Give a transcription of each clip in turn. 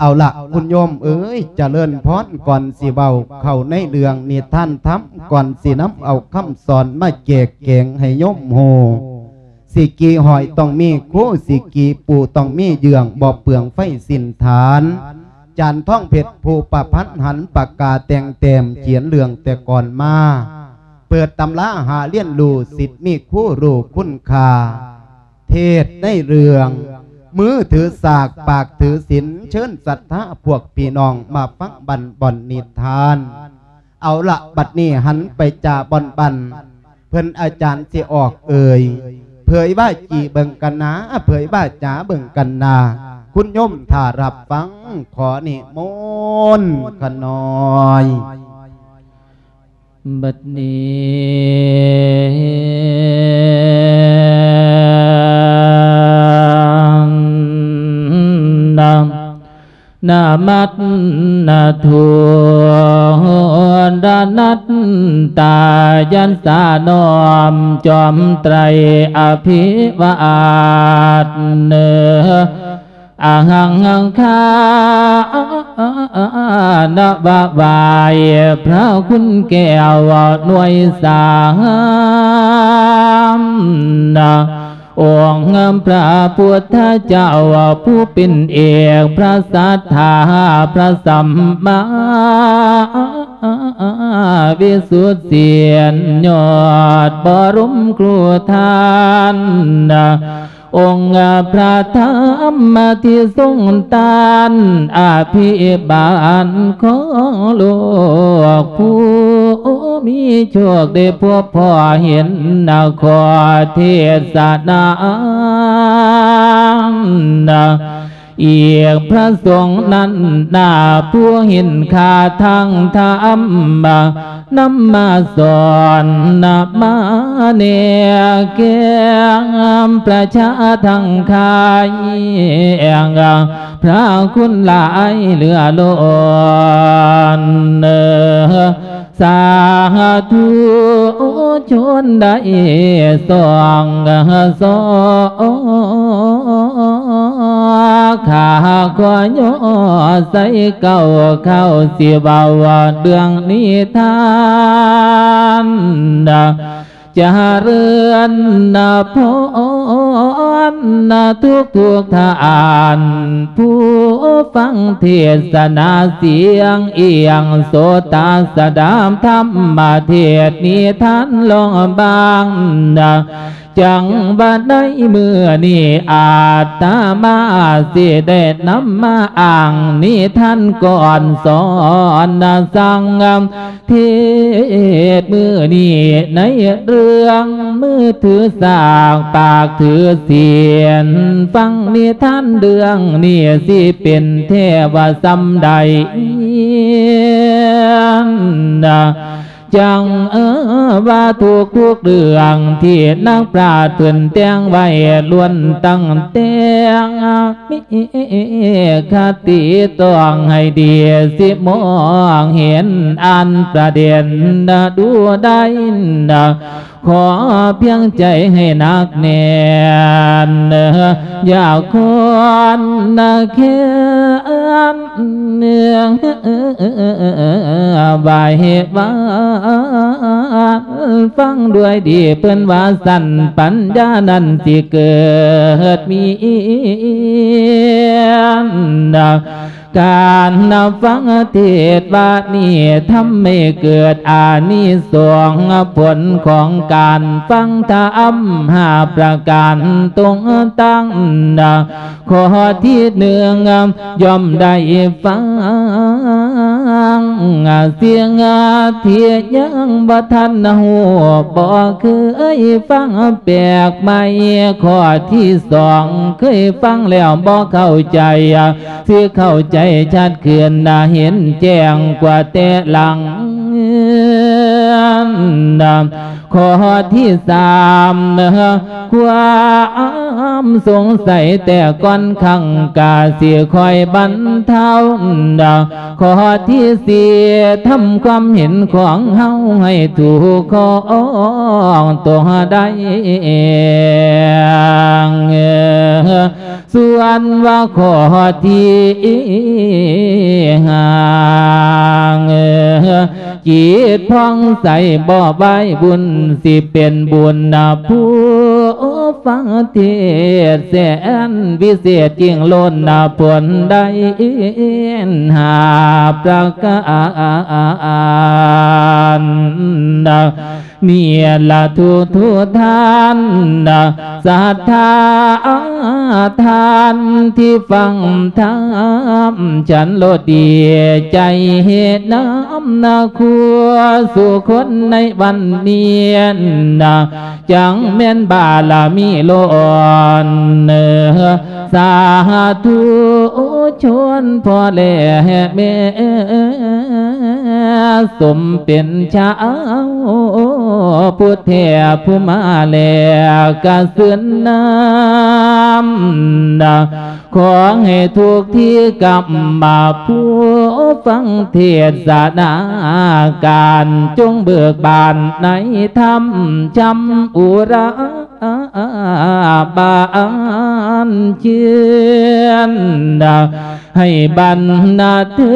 ເອົາລະ ຄຸນໂຍມເອີຍ ຈະເລີນພອນ ກ່ອນຊິເວົ້າເຂົ້າໃນເລື່ອງນິທານທຳ ກ່ອນຊິນຳເອົາຄຳສອນມາແຈກແຈງໃຫ້ໂຍມຮູ້ ສິກີຫ້ອຍຕ້ອງມີຄູ ສິກີປູຕ້ອງມີເຍືອງ ບໍ່ເປືອງໄຟສິ້ນຖານ ຈານທອງເພັດຜູ້ປະພັນ ຫັນປາກກາແຕ່ງແຕ້ມ ຂຽນເລື່ອງແຕ່ກ່ອນມາ ເປີດຕຳລາຫາຮຽນຮູ້ ສິດມີຄູຮູ້ຄຸນຄ່າ ເທດໃນເລື່ອງ ມືຖືສາກ ປາກຖືສິນ ເຊີນສັດທາພວກພີ່ນ້ອງ ມາຟັງບັນບອນນິທານ. ເອົາລະ ບັດນີ້ຫັນໄປຈາບ່ອນບັນ ເພິ່ນອາຈານຊິອອກເອີ່ຍ ເຜີຍວາຈີເບິ່ງກັນນາ ເຜີຍວາຈາເບິ່ງກັນນາ ຄຸນໂຍມຖ້າຮັບຟັງ ຂໍນິມົນຂະນ້ອຍ. ບັດນີ້ນະ ນະມັດນະທູດະນັດຕາຍັດສາ ນ້ອມຈອມໄຕອະພິວາດເນີ ອະຫັງຄານະວະ ໄຫວ້ພະຄຸນແກ້ວໜ່ວຍສາມ ອົງພະພຸດທະເຈົ້າຜູ້ເປັນເອກ ພະສັດທາ ພະສຳມາວິສຸດ ສຽນຍອດບໍລົມຄູທານ ອົງພະທຳທີ່ຊົງຕານ ອະພິບານຂອງໂລກ ຜູ້ມີໂຊກໄດ້ພົບພໍ້ເຫັນ ຂໍເທດສະນາ ອີກພະສົງນັ້ນນາ ຜູ້ເຫັນຄ່າທາງທຳ ນຳມາສອນນຳມາແນແກ່ປະຊາທັງຂາຍ ພະຄຸນຫຼາຍເຫຼືອລົ້ນ ສາທຸຊົນໄດ້ສອງສອ ຂ້າຂໍຍໍໃສ່ເກົ້າ ເຂົ້າຊິເວົ້າເລື່ອງນິທານ ຈະເລີນພອນທຸກໆທ່ານ ຜູ້ຟັງເທດສະໜາສຽງອຽງ ໂສຕາສະດາບທຳມະເທດນິທານລອງບາງ ຈັ່ງວ່າໃນມື້ນີ້ອາດຕະມາຊິໄດ້ນຳມາອ້າງນິທານກ່ອນສອນນະສັງ ເທດມື້ນີ້ໃນເລື່ອງມືຖືສາກ ປາກຖືສຽນ ຟັງນິທານເລື່ອງນີ້ຊິເປັນແທ້ວ່າສ່ຳໃດ ຈັ່ງວ່າທຸກໆເລື່ອງທີ່ນັກປາດເພິ່ນແຕ່ງໄວ້ ລ້ວນຕັ້ງແຕ່ງມີຄະຕິຕ້ອງໃຫ້ດີ ຊິມອງເຫັນອ່ານປະເດັນດູໄດ້ ຂໍພຽງໃຈໃຫ້ໜັກແໜ້ນ ຢ່າຄອນນະແຄ້ນ ໄຫວ້ວານ ຟັງດ້ວຍດີເພິ່ນວ່າຊັ້ນ ປັນຍານັ້ນຊິເກີດມີ ການຟັງເທດວານີ້ ທຳໃຫ້ເກີດອານິສົງຜົນຂອງການຟັງທຳຫ້າປະການຕົງຕັ້ງ ຂໍ້ທີໜຶ່ງ ຍ່ອມໄດ້ຟັງ ສິ່ງທີ່ຍັງບໍ່ທັນຮູ້ ບໍ່ເຄີຍຟັງແປກໃໝ່ ຂໍ້ທີສອງ ເຄີຍຟັງແລ້ວບໍ່ເຂົ້າໃຈ ຊິເຂົ້າໃຈຊັດຂຶ້ນ ເຫັນແຈ້ງກວ່າແຕ່ຫຼັງ ຂໍ້ທີສາມ ຄວາມສົງໄສແຕ່ກ່ອນຄັ້ງກະຊິຄ່ອຍບັນເທົາ. ຂໍ້ທີສີ່ ທຳຄວາມເຫັນຂອງເຮົາໃຫ້ຖືກຄອງຕົວໄດ້. ສ່ວນວ່າຂໍ້ທີຫ້າ ຈິດຜ່ອງໃສບໍ່ໄວ້ບຸນ ຊິເປັນບຸນນະຜູ້ຟັງເທດແສນວິເສດ ຍິ່ງລົ້ນນະຜົນໄດ້ຫ້າປະການ. ນີ້ລະທຸກໆທ່ານ ສັດທາທ່ານທີ່ຟັງທຳ ສັນໂລດດີໃຈນຳນະຄູ່ສູ່ຄົນໃນວັນນີ້ນະ ຈັ່ງແມ່ນບາລະມີລົ້ນ ສາທຸຊົນພໍ່ແລະແມ່ ສົມເປັນຊາວພຸດແທ້ຜູ້ມາແລກກະເຊີນນຳ ຂໍໃຫ້ທຸກທີ່ກັບມາຜູ້ຟັງເທດສະນາການ ຈົ່ງເບີກບານໃນທຳ ຊ່ຳອຸລາບານເຊີນ ໃຫ້ບັນນາເທີ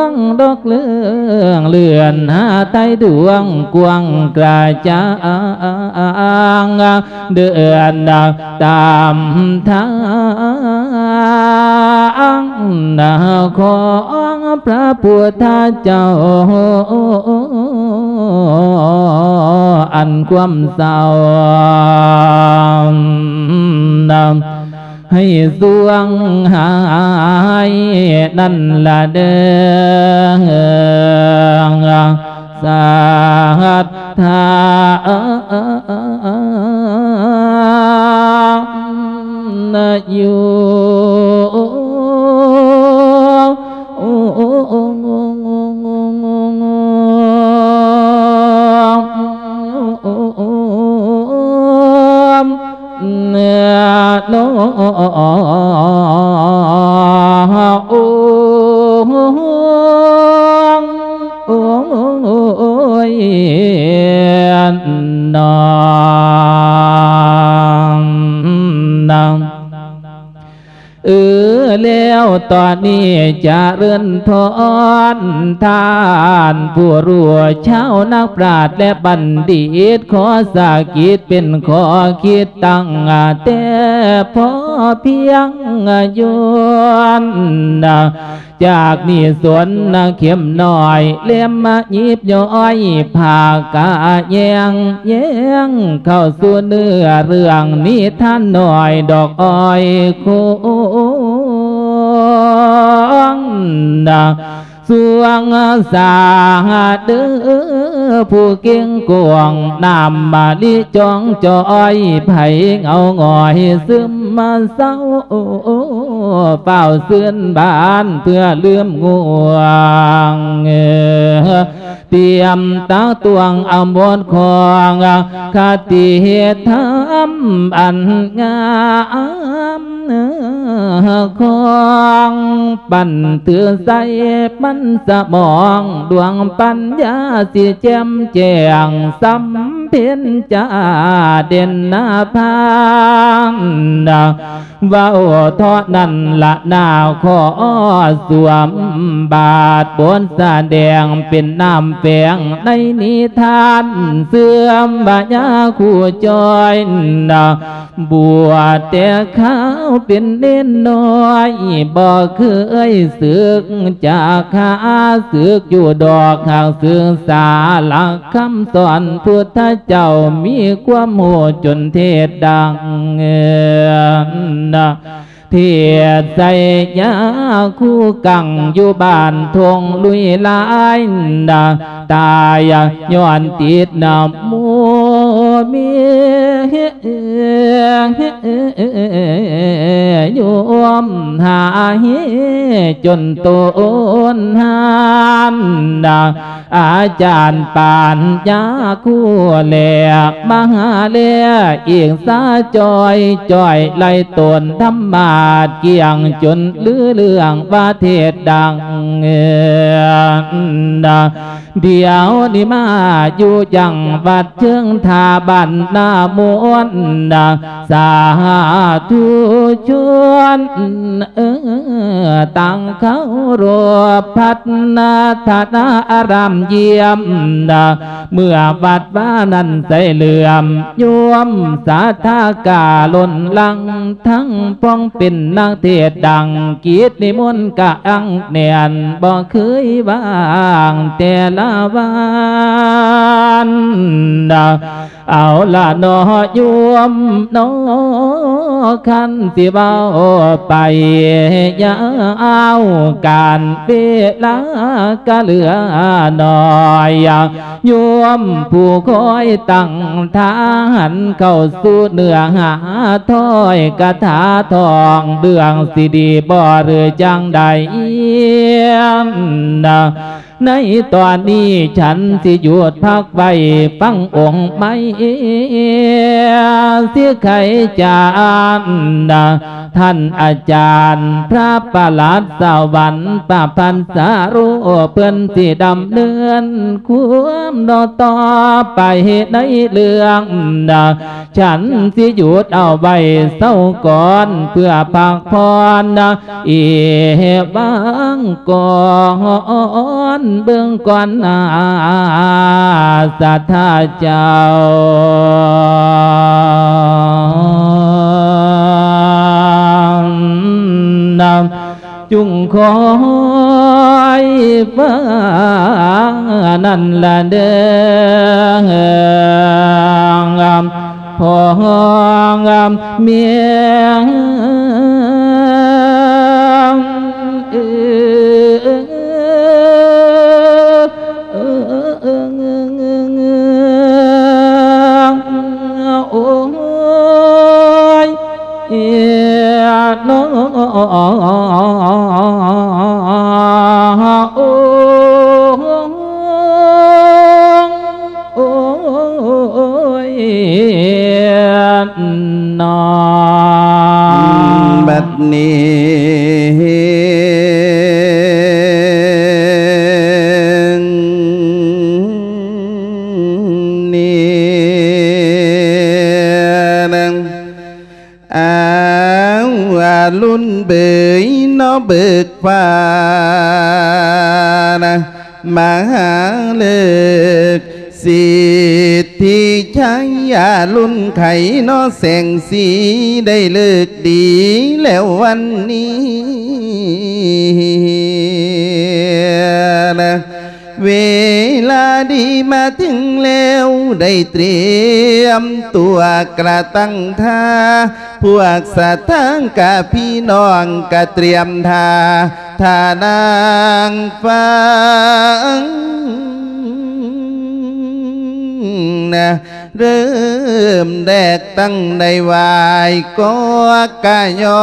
ງດອກເລື່ອງເລື່ອນ ຫາໄຕດວງກວ້າງກະຈ່າງ ເດີນຕາມທາງຂອງພະພຸດທະເຈົ້າ ອັນຄວາມເສົ້າ ໃຫ້ສວງຫາຍນັ້ນລະເດີ ສັດທາຢູ່ ໂອ້ ໂອ້ ໂອ້ຍ ນາງ ນາງ ເອີ ແລ້ວຕອນນີ້ຈະເລີນພອນ ທ່ານຜູ້ຮູ້ ຊາວນັກປາດ ແລະ ບັນດິດ ຂໍສະກິດເປັນຂໍ້ຄິດຕັ້ງແຕ່ພໍພຽງ ຍ້ອນຈາກນີ້ສົນເຂັມນ້ອຍ ເຫຼັ້ມມາຫຍິບຍ້ອຍ ພາກະແຍງແຍງ ເຂົ້າສູ່ເນື້ອເລື່ອງນິທານນ້ອຍ ດອກອ້ອຍໂຄງ ສວງສາເດີ ຜູ້ເກັ່ງກວງ ນ້ຳມະລິຈ່ອງຈ່ອຍ ໃຜເຫງົາຫງອຍຊຶມມາເສົ້າ ຟ້າວຊື່ນບານເພື່ອລືມງ່ວງ ຕຽມຕັກຕວງອາໂມດຂອງ ຄະຕິທຳອັນງາມ ຂອງປັນຖືໃສ່ມັນສະໝອງ ດວງປັນຍາຊິແຈ່ມແຈ້ງ ສຳເພັນຈາເດັ່ນໜ້າພານ ເວົ້າເທົ່ານັ້ນລະນາ ຂໍສວມບາດບົດສະແດງ ເປັນນ້ຳແຝງໃນນິທານ ເຊື່ອມວ່າຍາຄູ່ຈ່ອຍ ບວດແຕ່ຄາວເປັນເນນນ້ອຍ ບໍ່ເຄີຍສຶກຈາຄາ ສຶກຢູ່ດອກ ຫາກສຶກສາຫຼັກຄຳສອນ ພຸດທະເຈົ້າມີຄວາມຮູ້ຈົນເທດດັງ ເທດໃສ່ຍາຄູກັງ ຢູ່ບ້ານທົ່ງລຸຍລາຍ ຕາຍຍ້ອນຕິດນຳໂມເມ ໂຍມຫາເຮຈົນໂຕນຫານ ອາຈານປານຍາຄູແລ ມະຫາແລອີກສາຈ່ອຍ ຈ່ອຍໄລ່ຕົນທຳມາດ ກ່ຽງຈົນລືເລື່ອງວ່າເທດດັງ ດຽວນີ້ມາຢູ່ຈັງຫວັດເຊີງທ່າບ້ານນາມ່ວນ ສາທຸຊົນ ເອີ ຕັ້ງເຄົາລົບພັດທະນາອາຣາມຢ້ຽມ ເມື່ອວັດວານັ້ນໃສເຫຼື້ອມ ໂຍມສາທາກາລົ້ນຫຼັງ ທັງປວງເປັນນັກເທດດັງ ກິດນິມົນກະອັງແໜ້ນ ບໍ່ເຄີຍວ່າງແຕ່ລະວັນ ເອົາລະເນາະໂຍມເນາະ ຄັນຊິເວົ້າໄປຍາວ ການເວລາກະເຫຼືອໜ້ອຍ ໂຍມຜູ້ຄອຍຕັ້ງທ່າ ຫັນເຂົ້າສູ່ເນື້ອຫາຖ້ອຍກະຖາທອງ ເລື່ອງຊິດີບໍ່ຫຼືຈັ່ງໃດ? ໃນຕອນນີ້ ສັນຊິຢຸດພັກໄວ້ ຟັງອົງໄມ້ ຊິໄຂຈານ ທ່ານອາຈານພະປະຫຼັດສະຫວັນ ປະພັນສາໂຣ ເພິ່ນຊິດຳເນີນຄວາມຕໍ່ໄປໃນເລື່ອງ ສັນຊິຢຸດເອົາໄວ້ເຊົາກ່ອນ ເພື່ອພັກຜ່ອນ ອີຫວັງກ່ອນ ເບິ່ງກ່ອນນາ ສາທາເຈົ້າ ນຳ ຈຸງຄອຍຟັງນັ້ນລະເດີ ພໍ່ແມ່ ໂອ້ຍ ເອີ ເນາະ ໂອ້ຍ ເນາະ ບັດນີ້ ນີ້ ອ້າວ ອາລຸນເບີຍເນາະ ເບີກຟ້ານະ ມະຫາເລີກ ສິດທິໄຊ ອາລຸນໄຂເນາະ ແສງສີໄດ້ເລີກດີແລ້ວວັນນີ້ນະ ເວລາດີມາເຖິງແລ້ວ ໄດ້ຕຽມຕົວກະຕັ້ງທ່າ ພວກສັດທາກະພີ່ນ້ອງກະຕຽມທ່າ ທ່ານາງຟັງນະ ເລີ່ມແລກຕັ້ງໄດ້ໄຫວ້ກໍກະຍໍ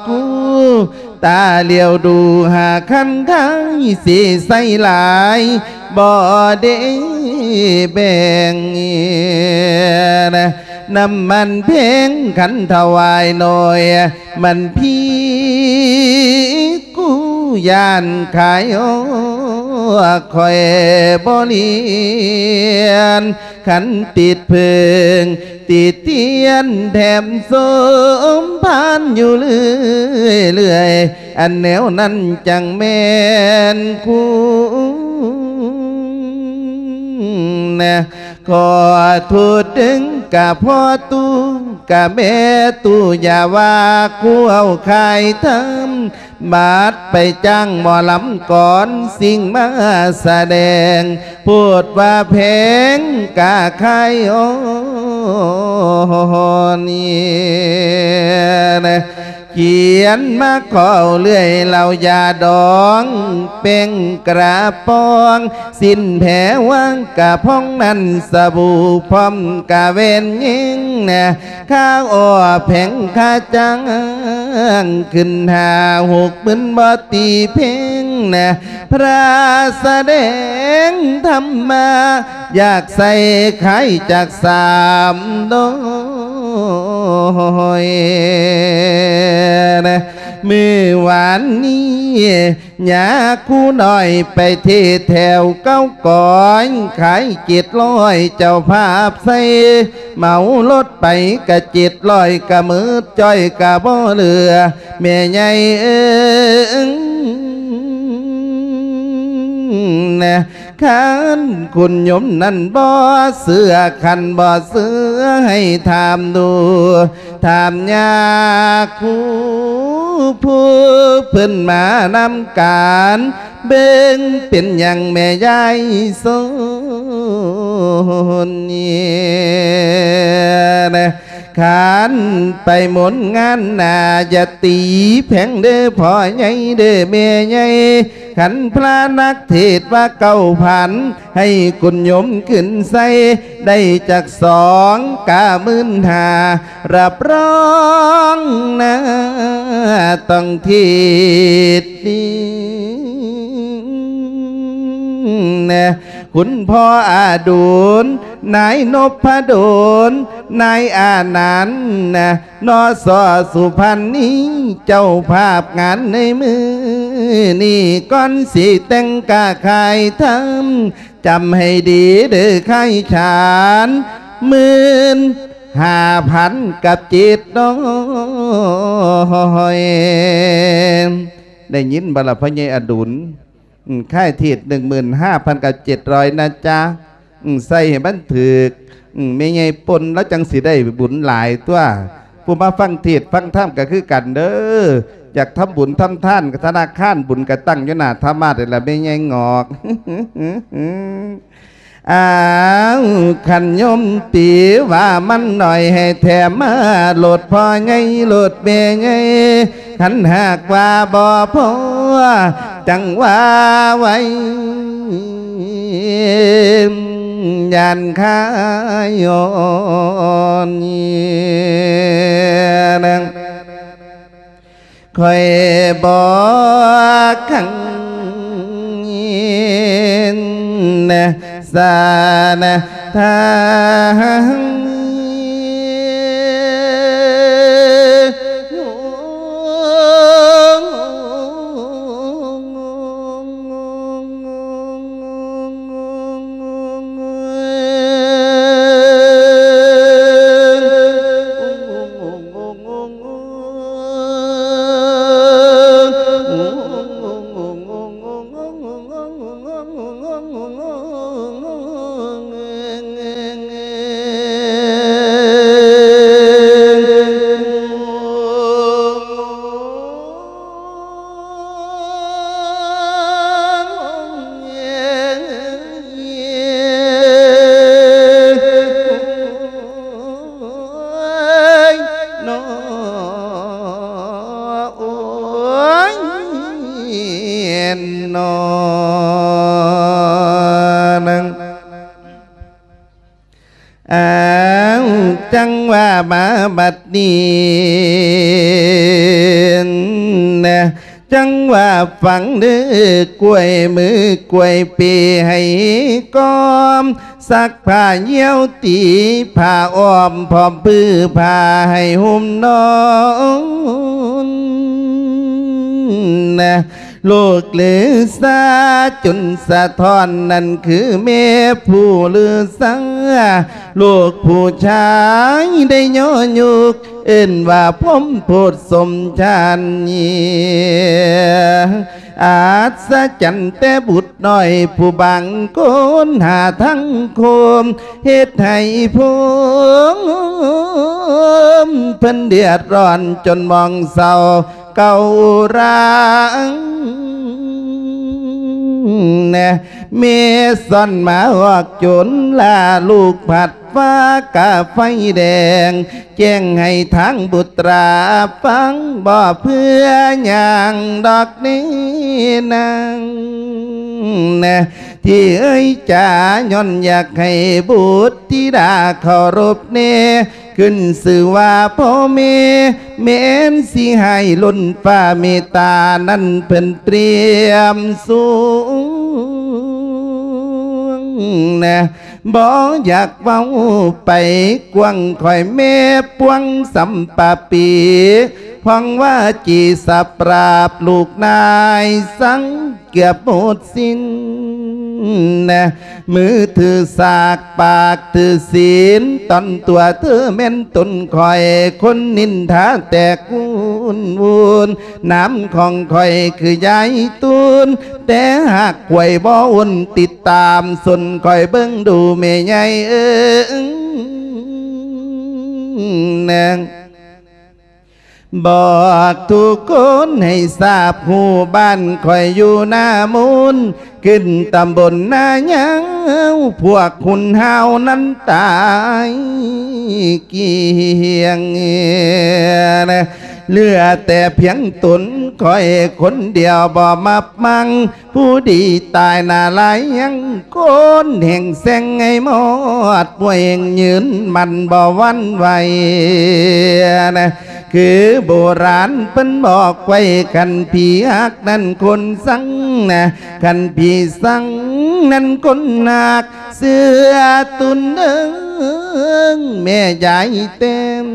ຄູ ຕາຫຼຽວດູຫາຄັນໄທ ຊິໃສ່ຫຼາຍບໍ່ໄດ້ແບ່ງ ນຳມັນແພງຄັນຖວາຍໜ້ອຍ ມັນພີກູຢ້ານຂາຍ ຂ້ອຍບໍ່ລຽນ ຄັນຕິດເພິ່ງ ຕິດທຽນແຖມສົມພານຢູ່ເລື້ອຍໆ ອັນແນວນັ້ນຈັ່ງແມ່ນຄຸນນະ ຂໍໂທດເດີກະພໍ່ຕູ້ກະແມ່ຕູ້ ຢ່າວ່າຄູເອົາຂາຍທຳ ບາດໄປຈ້າງໝໍລຳກອນ ສິ່ງມາສະແດງ ໂພດວ່າແພງກະຂາຍ ໂອ້ ນີ້ນະ ຂຽນມາຂໍເລື່ອຍ ເຫຼົ້າຢາດອງ ແປ້ງກະປ໋ອງ ສິ້ນແຜວາງກະພອງນັ້ນ ສະບູ່ພ້ອມກະແວ່ນຍິງນະ ຄ່າອໍແຜງຄ່າຈ້າງ ຂຶ້ນຫ້າຫົກໝື່ນບໍ່ຕີເພັງນະ ພຣະສະແດງທຳມາ ຢາກໃສ່ຂາຍຈັກສາມຮ້ອຍນະ ມື້ວານນີ້ ຍາຄູນ້ອຍໄປເທດແຖວເກົ້າກອຍ ຂາຍເຈັດຮ້ອຍ ເຈົ້າພາບໃສ່ ເໝົາລົດໄປກະເຈັດຮ້ອຍ ກະໝົດຈ້ອຍກະບໍ່ເຫຼືອ ແມ່ໃຫຍ່ເອີຍນະ ຄັນຄຸນໂຍມນັ້ນບໍ່ເຊື່ອ ຄັນບໍ່ເຊື່ອໃຫ້ຖາມດູ ຖາມຍາຄູຜູ້ເພິ່ນມານຳການ ເບິ່ງເປັນຫຍັງແມ່ຍາຍສົນນີ້ນະ ຄັນໄປມົນງານໜ້າ ຢ່າຕີແຜງເດີພໍ່ໃຫຍ່ເດີແມ່ໃຫຍ່ ຄັນພະນັກເທດວ່າເກົ້າພັນ ໃຫ້ຄຸນໂຍມຂຶ້ນໃສ່ ໄດ້ຈັກສອງກະໝື່ນຫ້າ ຮັບຮອງນາຕ້ອງທິດນີ້ນະ ຄຸນພໍ່ອະດຸນ ນາຍນົບພະດົນ ນາຍອານັນນະ ນໍ ສໍ ສຸພັນນີ ເຈົ້າພາບງານໃນມື້ນີ້ ກ່ອນຊິແຕ່ງກະຂາຍທຳ ຈຳໃຫ້ດີເດີຂາຍຂານ ໝື່ນຫ້າພັນກັບເຈັດຮ້ອຍ ໄດ້ຍິນບໍ່ລະ ພໍ່ໃຫຍ່ອະດຸນ? ອືມ ຂາຍເທດໜຶ່ງໝື່ນຫ້າພັນກັບເຈັດຮ້ອຍນະຈ໊ະ ອືມ ໃສ່ໃຫ້ມັນຖືກ ອືມ ແມ່ໃຫຍ່ປົນລາວຈັ່ງຊິໄດ້ບຸນຫຼາຍຕົວະ ຜູ້ມາຟັງເທດຟັງທຳກະຄືກັນເດີ ຢາກທຳບຸນທຳທານ ທະນາຄານບຸນກະຕັ້ງຢູ່ໜ້າທຳມາດນີ້ລະ ແມ່ໃຫຍ່ງອກ. ອ້າວ ຄັນໂຍມຕີວ່າມັນໜ້ອຍ ໃຫ້ແຖມມາໂລດພໍ່ໃຫຍ່ ໂລດແມ່ໃຫຍ່ ຄັນຫາກວ່າບໍ່ພໍ ຈັ່ງວ່າໄວ້ ຢ້ານຂາຍອ່ອນ. ຂ້ອຍບອກຄັ້ງນະ ສານະທາງອ້າວ ຈັ່ງວ່າມາບັດນີ້ນະ ຈັ່ງວ່າຟັງເດີ ກ້ວຍມືກ້ວຍເປໃຫ້ກອມ ຊັກຜ້າຍ່ຽວຕີຜ້າອ້ອມ ພ້ອມຜືຜ້າໃຫ້ຫຸ້ມນອນນະ. ລູກລືຊາຈຸນສະທ້ອນ ນັ້ນຄືແມ່ຜູ້ລືຊາ ລູກຜູ້ຊາຍໄດ້ຍໍຍຸກ ເອີ້ນວ່າພົມໂພດສົມຊານ ອັດສະຈັນແຕ່ບຸດນ້ອຍ ຜູ້ບາງຄົນຫາທັງໂຄມ ເຮັດໃຫ້ພົມເພິ່ນເດືອດຮ້ອນຈົນໝ່ອງເສົ້າ ເກົ້າຣາງ ແມ່ຊ້ອນມາອອກຈົນລາ ລູກພັດຟ້າກະໄຟແດງ ແຈ້ງໃຫ້ທາງບຸດຕາຟັງ ບໍ່ເພື່ອຫຍັງດອກເນນາງ ທີ່ເອີຍຈາ ຍ້ອນຢາກໃຫ້ບຸດທິດາເຄົາລົບແນ່ ຂຶ້ນຊື່ວ່າພໍ່ແມ່ ແມ່ນຊິໃຫ້ລົ້ນຟ້າເມດຕາ ນັ້ນເພິ່ນຕຽມສູງນະ ບໍ່ຢາກເວົ້າໄປກວ້າງ ຂ້ອຍແມ່ປວງສຳປະປີ ພອງວ່າຈີສະປາບລູກນາຍ ສັງເກືອບໝົດສິ້ນນະ ມືຖືສາກ ປາກຖືສິນ ຕອນຕົວເທີແມ່ນຕົນຂ້ອຍ ຄົນນິນທາແຕ່ກຸນວຸນ ນາມຂອງຂ້ອຍຄືຍາຍຕູນ ແຕ່ຫາກຂ້ອຍບໍ່ອຸ່ນ ຕິດຕາມຊົນຂ້ອຍເບິ່ງດູແມ່ໃຫຍ່ເອີຍ ນາງ ບອກທຸກຄົນໃຫ້ຊາບຮູ້ ບ້ານຂ້ອຍຢູ່ນາມູນ ຂຶ້ນຕຳບົນນາຍາວ ພວກຮຸນຮາວນັ້ນຕາຍກ້ຽງ ເຫຼືອແຕ່ພຽງຕົນຂ້ອຍຄົນດຽວ ບໍ່ມາ ມັງ ຜູ້ດີຕາຍໜ້າລາຍຍັງ ຄົນແຫ່ງແຊງໃຫ້ໝົດ ຜູ້ແຫ່ງຢືນໝັ້ນບໍ່ຫວັ່ນໄຫວນະ ຄືໂບລານເພິ່ນບອກໄວ້ ຄັນຜີຮັກນັ້ນຄົນຊັງນະ ຄັນຜີຊັງນັ້ນຄົນຮັກ ເສືອຕຸນເອີງ ແມ່ຍາຍແຕ້ມ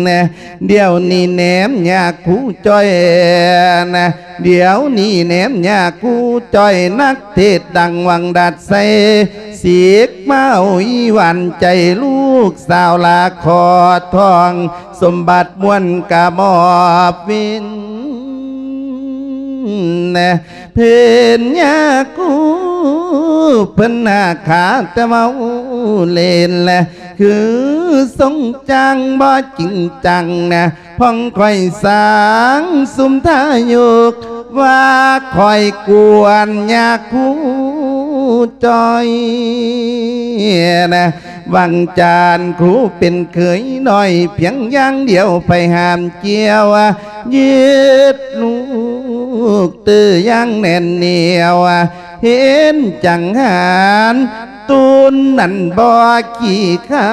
ນະ ດຽວນີ້ແນມຍາຄູຈ້ອຍນະ ດຽວນີ້ແນມຍາຄູຈ້ອຍ ນັກເທດດັງວັງດັດໄຊ ສິກມາເອົາອີຫວັນໃຈ ລູກສາວລາຂອດທອງ ສົມບັດມ່ວນກະມອບວິນນະ ເພິ່ນຍາຄູ ເພິ່ນໜ້າຂາແຕ່ເວົ້າເລ່ນແລະ ຄືຊົງຈັງບໍ່ຈິງຈັງນະ ພອງຂ້ອຍສາງຊຸມທາຍົກ ວ່າຂ້ອຍກວນຍາຄູຈ້ອຍນະ ວັງຈານຄູເປັນເຂີຍນ້ອຍ ພຽງຢ່າງດຽວໄປຫາມກ່ຽວ ຍຶດລູກຕື້ຢ່າງແໜ້ນໜຽວ ເຫັນຈັງຫານ ຕູນນັ້ນບໍ່ຂີ້ຄ້າ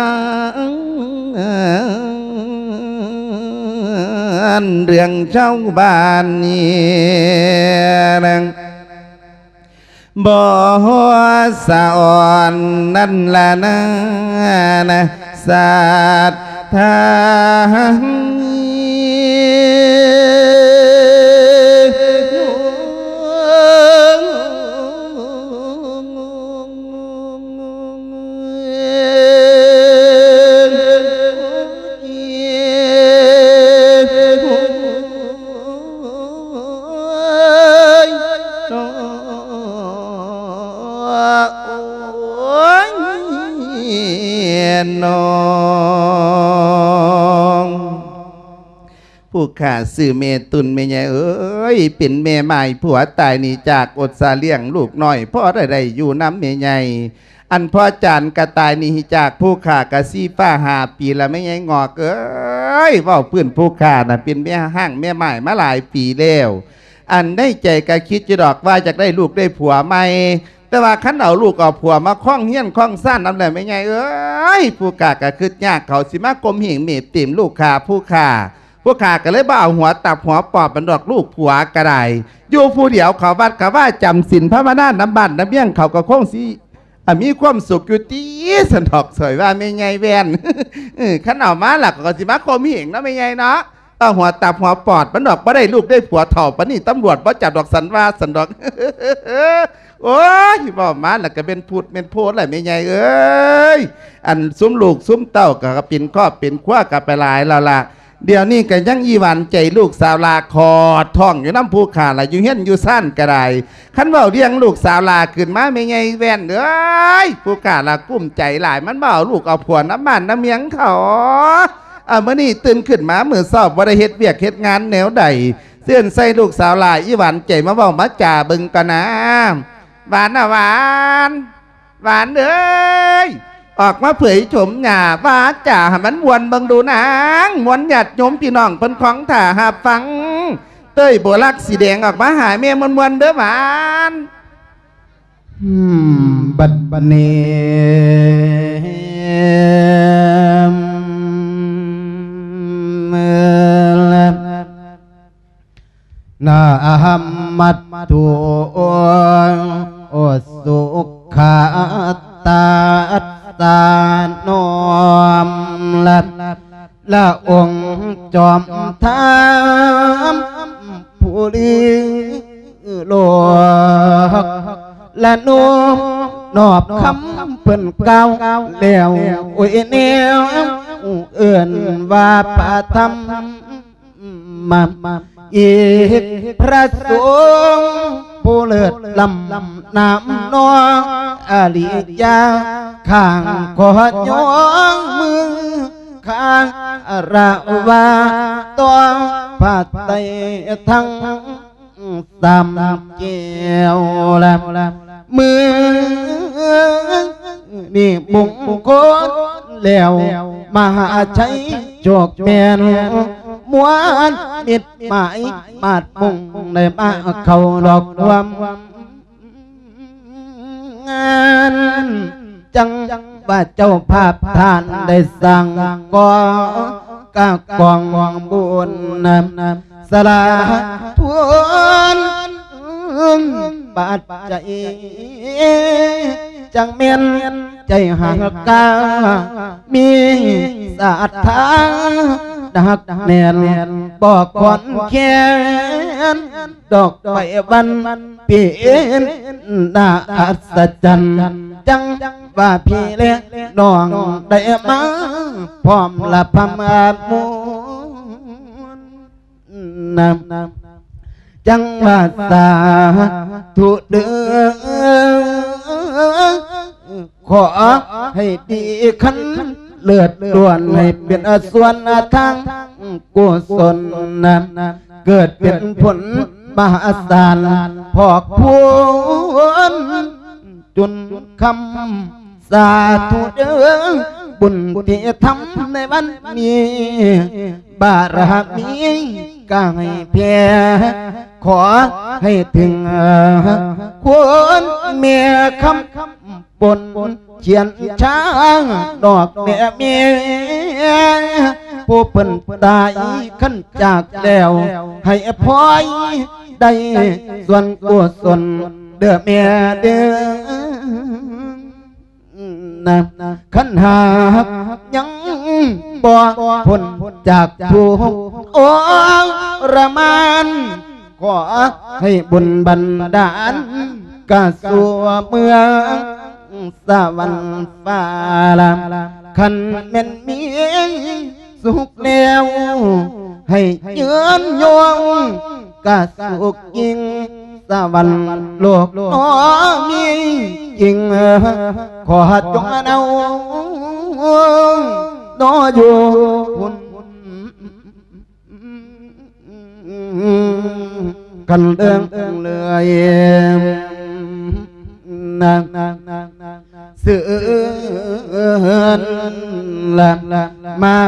ນ ເລື່ອງຊາວບ້ານນີ້ນະ ບໍ່ສະອອນນັ້ນລະນານະ ສັດທານ້ອງ ຜູ້ຂ້າຊື່ແມ່ຕຸນ ແມ່ໃຫຍ່ເອີຍ ເປັນແມ່ໝ້າຍຜົວຕາຍໜີຈາກອົດສາລ້ຽງລູກນ້ອຍ ພໍໄດ້ໄດ້ຢູ່ນຳແມ່ໃຫຍ່ ອັນພໍ່ຈານກະຕາຍໜີຈາກຜູ້ຂ້າກະສີ່ຟ້າຫ້າປີລະ ແມ່ໃຫຍ່ງອກເອີຍ ເວົ້າພື້ນຜູ້ຂ້ານະ ເປັນແມ່ຮ້າງແມ່ໝ້າຍມາຫຼາຍປີແລ້ວ ອັນໃນໃຈກະຄິດຢູ່ດອກວ່າຢາກໄດ້ລູກໄດ້ຜົວໃໝ່ ແຕ່ວ່າຄັນເອົາລູກເອົາຜົວມາຄອງເຮືອນຄອງຊານນຳແລ້ວ ແມ່ໃຫຍ່ເອີຍ ຜູ້ຂ້າກະຄິດຍາກ ເຂົາຊິມາຂົ່ມເຫງເມບຕີມລູກຂ້າ ຜູ້ຂ້າ ຜູ້ຂ້າກະເລີຍບໍ່ເອົາຫົວຕັບຫົວປອດມັນດອກ ລູກຜົວກະໄດ້ ຢູ່ຜູ້ດຽວເຂົ້າວັດເຂົ້າວາ ຈຳສິນພາວະນານຳບ້ານນຳເມືອງ ເຂົາກະຄົງຊິ ອາ ມີຄວາມສຸກຢູ່ຕິ ຊັ້ນດອກ ສອຍວ່າແມ່ໃຫຍ່ແວ່ນ ເອີ ຄັນເອົາມາລະ ເຂົາກະຊິມາຂົ່ມເຫງເນາະ ແມ່ໃຫຍ່ເນາະ ເອົາຫົວຕັບຫົວປອດມັນດອກ ບໍ່ໄດ້ລູກໄດ້ຜົວເຖົ້າປານນີ້ ຕຳຫຼວດບໍ່ຈັບດອກ ຊັ້ນວ່າ ຊັ້ນດອກ ໂອ້ຍ ເວົ້າມາລະກະແມ່ນພຸດແມ່ນໂພນລະ ແມ່ໃຫຍ່ເອີຍ ອັນຊຸມລູກຊຸມເຕົ້າກະເປັນຄອບເປັນຄົວກະໄປຫຼາຍແລ້ວລະ ດຽວນີ້ກະຍັງອີຫວັນໃຈລູກສາວຫຼ້າຂອດທ້ອງຢູ່ນຳຜູ້ຂ້າລະ ຢູ່ເຮືອນຢູ່ຊານກະໄດ້ ຄັນເວົ້າເລື່ອງລູກສາວຫຼ້າຂຶ້ນມາ ແມ່ໃຫຍ່ແວ່ນເອີຍ ຜູ້ຂ້າລະກຸ້ມໃຈຫຼາຍ ມັນບໍ່ເອົາລູກເອົາຜົວນຳບ້ານນຳເມືອງເຂົາ ອາ ມື້ນີ້ຕື່ນຂຶ້ນມາມື້ເຊົ້າ ບໍ່ໄດ້ເຮັດວຽກເຮັດງານແນວໃດ ເຕືອນໃສ່ລູກສາວຫຼ້າອີ່ຫວານໃຈ ມາເວົ້າມາຈາເບິ່ງກ່ອນນາ. ຫວານນະຫວານ ຫວານເອີຍ ອອກມາເຜີຍໂສມໜ້າ ວາຈາໃຫ້ມັນມ່ວນເບິ່ງດູນາງ ມ່ວນຍາດໂຍມພີ່ນ້ອງເພິ່ນຂອງຖ້າຮັບຟັງ. ເຕີຍບົວລັກສີແດງ ອອກມາຫາແມ່ມ່ວນໆເດີຫວານ. ອືມ ບັດນີ້ ນະມັດຖຸ ໂອ ສຸຂະຕາສະ ນ້ອມລະ ລະອົງຈອມທຳ ຜູ້ລືໂລກ ລະໂນ້ມນອບຄຳເພິ່ນກ່າວແລ້ວ ໂອ້ຍ ແນວເອີ້ນວ່າພະທຳ ມາ ອີກພະສົງຜູ້ເລີດລ້ຳ ນາມນ້ອງອະລິຍາ ຂ້າງຂໍຍ້ອງມືຄາລະວະຕໍ່ພະໄຕທັງ ສາມແກ້ວລະ ມື້ນີ້ມຸງຄົນແລ້ວ ມະຫາໄຊໂຊກແມ່ນ ມວນມິດໝາຍມາດມຸງ ໄດ້ມາເຂົ້າລອກຮ່ວມງານ ຈັ່ງວ່າເຈົ້າພາບທ່ານໄດ້ສ້າງກໍ່ກະກອງບຸນ ສະຫຼາດທຸນປັດໄຈ ຈັ່ງແມ່ນໃຈຫັກກາ ມີສັດທາໜັກແໜ້ນ ບໍ່ຄອນແຄນ ດອກໄມ້ວັນເປັນໜ້າອັດສະຈັນ ຈັ່ງວ່າພີ່ແລະນ້ອງໄດ້ມາພ້ອມລະພະມາມຸນ ນຳ ຈັ່ງວ່າສາທຸເດີ ຂໍໃຫ້ດີຄັນເລີດລ້ວນ ໃຫ້ເປັນສ່ວນທາງກຸສົນນຳ ເກີດເປັນຜົນມະຫາສານ ພອກພູນຈຸນຄຳ ສາທຸເດີ ບຸນທີ່ທຳໃນວັນນີ້ ບາລະມີກະໃຫ້ແຜ່ ຂໍໃຫ້ເຖິງຄຸນແມ່ຄຳປົນ ຂຽນຊາງດອກແມ່ເມ ຜູ້ເພິ່ນຕາຍຄັນຈາກແລ້ວ ໃຫ້ພອຍໄດ້ສ່ວນກຸສົນເດີແມ່ເດີ. ນະ ຄັນຫາກຍັງບໍ່ພົ້ນຈາກທຸກທໍລະມານ ຂໍໃຫ້ບຸນບັນດານກະສູ່ເມືອງສະຫວັນຟ້າລະ ຄັນແມ່ນມີ ສຸກແລ້ວໃຫ້ຍືນຍົງ ກະສຸກຍິ່ງສະຫວັນໂລກໜໍມີຈິງ ຂໍຈົ່ງເອົາໜໍຢູ່ພຸ້ນ ກັນເດີງເລີຍ ນາງເຊີນລະມາ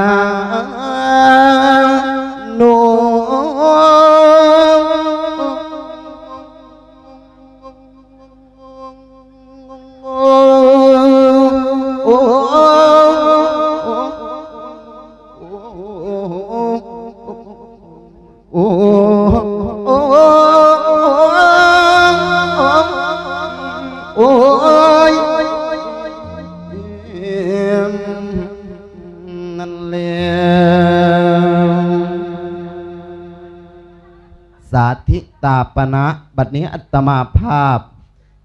ໂນ. ໂອ້ ໂອ້ ໂອ້ຍ ນັ້ນແຫຼະ ສາທິຕາປະນະ ບັດນີ້ອາດຕະມາພາບ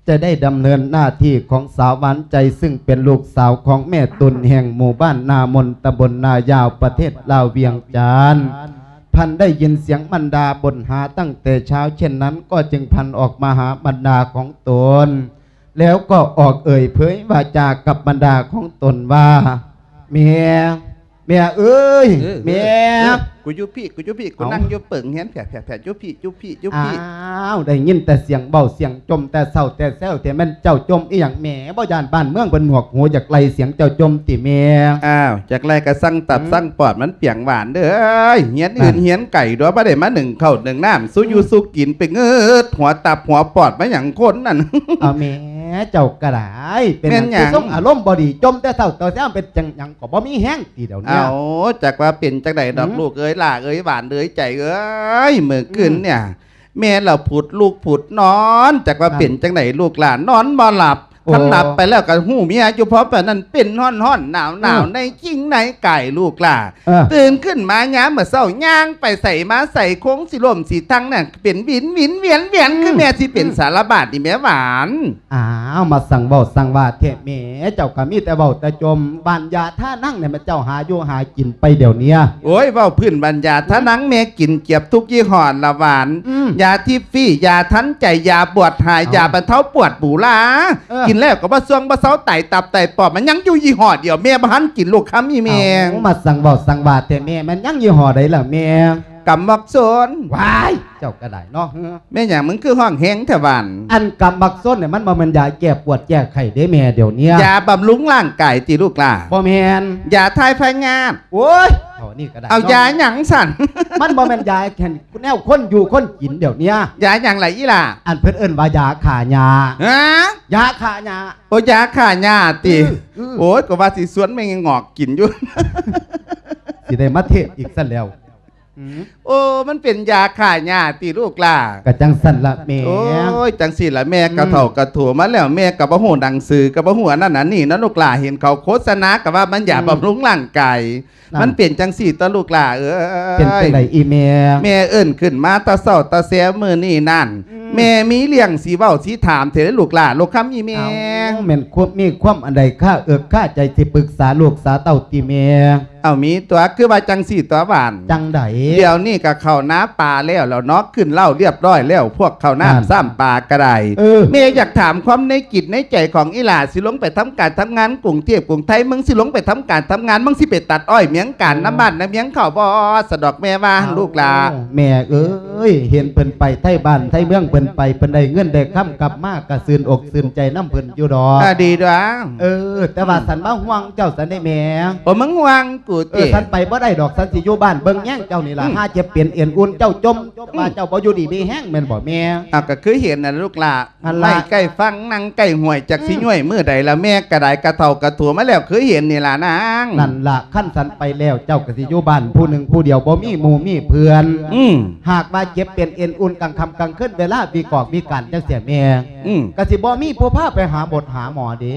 ຈະໄດ້ດຳເນີນໜ້າທີ່ຂອງສາວຫວານໃຈ ຊຶ່ງເປັນລູກສາວຂອງແມ່ຕຸນ ແຫ່ງໝູ່ບ້ານນາມົນ ຕຳບົນນາຍາວ ປະເທດລາວ ວຽງຈັນ. ພັນໄດ້ຍິນສຽງບັນດາບົນຫາຕັ້ງແຕ່ເຊົ້າເຊັ່ນນັ້ນ ກໍຈຶ່ງພັນອອກມາຫາບັນດາຂອງຕົນ ແລ້ວກໍອອກເອີ່ຍເຜີຍວາຈາກັບບັນດາຂອງຕົນວ່າ ແມ່ ແມ່ເອີຍ ເອີ ແມ່ ເອີ ກູຢູ່ພີ້ ກູຢູ່ພີ້ ກູ ເອົ້າ ນັ່ງຢູ່ເປິງແຮງ ແຜະໆໆ ຢູ່ພີ້ ຢູ່ພີ້ ຢູ່ພີ້. ອ້າວ ໄດ້ຍິນແຕ່ສຽງເວົ້າສຽງຈົ່ມແຕ່ເຊົ້າແຕ່ແຊວ ແຕ່ແມ່ນເຈົ້າຈົ່ມອີ່ຫຍັງແມ່? ບໍ່ຢ້ານບ້ານເມືອງເພິ່ນໜວກຫູ ຢາກໄລ່ສຽງເຈົ້າຈົ່ມຕິແມ່? ອ້າວ ຢາກໄລ່ກະສັ່ງຕັບ ອືມ ສັ່ງປອດມັນປຽງຫວານເດີ. ຮຽນອື່ນ ນັ້ນ ຮຽນໄກ ດວກບໍ່ໄດ້ມາໜຶ້ງເຂົ້າໜຶ້ງນ້ຳ ສູ່ຢູ່ ອືມ ສູ່ກິນ ໄປເງິດຫົວຕັບຫົວປອດມາຫຍັງຄົນນັ້ນ. ເອົາແມ່ ເຈົ້າກະໄດ້ ເປັນຫຍັງ ແມ່ນຫຍັງ ຄືຊົງອາລົມບໍ່ດີ ຈົ່ມແຕ່ເຊົ້າແຕ່ແຊວ ເປັນຈັ່ງຫຍັງກໍບໍ່ມີແຮງຕິດຽວນີ້? ເອົ້າ ຈັກວ່າເປັນຈັ່ງໃດດອກ ຫືມ ລູກເອີຍ ຫຼ້າເອີຍ ຫວານເອີຍ ໃຈເອີຍ ມື້ຄືນ ອືມ ເນຍ ແມ່ລະຜຸດລຸກຜຸດນອນ ຈັກວ່າ ນັ້ນ ເປັນຈັ່ງໃດລູກຫຼ້າ ນອນບໍ່ຫຼັບ. ໂອ້ ຄັນຫຼັບໄປແລ້ວກໍຮູ້ເມຍຢູ່ ເພາະປານນັ້ນເປັນຮ້ອນໆ ໜາວໆ ອືມ ໃນຈິງໃນກາຍລູກຫຼ້າ. ເອີ ຕື່ນຂຶ້ນມາຍາມມື້ເຊົ້າ ຍ່າງໄປໃສມາໃສ ຄົງຊິລົ້ມຊິທັງນັ້ນ ເປັນວິນວິນວຽນວຽນ ອືມ ຄືແມ່ຊິເປັນ ອືມ ສາລະບາດນີ້ແມ່ຫວານ. ອ້າວ ມາສັ່ງເວົ້າສັ່ງວ່າແທ້ແມ່ ເຈົ້າກໍມີແຕ່ເວົ້າແຕ່ຈົ່ມ. ຫວ່ານຢາທານັງນີ້ແມ່ນເຈົ້າຫາຢູ່ຫາກິນໄປດຽວນີ້? ໂອ້ຍ ເວົ້າພື້ນຫວ່ານຢາທານັງ ອືມ ແມ່ກິນເກືອບທຸກຍີ່ຫໍ້ລະຫວານ. ອືມ ຢາທິບຟຣີ ຢາທັນໃຈ ຢາບວດຫາຍ ເອົ້າ ຢາບັນເທົາປວດບູລາ ເອີ ກິນແລ້ວກໍບໍ່ຊ່ວງບໍ່ເຊົາ ໄຕຕັບໄຕປອດ ມັນຍັງຢູ່ຍີ່ຫໍ້ດຽວ ແມ່ບໍ່ທັນກິນລູກຄຳອີ່ແມ່. ເອົ້າ ມາສັ່ງເວົ້າສັ່ງວ່າແທ້ແມ່ ແມ່ນຍັງຍີ່ຫໍ້ໃດລະແມ່? ກຳບັກສົນ. ວ້າຍ ເຈົ້າກໍໄດ້ເນາະ. ແມ່ນຫຍັງ ມຶງຄືຮ້ອງແຮງແທ້ຫວານ? ອັນກຳບັກສົນນີ້ ມັນບໍ່ແມ່ນຢາແກ້ປວດແກ້ໄຂ້ເດ້ແມ່ ດຽວນີ້ ຢາບຳລຸງຮ່າງກາຍຕິລູກຫຼ້າ? ບໍ່ແມ່ນ ຢາຖ່າຍພະຍາດ. ໂອ້ຍ ເທົ່ານີ້ກໍໄດ້ ເອົາ ເນາະ ຢາຫຍັງຊັ້ນ? ມັນບໍ່ແມ່ນຢາແນວຄົນຢູ່ຄົນກິນດຽວນີ້. ຢາຫຍັງລະອີ່ຫຼ້າ? ອັນເພິ່ນເອີ້ນວ່າຢາຂ້າຫຍ້າ. ຮະ? ຢາຂ້າຫຍ້າ. ໂອ້ ຢາຂ້າຫຍ້າຕິ? ອື ອື ໂອ້ຍ ກໍວ່າຊິຊວນແມ່ງອກກິນຢູ່ ຊິໄດ້ມາເທດອີກຊັ້ນແລ້ວ. ອືມ ໂອ້ ມັນເປັນຢາຂ້າຫຍ້າຕິລູກຫຼ້າ? ກະຈັ່ງຊັ້ນລະແມ່. ໂອ້ຍ ຈັ່ງຊີ້ລະແມ່ ອືມ ກະເຖົ້າກະຖົວມາແລ້ວ ແມ່ກະບໍ່ຮູ້ໜັງສື ກະບໍ່ຮູ້ອັນນັ້ນອັນນີ້ເນາະລູກຫຼ້າ ເຫັນເຂົາໂຄສະນາກະວ່າມັນຢາ ອືມ ບຳລຸງຮ່າງກາຍ. ນັ້ນ ມັນເປັນຈັ່ງຊີ້ຕົວະລູກຫຼ້າເອີຍ. ເປັນຈັ່ງໃດອີ່ແມ່? ແມ່ເອີ້ນຂຶ້ນມາແຕ່ເຊົ້າແຕ່ແຊວມື້ນີ້ນັ້ນ ອືມ ແມ່ມີເລື່ອງຊິເວົ້າຊິຖາມເທື່ອເດ້ລູກຫຼ້າ ລູກຄຳອີ່ແມ່. ເອົ້າ ແມ່ນຄວາມ ມີຄວາມອັນໃດຄາເອິກຄາໃຈ ຊິປຶກສາລູກສາເຕົ້າຕິແມ່? ເອົາ ມີຕົວະ ຄືວ່າຈັ່ງຊີ້ຕົວະຫວານ. ຈັ່ງໃດ? ດຽວນີ້ກະເຂົ້ານາປາແລ້ວແລ້ວເນາະ ຂຶ້ນເລົ້າລຽບຮ້ອຍແລ້ວ ພວກເຂົ້ານ້ຳ ນັ້ນ ຊ້ຳປາກະໄດ້. ເອີ ແມ່ຢາກຖາມຄວາມໃນຈິດໃນໃຈຂອງອີ່ຫຼ້າ ຊິລົງໄປທຳການທຳງານກຸງເທບກຸງໄທ ມຶງຊິລົງໄປທຳການທຳງານ ມຶງຊິໄປຕັດອ້ອຍເມຍງການ ເອີ ນຳບ້ານນຳເມືອງເຂົາບໍ່ ສະດອກແມ່ວ່າ ເອົ້າ ລູກຫຼ້າ. ແມ່ເອີຍ ເຫັນເພິ່ນໄປໄທບ້ານໄທເມືອງ ເພິ່ນໄປ ເພິ່ນໄດ້ເງິນໄດ້ຄຳກັບມາ ກະຊື່ນອົກຊື່ນໃຈນຳເພິ່ນຢູ່ດອກ. ອາ ດີດວງ. ເອີ ແຕ່ວ່າ ອືມ ສັນມາຫ່ວງເຈົ້າຊັ້ນເດ້ແມ່. ໂອ້ ມຶງຫ່ວງກູຕິ? ເອີ ສັນໄປບໍ່ໄດ້ດອກ ສັນຊິຢູ່ບ້ານເບິ່ງແຍງເຈົ້ານີ້ລະ. ອືມ ຫາເຈັບເປັນເອັນອຸ່ນເຈົ້າຈົ່ມ ອືມ ວ່າເຈົ້າບໍ່ຢູ່ດີມີແຮງແມ່ນບໍ່ແມ່? ເອົາ ກະຄືເຫັນນັ້ນລະລູກຫຼ້າ ຫັ້ນລະ ໄມ້ໃກ້ຝັ່ງ ນັ່ງໃກ້ຫ້ວຍ ຈັກຊິ ອືມ ຍ້ວຍມື້ໃດລະ ແມ່ກະໄດ້ກະເຖົ້າກະຖົວມາແລ້ວ ຄືເຫັນນີ້ລະນາງ. ນັ້ນລະ ຄັນສັນໄປແລ້ວ ເຈົ້າກະຊິຢູ່ບ້ານຜູ້ໜຶ່ງຜູ້ດຽວ ບໍ່ມີໝູ່ມີເພື່ອນ. ອືມ ຫາກວ່າເຈັບເປັນເອັນອຸ່ນກາງຄ່ຳກາງຄືນ ເວລາວິກອກວິການຈັ່ງຊີ້ແມ່ ອືມ ກະຊິບໍ່ມີຜູ້ພາໄປຫາໝົດຫາໝໍເດ້.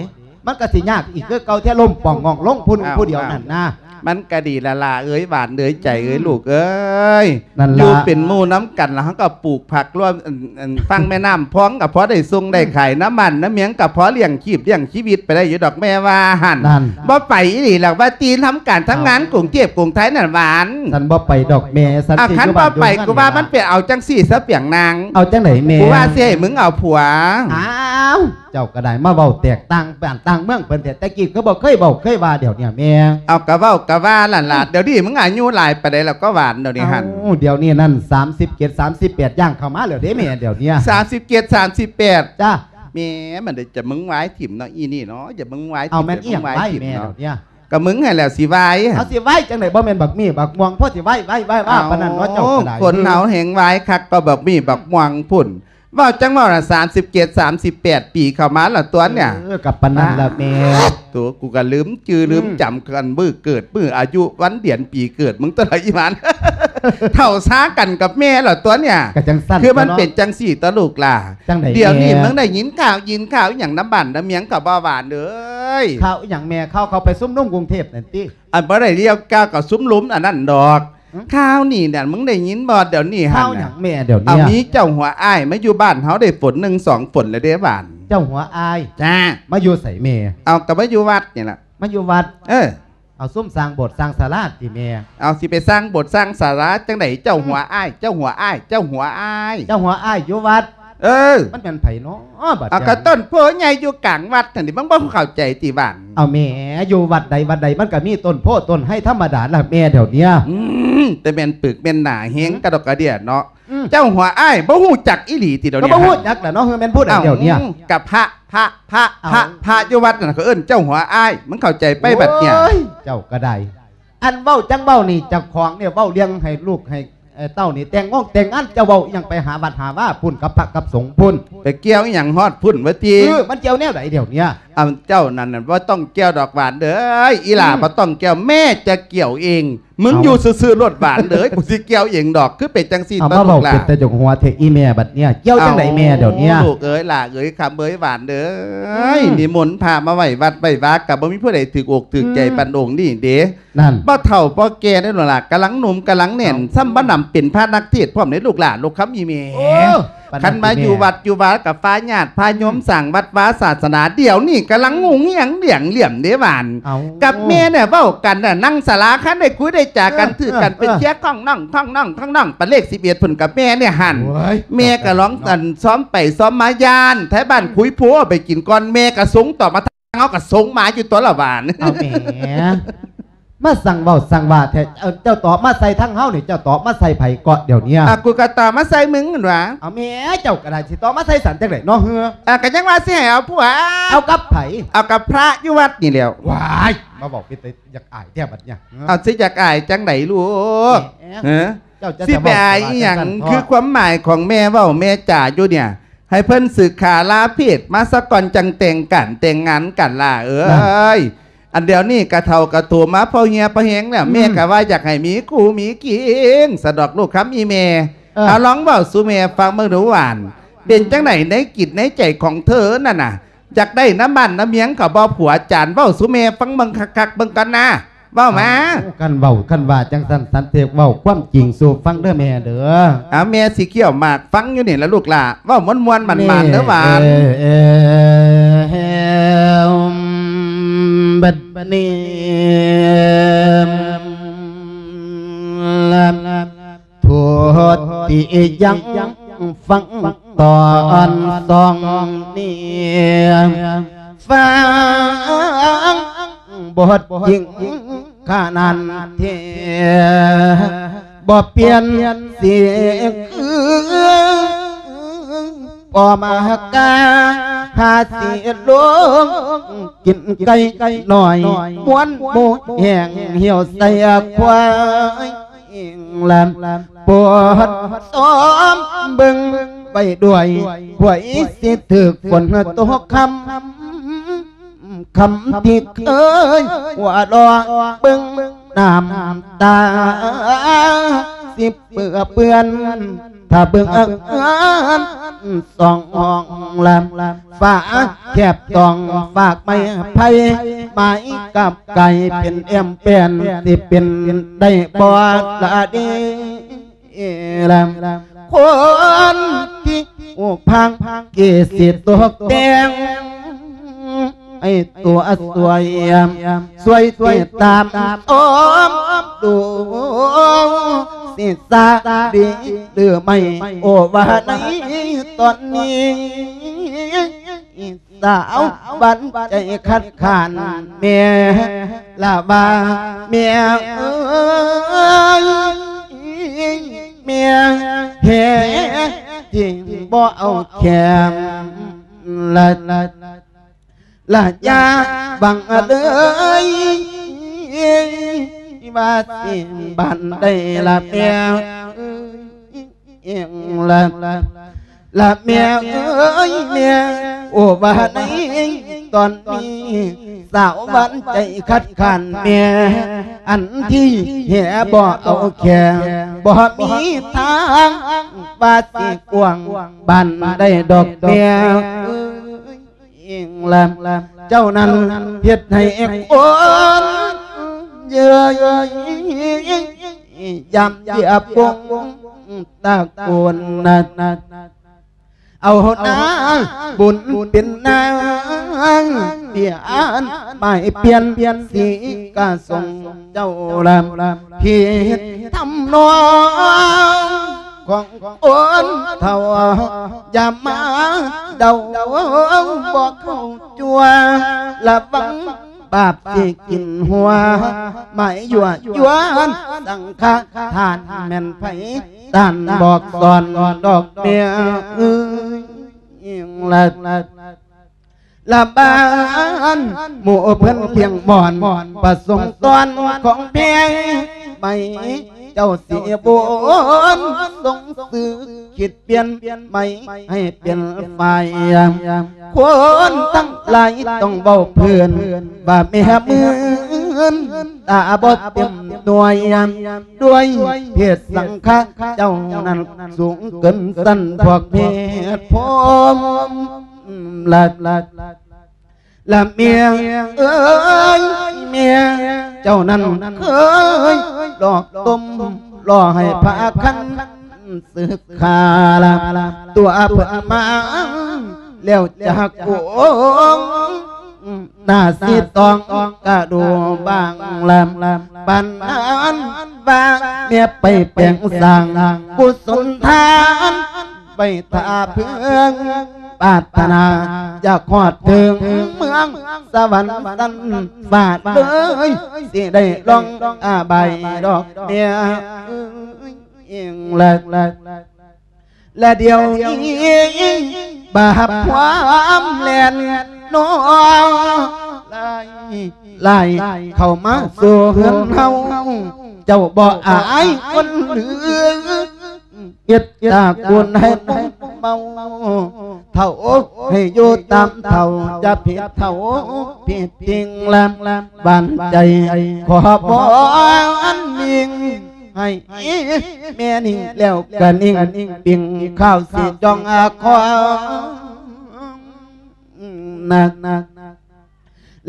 ມັນກະຊິຍາກອີກຄືເກົ່າແທ້ ລົ້ມປ່ອງງ່ອງລົງຜູ້ໜຶ່ງ ອ້າວ ຜູ້ດຽວນັ້ນນະ. ມັນກະດີລະຫຼ້າເອີຍ ຫວານເອີຍ ໃຈເອີຍ ອືມ ລູກເອີຍ. ນັ້ນລະ ຢູ່ເປັນໝູ່ນຳກັນລະ ເຮົາກໍປູກຜັກລວມ ອັນ ອັນ ຝັ່ງແມ່ນ້ຳພອງ ກໍພໍໄດ້ສົ່ງໄດ້ຂາຍ ອືມ ນຳບ້ານນຳເມືອງ ກໍພໍລ້ຽງຊີບລ້ຽງຊີວິດໄປໄດ້ຢູ່ດອກ ແມ່ວ່າຫັ້ນ. ນັ້ນ ບໍ່ໄປອີ່ຫຼີລະ ວ່າຕິທຳການທຳງານ ເອົ້າ ກຸງເທບກຸງໄທນັ້ນຫວານ. ສັນບໍ່ໄປດອກແມ່ ສັນ ອ່າ ຊິ ຄັນບໍ່ໄປ ຢູ່ບ້ນຢູ່ເຮືອນ ກູວ່າມັນໄປເອົາຈັ່ງຊີ້ຊະປຽງນາງ. ເອົາຈັ່ງໃດແມ່? ກູວ່າຊິໃຫ້ມຶງເອົາຜົວ. ອ້າວ ເຈົ້າກໍໄດ້ມາເວົ້າແຕກຕ່າງບ້ານຕ່າງເມືອງເພິ່ນແທ້ ແຕ່ກີ້ຄືບໍ່ເຄີຍເວົ້າເຄີຍວ່າດຽວນີ້ແມ່. ເອົາ ກະເວົ້າກະວ່ານັ້ນລະ ອືມ ດຽວນີ້ມຶງອາຍຸຫຼາຍປານໃດແລ້ວກໍຫວານດຽວນີ້ຫັ້ນ? ເອົ້າ ດຽວນີ້ນັ້ນ ສາມສິບເຈັດ ສາມສິບແປດ ຍ່າງເຂົ້າມາແລ້ວເດ້ແມ່ ດຽວນີ້. ສາມສິບເຈັດ ສາມສິບແປດ ຈ້າ ແມ່ ມັນໄດ້ຈະມຶງວາຍຖິ້ມເນາະ ອີ່ນີ້ເນາະ ຈະມຶງວາຍຖິ້ມ ເອົາ ແມ່ນອີ່ຫຍັງ ຈະມຶງວາຍ ວາຍແມ່ ຖິ້ມເນາະ ດຽວນີ້? ກະມຶງຫັ້ນແຫຼະຊິວາຍ. ເອົາ ຊິວາຍຈັ່ງໃດ ບໍ່ແມ່ນບັກມີ້ບັກມ່ວງ ພໍຊິວາຍ ວາຍ ວາຍ ວາຍ ເອົ້າ ປານນັ້ນເນາະ ເຈົ້າກໍໄດ້. ຄົນເຮົາແຮ່ງວາຍຄັກກໍບັກມີ້ບັກມ່ວງພຸ້ນ. ເວົ້າຈັ່ງເວົ້ານະ ສາມສິບເກດ ສາມສິບແປດປີເຂົ້າມາແລ້ວຕົວະເນຍ. ເອີ ກໍປານນັ້ນລະແມ່. ໂຕ ກູກໍລືມຈື່ລືມຈຳ ອືມ ກັນມື້ເກີດ ມື້ອາຍຸ ວັນເດືອນປີເກີດມຶງຕົວະ ອີ່ຫວານ. ເຖົ້າຊາກັນກັບແມ່ແລ້ວຕົວະເນຍ. ກໍຈັ່ງຊັ້ນ ຄືມັນເປັນຈັ່ງຊີ້ຕົວະລູກຫຼ້າ. ຈັ່ງໃດແມ່? ດຽວນີ້ມຶງໄດ້ຍິນຂ່າວ ຍິນຂ່າວອີ່ຫຍັງນຳບ້ານນຳເມືອງກໍບໍ່ຫວານເອີຍ. ຂ່າວອີ່ຫຍັງແມ່? ຂ່າວເຂົາໄປຊຸມນຸມກຸງເທບນັ້ນຕິ? ອັນບໍ່ໄດ້ລຽວກ້າວກັບຊຸມລຸມອັນນັ້ນດອກ. ຫຶ? ຂ່າວນີ້ນະ ມຶງໄດ້ຍິນບໍ່ດຽວນີ້ຫັ້ນນະ? ຂ່າວຫຍັງແມ່ດຽວນີ້? ເອົາ ມີເຈົ້າຫົວອ້າຍມາຢູ່ບ້ານເຮົາໄດ້ຝົນໜຶ່ງສອງຝົນແລ້ວເດ້ຫວານ. ເຈົ້າຫົວອ້າຍ? ຈ້າ. ມາຢູ່ໃສແມ່? ເອົາ ກໍມາຢູ່ວັດນີ້ລະ. ມາຢູ່ວັດ? ເອີ. ເອົາ ຊຸມສ້າງໂບດສ້າງສາລາຕິແມ່? ເອົາ ຊິໄປສ້າງໂບດສ້າງສາລາຈັ່ງໃດ ເຈົ້າຫົວອ້າຍ ອືມ ເຈົ້າຫົວອ້າຍ ເຈົ້າຫົວອ້າຍ. ເຈົ້າຫົວອ້າຍຢູ່ວັດ? ເອີ ມັນແມ່ນໃຜເນາະບັດ ເອົາ ນີ້ ກະຕົ້ນໂພໃຫຍ່ຢູ່ກາງວັດຫັ້ນນີ້ ມຶງບໍ່ເຂົ້າໃຈຕິຫວານ? ເອົາແມ່ ຢູ່ວັດໃດວັດໃດມັນກະມີຕົ້ນໂພຕົ້ນໄຮທຳມະດາລະແມ່ ດຽວເນີ້ຍ ອືມ ແຕ່ແມ່ນປຶກແມ່ນໜາແຮງ ອືມ ກະດອກກະເດຍເນາະ ອືມ ເຈົ້າຫົວອ້າຍບໍ່ຮູ້ຈັກອີ່ຫຼີຕິດຽວນີ້? ກະບໍ່ຮູ້ຈັກລະເນາະ ເອີ ແມ່ນຜູ້ໃດດຽວເນີ້ຍ? ກະພະ ພະ ພະ ພະ ພະຢູ່ວັດນັ້ນ ເຂົາເອີ້ນເຈົ້າຫົວອ້າຍ ມຶງເຂົ້າໃຈໄປບັດເນີ້ຍ? ໂອ້ຍ ເຈົ້າກະໄດ້ ອັນເວົ້າຈັ່ງເວົ້ານີ້ ເຈົ້າຂອງນີ້ເວົ້າເລື່ອງໃຫ້ລູກໃຫ້ ເອີ ເຕົ້ານີ້ແຕ່ງງົງແຕ່ງງານ ເຈົ້າເວົ້າອີ່ຫຍັງໄປຫາວັດຫາວາພຸ້ນ ກັບພະກັບສົງພຸ້ນ ໄປກ່ຽວອີ່ຫຍັງຮອດພຸ້ນວະຕິ? ເອີ ມັນກ່ຽວແນວໃດດຽວເນີ້ຍ? ອັນເຈົ້ານັ້ນນະບໍ່ຕ້ອງກ່ຽວດອກຫວານເອີຍ ອີ່ຫຼ້າ ອືມ ບໍ່ຕ້ອງກ່ຽວ ແມ່ຈະກ່ຽວເອງ ມຶງ ເອົ້າ ຢູ່ຊື່ໆໂລດຫວານເອີຍ ກູຊິກ່ຽວເອງດອກ ຄືເປັນຈັ່ງຊີ້ ເອົາ ຕົວະ ມາເວົ້າ ລູກຫຼ້າ ເປັນຕາຢາກຫົວແທ້ອີ່ແມ່ບັດເນີ້ຍ ກ່ຽວຈັ່ງໃດແມ່ດຽວເນີ້ຍ? ໂອ້ ລູກເອີຍ ຫຼ້າເອີຍ ຄຳເອີຍ ຫວານເອີຍ ອືມ ນິມົນພະມາໄວ້ວັດໄວ້ວາ ກະບໍ່ມີຜູ້ໃດຖືກອົກຖືກໃຈ ອືມ ປານອົງນີ້ເດ້ ນັ້ນ ບໍ່ເຖົ້າບໍ່ແກ່ເດ້ລູກຫຼ້າ ກຳລັງໜຸ່ມກຳລັງແໜ້ນ ເອົ້າ ຊ້ຳບໍ່ໜຳເປັນພະນັກເທດພ້ອມເດ້ລູກຫຼ້າ ລູກຄຳອີ່ແມ່ ໂອ້ ຄັນມາຢູ່ວັດຢູ່ວາກະພາຍາດພາໂຍມ ອືມ ສ້າງວັດວາສາສະໜາ ດຽວນີ້ກຳລັງ ອືມ ງຸ່ງຫຍັງຫຼຽງຫຼຽມເດ້ຫວານ ເອົ້າ ກັບແມ່ນີ້ເວົ້າກັນນະ ນັ່ງສາລາ ຄັນໄດ້ຄຸຍໄດ້ຈາກັນ ເອີ ຖືກກັນ ເອີ ເປັນເຊຍ ເອີ ຂ້ອງນ້ອງ ຂ້ອງນ້ອງ ຂ້ອງນ້ອງ ປະເລກສິບເອັດພຸ້ນກັບແມ່ນີ້ຫັ້ນ ໂອ້ຍ ແມ່ກະລອງ ເຈົ້າ ອັນ ຊ້ອມໄປຊ້ອມມາຢ້ານ ໄທບ້ານ ອືມ ຄຸຍໂພເອົາໄປກິນກ່ອນ ແມ່ກະສົງຕໍ່ມາ ເຮົາກະສົງໝາຢູ່ຕົວະລະຫວານ ເອົາແໝ ມາສັ່ງເວົ້າສັ່ງວ່າແທ້ ເອີ ເຈົ້າຕອບມາໃສ່ທາງເຮົານີ້ ເຈົ້າຕອບມາໃສ່ໃຜເກາະດຽວເນີ້ຍ? ອ່ະ ກູກະຕອບມາໃສ່ມຶງຫັ້ນຫວາ? ເອົາແໝ ເຈົ້າກະໄດ້ ຊິຕອບມາໃສ່ສັນຈັ່ງໃດເນາະເຮືອ? ອ່ະ ກະຍັງວ່າຊິໃຫ້ເອົາຜົວ ເອົາກັບໃຜ? ເອົາກັບພະຢູ່ວັດນີ້ແຫຼ້ວ. ວ້າຍ ມາເວົ້າເປັນຕາຢາກອາຍແທ້ບັດເນີ້ຍ ເອົາ ຊິຢາກອາຍຈັ່ງໃດລູກ? ເອີ ເອີ ເຈົ້າຈະ ຊິໄປອາຍອີ່ຫຍັງ? ຄືຄວາມໝາຍຂອງແມ່ເວົ້າແມ່ຈາຢູ່ເນີ້ຍ ໃຫ້ເພິ່ນສຶກຂາລາເພດມາສາກ່ອນ ຈັ່ງແຕ່ງການແຕ່ງງານກັນຫຼ້າເອີຍ ນັ້ນ ອັນດຽວນີ້ກະເຖົ້າກະໂຕມາພໍເຫ່ຍພໍແຮງແລ້ວ ອືມ ແມ່ກະວ່າຢາກໃຫ້ມີຄູ່ມີຄີງ ສະດອກລູກຄຳອີ່ແມ່ ເອີ ເອົາລອງເວົ້າສູ່ແມ່ຟັງເບິ່ງດູຫວານ ເປັນຈັ່ງໃດໃນຈິດໃນໃຈຂອງເທີນັ້ນນະ ຢາກໄດ້ນຳບ້ານນຳເມືອງເຂົາບໍ່ຜົວ? ຈານເວົ້າສູ່ແມ່ຟັງເບິ່ງຄັກໆເບິ່ງກ່ອນນາ ເວົ້າມາ. ເອົ້າ ຄັນເວົ້າຄັນວ່າຈັ່ງຊັ້ນ ສັນເທກເວົ້າຄວາມຈິງສູ່ຟັງເດີແມ່ເດີ. ເອົາ ແມ່ຊິຄ້ຽວໝາກຟັງຢູ່ນີ້ລະລູກຫຼ້າ ເວົ້າມ່ວນໆໝານໆເດີຫວານ. ເອີ ເອີ ບັດນີ້ ທຸດຕິຍັງຟັງຕອນສອງນີ້ ຟັງບົດຈິງຂະນັ້ນເທ ບໍ່ປ່ຽນຊິຄື ພໍມາກາຫາຊິລົງ ກິນໄກ່ນ້ອຍ ມ່ວນໝູແຫ້ງ ຫ່ຽວໃສ່ຄວາຍ ອິງລະ ໂປດຊອມເບິ່ງໄວ້ດ້ວຍ ພວຍຊິຖືກຝົນຕົກຄ່ຳ ຄ່ຳທີ່ເຄີຍຫົວເລາະ ເບິ່ງນ້ຳຕາຊິເປື້ອເປື້ອນ ຖ້າເບິ່ງເຮືອນສອງຫ້ອງລະ ຝາແຄບຕ້ອງຝາກໄມ້ໄຜ່ໄມ້ກັບໄກ່ ເປັນແອມແປນ ຊິເປັນໄດ້ບໍ່ລະເດລະ ຄົນທີ່ອູກພັງເກສິຕົກແຕ່ງ ໃຫ້ຕົວຊ່ວຍ ຊ່ວຍຕິດຕາມຊອມດູ ຊິສາດີຫຼືໄມ່ ໂອ ວ່າໃນຕອນນີ້ ສາວຫວັນໃຈຄັດຄ້ານແມ່ລະວ່າ ແມ່ເອີຍ ແມ່ແທ້ຈິງບໍ່ເອົາແຂງລະ ລະຢ່າຫວັງເລີຍ ວ່າຊິບ້ານໄດ້ລະແມ່ເອີຍ ລະ ລະແມ່ເອີຍແມ່ ໂອ ວ່າໃນຕອນນີ້ ສາວຫວັນໃຈຄັດຄ້ານແມ່ ອັນທີ່ແທ້ບໍ່ເອົາແຂງ ບໍ່ມີທາງວ່າຊິກວ້າງບ້ານໄດ້ດອກແມ່ເອີຍ ເຈົ້ານັ້ນເຮັດໃຫ້ຄົນເຍີ້ຍຢາມຢຽບວົງຕະໂກນ ເອົານາບຸນເປັນນາງ ເປັນໝາຍປ່ຽນສີກະສົງເຈົ້າລະ ເຮັດທຳນອງ ຂອງຄົນເຖົ້າ ຢ່າມາເດົາບໍ່ເຂົ້າຈົວ ລະວັງບາບຊິກິນຫົວ ມາຍົວະຢວນສັງຄະທານ ແມ່ນໃຜທ່ານບອກສອນດອກແມ່ເອີຍ ລະ ລະບ້ານໝູ່ເພິ່ນພຽງມອນ ປະສົງຕອນຂອງແພງໄໝ ເຈົ້າຊິບຸນສົງສືຄິດປ່ຽນໄໝໃຫ້ເປັນຝ່າຍ ຄົນທັງຫຼາຍຕ້ອງເວົ້າເພິ່ນວ່າແມ່ມື່ນ ຕາບໍ່ເຕັມໜ່ວຍ ດ້ວຍເພດສັງຄະເຈົ້ານັ້ນສູງເກີນຊັ້ນພວກເພດພົມ ລະ ລະເມຍເອີຍ ເມຍເຈົ້ານັ້ນເຄີຍຫຼອກຕົ້ມ ຫຼໍ່ໃຫ້ພະຄັນສຶກຂາລະ ຕົວເພິ່ນມາແລ້ວຈາກອົງ ໜ້າສີຕອງກະດູບາງລະ ປານນັ້ນວ່າເມຍໄປແປງສ້າງກຸສົນທານ ໄປຖ້າເພິ່ງປາດຖະໜາ ຢາກຮອດເຖິງເມືອງສະຫວັນຊັ້ນຟ້າເລີຍ ຊິໄດ້ລອງອາບາຍດອກແມ່ເອີຍ ລະ ລະດຽວນີ້ບາບຄວາມແລ່ນນອ ຫຼາຍໆເຂົ້າມາສູ່ເຮືອນເຮົາ ເຈົ້າບໍ່ອາຍຄົນຫຼື ເຮັດຕາກວນໃຫ້ເມົາ ເຖົ້າໃຫ້ຢູ່ຕາມເຖົ້າ ຢ່າຜິດເຖົ້າຜິດຈິງລະ ບານໃຈຂໍບອນຍິງ ໃຫ້ແມ່ນິ່ງແລ້ວກະນິ່ງ ປິງຂ້າວຊິຈ້ອງອາຄອງ ນະ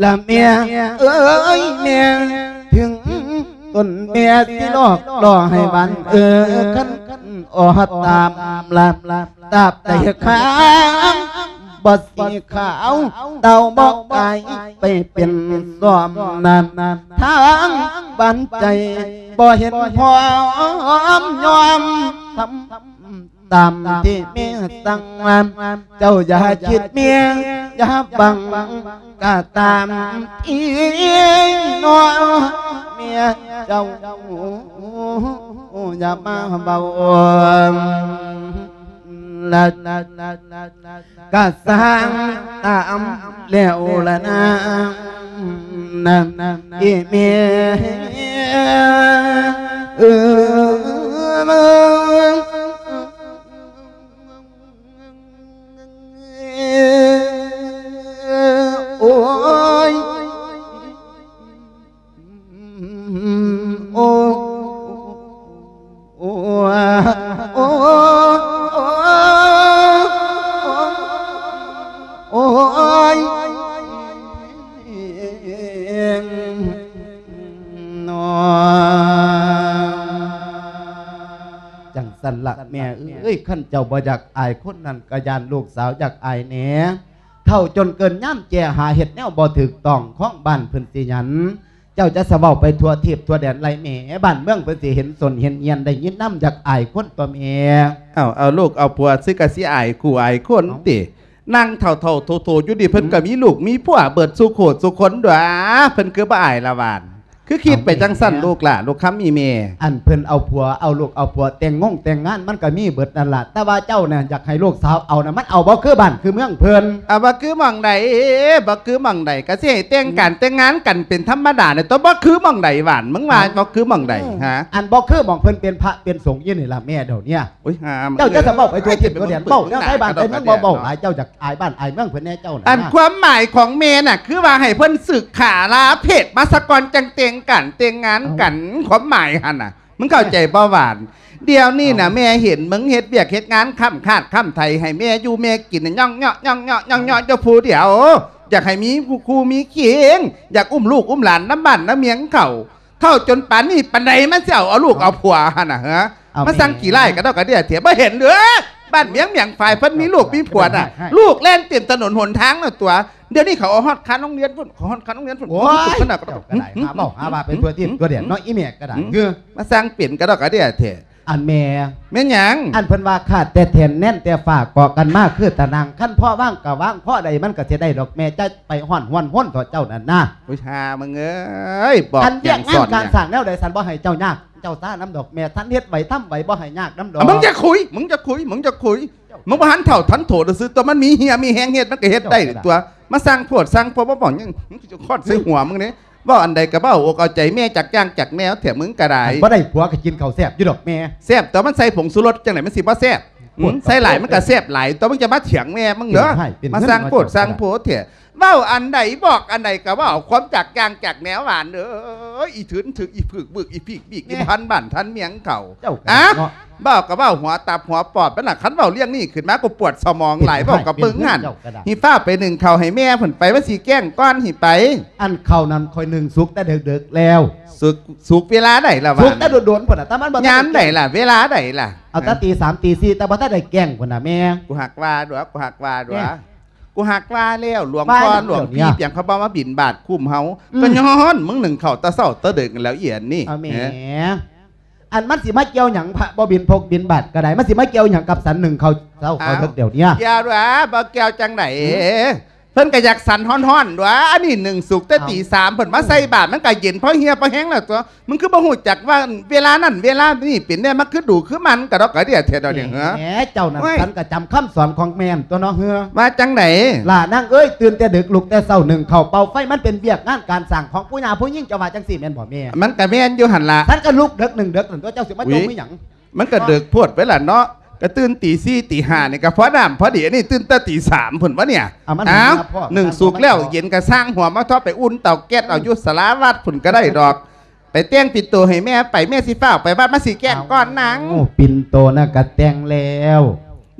ລະແມ່ເອີຍແມ່ ເຖິງຕົນແມ່ຊິຫຼອກຫຼໍ່ໃຫ້ຫວານເອີ ຄັນອອດຕາມລະ ຕາບໃດຄາງບໍ່ສີຂາວ ເຕົາບໍ່ກາຍໄປເປັນຊ້ອມນັ້ນ ທາງບ້ານໃຈບໍ່ເຫັນພ້ອມຍອມທຳ ຕາມທີ່ແມ່ສັ່ງ ເຈົ້າຢ່າຄິດເມຍ ຢ່າຫວັງກະຕາມທີ່ນ້ອງ ເມຍເຈົ້າຢ່າມາເວົ້າ ລະກະສ້າງຕາມແລ້ວລະນາ ນະ ອີເມຍເອີຍ ໂອ້ຍ ໂອ້ ໂອ້ ໂອ້ ໂອ້ຍ ເນາະ ຈັ່ງຊັ້ນລະແມ່ເອີຍ ຄັນເຈົ້າບໍ່ຢາກອາຍຄົນນັ້ນ ກະຢ້ານລູກສາວຢາກອາຍແດ່. ເຖົ້າຈົນເກີນຍາມແກ່ ຫາເຮັດແນວບໍ່ຖືກຕ້ອງ ຂອງບ້ານເພິ່ນຊິຫຍັນ ເຈົ້າຈະສະເວົ້າໄປທົ່ວທີບທົ່ວແດນໄລແມ່ ບ້ານເມືອງເພິ່ນຊິເຫັນສົນເຫັນຮຽນ ໄດ້ຍິນນຳ ຢາກອາຍຄົນຕົວະແມ່. ເອົາ ເອົາລູກເອົາຜົວ ຊິກະຊິອາຍຄູ່ອາຍຄົນຕິ. ເອົ້າ ນັ່ງເຖົ້າໆໂທໆຢູ່ນີ້ ເພິ່ນກະມີລູກມີຜົວເບິດສູ່ຄູ່ສູ່ຄົນດວະ ເພິ່ນຄືບໍ່ອາຍລະຫວານ ຄືຄິດໄປຈັ່ງຊັ້ນ ເອົາແມ່ ລູກຫຼ້າ ລູກຄຳມີແມ່. ອັນເພິ່ນເອົາຜົວເອົາລູກເອົາຜົວ ແຕ່ງງົງແຕ່ງງານ ມັນກະມີເບິດນັ້ນລະ ແຕ່ວ່າເຈົ້ານະ ຢາກໃຫ້ລູກສາວເອົານະ ມັນເອົາບໍ່ຄືບ້ານຄືເມືອງເພິ່ນ. ເອົາບໍ່ຄືໝ່ອງໃດ ບໍ່ຄືໝ່ອງໃດ ກະຊິໃຫ້ແຕ່ງການ ອືມ ແຕ່ງງານກັນເປັນທຳມະດານີ້ ຕົວະ ບໍ່ຄືໝ່ອງໃດຫວານ ມຶງວ່າ ເອົ້າ ບໍ່ຄືໝ່ອງໃດ ອືມ ຫາ ອັນບໍ່ຄືໝ່ອງເພິ່ນເປັນພະເປັນສົງຢູ່ນີ້ລະແມ່ ດຽວເນີ້ຍ. ໂອ້ຍ ຫາ ເຈົ້າຈະສະເວົ້າໄປທົ່ວທິດທົ່ວແດນ ເວົ້າແນວໄທບ້ານໄທເມືອງ ເວົ້າຫຼາຍ ເຈົ້າຢາກອາຍບ້ານອາຍເມືອງເພິ່ນແດ່ເຈົ້ານະ. ອັນຄວາມໝາຍຂອງແມ່ນະ ຄືວ່າໃຫ້ເພິ່ນສຶກຂາລາເພດມາສາກ່ອນ ຈັ່ງແຕ່ງການແຕ່ງງານກັນ ເອົ້າ ຄວາມໝາຍຫັ້ນນະ ມຶງເຂົ້າໃຈບໍ່ຫວານ? ດຽວນີ້ນະ ເອົ້າ ແມ່ເຫັນມຶງເຮັດວຽກເຮັດງານຄ້ຳຄາດຄ້ຳໄຖ ໃຫ້ແມ່ຢູ່ແມ່ກິນນະ ຍ່ອງເຍາະ ຍ່ອງເຍາະ ຍ່ອງເຍາະ ເຈົ້າຜູ້ດຽວ ຢາກໃຫ້ມີຄູ່ມີຄຽງ ຢາກອຸ້ມລູກອຸ້ມຫຼານນຳບ້ານນຳເມືອງເຂົາ. ເຖົ້າຈົນປານນີ້ປານໃດ ມັນຊິເອົາ ເອົາລູກເອົາຜົວຫັ້ນນະ ເອີ ມາສັ່ງຂີ້ຮ້າຍກະດອກກະເດຍແທ້ ບໍ່ເຫັນເດີ ບ້ານເມືອງໝຽງຝາຍເພິ່ນມີລູກມີຜົວນະ ລູກແລ່ນເຕັມຖະໜົນຫົນທາງນະຕົວະ ດຽວນີ້ເຂົາເອົາຮອດຄານໂຮງຮຽນພຸ້ນ ເຂົາຮອດຄານໂຮງຮຽນພຸ້ນ ໂອ້ຍ ເຈົ້າກະໄດ້ຫາເວົ້າຫາວ່າໄປທົ່ວທິດທົ່ວແດນເນາະ ອີແມ່ກະດາຍ ມາສ້າງເປັນກະດອກກະເດຍແທ້. ອັນແມ່ ແມ່ນຫຍັງ? ອັນເພິ່ນວ່າຂາດແຕ່ແທ່ນແໜ້ນແຕ່ຝາເກາະກັນມາຄືຕານັງ ຄັນພໍວາງກໍວາງ ພໍໄດ້ມັນກໍຊິໄດ້ດອກແມ່ ຢ່າໄປຮ້ອນຮວນຮົນເຖາະເຈົ້ານັ້ນນະ. ໂອ້ຍ ຫ່າມຶງເອີຍ ບອກ ອັນວຽກງານການສ້າງແນວໃດ ສັນບໍ່ໃຫ້ເຈົ້າຍາກເຈົ້າຊານຳດອກແມ່ ສັນເຮັດໄວທຳໄວ ບໍ່ໃຫ້ຍາກນຳດອກ. ມຶງຢ່າຄຸຍ ມຶງຢ່າຄຸຍ ມຶງຢ່າຄຸຍ ມຶງບໍ່ທັນເຖົ້າທັນໂຕຊື່ຕົວະ ມັນມີເຫຍມີແຮງເຮັດ ມັນກໍເຮັດໄດ້ຕົວະ. ມາສ້າງໂພດສ້າງໂພ ບໍ່ບອກຫຍັງ ມັນຊິຄອດໃສ່ຫົວມຶງເດ້. ເວົ້າອັນໃດກໍເວົ້າອົກເອົາໃຈແມ່ ຈັກຢ່າງຈັກແນວແທ້ມຶງກໍໄດ້. ອັນບໍ່ໄດ້ຜົວກໍກິນເຂົ້າແຊບຢູ່ດອກແມ່. ແຊບຕົວະ ມັນໃສ່ຜົງຊູລົດຈັ່ງໃດມັນຊິບໍ່ແຊບ? ໂອ້ຍ ໃສ່ຫຼາຍມັນກໍແຊບຫຼາຍຕົວະ ມຶງຈະມາຖຽງແມ່ມຶງເດີ. ມາສ້າງໂພດສ້າງໂພແທ້ ເວົ້າອັນໃດບອກອັນໃດກໍເວົ້າຄວາມຈັກຢ່າງຈັກແນວຫວານເອີຍ. ອີຖືນຖືກ ອີຜຶກບຶກ ອີຜີກບີກ ອີບໍ່ທັນບ້ານທັນເມືອງເຂົາ. ເວົ້າກໍເວົ້າຫົວຕັບຫົວປອດມັນລະ ຄັນເວົ້າເລື່ອງນີ້ຂຶ້ນມາ ກູປວດສະໝອງຫຼາຍ ເວົ້າກັບເບິ່ງຫັ້ນ. ຫິຟ້າວໄປໜຶ້ງເຂົ້າໃຫ້ແມ່ພຸ້ນໄປ ມັນຊິແກ້ງກ່ອນຫິໄປ. ອັນເຂົ້ານັ້ນຂ້ອຍໜຶ້ງສຸກແຕ່ເດິກໆແລ້ວ. ສຸກ ສຸກເວລາໃດລະຫວາ? ສຸກແຕ່ດົນໆພຸ້ນນະ ແຕ່ມັນບໍ່ທັນ. ຍາມໃດລະ ເວລາໃດລະ? ເອົາແຕ່ຕີສາມຕີສີ່ ແຕ່ບໍ່ທັນໄດ້ແກ້ງພຸ້ນນະແມ່. ກູຮັກວ່າດວະ ກູຮັກວ່າດວະ ກູຮັກວ່າແລ້ວ ຫຼວງພໍ່ຫຼວງພີ່ ປຽງເຂົາບໍ່ມາບິນບາດຄຸ້ມເຮົາ ກໍຍ້ອນມຶງໜຶ້ງເຂົ້າແຕ່ເຊົ້າແຕ່ເດິກຫັ້ນແລ້ວ ອີອັນນີ້. ອັນມັນຊິມາກ່ຽວຫຍັງ ພະບໍ່ບິນພົກບິນບາດກໍໄດ້ ມັນຊິມາກ່ຽວຫຍັງກັບສັນໜຶ້ງເຂົ້າເຊົ້າເຂົ້າເດິກດຽວນີ້? ກ່ຽວດວະ ບໍ່ກ່ຽວຈັ່ງໃດ? ເພິ່ນກໍຢາກສັນຮ້ອນໆດວະ ອັນນີ້ໜຶ້ງສຸກແຕ່ຕີສາມ ເພິ່ນມາໃສ່ບາດ ມັນກໍເຢັນພໍເຫຍພໍແຮງແລ້ວຕົວະ. ມຶງຄືບໍ່ຮູ້ຈັກວ່າເວລານັ້ນເວລານີ້ເປັນແນວ ມັນຄືດູຄືມັນກະດອກກະເດຍແທ້ດອກນີ້. ເອີ ເຈົ້ານັ້ນສັນກະຈຳຄຳສອນຂອງແມ່ຕົວະເນາະ. ວ່າຈັ່ງໃດ? ຫຼ້ານາງເອີຍ ຕື່ນແຕ່ເດິກລຸກແຕ່ເຊົ້າ ໜຶ້ງເຂົ້າເປົ່າໄຟ ມັນເປັນວຽກງານການສ້າງຂອງຜູ້ຍ່າຜູ້ຍິງ ເຈົ້າວ່າຈັ່ງຊີ້ແມ່ນບໍ່ແມ່? ມັນກະແມ່ນຢູ່ຫັ້ນລະ ສັນກະລຸກເດິກໜຶ້ງເດິກນັ້ນຕົວະ ເຈົ້າຊິມາຈົ່ມອີ່ຫຍັງ? ມັນກະເດິກໂພດໄປລະເນາະ ກະຕື່ນຕີສີ່ຕີຫ້ານີ້ກະພໍນ້ຳພໍດີ ອັນນີ້ຕື່ນແຕ່ຕີສາມພຸ້ນວະເນຍ. ອ້າວ ໜຶ້ງສຸກແລ້ວເຢັນກະຊ່າງຫົວ ມາທອດໄປອຸ່ນເຕົາແກັດເອົາຢູ່ສາລາວັດພຸ້ນກະໄດ້ດອກ. ໄປແຕ່ງປິ່ນໂຕໃຫ້ແມ່ໄປ ແມ່ຊິຟ້າວໄປວັດ ມາຊິແກ້ງກ່ອນນາງ. ໂອ້ ປິ່ນໂຕນະກະແຕ່ງແລ້ວ.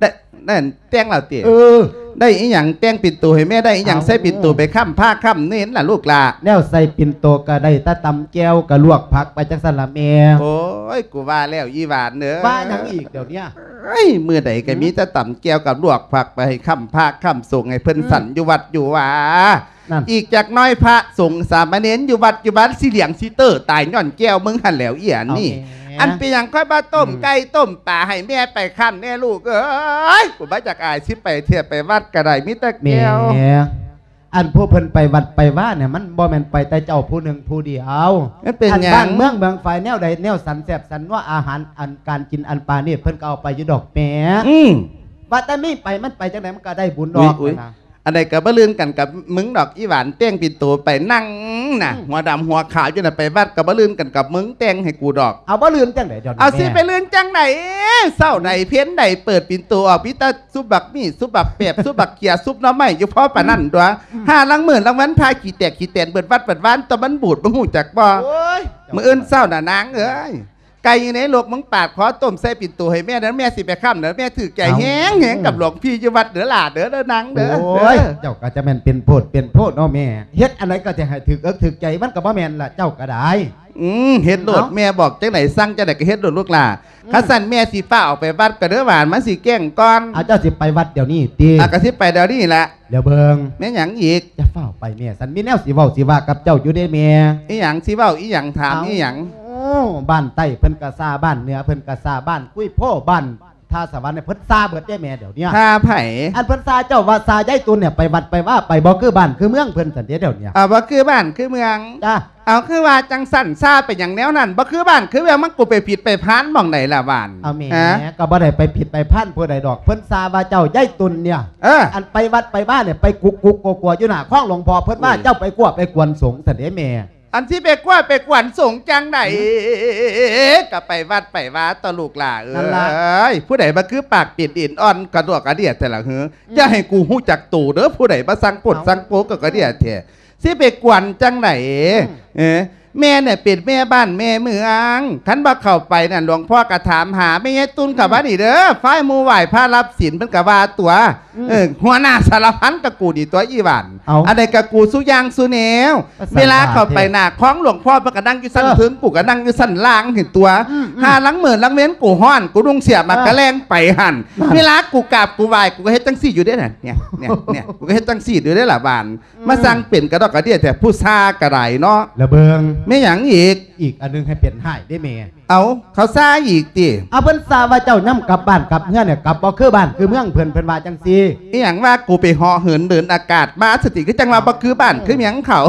ໄດ້ ນັ້ນແຕ່ງແລ້ວຕິ? ເອີ ໄດ້ອີ່ຫຍັງ ແຕ່ງປິ່ນໂຕໃຫ້ແມ່ໄດ້ອີ່ຫຍັງ? ໃສ່ປິ່ນໂຕໄປຄ້ຳພະຄ້ຳເນນລະລູກຫຼ້າ. ແນວໃສ່ປິ່ນໂຕກະໄດ້ແຕ່ຕຳແຈ່ວກະລວກຜັກໄປຈັ່ງຊັ້ນລະແມ່. ໂອ້ຍ ກູວ່າແລ້ວອີ່ຫວານເອີຍ ວ່າຫຍັງອີກດຽວເນຍ? ເອີຍ ມື້ໃດກະມີແຕ່ຕຳແຈ່ວກັບລວກຜັກໄປໃຫ້ຄ້ຳພະຄ້ຳສົງ ໃຫ້ເພິ່ນສັນຢູ່ວັດຢູ່ວາ. ອີກຈັກໜ້ອຍພະສົງສາມະເນນຢູ່ວັດຢູ່ວາຊິຫຼຽງຊິເຕີຕາຍຍ້ອນແກ້ວມຶງຫັ້ນແຫຼ້ວ ອີອັນນີ້. ອັນເປັນຫຍັງຂ້ອຍບໍ່ຕົ້ມໄກ່ຕົ້ມປາໃຫ້ແມ່ໄປຄ້ຳແດ່ລູກເອີຍ? ກູບໍ່ຢາກອາຍ ຊິໄປເທື່ອໄປວັດກະໄດ້ມີແຕ່ແກ້ວ. ອັນຜູ້ເພິ່ນໄປວັດໄປວານີ້ ມັນບໍ່ແມ່ນໄປແຕ່ເຈົ້າຜູ້ໜຶ່ງຜູ້ດຽວ. ມັນເປັນຫຍັງ? ອັນບ້ານເມືອງເມືອງຝາຍແນວໃດແນວສັນແຊບສັນນົວ ອາຫານອັນການກິນອັນປານີດ ເພິ່ນກໍເອົາໄປຢູ່ດອກແມ່. ວ່າແຕ່ມີໄປ ມັນໄປຈັ່ງໃດມັນກໍໄດ້ບຸນດອກນະ. ອັນໃດກໍບໍ່ລື່ນກັນກັບມຶງດອກ ອີ່ຫວານ ແຕ່ງປິ່ນໂຕໄປນັ່ງນະ ຫົວດຳຫົວຂາວຢູ່ນະ ໄປວັດກໍບໍ່ລື່ນກັນກັບມຶງ ແຕ່ງໃຫ້ກູດອກ. ເອົາ ບໍ່ລື່ນຈັ່ງໃດດຽວນີ້? ເອົາ ຊິໄປລື່ນຈັ່ງໃດ? ເຊົ້າໃດເພັນໃດເປີດປິ່ນໂຕອອກ ມີແຕ່ຊຸບບັກໝີ່ ຊຸບບັກແປບ ຊຸບບັກເຂືອ ຊຸບໜໍ່ໄມ້ຢູ່ພໍປານນັ້ນຕົວະ. ຫາລາງມື້ລາງວັນພາຂີ້ແຕກຂີ້ແຕນເບິດວັດເບິດວານ ຕົວະມັນບູດ ມຶງຮູ້ຈັກບໍ່? ມື້ອື່ນເຊົ້ານະນາງເອີຍ ໄກ່ຢູ່ໃນລົກ ມຶງປາດຄໍຕົ້ມໃສ່ປິ່ນໂຕໃຫ້ແມ່ເດີ ແມ່ຊິໄປຄ້ຳເດີ. ແມ່ຖືກໃຈແຮງໆກັບຫຼວງພີ່ຢູ່ວັດເດີຫຼ້າເດີ ນາງເດີ. ໂອ້ຍ ເຈົ້າກໍຈະແມ່ນເປັນໂພດເປັນໂພດເນາະແມ່ ເຮັດອັນໃດກໍຈະໃຫ້ຖືກເອິກຖືກໃຈ ມັນກໍບໍ່ແມ່ນລະເຈົ້າກໍໄດ້. ອືມ ເຮັດໂລດ ເອົ້າ ແມ່ບອກຈັ່ງໃດ ສັ່ງຈັ່ງໃດກໍເຮັດໂລດລູກຫຼ້າ. ອືມ ຄັນຊັ້ນແມ່ຊິຟ້າວອອກໄປວັດກໍເດີຫວານ ມັນຊິແກ້ງກ່ອນ. ອາ ເຈົ້າຊິໄປວັດດຽວນີ້ຕິ? ອາ ກໍຊິໄປດຽວນີ້ແຫຼະ. ດຽວເບິ່ງ ແມ່ນຫຍັງອີກ? ຢ່າຟ້າວໄປແມ່ ສັນມີແນວຊິເວົ້າຊິວ່າກັບເຈົ້າຢູ່ເດ້ແມ່. ອີຫຍັງ? ຊິເວົ້າອີຫຍັງ? ຖາມອີຫຍັງ? ເອົ້າ ບ້ານໃຕ້ເພິ່ນກະຊາ ບ້ານເໜືອເພິ່ນກະຊາ ບ້ານກຸຍໂພ ບ້ານທ່າສະຫວັນ ເພິ່ນຊາເບິດເດ້ແມ່ດຽວນີ້. ຊາໃຜ? ອັນເພິ່ນຊາເຈົ້າວ່າຊາຍາຍຕຸນນີ້ ໄປວັດໄປວາ ໄປບໍ່ຄືບ້ານຄືເມືອງເພິ່ນຊັ້ນເດ້ດຽວນີ້. ອາ ບໍ່ຄືບ້ານຄືເມືອງ. ຈ້າ. ເອົາ ຄືວ່າຈັ່ງຊັ້ນ ຊາເປັນຫຍັງແນວນັ້ນ ບໍ່ຄືບ້ານຄືເມືອງ ມັນກູໄປຜິດໄປພານໝ່ອງໃດລະຫວານ? ເອົາແມ່ ກໍບໍ່ໄດ້ໄປຜິດໄປພານຜູ້ໃດດອກ ເພິ່ນຊາວ່າເຈົ້າຍາຍຕຸນນີ້ ເອີ ອັນໄປວັດໄປວານີ້ ໄປກຸກກຸກກົວໆຢູ່ໜ້າຄອງຫຼວງພໍ່ ເພິ່ນວ່າເຈົ້າໄປກົວໄປກວນສົງຊັ້ນເດ້ແມ່. ອັນຊິໄປກົວໄປກວນສົງຈັ່ງໃດ ກໍໄປວັດໄປວາຕົວະລູກຫຼ້າເອີຍ. ຜູ້ໃດມາຄືປາກເປັນເອັນອ່ອນກະດວກກະເດຍແທ້ລະເຮີ? ຢ່າໃຫ້ກູຮູ້ຈັກໂຕເດີ ຜູ້ໃດມາສັ່ງໂພດສັ່ງໂພກໍກະເດຍແທ້. ຊິໄປກວນຈັ່ງໃດ? ເອີ ແມ່ນີ້ເປັນແມ່ບ້ານແມ່ເມືອງ ຄັນບໍ່ເຂົ້າໄປນັ້ນ ຫຼວງພໍ່ກໍຖາມຫາ ແມ່ຍາຍຕຸນເຂົ້າມານີ້ເດີ ຝ່າຍໝູ່ໄຫວ້ພະຮັບສິນ ເພິ່ນກໍວ່າຕົວະ. ເອີ ຫົວໜ້າສາລະພັນກໍກູນີ້ຕົວະ ອີຫວານ. ອັນໃດກໍກູສູ່ຢ່າງສູ່ແນວ. ເວລາເຂົ້າໄປໜ້າຄອງຫຼວງພໍ່ ເພິ່ນກໍນັ່ງຢູ່ຊັ້ນເທິງ ກູກໍນັ່ງຢູ່ຊັ້ນລ່າງຫັ້ນຕົວະ. ຫາລາງມື້ລາງເວັນກູຮ້ອນ ກູນຸ່ງເສື້ອໝາກກະແລງໄປຫັ້ນ. ເວລາກູກາບກູໄຫວ້ ກູກໍເຮັດຈັ່ງຊີ້ຢູ່ເດ້ ນີ້ ນີ້ ນີ້ ກູກໍເຮັດຈັ່ງຊີ້ຢູ່ເດ້ລະຫວານ. ມາສັ່ງເປັນກະດອກກະເດຍແທ້ ຜູ້ຊາກໍໄດ້ເນາະ. ລະເບິ່ງ ແມ່ນຫຍັງອີກ? ອີກອັນໜຶ່ງໃຫ້ເປັນຮ້າຍເດ້ແມ່. ເອົາ ເຂົາຊາອີກຕິ? ເອົາ ເພິ່ນຊາວ່າເຈົ້າຍາມກັບບ້ານກັບເຮືອນນີ້ ກັບບໍ່ຄືບ້ານຄືເມືອງເພິ່ນ ເພິ່ນວ່າຈັ່ງຊີ້. ອີຫຍັງວ່າກູໄປເຫາະເຫີນເດີນອາກາດມາຊັ້ນຕິ ຄືຈັ່ງວ່າບໍ່ຄືບ້ານຄືເມືອງເຂົາ.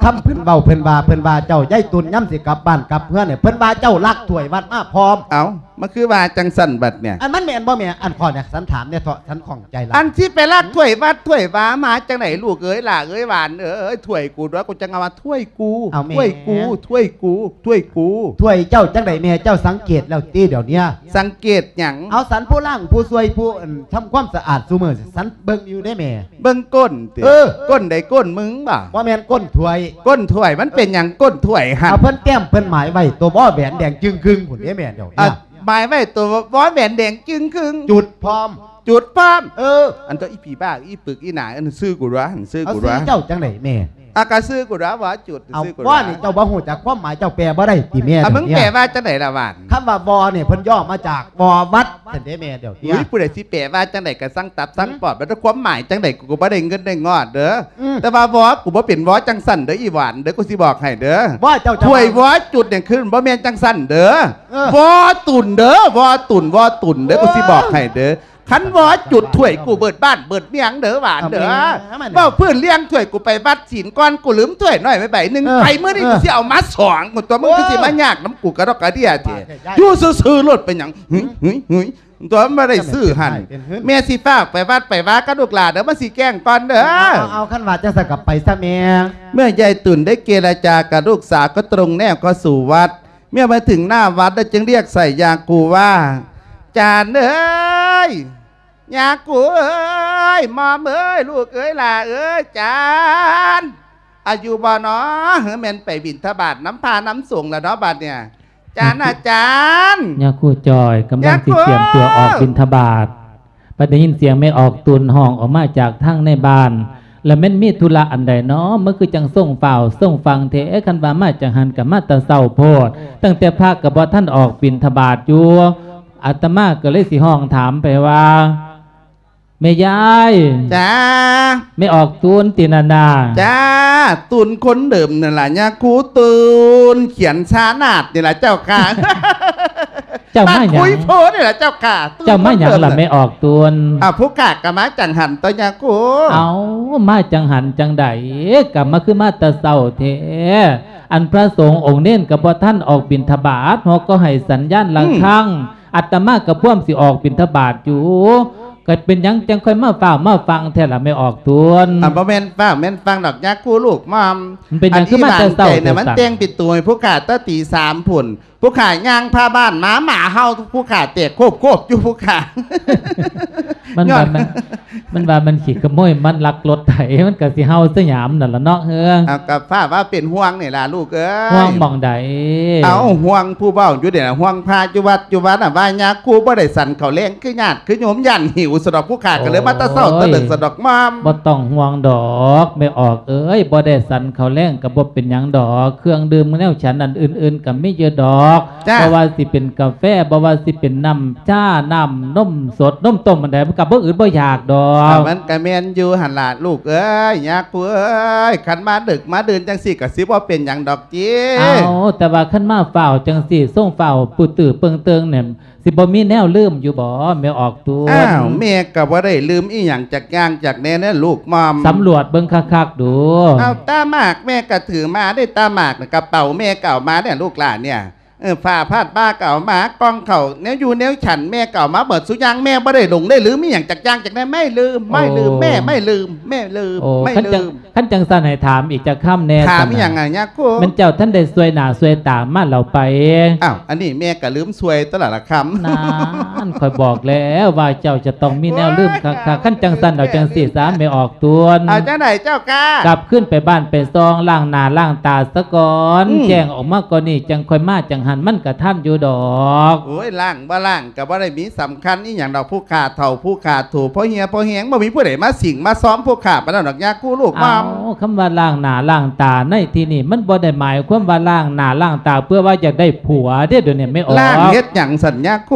ຄຳເພິ່ນເວົ້າ ເພິ່ນວ່າ ເພິ່ນວ່າເຈົ້າຍາຍຕຸນຍາມຊິກັບບ້ານກັບເຮືອນນີ້ ເພິ່ນວ່າເຈົ້າລັກຖ້ວຍວັດມາພ້ອມ. ເອົາ ມັນຄືວ່າຈັ່ງຊັ້ນບັດເນ່ຍ? ອັນມັນແມ່ນບໍ່ແມ່? ອັນຂ້ອຍນີ້ສັນຖາມແດ່ເທາະ ສັນຂ້ອງໃຈຫຼາຍ. ອັນຊິໄປລັກຖ້ວຍວັດຖ້ວຍວາມາຈັ່ງໃດລູກເອີຍ ຫຼ້າເອີຍ ຫວານເອີຍ? ຖ້ວຍກູຕົວະ ກູຈັ່ງວ່າຖ້ວຍກູ. ເອົາແມ່ ຖ້ວຍກູ ຖ້ວຍກູ ຖ້ວຍກູ. ຖ້ວຍເຈົ້າຈັ່ງໃດແມ່? ເຈົ້າສັງເກດແລ້ວຕິດຽວນີ້? ສັງເກດຫຍັງ? ເອົາ ສັນຜູ້ລ້າງ ຜູ້ຊ່ວຍ ຜູ້ ອັນ ທຳຄວາມສະອາດຊຸມື້ ສັນເບິ່ງຢູ່ເດ້ແມ່. ເບິ່ງກົ້ນຕິ? ເອີ ກົ້ນໃດ? ກົ້ນມຶງບໍ? ບໍ່ແມ່ນ ກົ້ນຖ້ວຍ. ກົ້ນຖ້ວຍ ມັນເປັນຫຍັງກົ້ນຖ້ວຍຫັ້ນ? ເອົາ ເພິ່ນແຕ້ມ ເພິ່ນໝາຍໄວ້ໂຕວໍແຫວນແດງຈຶ່ງຄຶ່ງພຸ້ນເດ້ແມ່ ດຽວນີ້. ໝາຍໄວ້ໂຕວໍແຫວນແດງຈຶ່ງຄຶ່ງ ຈຸດພ້ອມ ຈຸດພ້ອມ. ເອີ ອັນໂຕ ອີຜີບ້າ ອີປຶກ ອີໜາ ອັນຊື່ກູຕົວະ ອັນຊື່ກູຕົວະ. ເອົາ ຊື່ເຈົ້າຈັ່ງໃດແມ່? ອາ ກະຊື່ກູຕົວະ ວໍຈຸດ. ເອົາ ຊື່ກູຕົວະ ວໍນີ້ເຈົ້າບໍ່ຮູ້ຈັກຄວາມໝາຍ ເຈົ້າແປບໍ່ໄດ້ຕິແມ່? ອາ ມຶງແປວ່າຈັ່ງໃດລະຫວານ? ຄຳວ່າວໍນີ້ເພິ່ນຫຍໍ້ມາຈາກ ວໍວັດ ຊັ້ນເດ້ແມ່ ດຽວນີ້. ອຸ້ຍ ຜູ້ໃດຊິແປວ່າຈັ່ງໃດກະຊ່າງຕັບຊ່າງປອບ ແລ້ວແຕ່ຄວາມໝາຍຈັ່ງໃດ ກູກໍບໍ່ໄດ້ເງິນໄດ້ງອດເດີ. ອືມ ແຕ່ວ່າວໍ ກູບໍ່ເປັນວໍຈັ່ງຊັ້ນເດີ ອີຫວານເດີ ກູຊິບອກໃຫ້ເດີ. ວໍເຈົ້າ ຖ້ວຍວໍຈຸດນີ້ຄືບໍ່ແມ່ນຈັ່ງຊັ້ນເດີ. ເອີ ວໍຕຸນເດີ ວໍຕຸນ ວໍຕຸນເດີ ກູຊິບອກໃຫ້ເດີ. ຄັນວໍຈຸດ ຖ້ວຍກູເບິດບ້ານເບິດເມືອງເດີຫວານເດີ. ເອົາແມ່ ເວົ້າພື້ນລຽງຖ້ວຍ ກູໄປວັດສິນກ່ອນ ກູລືມຖ້ວຍນ້ອຍໄວ້ໃບໜຶ່ງ. ເອີ ໄປມື້ນີ້ ເອີ ກູຊິເອົາມາສອງ. ຕົວະ ມຶງຄືຊິມາຍາກນຳກູກະດອກກະເດຍແທ້. ຢູ່ຊື່ໆໂລດ ເປັນຫຍັງ? ຫຶ ຫຶ ຫຶ ຕົວະ ມັນບໍ່ໄດ້ຊື້ຫັ້ນ. ແມ່ຊິຟ້າວໄປວັດໄປວາກັບລູກຫຼານເດີ ມັນຊິແຈ້ງກ່ອນເດີ. ເອົາ ເອົາ ເອົາ ຄັນວ່າຈັ່ງຊັ້ນກໍໄປຊະແມ່. ເມື່ອຍາຍຕຸນໄດ້ເຈລະຈາກັບລູກສາວກໍຕົງແນວເຂົ້າສູ່ວັດ. ເມື່ອມາເຖິງໜ້າວັດແລ້ວຈຶ່ງຮຽກໃສ່ຍາຄູວ່າ ຈານເອີຍ ຍາຄູເອີຍ ໝອມເອີຍ ລູກເອີຍ ຫຼ້າເອີຍ ຈານ ອາ ຢູ່ບໍ່ນໍ? ເຮີ ແມ່ນໄປບິນທະບາດນຳພະນຳສົງລະເນາະບາດເນີ້ຍ ຈານ ອາຈານ. ຍາຄູຈ່ອຍກຳລັງຊິຕຽມຕົວອອກບິນທະບາດ ບັດໄດ້ຍິນສຽງແມ່ອອກຕຸນຮ້ອງອອກມາຈາກທາງໃນບ້ານ ລະແມ່ນມີທຸລະອັນໃດນໍ? ມັນຄືຈັ່ງຊົງຟ້າວຊົງຟັ່ງແທ້? ຄັນວ່າມາຈັ່ງຫັ້ນກໍມາແຕ່ເຊົ້າໂພດ ຕັ້ງແຕ່ພະກໍບໍ່ທັນອອກບິນທະບາດຢູ່. ອາດຕະມາກໍເລີຍຊິຮ້ອງຖາມໄປວ່າ ແມ່ຍາຍ. ຈ້າ. ແມ່ອອກຕຸນຕິນັ້ນນາ? ຈ້າ ຕຸນຄົນເດີມນັ້ນລະ ຍາຄູຕຸນ ຂຽນຊານາດນີ້ລະເຈົ້າຄ່ະ. ເຈົ້າມາຫຍັງ? ຄຸຍໂພນີ້ລະເຈົ້າຄ່ະ. ເຈົ້າມາຫຍັງລະແມ່ອອກຕຸນ? ອ້າວ ຜູ້ຂ້າກໍມາຈັ່ງຫັ້ນຕົວະຍາຄູ. ເອົ້າ ມາຈັ່ງຫັ້ນຈັ່ງໃດ ກໍມາຄືມາແຕ່ເຊົ້າແທ້? ອັນພະສົງອົງເນນກໍບໍ່ທັນອອກບິນທະບາດ ເຮົາກໍໃຫ້ສັນຍານລະຄັງ ອາດຕະມາກໍພວມຊິອອກບິນທະບາດຢູ່ ກໍເປັນຫຍັງຈັ່ງຄ່ອຍມາຟ້າວມາຟັ່ງແທ້ລະແມ່ອອກຕຸນ? ອ່າ ບໍ່ແມ່ນຟ້າວແມ່ນຟັ່ງດອກຍາຄູລູກໝອມ. ມັນເປັນຫຍັງຄືມາແຕ່ເຊົ້າ? ອັນອີ່ຫວ່າງໃຈນະ ມັນແຕ່ງປິດຕູໃຫ້ຜູ້ຂ້າແຕ່ຕີສາມພຸ້ນ. ຜູ້ຂ້າຍ່າງຜ່ານບ້ານມາ ໝາເຫົ່າຜູ້ຂ້າແຕກໂຄບໆຢູ່ຜູ້ຂ້າ. ມັນວ່າມັນ ມັນວ່າມັນຂີ້ຂະໂມຍ ມັນລັກລົດໄຖ ມັນກໍຊິເຫົ່າສະຫຍາມນັ້ນລະເນາະ. ເອີ ເອົາ ກໍຟ້າວ່າເປັນຫ່ວງນີ້ລະລູກເອີຍ. ຫ່ວງໝ່ອງໃດ? ເອົາ ຫ່ວງຜູ້ເວົ້າຢູ່ນີ້ລະ ຫ່ວງພະຢູ່ວັດຢູ່ວານນະ ວ່າຍາຄູບໍ່ໄດ້ສັນເຂົ້າແລງຄືຍາດຄືໂຍມ ຢ້ານຫິວສະດອກ. ຜູ້ຂ້າກໍເລີຍມາແຕ່ເຊົ້າແຕ່ເດິກສະດອກໝອມ. ບໍ່ຕ້ອງຫ່ວງດອກແມ່ອອກເອີຍ ບໍ່ໄດ້ສັນເຂົ້າແລງກໍບໍ່ເປັນຫຍັງດອກ ເຄື່ອງດື່ມແນວສັນອັນອື່ນໆກໍມີຢູ່ດອກ. ບໍ່ວ່າຊິເປັນກາແຟ ບໍ່ວ່າຊິເປັນນ້ຳ ຊາ ນ້ຳນົມສົດ ນົມຕົ້ມອັນໃດ ມັນກໍບໍ່ອຶດບໍ່ຢາກດອກ. ມັນກໍແມ່ນຢູ່ຫັ້ນລະລູກເອີຍ ຍາຄູເອີຍ ຄັນມາດຶກມາດື່ນຈັ່ງຊີ້ກໍຊິບໍ່ເປັນຫຍັງດອກຕິ. ເອົາ ແຕ່ວ່າຄັນມາຟ້າວຈັ່ງຊີ້ ຊົງຟ້າວປຶ້ງຕື້ປຶ້ງເຕີງນີ້ ຊິບໍ່ມີແນວລືມຢູ່ບໍ່ແມ່ອອກຕຸນ? ອ້າວ ແມ່ກໍບໍ່ໄດ້ລືມອີ່ຫຍັງຈັກຢ່າງຈັກແນວເນາະລູກໝອມ. ສຳຫຼວດເບິ່ງຄັກໆດູ. ເອົາ ຕາໝາກແມ່ກໍຖືມາເດ້ ຕາໝາກນະ ກະເປົາແມ່ກໍເອົາມາເດ້ ລູກຫຼານເນຍ. ເອີ ຜ້າພາດບ່າກໍເອົາມາ ກ່ອງເຂົ້າ ແນວຢູ່ແນວສັນແມ່ກໍເອົາມາເບິດຊຸຢ່າງ ແມ່ບໍ່ໄດ້ຫຼົງໄດ້ລືມອີ່ຫຍັງຈັກຢ່າງຈັກແນວ ໄມ່ລືມ ໄມ່ລືມ ແມ່ໄມ່ລືມ ແມ່ລືມ ໄມ່ລືມ. ຄັນຈັ່ງຊັ້ນໃຫ້ຖາມອີກຈັກຄຳແດ່. ຖາມອີ່ຫຍັງອະຍາຄູ? ແມ່ນເຈົ້າທັນໄດ້ຊ່ວຍໜ້າຊ່ວຍຕາມາແລ້ວໄປ? ອ້າວ ອັນນີ້ແມ່ກໍລືມຊ່ວຍຕົວະລະລະຄຳ. ນັ້ນ ຂ້ອຍບອກແລ້ວວ່າເຈົ້າຈະຕ້ອງມີແນວລືມຄັກໆ. ໂອ້ຍ ຄັນຈັ່ງຊັ້ນເອົາຈັ່ງຊີ້ສາ ແມ່ອອກຕຸນ. ເອົາຈັ່ງໃດເຈົ້າກະ? ກັບຄືນໄປບ້ານໄປຊ່ອງ ລ້າງໜ້າລ້າງຕາສາກ່ອນ ອືມ ແຈ້ງອອກມາກ່ອນນີ້ຈັ່ງຄ່ອຍມາຈັ່ງ ຫັ້ນມັນກະທັນຢູ່ດອກ. ໂອ້ຍ ລ້າງບໍ່ລ້າງກະບໍ່ໄດ້ມີສຳຄັນອີ່ຫຍັງດອກ ຜູ້ຂ້າເຖົ້າຜູ້ຂ້າໂຖ ພໍເຫ່ຍພໍແຮງ ບໍ່ມີຜູ້ໃດມາສິງມາຊອມຜູ້ຂ້າປານນັ້ນດອກ ຍາຄູລູກໝ່ອມ. ເອົ້າ ຄຳວ່າລ້າງໜ້າລ້າງຕາໃນທີ່ນີ້ ມັນບໍ່ໄດ້ໝາຍຄວາມວ່າລ້າງໜ້າລ້າງຕາເພື່ອວ່າຢາກໄດ້ຜົວເດ້ ດຽວນີ້ແມ່ອອກ. ລ້າງເຮັດຫຍັງຊັ້ນຍາຄູ?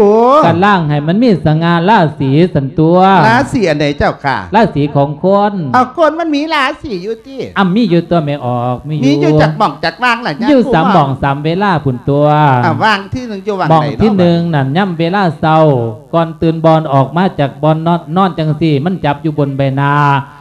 ກະລ້າງໃຫ້ມັນມີສະຫງ່າລາສີຊັ້ນຕົວະ. ລາສີອັນໃດເຈົ້າຂ້າ? ລາສີຂອງຄົນ. ເອົາ ຄົນມັນມີລາສີຢູ່ ຕິ ອຳ ມີຢູ່ຕົວະແມ່ອອກ ມີຢູ່. ມີຢູ່ຈັກໝ່ອງຈັກວ່າງລະຍາຄູ? ຢູ່ສາມໝ່ອງສາມເວລາພຸ້ນຕົວະ. ອ່າ ວ່າງທີໜຶ່ງຢູ່ວ່າງໃດເນາະ? ໝ່ອງທີໜຶ່ງນັ້ນ ຍາມເວລາເຊົ້າ ກ່ອນຕື່ນບ່ອນອອກມາຈາກບ່ອນນອນ ນອນຈັ່ງຊີ້ ມັນຈັບຢູ່ບົນໃບໜ້າ.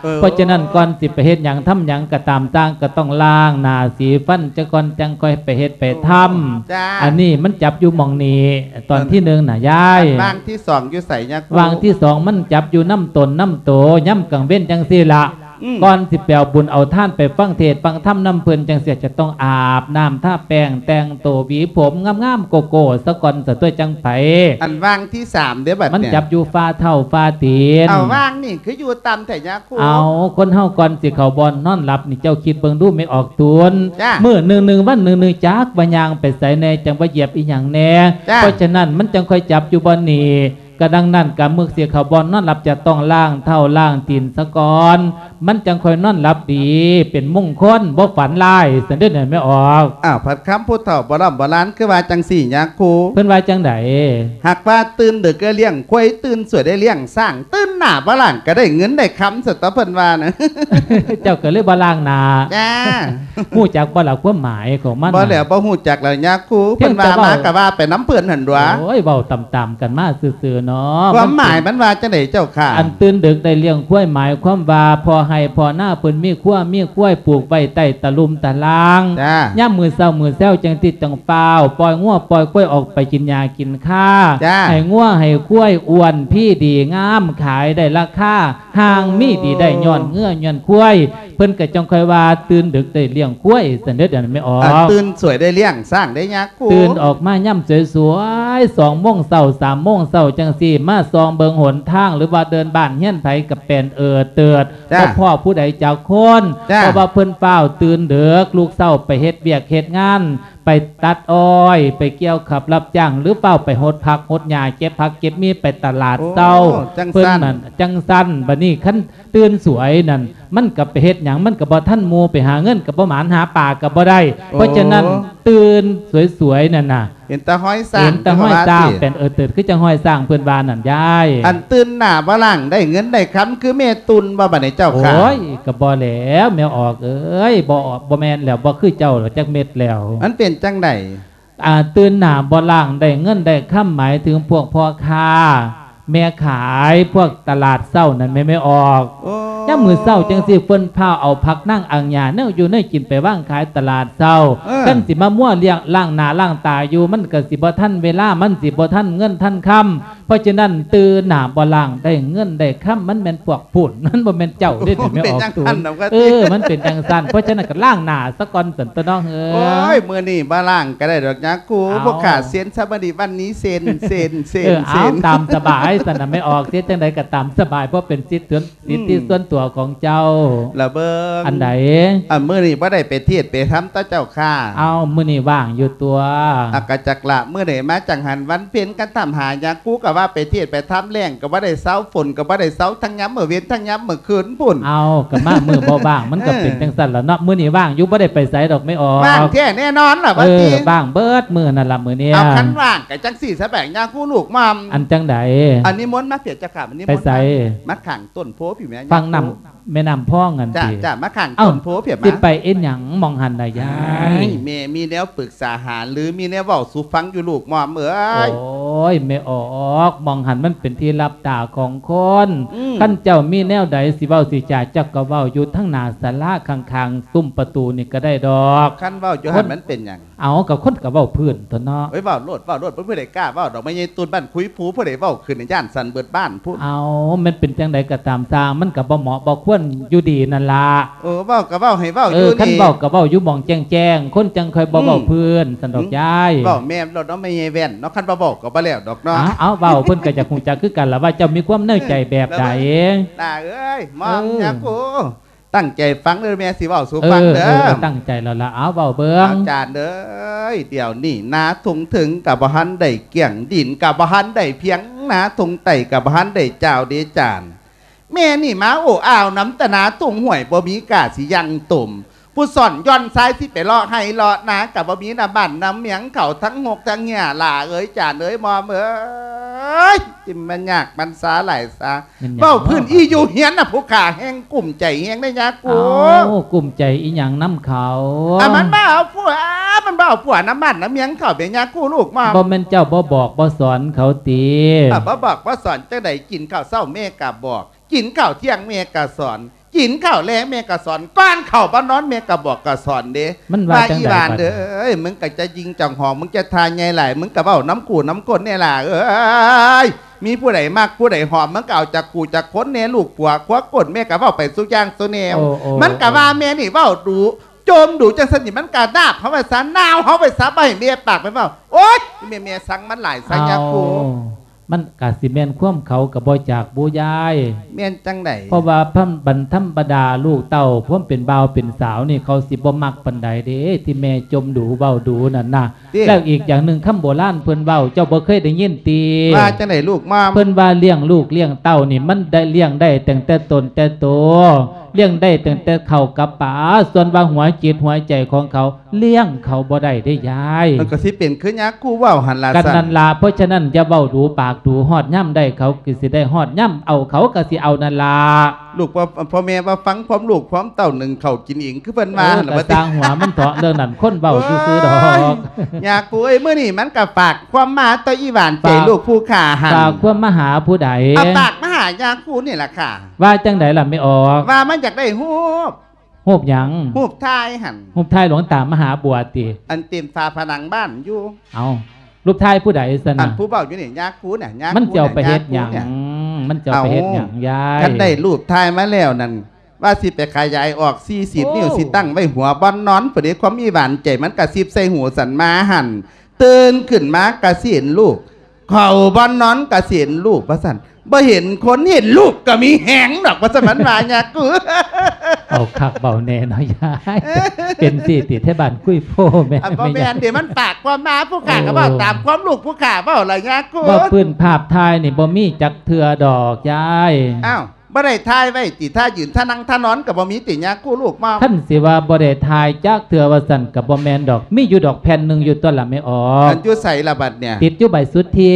ເອີ ເພາະສະນັ້ນ ກ່ອນຊິໄປເຮັດຫຍັງທຳຫຍັງກໍຕາມຕ່າງ ກໍຕ້ອງລ້າງໜ້າສີຟັນຊະກ່ອນ ຈັ່ງຄ່ອຍໄປເຮັດໄປທຳ. ເອີ ຈ້າ. ອັນນີ້ມັນຈັບຢູ່ໝ່ອງນີ້ ຕອນທີໜຶ່ງນະຍາຍ. ອັນວ່າງທີສອງຢູ່ໃສຍາຄູ? ວ່າງທີສອງມັນຈັບຢູ່ນຳຕົນນຳໂຕ ຍາມກາງເວັນຈັ່ງຊີ້ລະ. ອືມ ກ່ອນຊິໄປເອົາບຸນເອົາທານ ໄປຟັງເທດຟັງທຳນຳເພິ່ນຈັ່ງຊີ້ ຈະຕ້ອງອາບນ້ຳ ທາແປ້ງ ແຕ່ງໂຕ ຫວີຜົມງາມໆ ໂກໂກ້ສະກ່ອນ ສະຕົວະຈັ່ງໄປ. ອັນວ່າງທີສາມເດ້ບັດນີ້? ມັນຈັບຢູ່ຝ່າເທົ້າຝ່າຕີນ. ເອົາ ວ່າງນີ້ຄືຢູ່ຕ່ຳແທ້ຍາຄູ? ເອົາ ຄົນເຮົາກ່ອນຊິເຂົ້າບ່ອນນອນຫຼັບນີ້ ເຈົ້າຄິດເບິ່ງດູແມ່ອອກຕູນ. ຈ້າ. ມື້ໜຶ່ງໆ ວັນໜຶ່ງໆ ຈັກວ່າຍ່າງໄປໃສແດ່ ຈັກວ່າຢຽບອີ່ຫຍັງແດ່. ຈ້າ. ເພາະສະນັ້ນ ມັນຈັ່ງຄ່ອຍຈັບຢູ່ບ່ອນນີ້. ກະດັ່ງນັ້ນ ກະມື້ຊິເຂົ້າບ່ອນນອນຫຼັບ ຈະຕ້ອງລ້າງເທົ້າລ້າງຕີນສະກ່ອນ ມັນຈັ່ງຄ່ອຍນອນຫຼັບດີ ເປັນມຸງຄົນ ບໍ່ຝັນຮ້າຍ ຊັ້ນເດີແມ່ອອກ. ອ້າວ ພັດຄຳຜູ້ເຖົ້າໂບລານໂບລານ ຄືວ່າຈັ່ງຊີ້ຍາຄູ? ເພິ່ນວ່າຈັ່ງໃດ? ຫາກວ່າຕື່ນດຶກໄດ້ລ້ຽງຄວາຍ ຕື່ນສວຍໄດ້ລ້ຽງຊ້າງ ຕື່ນໜ້າບໍ່ລ້າງກະໄດ້ເງິນໄດ້ຄຳ ຊັ້ນຕົວະເພິ່ນວ່ານະ. ເຈົ້າກະເລີຍບໍ່ລ້າງໜ້າ. ຈ້າ. ຮູ້ຈັກບໍ່ລະຄວາມໝາຍຂອງມັນ? ບໍ່ແລ້ວ ບໍ່ຮູ້ຈັກແລ້ວຍາຄູ. ເພິ່ນວ່າມາກະວ່າໄປນຳເພິ່ນຫັ້ນຕົວະ. ໂອ້ຍ ເວົ້າຕາມໆກັນມາຊື່ໆເນາະ. ຄວາມໝາຍມັນວ່າຈັ່ງໃດເຈົ້າຂ້າ? ອັນຕື່ນດຶກໄດ້ລ້ຽງຄວາຍ ໝາຍຄວາມວ່າພໍ່ໄຮ່ພໍ່ນາເພິ່ນມີຄົວມີຄວາຍ ປູກໄວ້ໃຕ້ຕະລຸ່ມຕະລ່າງ. ຈ້າ. ຍາມມື້ເຊົ້າມື້ແຊວຈັ່ງຕິດຈັ່ງຟ້າວ ປ່ອຍງົວປ່ອຍຄວາຍອອກໄປກິນຫຍ້າກິນຄາ. ຈ້າ. ໃຫ້ງົວໃຫ້ຄວາຍອ້ວນພີດີງາມ ຂາຍໄດ້ລາຄາ ຮ່າງມີດີໄດ້ຍ້ອນເງືອຍ້ອນຄວາຍ ເພິ່ນກະຈັ່ງຄ່ອຍວ່າຕື່ນດຶກໄດ້ລ້ຽງຄວາຍ ຊັ້ນເດີແມ່ອອກ. ຕື່ນສວຍໄດ້ລ້ຽງຊ້າງໄດ້ຍາຄູ? ຕື່ນອອກມາຍາມສວຍໆ ສອງໂມງເຊົ້າ ສາມໂມງເຊົ້າຈັ່ງຊີ້ ມາສ່ອງເບິ່ງຫົນທາງ ຫຼືວ່າເດີ່ນບ້ານເຮືອນໃຜກະແປນເອີດເຕີດ. ບໍ່ພໍ້ຜູ້ໃດຈັກຄົນ. ເພາະວ່າເພິ່ນຟ້າວຕື່ນເດິກ ລຸກເຊົ້າໄປເຮັດວຽກເຮັດງານ ໄປຕັດອ້ອຍ ໄປກ່ຽວຂ້າວຮັບຈ້າງ ຫຼືຟ້າວໄປຫົດຜັກຫົດຫຍ້າ ເກັບຜັກເກັບມີ ໄປຕະຫຼາດເຊົ້າ. ໂອ້ ຈັ່ງຊັ້ນ. ເພິ່ນນັ້ນຈັ່ງຊັ້ນ. ບາດນີ້ຄັນຕື່ນສວຍນັ້ນ ມັນກະໄປເຮັດຫຍັງ ມັນກະບໍ່ທັນໝູ່ ໄປຫາເງິນກະບໍ່ໝານ ຫາປາກະບໍ່ໄດ້. ໂອ້ ເພາະສະນັ້ນ ຕື່ນສວຍໆນັ້ນນະ ເຫັນແຕ່ຮອຍຊ້າງ ເຫັນແຕ່ຮອຍຊ້າງ ເພິ່ນວ່າຕິ. ແປນເອີດເຕີດ ຄືຈັ່ງຮອຍຊ້າງ ເພິ່ນວ່ານັ້ນຍາຍ. ອັນຕື່ນໜ້າບໍ່ລ້າງໄດ້ເງິນໄດ້ຄຳ ຄືແມ່ຕຸ່ນບໍ່ບາດນີ້ເຈົ້າຂ້າ? ໂອ້ຍ ກະບໍ່ແລ້ວແມ່ອອກເອີຍ ບໍ່ ບໍ່ແມ່ນແລ້ວ ບໍ່ຄືເຈົ້າດອກຈັກເມັດແລ້ວ. ມັນເປັນຈັ່ງໃດ? ອ່າ ຕື່ນໜ້າບໍ່ລ້າງໄດ້ເງິນໄດ້ຄຳ ໝາຍເຖິງພວກພໍ່ຄ້າ ແມ່ຂາຍ ພວກຕະຫຼາດເຊົ້ານັ້ນແມ່ ແມ່ອອກ. ໂອ້ ຍາມມື້ເຊົ້າຈັ່ງຊີ້ ເພິ່ນພາເອົາຜັກນາງອາງຫຍ້າ ແນວຢູ່ແນວກິນໄປວາງຂາຍຕະຫຼາດເຊົ້າ. ເອີ ຄັນຊິມາມົວລ້ຽງ ລ້າງໜ້າລ້າງຕາຢູ່ ມັນກະຊິບໍ່ທັນເວລາ ມັນຊິບໍ່ທັນເງິນທັນຄຳ. ເພາະສະນັ້ນ ຕື່ນໜ້າບໍ່ລ້າງໄດ້ເງິນໄດ້ຄຳ ມັນແມ່ນພວກພຸ້ນ ມັນບໍ່ແມ່ນເຈົ້າເດ້ ແມ່ອອກຕູນ. ເອີ ມັນເປັນຈັ່ງຊັ້ນ. ເພາະສະນັ້ນກະລ້າງໜ້າສາກ່ອນຊັ້ນຕົວະເນາະ. ໂອ້ຍ ມື້ນີ້ບໍ່ລ້າງກະໄດ້ດອກຍາຄູ. ພວກຂ້າເຊັນຊະມື້ນີ້ ວັນນີ້ເຊັນ ເຊັນ ເຊັນ. ເອີ ເອົາ ຕາມສະບາຍຊັ້ນນະແມ່ອອກ. ເຮັດຈັ່ງໃດກະຕາມສະບາຍ ເພາະເປັນສິດສ່ວນ ສິດທິສ່ວນຕົວຂອງເຈົ້າ. ລະເບິ່ງ ອັນໃດ? ອາ ມື້ນີ້ບໍ່ໄດ້ໄປເທດໄປທຳຕະເຈົ້າຂ້າ? ເອົ້າ ມື້ນີ້ວ່າງຢູ່ຕົວະ. ອາ ກະຈັກລະ ມື້ໃດມາຈັ່ງຫັ້ນ ວັນເພັນກັນຖາມຫາຍາຄູ ກະວ່າໄປເທດໄປທຳ ແລ້ງກະບໍ່ໄດ້ເຊົາ ຝົນກະບໍ່ໄດ້ເຊົາ ທັງຍາມມື້ເວັນ ທັງຍາມມື້ຄືນພຸ້ນ. ເອົ້າ ກະມາມື້ບໍ່ວ່າງ ມັນກະເປັນຈັ່ງຊັ້ນລະເນາະ. ມື້ນີ້ວ່າງຢູ່ ບໍ່ໄດ້ໄປໃສດອກແມ່ອອກ. ວ່າງແທ້ແນ່ນອນລະ ເອີ ວ່າຕິ ວ່າງເບິດມື້ຫັ້ນລະມື້ນີ້. ເອົາ ຄັນວ່າງກະຈັ່ງຊີ້ສະແບງຍາຄູລູກໝ່ອມ. ອັນຈັ່ງໃດ? ອັນນິມົນມາເພຍເຈົ້າຂ້າ ນິມົນ ໄປໃສ? ມາຂ້າງ ຕົ້ນໂພພີ້ແມ່ ຝັ່ງນ້ຳ ແມ່ນ້ຳພອງຫັ້ນຕິ? ຈ້າ ມາຂ້າງຕົ້ນໂພພີ້ມາ. ຊິໄປເຮັດຫຍັງໝ່ອງຫັ້ນນະຍາຍ? ແມ່ມີແນວປຶກສາຫາລື ມີແນວເວົ້າສູ່ຟັງຢູ່ລູກໝ່ອມເອີຍ. ໂອ້ຍ ແມ່ອອກ ໝ່ອງຫັ້ນມັນເປັນທີ່ລັບຕາຂອງຄົນ. ອືມ ຄັນເຈົ້າມີແນວໃດຊິເວົ້າຊິຈາ ເຈົ້າກະເວົ້າຢູ່ທາງໜ້າສາລາ ຂ້າງໆ ຕຸ້ມປະຕູນີ້ກະໄດ້ດອກ. ຄັນເວົ້າຢູ່ຫັ້ນມັນເປັນຫຍັງ? ເອົາ ກະຄົນກະເວົ້າພື້ນຕົ໋ວະເນາະ. ໂອ້ຍ ເວົ້າໂລດ ເວົ້າໂລດ ບໍ່ມີໃຜກ້າເວົ້າດອກ. ແມ່ໃຫຍ່ຕູນບ້ານຄຸຍພູ ຜູ້ໃດເວົ້າຂຶ້ນຢ້ານສັ່ນເບິດບ້ານພຸ້ນ. ເອົາ ມັນເປັນຈັ່ງໃດກະຕາມຊ່າງ ມັນກະບໍ່ເໝາະບໍ່ຄວນຢູ່ດີນັ້ນລະ. ເອີ ເວົ້າກະເວົ້າໃຫ້ເວົ້າຢູ່ນີ້. ຄັນເວົ້າກະເວົ້າຢູ່ໝ່ອງແຈ້ງໆ ຄົນຈັ່ງຄ່ອຍບໍ່ເວົ້າພື້ນ ອືມ ຊັ້ນດອກຍາຍ. ເວົ້າແມ່ນໂລດເນາະ ແມ່ໃຫຍ່ແວ່ນເນາະ ຄັນບໍ່ເວົ້າກະບໍ່ແລ້ວດອກເນາະ. ເອົາ ເວົ້າເພິ່ນກະຢາກຮູ້ຈັກຄືກັນລະ ວ່າເຈົ້າມີຄວາມໃນໃຈແບບໃດ. ຫຼ້າເອີຍ ໝ່ອມ ເອີ ຍາຄູ ຕັ້ງໃຈຟັງເດີ ແມ່ຊິເວົ້າສູ່ຟັງເດີ. ເອີ ເອີ ຕັ້ງໃຈແລ້ວລະ ເອົາ ເວົ້າເບິ່ງ. ອາຈານເອີຍ ດຽວນີ້ນາທຸງເຖິງກໍບໍ່ທັນໄດ້ກ້ຽງ ດິນກໍບໍ່ທັນໄດ້ພຽງ ນາທຸງໃຕ້ກໍບໍ່ທັນໄດ້ຈາວເດຈານ. ແມ່ນີ້ມາໂອ້ອາວນຳແຕ່ນາທຸງຫ້ວຍ ບໍ່ມີກ້າຊິຍັງຕົມ. ຜູ້ສອນຢ່ອນຊາຍຊິໄປເລາະໄຮ່ເລາະນາກໍບໍ່ມີ ນຳບ້ານນຳເມືອງເຂົາ ທັງຮົກທັງເຫື່ອ ຫຼ້າເອີຍ ຈານເອີຍ ໝອມເອີຍ ຊິມາຍາກມັນຊາຫຼາຍຊາ. ແມ່ນຫຍັງ ເວົ້າພື້ນອີ່ຢູ່ເຮືອນນະ ຜູ້ຂ້າແຮ່ງກຸ້ມໃຈແຮງເດ້ຍາກູ. ເອົ້າ ກຸ້ມໃຈອີ່ຫຍັງນຳເຂົາ? ອ່າ ມັນມາເອົາຜົວ ມັນມາເອົາຜົວນຳບ້ານນຳເມືອງເຂົາເດ້ຍາກູລູກໝອມ. ບໍ່ແມ່ນເຈົ້າບໍ່ບອກບໍ່ສອນເຂົາຕິ? ອ່າ ບໍ່ບອກບໍ່ສອນຈັ່ງໃດ? ກິນເຂົ້າເຊົ້າແມ່ກໍບອກ ກິນເຂົ້າທ່ຽງແມ່ກໍສອນ ກິນເຂົ້າແລງແມ່ກໍສອນ ກ່ອນເຂົ້າບ່ອນນອນແມ່ກໍບອກກໍສອນເດ້. ມັນວ່າ ວ່າ ຈັ່ງໃດ ອີ່ຫວານເອີຍ ມຶງກໍຈະຍິງຈອງຫອມ ມຶງຈະທ່າໃຫຍ່ຫຼາຍ ມຶງກໍເວົ້ານຳກູນຳຄົນແດ່ຫຼ້າເອີຍ. ມີຜູ້ໃດມັກຜູ້ໃດຫອມ ມຶງກໍເອົາຈາກກູຈາກຄົນແດ່ ລູກຜົວຄົວກົ້ນ ແມ່ກໍເວົ້າໄປສູ່ຢ່າງສູ່ແນວ. ໂອ້ ໂອ້ ມັນກໍວ່າ ໂອ້ ແມ່ນີ້ເວົ້າດຸ ຈົ່ມດຸ ຈັ່ງຊັ້ນນີ້ ມັນກໍນາບເຮົາໄວ້ຊະ ນາວເຮົາໄວ້ຊະ ບໍ່ໃຫ້ແມ່ປາກໄປເວົ້າ. ໂອ້ຍ ແມ່ ແມ່ສັງມັນຫຼາຍຊະຍາກູ. ເອົ້າ ມັນກະຊິແມ່ນຄວາມເຂົາກະບໍ່ຈັກບູຍາຍ. ແມ່ນຈັ່ງໃດ? ເພາະວ່າທຳ ບັນ ທຳມະດາລູກເຕົ້າ ພວມເປັນບ່າວເປັນສາວນີ້ ເຂົາຊິບໍ່ມັກປານໃດເດ້ ທີ່ແມ່ຈົ່ມດູເວົ້າດູນັ້ນນະ. ແລ້ວອີກຢ່າງໜຶ່ງ ຄຳໂບລານເພິ່ນເວົ້າ ເຈົ້າບໍ່ເຄີຍໄດ້ຍິນຕິ? ວ່າຈັ່ງໃດລູກໝອມ? ເພິ່ນວ່າລ້ຽງລູກລ້ຽງເຕົ້ານີ້ ມັນໄດ້ລ້ຽງໄດ້ຕັ້ງແຕ່ຕົນແຕ່ໂຕ ລ້ຽງໄດ້ຕັ້ງແຕ່ເຂົ້າກັບປາ ສ່ວນວ່າຫົວຈິດຫົວໃຈຂອງເຂົາ ລ້ຽງເຂົາບໍ່ໄດ້ເດ້ຍາຍ. ມັນກໍຊິເປັນຄືຍາກູເວົ້າຫັ້ນລະ. ກັນນັ້ນລະ ເພາະສະນັ້ນຢ່າເວົ້າດູປາກດູ ຮອດຍາມໄດ້ເຂົາກໍຊິໄດ້ ຮອດຍາມເອົາເຂົາກໍຊິເອົານັ້ນລະ. ລູກ ພໍ່ ພໍ່ແມ່ວ່າຟັງຄວາມລູກຄວາມເຕົ້າ ໜຶ້ງເຂົ້າກິນເອງ ຄືເພິ່ນວ່າ ເອີ ຫັ້ນລະ ກໍຊ່າງຫົວມັນເຖາະ ເລື່ອງນັ້ນຄົນເວົ້າຊື່ໆດອກ. ຍາກູເອີຍ ມື້ນີ້ມັນກໍຝາກຄວາມມາຕໍ່ອີ່ຫວານໃຈ ຝາກ ລູກຜູ້ຂ້າຫັ້ນ. ຝາກຄວາມມາຫາຜູ້ໃດ? ເອົາ ຝາກມາຫາຍາກູນີ້ລະຄ່ະ. ວ່າຈັ່ງໃດລະແມ່ອອກ? ວ່າມັນຢາກໄດ້ຮູບ ຮູບຫຍັງ? ຮູບຖ່າຍຫັ້ນ. ຮູບຖ່າຍຫຼວງຕາມະຫາບົວຕິ? ອັນເຕັມຝາຜະໜັງບ້ານຢູ່. ເອົ້າ ຮູບຖ່າຍຜູ້ໃດຊັ້ນນະ? ອັນຜູ້ເວົ້າຢູ່ນີ້ ຍາຄູນະ ຍາຄູນະ. ມັນຊິເອົາໄປເຮັດຫຍັງ? ຍາຄູນະ. ມັນຊິເອົາໄປເຮັດຫຍັງ ໂອ້ ຍາຍ? ຄັນໄດ້ຮູບຖ່າຍມາແລ້ວນັ້ນ ວ່າຊິໄປຂະຫຍາຍອອກສີ່ສິບ ໂອ້ ນິ້ວ ຊິຕັ້ງໄວ້ຫົວບ່ອນນອນພຸ້ນເດ້. ຄວາມມີຫວານໃຈ ມັນກະຊິບໃສ່ຫູສັນມາຫັ້ນ. ຕື່ນຂຶ້ນມາກະຊິເຫັນລູກ ເຂົ້າບ່ອນນອນກະຊິເຫັນລູກ ວ່າຊັ້ນ. ບໍ່ເຫັນຄົນເຫັນລູກກໍມີແຮງດອກ ວ່າຊັ້ນ ມັນວ່າຍາກູ. ເອົາຄັກເວົ້າແນ່ເນາະຍາຍ. ເປັນຊີ້ຕິ ແຖວບ້ານກຸຍໂພແມ່ນ. ອ່ະ ບໍ່ແມ່ນເດ້ ມັນປາກຄວາມມາ ຜູ້ຂ້າກໍເວົ້າ ໂອ້ ຕາມຄວາມລູກຜູ້ຂ້າເວົ້າລະຍາກູ. ວ່າພື້ນພາບຖ່າຍນີ້ບໍ່ມີຈັກເທື່ອດອກຍາຍ. ອ້າວ ບໍ່ໄດ້ຖ່າຍໄວ້ຕິ ທ່າຢືນ ທ່ານັ່ງ ທ່ານອນກໍບໍ່ມີຕິຍາກູລູກມອມ? ຄັນຊິວ່າບໍ່ໄດ້ຖ່າຍຈັກເທື່ອວ່າຊັ້ນກໍບໍ່ແມ່ນດອກ ມີຢູ່ດອກແຜ່ນໜຶ່ງຢູ່ຕົວະລະແມ່ອອກ. ອັນຢູ່ໃສລະບັດເນີ້ຍ? ຕິດຢູ່ໃບສຸດທິ.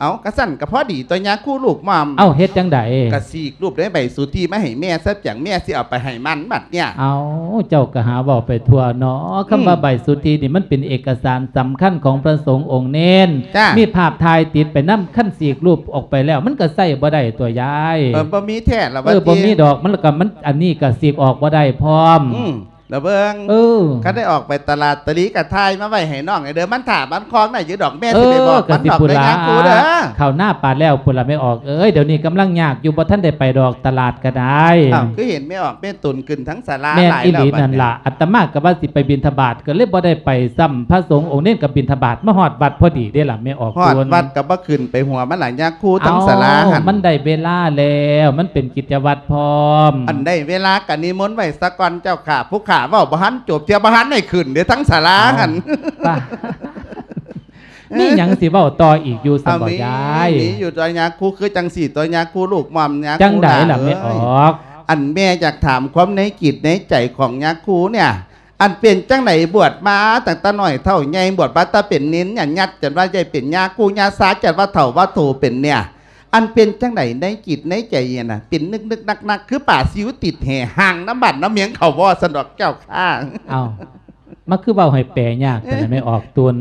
ເອົ້າ ກະຊັ້ນກະພໍດີຕົວະຍາຄູລູກມອມ. ເອົ້າ ເຮັດຈັ່ງໃດ? ກະສີກຮູບໃນໃບສຸດທິມາໃຫ້ແມ່ຊະ ຈັ່ງແມ່ຊິເອົາໄປໃຫ້ມັນບັດເນີ້ຍ. ເອົ້າ ເຈົ້າກະຫາເວົ້າໄປທົ່ວເນາະ. ອືມ ຄຳວ່າໃບສຸດທິນີ້ ມັນເປັນເອກະສານສຳຄັນຂອງພະສົງອົງເນນ. ຈ້າ ມີພາບຖ່າຍຕິດໄປນຳ ຄັນສີກຮູບອອກໄປແລ້ວ ມັນກໍໃຊ້ບໍ່ໄດ້ຕົວະຍາຍ. ເອີ ບໍ່ມີແທ້ລະວ່າຕິ. ເອີ ບໍ່ມີດອກ ມັນລະກະ ມັນ ອັນນີ້ກະສີກອອກບໍ່ໄດ້ພ້ອມ. ອືມ ລະເບິ່ງ ເອີ ຄັນໄດ້ອອກໄປຕະຫຼາດຕະຫຼີກະຖ່າຍມາໄວ້ໃຫ້ນ້ອງແດ່ເດີ ມັນຖ້າມັນຄອງໄດ້ຢູ່ດອກ ແມ່ຊິໄປບອກມັນດອກເດີຍາຄູເດີ. ເອີ ກໍຊິພຸ້ນລະ ເຂົ້ານາປານແລ້ວພຸ້ນລະແມ່ອອກເອີຍ. ດຽວນີ້ກຳລັງຍາກຢູ່ ບໍ່ທັນໄດ້ໄປດອກຕະຫຼາດກະໄດ້. ອ້າວ ຄືເຫັນແມ່ອອກແມ່ຕົນຂຶ້ນທັງສາລາຫຼາຍແລ້ວ. ແມ່ນອີ່ຫຼີນັ້ນລະ ອາດຕະມາກໍວ່າຊິໄປບິນທະບາດ ກໍເລີຍບໍ່ໄດ້ໄປຊ້ຳ. ພະສົງອົງເນນກໍບິນທະບາດມາຮອດວັດພໍດີເດ້ລະແມ່ອອກ. ຮອດວັດກໍບໍ່ຂຶ້ນໄປຫົວມັນລະຍາຄູ ທັງສາລາຫັ້ນ. ມັນໄດ້ເວລາແລ້ວ ມັນເປັນກິດຈະວັດພ້ອມ. ອັນໃດເວລາກະນິມົນໄວ້ສາກ່ອນເຈົ້າຂ້າ ຜູ້ຂ້າເວົ້າບໍ່ທັນຈົບເທື່ອ ບໍ່ທັນໄດ້ຂຶ້ນເດ້ທັງສາລາຫັ້ນ. ມີຫຍັງຊິເວົ້າຕໍ່ອີກຢູ່ຊັ້ນບໍ່ຍາຍ? ມີຢູ່ຕົວະຍາຄູ ຄືຈັ່ງຊີ້ຕົວະຍາຄູລູກມອມ ຍາຄູ. ຈັ່ງໃດລະແມ່ອອກ? ອັນແມ່ຢາກຖາມຄວາມໃນຈິດໃນໃຈຂອງຍາຄູເນຍ ອັນເປັນຈັ່ງໃດ ບວດມາຕັ້ງແຕ່ນ້ອຍເທົ່າໃຫຍ່ ບວດມາແຕ່ເປັນເນນ ຍາດຈັນວ່າໃຫຍ່ເປັນຍາຄູຍາຊາ ຈັນວ່າເຖົ້າວ່າໂຖເປັນເນຍ ອັນເປັນຈັ່ງໃດໃນຈິດໃນໃຈຫັ້ນນະ ເປັນນຶກໆໜັກໆ ຄືປາຊິວຕິດແຫຮ່າງນຳບ້ານນຳເມືອງເຂົາບໍ່ຊັ້ນດອກເຈົ້າຂ້າ. ເອົ້າ ມັນຄືເວົ້າໃຫ້ແປຍາກແທ້ນະແມ່ອອກຕຸນ.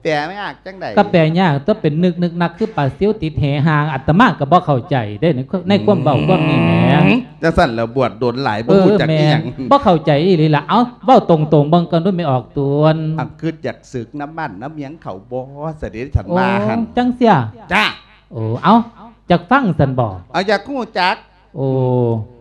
ແປຍາກຈັ່ງໃດ? ກໍແປຍາກຕົວະ ເປັນນຶກໆໜັກໆ ຄືປາຊິວຕິດແຫຮ່າງ. ອາດຕະມາກໍບໍ່ເຂົ້າໃຈເດ້ ໃນ ໃນຄວາມເວົ້າຄວາມນີ້ແໝ. ອືມ ຈັ່ງຊັ້ນແລ້ວ ບວດດົນຫຼາຍ ບໍ່ຮູ້ຈັກອີ່ຫຍັງ. ບໍ່ເຂົ້າໃຈອີ່ຫຼີລະ. ເອົ້າ ເວົ້າຕົງໆເບິ່ງກ່ອນດູແມ່ອອກຕຸນ. ອັນຄິດຢາກສຶກນຳບ້ານນຳເມືອງເຂົາບໍ່ ສະເດັດສັນມາຫັ້ນ. ໂອ້ ຈັ່ງເສຍ. ຈ້າ. ໂອ້ ເອົ້າ ຢາກຟັງຊັ້ນບໍ່? ເອົາ ຢາກຮູ້ຈັກ. ໂອ້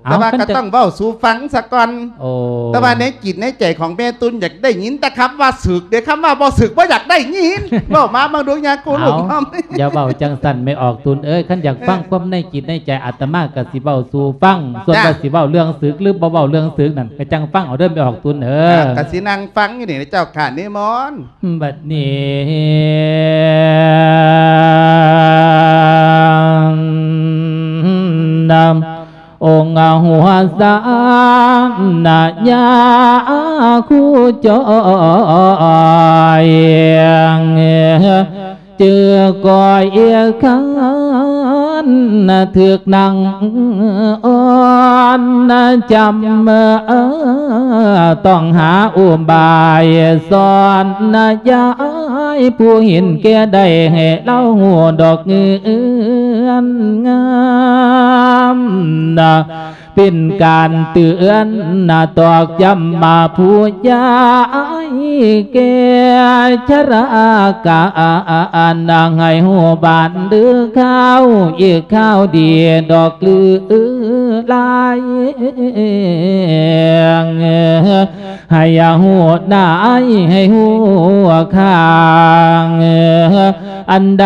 ເອົາ ແຕ່ວ່າກໍຕ້ອງເວົ້າສູ່ຟັງສາກ່ອນ. ໂອ້ ແຕ່ວ່າໃນຈິດໃນໃຈຂອງແມ່ຕຸນຢາກໄດ້ຍິນແຕ່ຄຳວ່າສຶກເດ້ ຄຳວ່າບໍ່ສຶກບໍ່ຢາກໄດ້ຍິນ. ເວົ້າມາເບິ່ງດູ ຍາກູລູກນ້ອງ. ຢ່າເວົ້າຈັ່ງຊັ້ນແມ່ອອກຕຸນເອີຍ, ຄັນຢາກຟັງຄວາມໃນຈິດໃນໃຈອາດຕະມາກໍຊິເວົ້າສູ່ຟັງ, ສ່ວນວ່າຊິເວົ້າເລື່ອງສຶກ ຫຼື ບໍ່ເວົ້າເລື່ອງສຶກນັ້ນ ກໍຈັ່ງຟັງເອົາເດີແມ່ອອກຕຸນເອີຍ. ກໍຊິນັ່ງຟັງຢູ່ນີ້ເຈົ້າຂ້ານິມົນ. ບັດນີ້ນຳອົງຫົວສານຍາຄູຈອຍ ຈື່ກ້ອຍຄັນຖືກນັ່ງອ່ອນຈຳ ຕ້ອງຫາອຸບາຍສອນຍາຍ ຜູ້ເຫັນແກ່ໄດ້ໃຫ້ລາວຮູ້ດອກເງື່ອນງາມ ເປັນການເຕືອນຕອກຢ້ຳມາຜູ້ຍາຍແກ່ຊະລາການ ໃຫ້ຮູ້ບ້ານຫຼືຂ່າວ ອີກຂ່າວດີດອກລືຫຼາຍ ໃຫ້ຮູ້ນາຍ ໃຫ້ຮູ້ຂ້າງ ອັນໃດ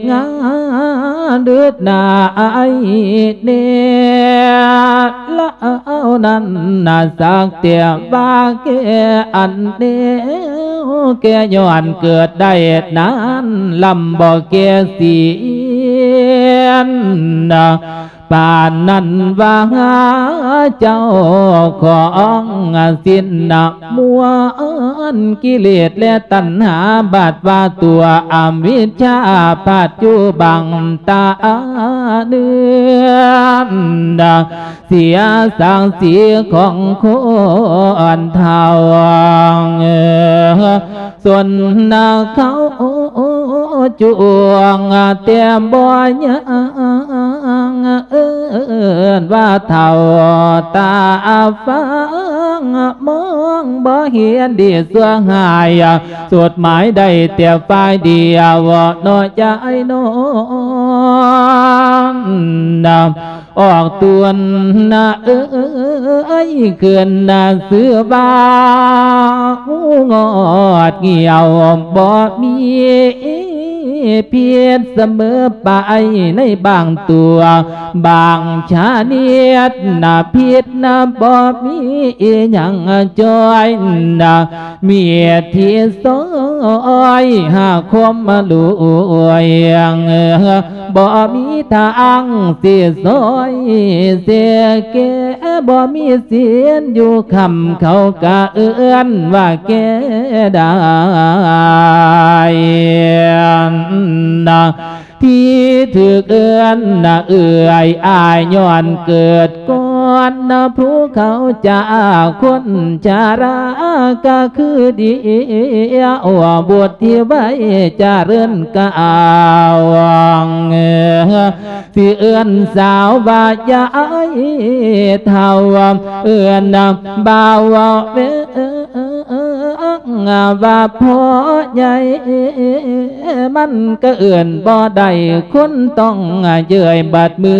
ງານເດີດນາຍແນ່ ລາວນັ້ນນະສັກແຕ່ວ່າແກ່ອັນແນວແກ່ ຍ້ອນເກີດໄດ້ນານ ລຳບໍ່ແກ່ສິນນະ ປານນັ້ນວ່າເຈົ້າຂອງສິນນະ ມວນກິເລດ ແລະ ຕັນຫາ ບາດວ່າຕົວອະວິດຊາ ພາດຢູ່ບັງຕາເໜືອ ເສຍສັກສີຂອງຄົນເຖົ້າ ຊົນເຂົາຈວງແຕ່ບໍ່ຍັງ ເອີ້ນວ່າເຖົ້າຕາຟາງ ມອງບໍ່ເຫັນດີຊົ່ວຮ້າຍ ສຸດໝາຍໄດ້ແຕ່ຝ່າຍດຽວເນາະ ຍາຍນ້ອງ ອອກຕົນນະເອີຍ ຂຶ້ນນະຊື່ວ່າງອດງຽວ ບໍ່ມີຜິດສະເໝີໄປໃນບາງຕົວ ບາງຊະນິດນະ ຜິດນະບໍ່ມີອີ່ຫຍັງຈ່ອຍນະ ມີທີ່ຊ່ອຍຫາຄວາມລວຍ ບໍ່ມີທາງຊິຊ່ອຍເສຍແກ່ ບໍ່ມີສິນຢູ່ຄ້ຳ ເຂົາກະເອີ້ນວ່າແກ່ໄດ້ນະ ທີ່ຖືກເອີ້ນນະເອື້ອຍອ້າຍ ຍ້ອນເກີດກ່ອນນະ ຜູ້ເຂົາຈາຄົນຊະລາ ກະຄືດຽວບຸດທີ່ໄວ້ຈະເລີນກາວ ຊິເອີ້ນສາວວ່າຍາຍເຖົ້າ ເອີ້ນບ່າວວ່າເວ ວ່າພໍ່ໃຫຍ່ ມັນກໍເອີ້ນບໍ່ໄດ້ ຄົນຕ້ອງເຍີ້ຍບາດມື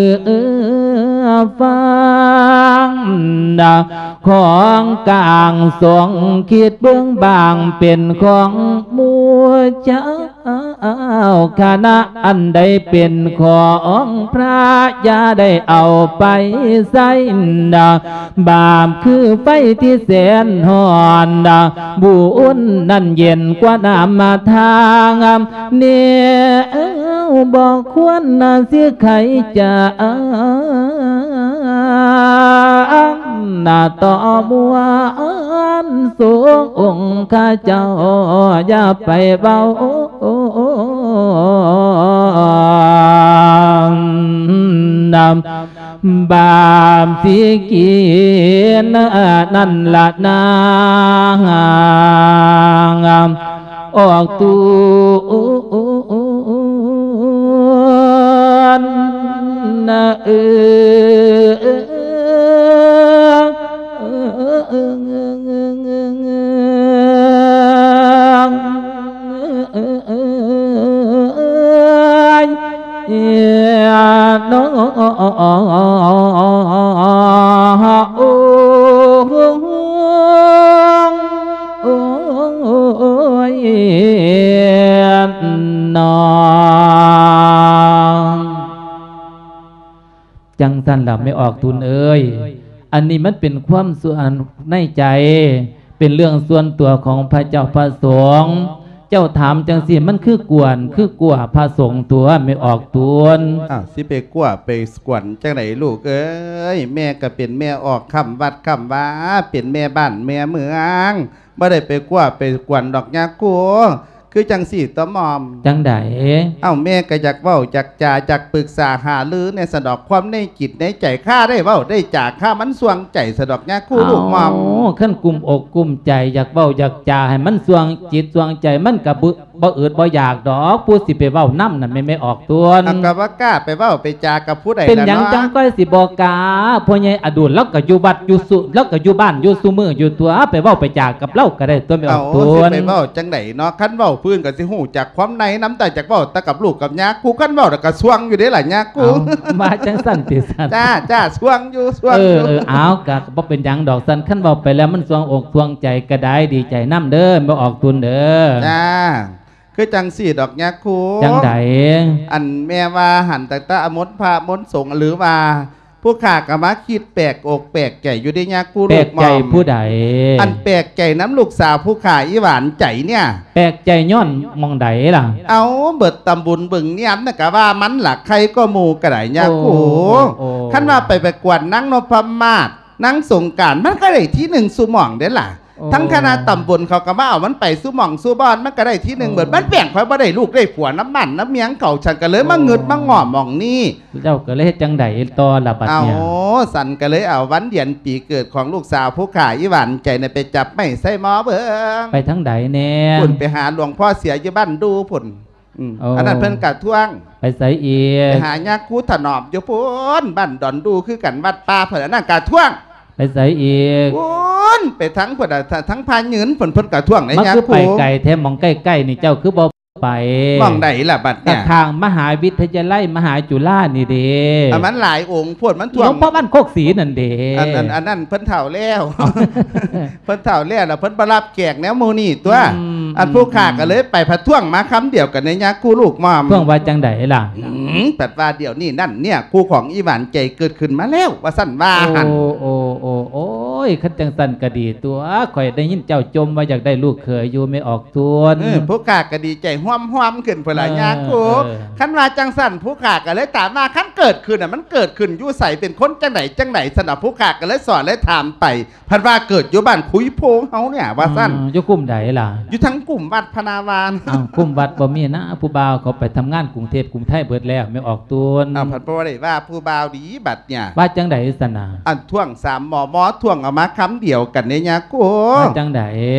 ຟັງ ຂອງກາງຊົງ ຄິດເບິ່ງບາງເປັນຂອງໝູ່ເຈົ້າ ເອົາຄະນະອັນໃດເປັນຂອງພະ ຢ່າໄດ້ເອົາໄປໃຊ້ນະ ບາບຄືໄຟທີ່ແສນຮ້ອນນະ ບຸນນັ້ນເຢັນກວ່ານ້ຳທາງ ແນວບໍ່ຄວນນະ ຊິໄຂຈາ ນະ ຕໍ່ມວນສົງ ອົງຄະເຈົ້າຢ່າໄປເວົ້ານຳ ບາບຊິກິນນັ້ນລະນາ ອອກຕູນນະເອີ. ໂອ້ຍ ນອ ຈັ່ງຊັ້ນລະແມ່ອອກຕຸນເອີຍ, ອັນນີ້ມັນເປັນຄວາມສ່ວນໃນໃຈ, ເປັນເລື່ອງສ່ວນຕົວຂອງພະເຈົ້າພະສົງ. ເຈົ້າຖາມຈັ່ງຊີ້ ມັນຄືກວນ ຄືກົວພະສົງຕົວະ ແມ່ອອກຕຸນ. ອ້າວ ຊິໄປກົວໄປກວນຈັ່ງໃດລູກເອີຍ? ແມ່ກໍເປັນແມ່ອອກຄ່ຳວັດຄ່ຳວາ, ເປັນແມ່ບ້ານແມ່ເມືອງ, ບໍ່ໄດ້ໄປກົວໄປກວນດອກຍາຄູ. ຄືຈັ່ງຊີ້ຕົວະໝ່ອມ. ຈັ່ງໃດ? ເອົ້າ ແມ່ກໍຢາກເວົ້າຢາກຈາ ຢາກປຶກສາຫາລືແດ່ສະດອກ ຄວາມໃນຈິດໃນໃຈ ຂ້າໄດ້ເວົ້າໄດ້ຈາ ຂ້າມັນສ່ວງໃຈສະດອກຍາຄູລູກໝ່ອມ. ເອົ້າ ຄັນກຸ້ມອົກກຸ້ມໃຈ ຢາກເວົ້າຢາກຈາໃຫ້ມັນສ່ວງຈິດສ່ວງໃຈ ມັນກໍບໍ່ ບໍ່ອຶດບໍ່ຢາກດອກ ຜູ້ຊິໄປເວົ້ານຳນັ້ນແມ່ນແມ່ອອກຕົນ. ເອົາ ກໍບໍ່ກ້າໄປເວົ້າໄປຈາກັບຜູ້ໃດ ເປັນຫຍັງ ລະເນາະ ຈັ່ງຄ່ອຍຊິບໍ່ກ້າ? ພໍ່ໃຫຍ່ອະດຸນລາວກໍຢູ່ວັດຢູ່ສຸ ລາວກໍຢູ່ບ້ານຢູ່ຊຸມື້ຢູ່ຕົວະ ໄປເວົ້າໄປຈາກັບລາວກໍໄດ້ຕົວະແມ່ອອກຕຸນ. ເອົາ ຊິໄປເວົ້າຈັ່ງໃດເນາະ? ຄັນເວົ້າພື້ນກໍຊິຮູ້ຈັກຄວາມໃນນຳ ແຕ່ຢາກເວົ້າແຕ່ກັບລູກກັບຍາຄູ ຄັນເວົ້າແລ້ວກໍສ່ວງຢູ່ເດ້ລະຍາຄູ. ເອົ້າ ວ່າຈັ່ງຊັ້ນຕິຊັ້ນ? ຈ້າ ຈ້າ ສ່ວງຢູ່ ສ່ວງຢູ່. ເອີ ເອີ ເອົາ ກໍບໍ່ເປັນຫຍັງດອກຊັ້ນ ຄັນເວົ້າໄປແລ້ວມັນສ່ວງອົກສ່ວງໃຈກໍໄດ້ ດີໃຈນຳເດີ້ແມ່ອອກຕຸນເດີ້. ຈ້າ. ຄືຈັ່ງຊີ້ດອກຍາຄູ. ຈັ່ງໃດ? ອັນແມ່ວ່າຫັ້ນ ຕັ້ງແຕ່ອາມົນພະມົນສົງ ຫຼືວ່າຜູ້ຂ້າກໍມາຄິດແປກອົກແປກໃຈຢູ່ເດ້ຍາຄູ. ແປກໃຈຜູ້ໃດ? ລູກໝ່ອມ ອັນແປກໃຈນຳລູກສາວຜູ້ຂ້າອີ່ຫວານໃຈເນ່ຍ. ແປກໃຈຍ້ອນໝ່ອງໃດລະ? ເອົາ ເບິດຕຳບົນບຶງນຽມນະ ກະວ່າມັນລະໄຄກວ່າໝູ່ກະໄດ້ຍາຄູ. ໂອ້ ໂອ້ ຄັນວ່າໄປປະກວດນາງນົບພະມາດ ນາງສົງການ ມັນກໍໄດ້ທີໜຶ່ງຊຸໝ່ອງເດ້ລະ. ໂອ້ ທັງຄະນະຕຳບົນເຂົາກໍມາເອົາມັນໄປຊຸໝ່ອງຊຸບ່ອນ ມັນກໍໄດ້ທີໜຶ່ງເບິດ. ໂອ້ ມັນແບ່ງຂ້ອຍບໍ່ໄດ້ລູກໄດ້ຜົວນຳບ້ານນຳເມືອງເຂົາ ສັນກໍເລີຍມາ ໂອ້ ງຶດມາງໍ້ມອງນີ້. ເຈົ້າກໍເລີຍເຮັດຈັ່ງໃດຕໍ່ລະບັດເນີ້ຍ? ເອົາ ສັນກໍເລີຍເອົາວັນເດືອນປີເກີດຂອງລູກສາວຜູ້ຂ້າອີ່ຫວານໃຈນະ ໄປຈັບໄມ້ໃສ່ໝໍ້ເບິ່ງ. ໄປທາງໃດແດ່? ພຸ້ນ ໄປຫາຫຼວງພໍ່ເສຍຢູ່ບ້ານດູພຸ້ນ. ອືມ ໂອ້ ອັນນັ້ນເພິ່ນກະທ້ວງ. ໄປໃສອີກ? ໄປຫາຍາຄູຖະໜອມຢູ່ພຸ້ນ ບ້ານດອນດູຄືກັນ ວັດປ່າເພິ່ນ ອັນນັ້ນກະທ້ວງ. ໄປໃສອີກ? ພຸ້ນ ໄປທາງພຸ້ນ ທາງພະຍືນພຸ້ນ ເພິ່ນກະທ້ວງໃນຍາຄູ. ມັນຄືໄປໄກແທ້ ໝ່ອງໃກ້ໆນີ້ເຈົ້າຄືບໍ່ໄປ? ໝ່ອງໃດລະບັດເນີ້ຍ? ຂ້າງມະຫາວິທະຍາໄລ ມະຫາຈຸລານີ້ເດ້. ອັນມັນຫຼາຍອົງໂພດ ມັນຖ້ວງ ຫຼວງພໍ່ບ້ານໂຄກສີນັ້ນເດ້. ອັນ ອັນ ອັນນັ້ນເພິ່ນເຖົ້າແລ້ວ. ເພິ່ນເຖົ້າແລ້ວລະ ເພິ່ນບໍ່ຮັບແຂກແນວໝູ່ນີ້ຕົວະ. ອືມ ອັນຜູ້ຂ້າກໍເລີຍໄປ ອືມ ພັດທ້ວງມາຄຳດຽວກັນໃນຍາຄູລູກໝ່ອມ. ທ້ວງວ່າຈັ່ງໃດລະ? ອືມ ພັດວ່າດຽວນີ້ນັ້ນເນຍ ຄູ່ຂອງອີ່ຫວານໃຈເກີດຂຶ້ນມາແລ້ວ ວ່າຊັ້ນວ່າຫັ້ນ. ໂອ້ ໂອ້ ໂອ້ ໂອ້ຍ ຄັນຈັ່ງຊັ້ນກໍດີຕົວະ ຂ້ອຍໄດ້ຍິນເຈົ້າຈົ່ມວ່າຢາກໄດ້ລູກເຂີຍຢູ່ ແມ່ອອກ ສ່ວນ ເອີ ຜູ້ຂ້າກໍດີໃຈຮ່ວມໆຂຶ້ນພຸ້ນລະຍາຄູ. ເອີ ເອີ ຄັນວ່າຈັ່ງຊັ້ນ ຜູ້ຂ້າກໍເລີຍຖາມວ່າ ຄັນເກີດຂຶ້ນນະ ມັນເກີດຂຶ້ນຢູ່ໃສ ເປັນຄົນຈັ່ງໃດຈັ່ງໃດ? ຊັ້ນນະ ຜູ້ຂ້າກໍເລີຍສອນເລີຍຖາມໄປ ພັດວ່າເກີດຢູ່ບ້ານຄຸຍໂພງເຮົາເນຍ ວ່າຊັ້ນ. ອືມ ຢູ່ກຸ່ມໃດລະ? ຢູ່ທາງກຸ່ມວັດພະນາວານ. ອ້າວ ກຸ່ມວັດບໍ່ມີນະ ຜູ້ບ່າວເຂົາໄປທຳງານກຸງເທບກຸງໄທເບິດແລ້ວ ແມ່ອອກ ຕົນ. ອ້າວ ພັດບໍ່ໄດ້ວ່າຜູ້ບ່າວດີບັດ ເນຍ ວ່າຈັ່ງໃດຊັ້ນນະ? ອັນທ້ວງສາມໝໍ່ ໝໍ່ທ້ວງອອກມາຄຳດຽວກັນເດ້ຍາຄູ. ວ່າຈັ່ງໃດ?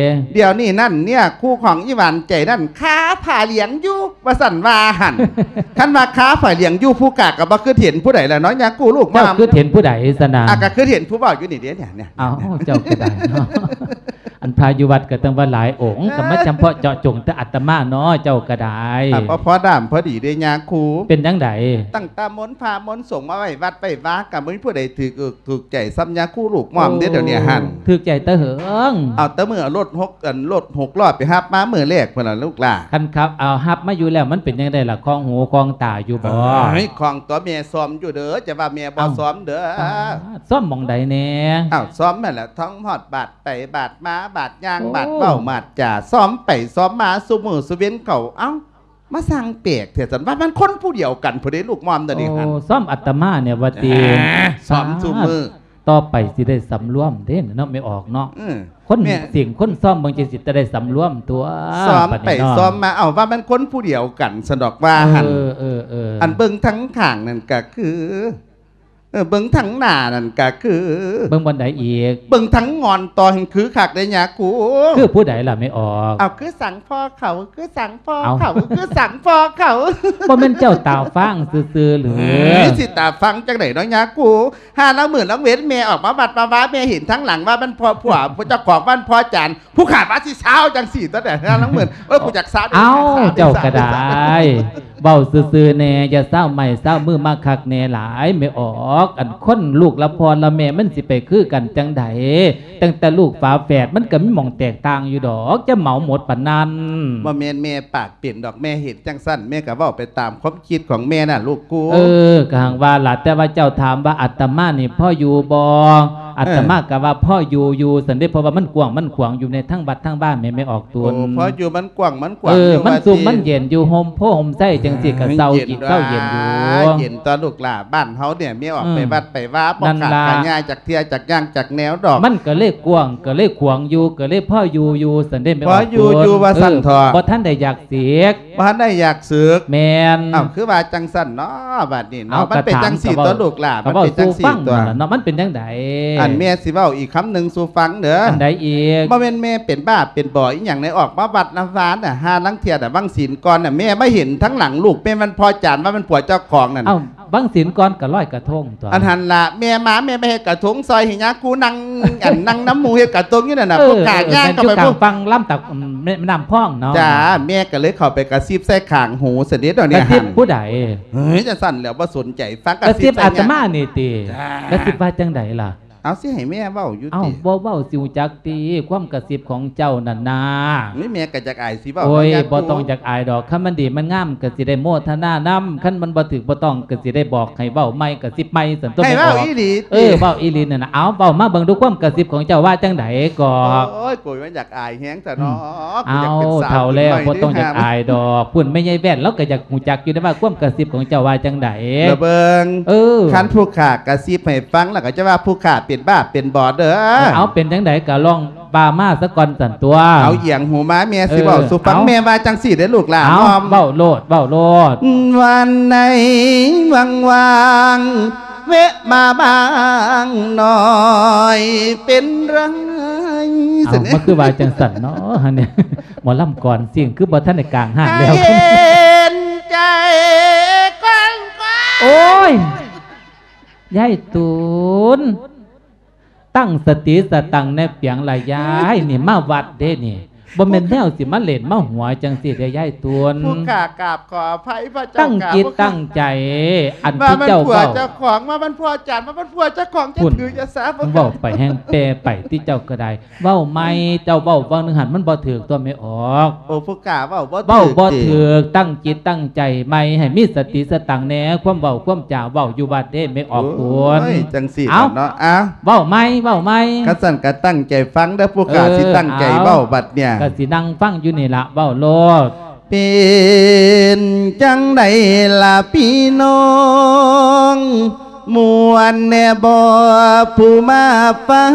ດຽວນີ້ນັ້ນເນຍ ຄູ່ຂອງອີ່ຫວານໃຈນັ້ນຄາຜ້າຫຼຽງຢູ່ ວ່າຊັ້ນວ່າຫັ້ນ. ຄັນວ່າຄາຜ້າຫຼຽງຢູ່ ຜູ້ຂ້າກໍບໍ່ຄິດເຫັນຜູ້ໃດລະເນາະຍາຄູລູກ. ເຈົ້າຄິດເຫັນຜູ້ໃດຊັ້ນນະ? ອ່າ ກໍຄິດເຫັນຜູ້ເວົ້າຢູ່ນີ້ເດ້ ເນຍ ເນຍ. ອ້າວ ເຈົ້າກໍໄດ້ເນາະ. ອັນພະຢູ່ວັດກໍຕັ້ງວ່າຫຼາຍອົງ ກໍມາຈຳເພາະເຈາະຈົງແຕ່ອາດຕະມາເນາະ ເຈົ້າກໍໄດ້. ອ່າ ພໍ ພໍດາມພໍດີເດ້ຍາຄູ. ເປັນຈັ່ງໃດ? ຕັ້ງແຕ່ມົນພະມົນສົງມາໄວ້ວັດໄວ້ວາ ກໍບໍ່ມີຜູ້ໃດຖືກ ຖືກໃຈສ່ຳຍາຄູລູກໝ່ອມເດ້ ໂອ້ ດຽວນີ້ຫັ້ນ. ຖືກໃຈແຕ່ເຫິງ. ເອົາ ແຕ່ມື້ລົດຫົກ ອັນລົດຫົກລໍ້ໄປຮັບມາມື້ແລກພຸ້ນລະລູກຫຼ້າ. ຄັນຂັບເອົາຮັບມາຢູ່ແລ້ວ ມັນເປັນຈັ່ງໃດລະ? ຄ່ອງຫູຄ່ອງຕາຢູ່ບໍ່? ເອີຍ ຄ່ອງຕົວະ ແມ່ຊ່ອມຢູ່ເດີ ຈະວ່າແມ່ບໍ່ ເອົ້າ ຊ່ອມເດີ. ອ້າ ຊ່ອມໝ່ອງໃດແດ່? ເອົ້າ ຊ່ອມຫັ້ນແຫຼະ ທັງຮອດບາດໄປບາດມາ ບາດຍ່າງ ໂອ້ ບາດເວົ້າບາດຈາ ຊ່ອມໄປຊ່ອມມາ ຊຸມື້ຊຸເວັນເຂົາ. ເອົ້າ ມາຊ່າງແປກແທ້ ຊັ້ນວ່າມັນຄົນຜູ້ດຽວກັນພຸ້ນເດ້ລູກໝ່ອມ ດຽວນີ້ຫັ້ນ. ໂອ້ ຊ່ອມອາດຕະມາເນຍວ່າຕິ? ເອີ ຊ່ອມຊຸມື້. ຕໍ່ໄປຊິໄດ້ສຳລວມເດ້ເນາະ ແມ່ອອກເນາະ. ເອີ ຄົນ ແມ່ ເສັງຄົນຊ່ອມເບິ່ງ ຈັ່ງຊິຈະໄດ້ສຳລວມຕົວະ. ຊ່ອມໄປ ບາດນີ້ເນາະ ຊ່ອມມາ ເອົ້າ ວ່າມັນຄົນຜູ້ດຽວກັນຊັ້ນດອກວ່າຫັ້ນ. ເອີ ເອີ ເອີ ອັນເບິ່ງທາງຂ້າງນັ້ນກະຄື ເອີ ເບິ່ງທາງໜ້ານັ້ນກະຄື ເບິ່ງບ່ອນໃດອີກ? ເບິ່ງທາງງອນຕໍ່ແຮ່ງຄືຄັກເດ້ຍາຄູ. ຄືຜູ້ໃດລະແມ່ອອກ? ເອົາ ຄືສັງພໍ່ເຂົາ ຄືສັງພໍ່ເຂົາ ເອົ້າ ຄືສັງພໍ່ເຂົາ. ບໍ່ແມ່ນເຈົ້າຕາຟາງຊື່ໆຫຼື? ເອີຍ ຊິຕາຟາງຈັ່ງໃດເນາະຍາຄູ. ຫາລາງມື້ລາງເວັນແມ່ອອກມາວັດມາວາ ແມ່ເຫັນທາງຫຼັງວ່າມັນພໍ່ຜົວ ເຈົ້າຂອງບ້ານພໍ່ຈານ ຜູ້ຂ້າວ່າຊິຊາວຈັ່ງຊີ້ຕົວະ ແຕ່ລາງມື້ ເອີຍ ຜູ້ຈັກຊາວເດ້. ເອົ້າ ຊາວເດ້ ເຈົ້າກໍໄດ້ ຊາວເດ້ ເວົ້າຊື່ໆແດ່ ຢ່າຊາວໄມ້ຊາວມືມາຄັກແນ່ຫຼາຍແມ່ອອກ. ອກ ອັນຄົນລູກລະພໍ່ລະແມ່ ມັນຊິໄປຄືກັນຈັ່ງໃດ? ຕັ້ງແຕ່ລູກຝາແຝດ ມັນກໍມີໝ່ອງແຕກຕ່າງຢູ່ດອກ ຈະເໝົາໝົດປານນັ້ນ. ບໍ່ແມ່ນແມ່ປາກເປັນດອກ ແມ່ເຮັດຈັ່ງຊັ້ນ ແມ່ກໍເວົ້າໄປຕາມຄວາມຄິດຂອງແມ່ນະລູກກູ. ເອີ ກໍຮັ່ງວ່າລະ ແຕ່ວ່າເຈົ້າຖາມວ່າອາດຕະມານີ້ພໍຢູ່ບໍ່? ອາດຕະມາກໍວ່າພໍຢູ່ຢູ່ຊັ້ນເດ້ ເພາະວ່າມັນກວ້າງມັນຂວາງຢູ່ໃນທາງວັດທາງວາແມ່ ແມ່ອອກຕົນ. ໂອ້ ພໍຢູ່ ມັນກວ້າງມັນຂວາງ ເອີ ຢູ່ ມັນຊຸ່ມມັນເຢັນຢູ່ ຮົ່ມໂພຮົ່ມໄຊຈັ່ງຊີ້ກໍເຊົາກິນເຊົາເຢັນຢູ່. ເຢັນຕົວະລູກຫຼ້າ ບ້ານເຮົາເນຍ ແມ່ອອກໄປວັດໄປວາ ບໍ່ຂາດກະຍາຈັກເທື່ອ ຈັກຢ່າງຈັກແນວດອກ. ມັນກໍເລີຍກວ້າງ ກໍເລີຍຂວາງຢູ່ ກໍເລີຍພໍຢູ່ຢູ່ຊັ້ນເດ້ ແມ່ອອກຕົນ. ພໍຢູ່ຢູ່ວ່າຊັ້ນເຖາະ ບໍ່ທັນໄດ້ຢາກເສກ ບໍ່ທັນໄດ້ຢາກເສກ. ແມ່ນ. ເອົ້າ ຄືວ່າຈັ່ງຊັ້ນເນາະ ບາດນີ້ເນາະ. ມັນເປັນຈັ່ງຊີ້ຕົວະລູກຫຼ້າ ມັນເປັນຈັ່ງຊີ້ຕົວະເນາະ. ມັນເປັນຈັ່ງໃດ? ອັນແມ່ຊິເວົ້າອີກຄຳໜຶ່ງສູ່ຟັງເດີ. ອັນໃດອີກ? ບໍ່ແມ່ນແມ່ເປັນບ້າເປັນບໍ່ອີ່ຫຍັງໃດ ອອກມາວັດມາວານະ ຫາລາງເທື່ອນະ ວັງສິນກ່ອນນະ ແມ່ມາເຫັນທາງຫຼັງລູກ ແມ່ນມັນພໍ່ຈານ ວ່າມັນຜົວເຈົ້າຂອງນັ້ນ. ເອົ້າ ວັງສິນກ່ອນກໍລອຍກະທົງຕົວະ. ອັນຫັ້ນລະ ແມ່ມາ ແມ່ມາເຮັດກະທົງຊອຍໃຫ້ຍາຄູນັ່ງ ອັນນັ່ງນຳໝູ່ເຮັດກະທົງຢູ່ນັ້ນນະ. ເອີ ຜູ້ຂາຍ່າງເຂົ້າໄປ ຢູ່ກາງຝັ່ງລຳຕາ ແມ່ນ້ຳພອງເນາະ. ຈ້າ ແມ່ກໍເລີຍເຂົ້າໄປກະຊິບໃສ່ຂ້າງຫູຊະເດດດອກນີ້. ກະຊິບຜູ້ໃດ? ເຮີ້ຍ ຈັ່ງຊັ້ນແຫຼະ ບໍ່ສົນໃຈຟັງ ກະຊິບອາດຕະມານີ້ຕິ? ກະຊິບວ່າຈັ່ງໃດລະ? ເອົາ ຊິໃຫ້ແມ່ເວົ້າຢູ່ຕິ? ເອົ້າ ບໍ່ເວົ້າຊິຮູ້ຈັກຕິ? ຄວາມກະຊິບຂອງເຈົ້ານັ້ນນາ. ໂອ້ຍ ແມ່ກໍຢາກອາຍຊິເວົ້າ. ໂອ້ຍ ບໍ່ຕ້ອງຢາກອາຍດອກ ຄັນມັນດີມັນງາມກໍຊິໄດ້ໂມທະນານຳ ຄັນມັນບໍ່ຖືກບໍ່ຕ້ອງກໍຊິໄດ້ບອກໃຫ້ເວົ້າໃໝ່ ກະຊິບໃໝ່ຊັ້ນຕົວະ. ໃຫ້ເວົ້າອີ່ຫຼີຕິ? ເອີ ເວົ້າອີ່ຫຼີນັ້ນນະ. ເອົາ ເວົ້າມາເບິ່ງດູ ຄວາມກະຊິບຂອງເຈົ້າວ່າຈັ່ງໃດກໍ? ໂອ້ຍ ໂກຍມັນຢາກອາຍແຮງ ຊະເນາະ. ອືມ ເອົາ ເຖົ້າແລ້ວບໍ່ຕ້ອງຢາກອາຍດອກ. ພຸ້ນແມ່ໃຫຍ່ແວ່ນລາວກໍຢາກຮູ້ຈັກຢູ່ເດ້ວ່າ ຄວາມກະຊິບຂອງເຈົ້າວ່າຈັ່ງໃດ. ລະເບິ່ງ ເອີ ຄັນຜູ້ຂ້າກະຊິບໃຫ້ຟັງ ລະກໍຈະວ່າຜູ້ຂ້າເປັນບ້າເປັນບໍ່ເດີ. ເອົາ ເປັນຈັ່ງໃດກໍລອງວ່າມາສາກ່ອນຊັ້ນຕົວະ. ເອົາ ອຽງຫູມາ ແມ່ຊິເວົ້າສູ່ຟັງ. ເອີ ເອົາ ແມ່ວ່າຈັ່ງຊີ້ເດ້ລູກຫຼ້າ. ເອົາ ເວົ້າໂລດ ເວົ້າໂລດ. ວັນໃດວ່າງໆ ແວະມາບ້າງໜ້ອຍເປັນໄລ. ເອົາ ມາຄືວ່າຈັ່ງຊັ້ນເນາະ ອັນນີ້ ໝໍລຳກ່ອນຊິງ ຄືບໍ່ທັນໄດ້ກາງຮ້ານແລ້ວ. ໃຫ້ເຫັນໃຈກ່ອນໆ. ໂອ້ຍ ຍາຍຕູນ ຕັ້ງສະຕິສະຕັງແດ່ປຽງລະຍາຍ ນີ້ມາວັດເດ້ນີ້ ບໍ່ແມ່ນແນວຊິມາຫຼິ້ນມາຫົວຈັ່ງຊີ້ເດ້ຍາຍຕູນ. ຜູ້ຂ້າກາບຂໍອະໄພພະເຈົ້າ. ຕັ້ງຈິດຕັ້ງໃຈ ອັນທີ່ເຈົ້າເວົ້າ ວ່າມັນຜົວເຈົ້າຂອງ ວ່າມັນຜົວຈານ ວ່າມັນຜົວເຈົ້າຂອງ ຈະຖືຈະສາ. ເວົ້າໄປແຮ່ງແປໄປຕິເຈົ້າກໍໄດ້. ເວົ້າໃໝ່ ເຈົ້າເວົ້າຫວ່າງໜຶ່ງຫັ້ນມັນບໍ່ຖືກຕົວະແມ່ອອກ. ໂອ້ ຜູ້ຂ້າເວົ້າບໍ່ຖືກ ເວົ້າບໍ່ຖືກ. ຕັ້ງຈິດຕັ້ງໃຈໃໝ່ ໃຫ້ມີສະຕິສະຕັງແດ່ ຄວາມເວົ້າຄວາມຈາເວົ້າຢູ່ວັດເດ້ແມ່ອອກໂຕນ. ໂອ້ຍ ຈັ່ງຊີ້ເນາະ. ເອົ້າ ເວົ້າໃໝ່ ເວົ້າໃໝ່. ຄັນຊັ້ນກໍຕັ້ງໃຈຟັງເດີ ຜູ້ຂ້າ ເອີ ຊິຕັ້ງໃຈເວົ້າບັດເນີ້ຍ. ກໍຊິນັ່ງຟັງຢູ່ນີ້ລະ ເວົ້າໂລດ. ເປັນຈັ່ງໃດລະພີ່ນ້ອງ ມ່ວນແດ່ບໍ່ຜູ້ມາຟັງ?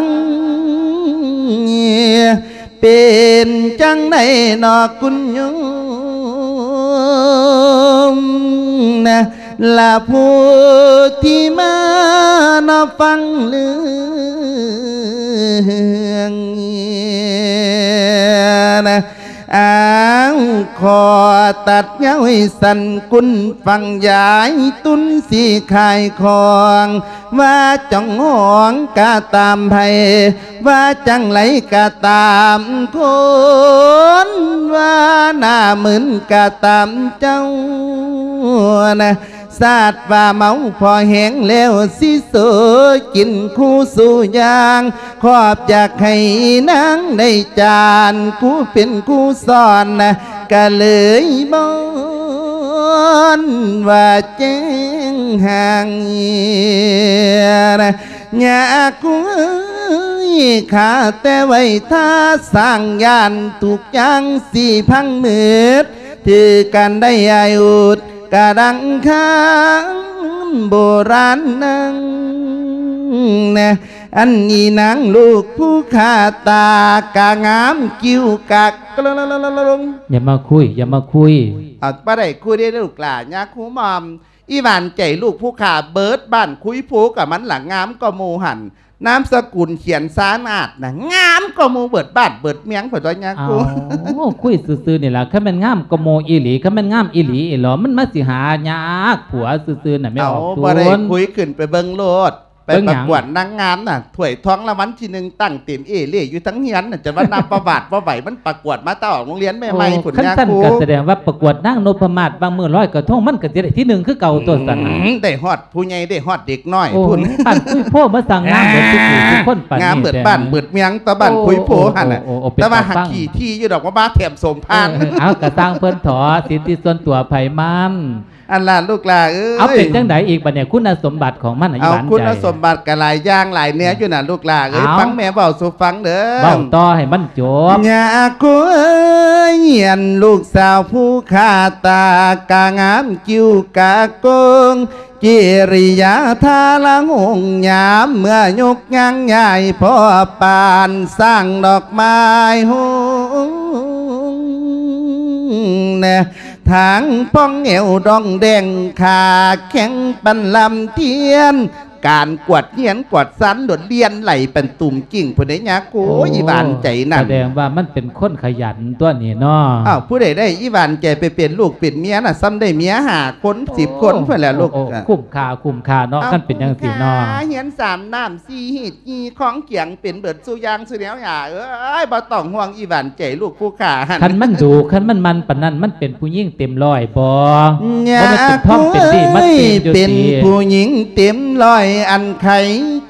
ເປັນຈັ່ງໃດນໍຄຸນໂຍມນະ ລະຜູ້ທີ່ມານອບຟັງເລື່ອງນະ? ອ້າວ ຂໍຕັດຍາວໃຫ້ສັ້ນ ຄຸນຟັງ ຍາຍຕຸນຊິຂາຍຂອງ ວ່າຈອງຫ້ອງກະຕາມໃຜ ວ່າຈັ່ງໃດກະຕາມຄົນ ວ່າໜ້າມຶນກະຕາມເຈົ້ານະ. ຊາດວ່າເມົາພໍແຮງແລ້ວ ຊິໂຊກິນຄູ່ສູ່ຢ່າງ ຂອບຢາກໃຫ້ນາງໄດ້ຈານ ຄູເປັນຄູສອນນະ ກະເລີຍບ່ອນວ່າແຈ້ງຫ່າງນະ. ຍາຄູເອີຍ ຂ້າແຕ່ໄວ້ທ່າສ້າງ ຢ້ານທຸກຢ່າງຊິພັງໝົດ ຖືກກັນໄດ້ອາຍອຸດ ກະດັ່ງຄຳໂບລານນັ້ນນະ. ອັນນີ້ນາງລູກຜູ້ຂ້າ ຕາກະງາມ ຄິ້ວກະກະລົງ. ຢ່າມາຄຸຍ ຢ່າມາຄຸຍ. ເອົາ ບໍ່ໄດ້ຄຸຍເດ້ລູກຫຼ້າ ຍາຄູໝ່ອມ. ອີ່ຫວານໃຈລູກຜູ້ຂ້າ ເບິດບ້ານຄຸຍພູກະມັນລະງາມກວ່າໝູ່ຫັ້ນ. ນາມສະກຸນຂຽນສາມາດນະ ງາມກວ່າໝູ່ເບິດບ້ານເບິດເມືອງ ເພິ່ນວ່າຍາຄູ. ເອົາ ຄຸຍຊື່ໆນີ້ລະ ຄັນແມ່ນງາມກວ່າໝູ່ອີ່ຫຼີ ຄັນແມ່ນງາມອີ່ຫຼີອີ່ຫຼໍ ມັນມາຊິຫາຍາກຜົວຊື່ໆນະແມ່ອອກ. ເອົາ ບໍ່ໄດ້ຄຸຍ ຂຶ້ນໄປເບິ່ງໂລດ. ໄປປະກວດນາງງາມນະ ຖ້ວຍທອງລາງວັນທີໜຶ່ງ ຕັ້ງເຕັມເອເລ່ຢູ່ທັງເຮືອນນະ ຈົນວ່ານັບປະຫວັດບໍ່ໄຫວ ມັນປະກວດມາແຕ່ອອກໂຮງຮຽນໃໝ່ໆ ໂອ້ ພຸ້ນ ຄັນຊັ້ນກໍສະແດງວ່າປະກວດນາງນົບພະມາດ ຫວ່າງມື້ລອຍກະທົງ ມັນກໍຊິໄດ້ທີໜຶ່ງຄືເກົ່າຕົວຊັ້ນນະ ອືມ ໄດ້ຮອດຜູ້ໃຫຍ່ ໄດ້ຮອດເດັກນ້ອຍ ໂອ້ ພຸ້ນ ບ້ານຄຸຍໂພມາສ້າງງາມເບິດທຸກຜູ້ທຸກຄົນປານນີ້ ງາມເບິດບ້ານເບິດເມືອງ ຕະບ້ານຄຸຍໂພຫັ້ນນະ ໂອ້ ໂອ້ ເປັນຕາຟັງ ແຕ່ວ່າຫາກຂີ້ຖີ່ຢູ່ດອກ ວ່າມາແຖມສົມພານ ເອີ ເອີ ເອົາ ກະສ້າງເພິ່ນເຖາະ ສິດທິສ່ວນຕົວໃຜມັນ ອັນລະລູກຫຼ້າເອີຍ ເອົາ ເປັນຈັ່ງໃດອີກບາດນີ້ ຄຸນນະສົມບັດຂອງມັນ ອີ່ຫວານໃຈ ເອົາ ຄຸນນະສົມບັດກໍຫຼາຍຢ່າງຫຼາຍແນວຢູ່ນະ ອືມ ລູກຫຼ້າເອີຍ ເອົາ ຟັງແມ່ເວົ້າສູ່ຟັງເດີ ເວົ້າຕໍ່ໃຫ້ມັນຈົບ ຍາຄູເອີຍ ອັນລູກສາວຜູ້ຂາຕາ ກະງາມຄິ້ວກະໂກງ ກິລິຍາທ່າລະຫົງຍາມ ເມື່ອຍົກຍ່າງຍ້າຍພໍປານ ສ້າງດອກໄມ້ຫົງແນ ທາງປ່ອງແອວດອງແດງ ຂາແຂງປັນລຳທຽນ ການກວດຮຽນກວດຊັ້ນ ໂດດລຽນໄຫຼປັນຕຸ່ມກິ່ງພຸ້ນເດ້ຍາຄູ ໂອ້ຍ ອີ່ຫວານໃຈນັ້ນ ສະແດງວ່າມັນເປັນຄົນຂະຫຍັນຕົວນີ້ເນາະ ອ້າວ ຜູ້ໃດໄດ້ອີ່ຫວານໃຈໄປເປັນລູກເປັນເມຍນະ ສ່ຳໄດ້ເມຍຫ້າຄົນ ໂອ້ ສິບຄົນພຸ້ນແຫຼະລູກ ໂອ້ ໂອ້ ຄຸ້ມຄ່າ ຄຸ້ມຄ່າເນາະ ເອົາ ຄັນເປັນຈັ່ງຊີ້ເນາະ ຄຸ້ມຄ່າ ຮຽນສາມນ້ຳ ສີ່ຮີດ ສີ່ຂອງຂຽງ ເປັນເບິດສູ່ຢ່າງສູ່ແນວ ຫຍ້າເອີຍ ບໍ່ຕ້ອງຫ່ວງອີ່ຫວານໃຈລູກຜູ້ຂ້າຫັ້ນ ຄັນມັນດຸ ຄັນມັນໝັ່ນປານນັ້ນ ມັນເປັນຜູ້ຍິງເຕັມຮ້ອຍບໍ່? ຍາ ບໍ່ແມ່ນເປັນທອມເປັນດີມາຕີມຢູ່ຕິ ເປັນຜູ້ຍິງເຕັມຮ້ອຍ ອັນໄຄ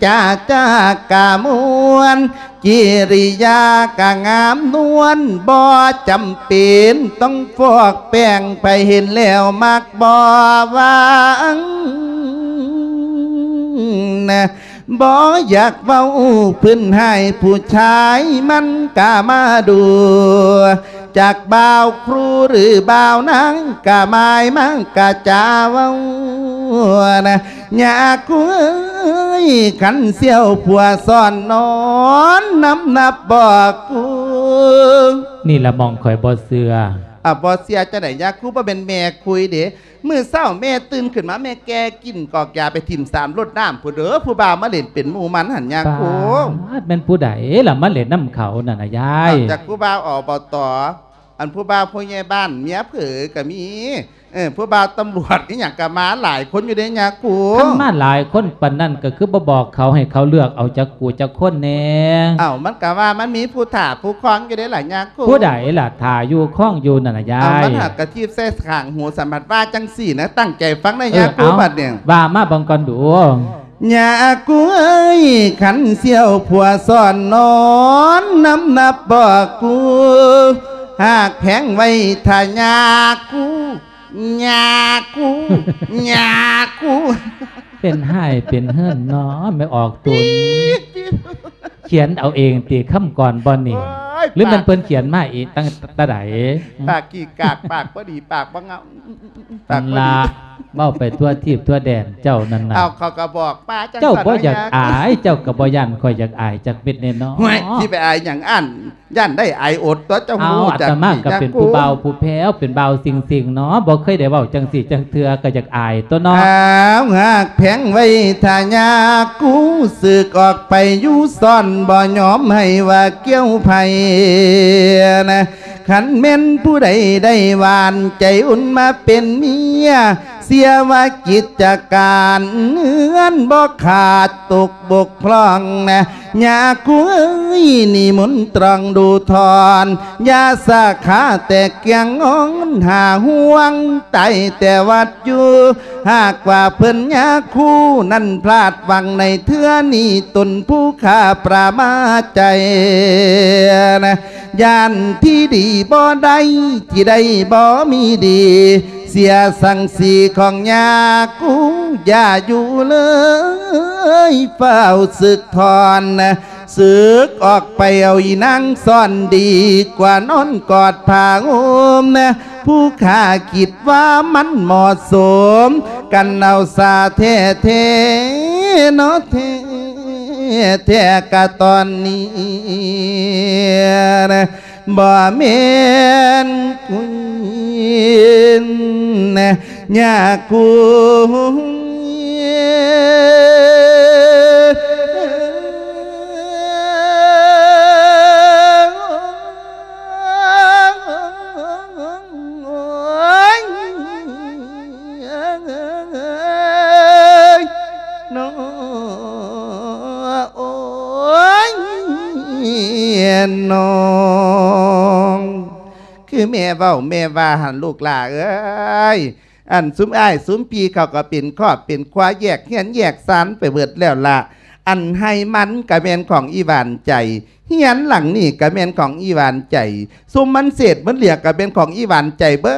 ຈາຈາກະມ່ວນ ກິລິຍາກະງາມນວນ ບໍ່ຈຳເປັນຕ້ອງຟອກແປ້ງ ໃຜເຫັນແລ້ວມັກບໍ່ຫວັງນະ ບໍ່ຢາກເວົ້າພື້ນຮ້າຍ ຜູ້ຊາຍມັນກະມາດູ ຈັກບ່າວຄູຫຼືບ່າວນາງ ກະມາຍມັນກະຈາເວົ້ານະ ຍາຄູເອີຍ ຄັນສ່ຽວຜົວຊ້ອນນອນນຳນັບບໍ່ກູ ນີ້ລະໝ່ອງຂ້ອຍບໍ່ເຊື່ອ ອາ ບໍ່ເຊື່ອຈັ່ງໃດ ຍາຄູບໍ່ແມ່ນແມ່ຄຸຍເດ້ ມື້ເຊົ້າແມ່ຕື່ນຂຶ້ນມາ ແມ່ແກ່ກິ່ນກອກຢາໄປຖິ້ມສາມລົດນ້ຳພຸ້ນເດີ ຜູ້ບ່າວມາຫຼິ້ນເປັນໝູ່ມັນຫັ້ນຍາຄູ ປາດ ແມ່ນຜູ້ໃດລະມາຫຼິ້ນນຳເຂົານັ້ນນະຍາຍ ນອກຈາກຜູ້ບ່າວ ອບຕ. ອັນຜູ້ບ່າວຜູ້ໃຫຍ່ບ້ານເມຍເຜີກະມີ ເອີ ຜູ້ບ່າວຕຳຫຼວດອີ່ຫຍັງກະມາຫຼາຍຄົນຢູ່ເດ້ຍາຄູ ຄັນມາຫຼາຍຄົນປານນັ້ນກະຄືບໍ່ບອກເຂົາໃຫ້ເຂົາເລືອກເອົາຈັກຜູ້ຈັກຄົນແດ່ ເອົ້າ ມັນກະວ່າມັນມີຜູ້ຖ້າຜູ້ຄອງຢູ່ເດ້ລະຍາຄູ ຜູ້ໃດລະຖ້າຢູ່ຄອງຢູ່ນັ້ນນະຍາຍ ເອົ້າ ມັນຫາກະທີບໃສ່ຂ້າງຫູ ສຳພັດວ່າຈັ່ງຊີ້ນະ ຕັ້ງໃຈຟັງນະ ເອີ ຍາຄູ ເອົ້າ ບັດນີ້ ວ່າມາເບິ່ງກ່ອນດູ. ຍາກູເອີຍ ຄັນສ່ຽວຜົວຊ້ອນນອນນຳນັບບໍ່ກູ ຫາກແພງໄວ້ຖ້າຍາກູ ຍາກູ ຍາກູ ເປັນຮ້າຍເປັນເຫີນເນາະ ແມ່ອອກຕຸນ ຂຽນເອົາເອງຕິ ຄຳກອນບ່ອນນີ້ ໂອ້ຍ ຫຼືແມ່ນເພິ່ນຂຽນມາເອງຕັ້ງແຕ່ໃດ? ປາກຂີ້ກາກ ປາກບໍ່ດີ ປາກບໍ່ງາມ ປາກບໍ່ດີ ລະ ເວົ້າໄປທົ່ວທີບທົ່ວແດນເຈົ້ານັ້ນນະ ເອົາ ເຂົາກໍບອກມາຈັ່ງຊັ້ນ ເຈົ້າບໍ່ຢາກອາຍ ເຈົ້າກໍບໍ່ຢ້ານຂ້ອຍຢາກອາຍຈັກເມັດແນ່ເນາະ ຫ້ວຍ ຊິໄປອາຍຫຍັງອັນ ຢ້ານໄດ້ອາຍອົດຕົວະ ເຈົ້າຮູ້ຈັກ ອາດຕະມາກໍເປັນຜູ້ບ່າວຜູ້ແພ້ວ ເປັນບ່າວຊິງໆເນາະ ບໍ່ເຄີຍໄດ້ເວົ້າຈັ່ງຊີ້ຈັກເທື່ອ ກໍຢາກອາຍຕົວະເນາະ ອ້າວ ຫາກແພງໄວ້ຖ້າຍາກູ ສຶກອອກໄປຢູ່ຊ້ອນ ບໍ່ຍອມໃຫ້ວ່າກ່ຽວໃຜນະ ຄັນແມ່ນຜູ້ໃດໄດ້ຫວານໃຈອຸ່ນມາເປັນເມຍ ເສຍວ່າກິດຈະການເຮືອນບໍ່ຂາດຕົກບົກພຮ່ອງນະ ຍາຄູເອີຍ ນິມົນຕຣອງດູທອນ ຢ່າສາຂາແຕກກຽງງອນ ຫາຫ່ວງຕາຍແຕ່ວັດຢູ່ ຫາກວ່າເພິ່ນຍາຄູນັ້ນພລາດຫວັງໃນເທື່ອນີ້ ຕົນຜູ້ຂ້າປະມາດໃຈນະ ຢ້ານທີ່ດີບໍ່ໄດ້ ທີ່ໄດ້ບໍ່ມີດີ ເສຍສັງສີຂອງຍາກູ ຢ່າຢູ່ເລີຍ ຟ້າວສຶກຖອນ ສຶກອອກໄປເອົາອີນາງຊ້ອນ ດີກວ່ານອນກອດຜ້າຫົ່ມ ຜູ້ຂ້າຄິດວ່າມັນເໝາະສົມ ກັນເອົາສາແທ້ໆເນາະ ແທ້ ແທ້ກະຕອນນີ້ ບໍ່ແມ່ນກຸຍນະ ຍາກູ ນນ້ອງ ຄືແມ່ເວົ້າແມ່ວ່າຫັ້ນລູກຫຼ້າເອີຍ. ອັນຊຸມອ້າຍຊຸມພີ່ເຂົາກໍເປັນຄອບເປັນຄົວ ແຍກເຮືອນແຍກຊານໄປເບິດແລ້ວລະ. ອັນໄຮ່ມັນກໍແມ່ນຂອງອີ່ຫວານໃຈ, ເຮືອນຫຼັງນີ້ກໍແມ່ນຂອງອີ່ຫວານໃຈ, ຊຸມມັນເສດມັນເຫຼືອກໍແມ່ນຂອງອີ່ຫວານໃຈເບິ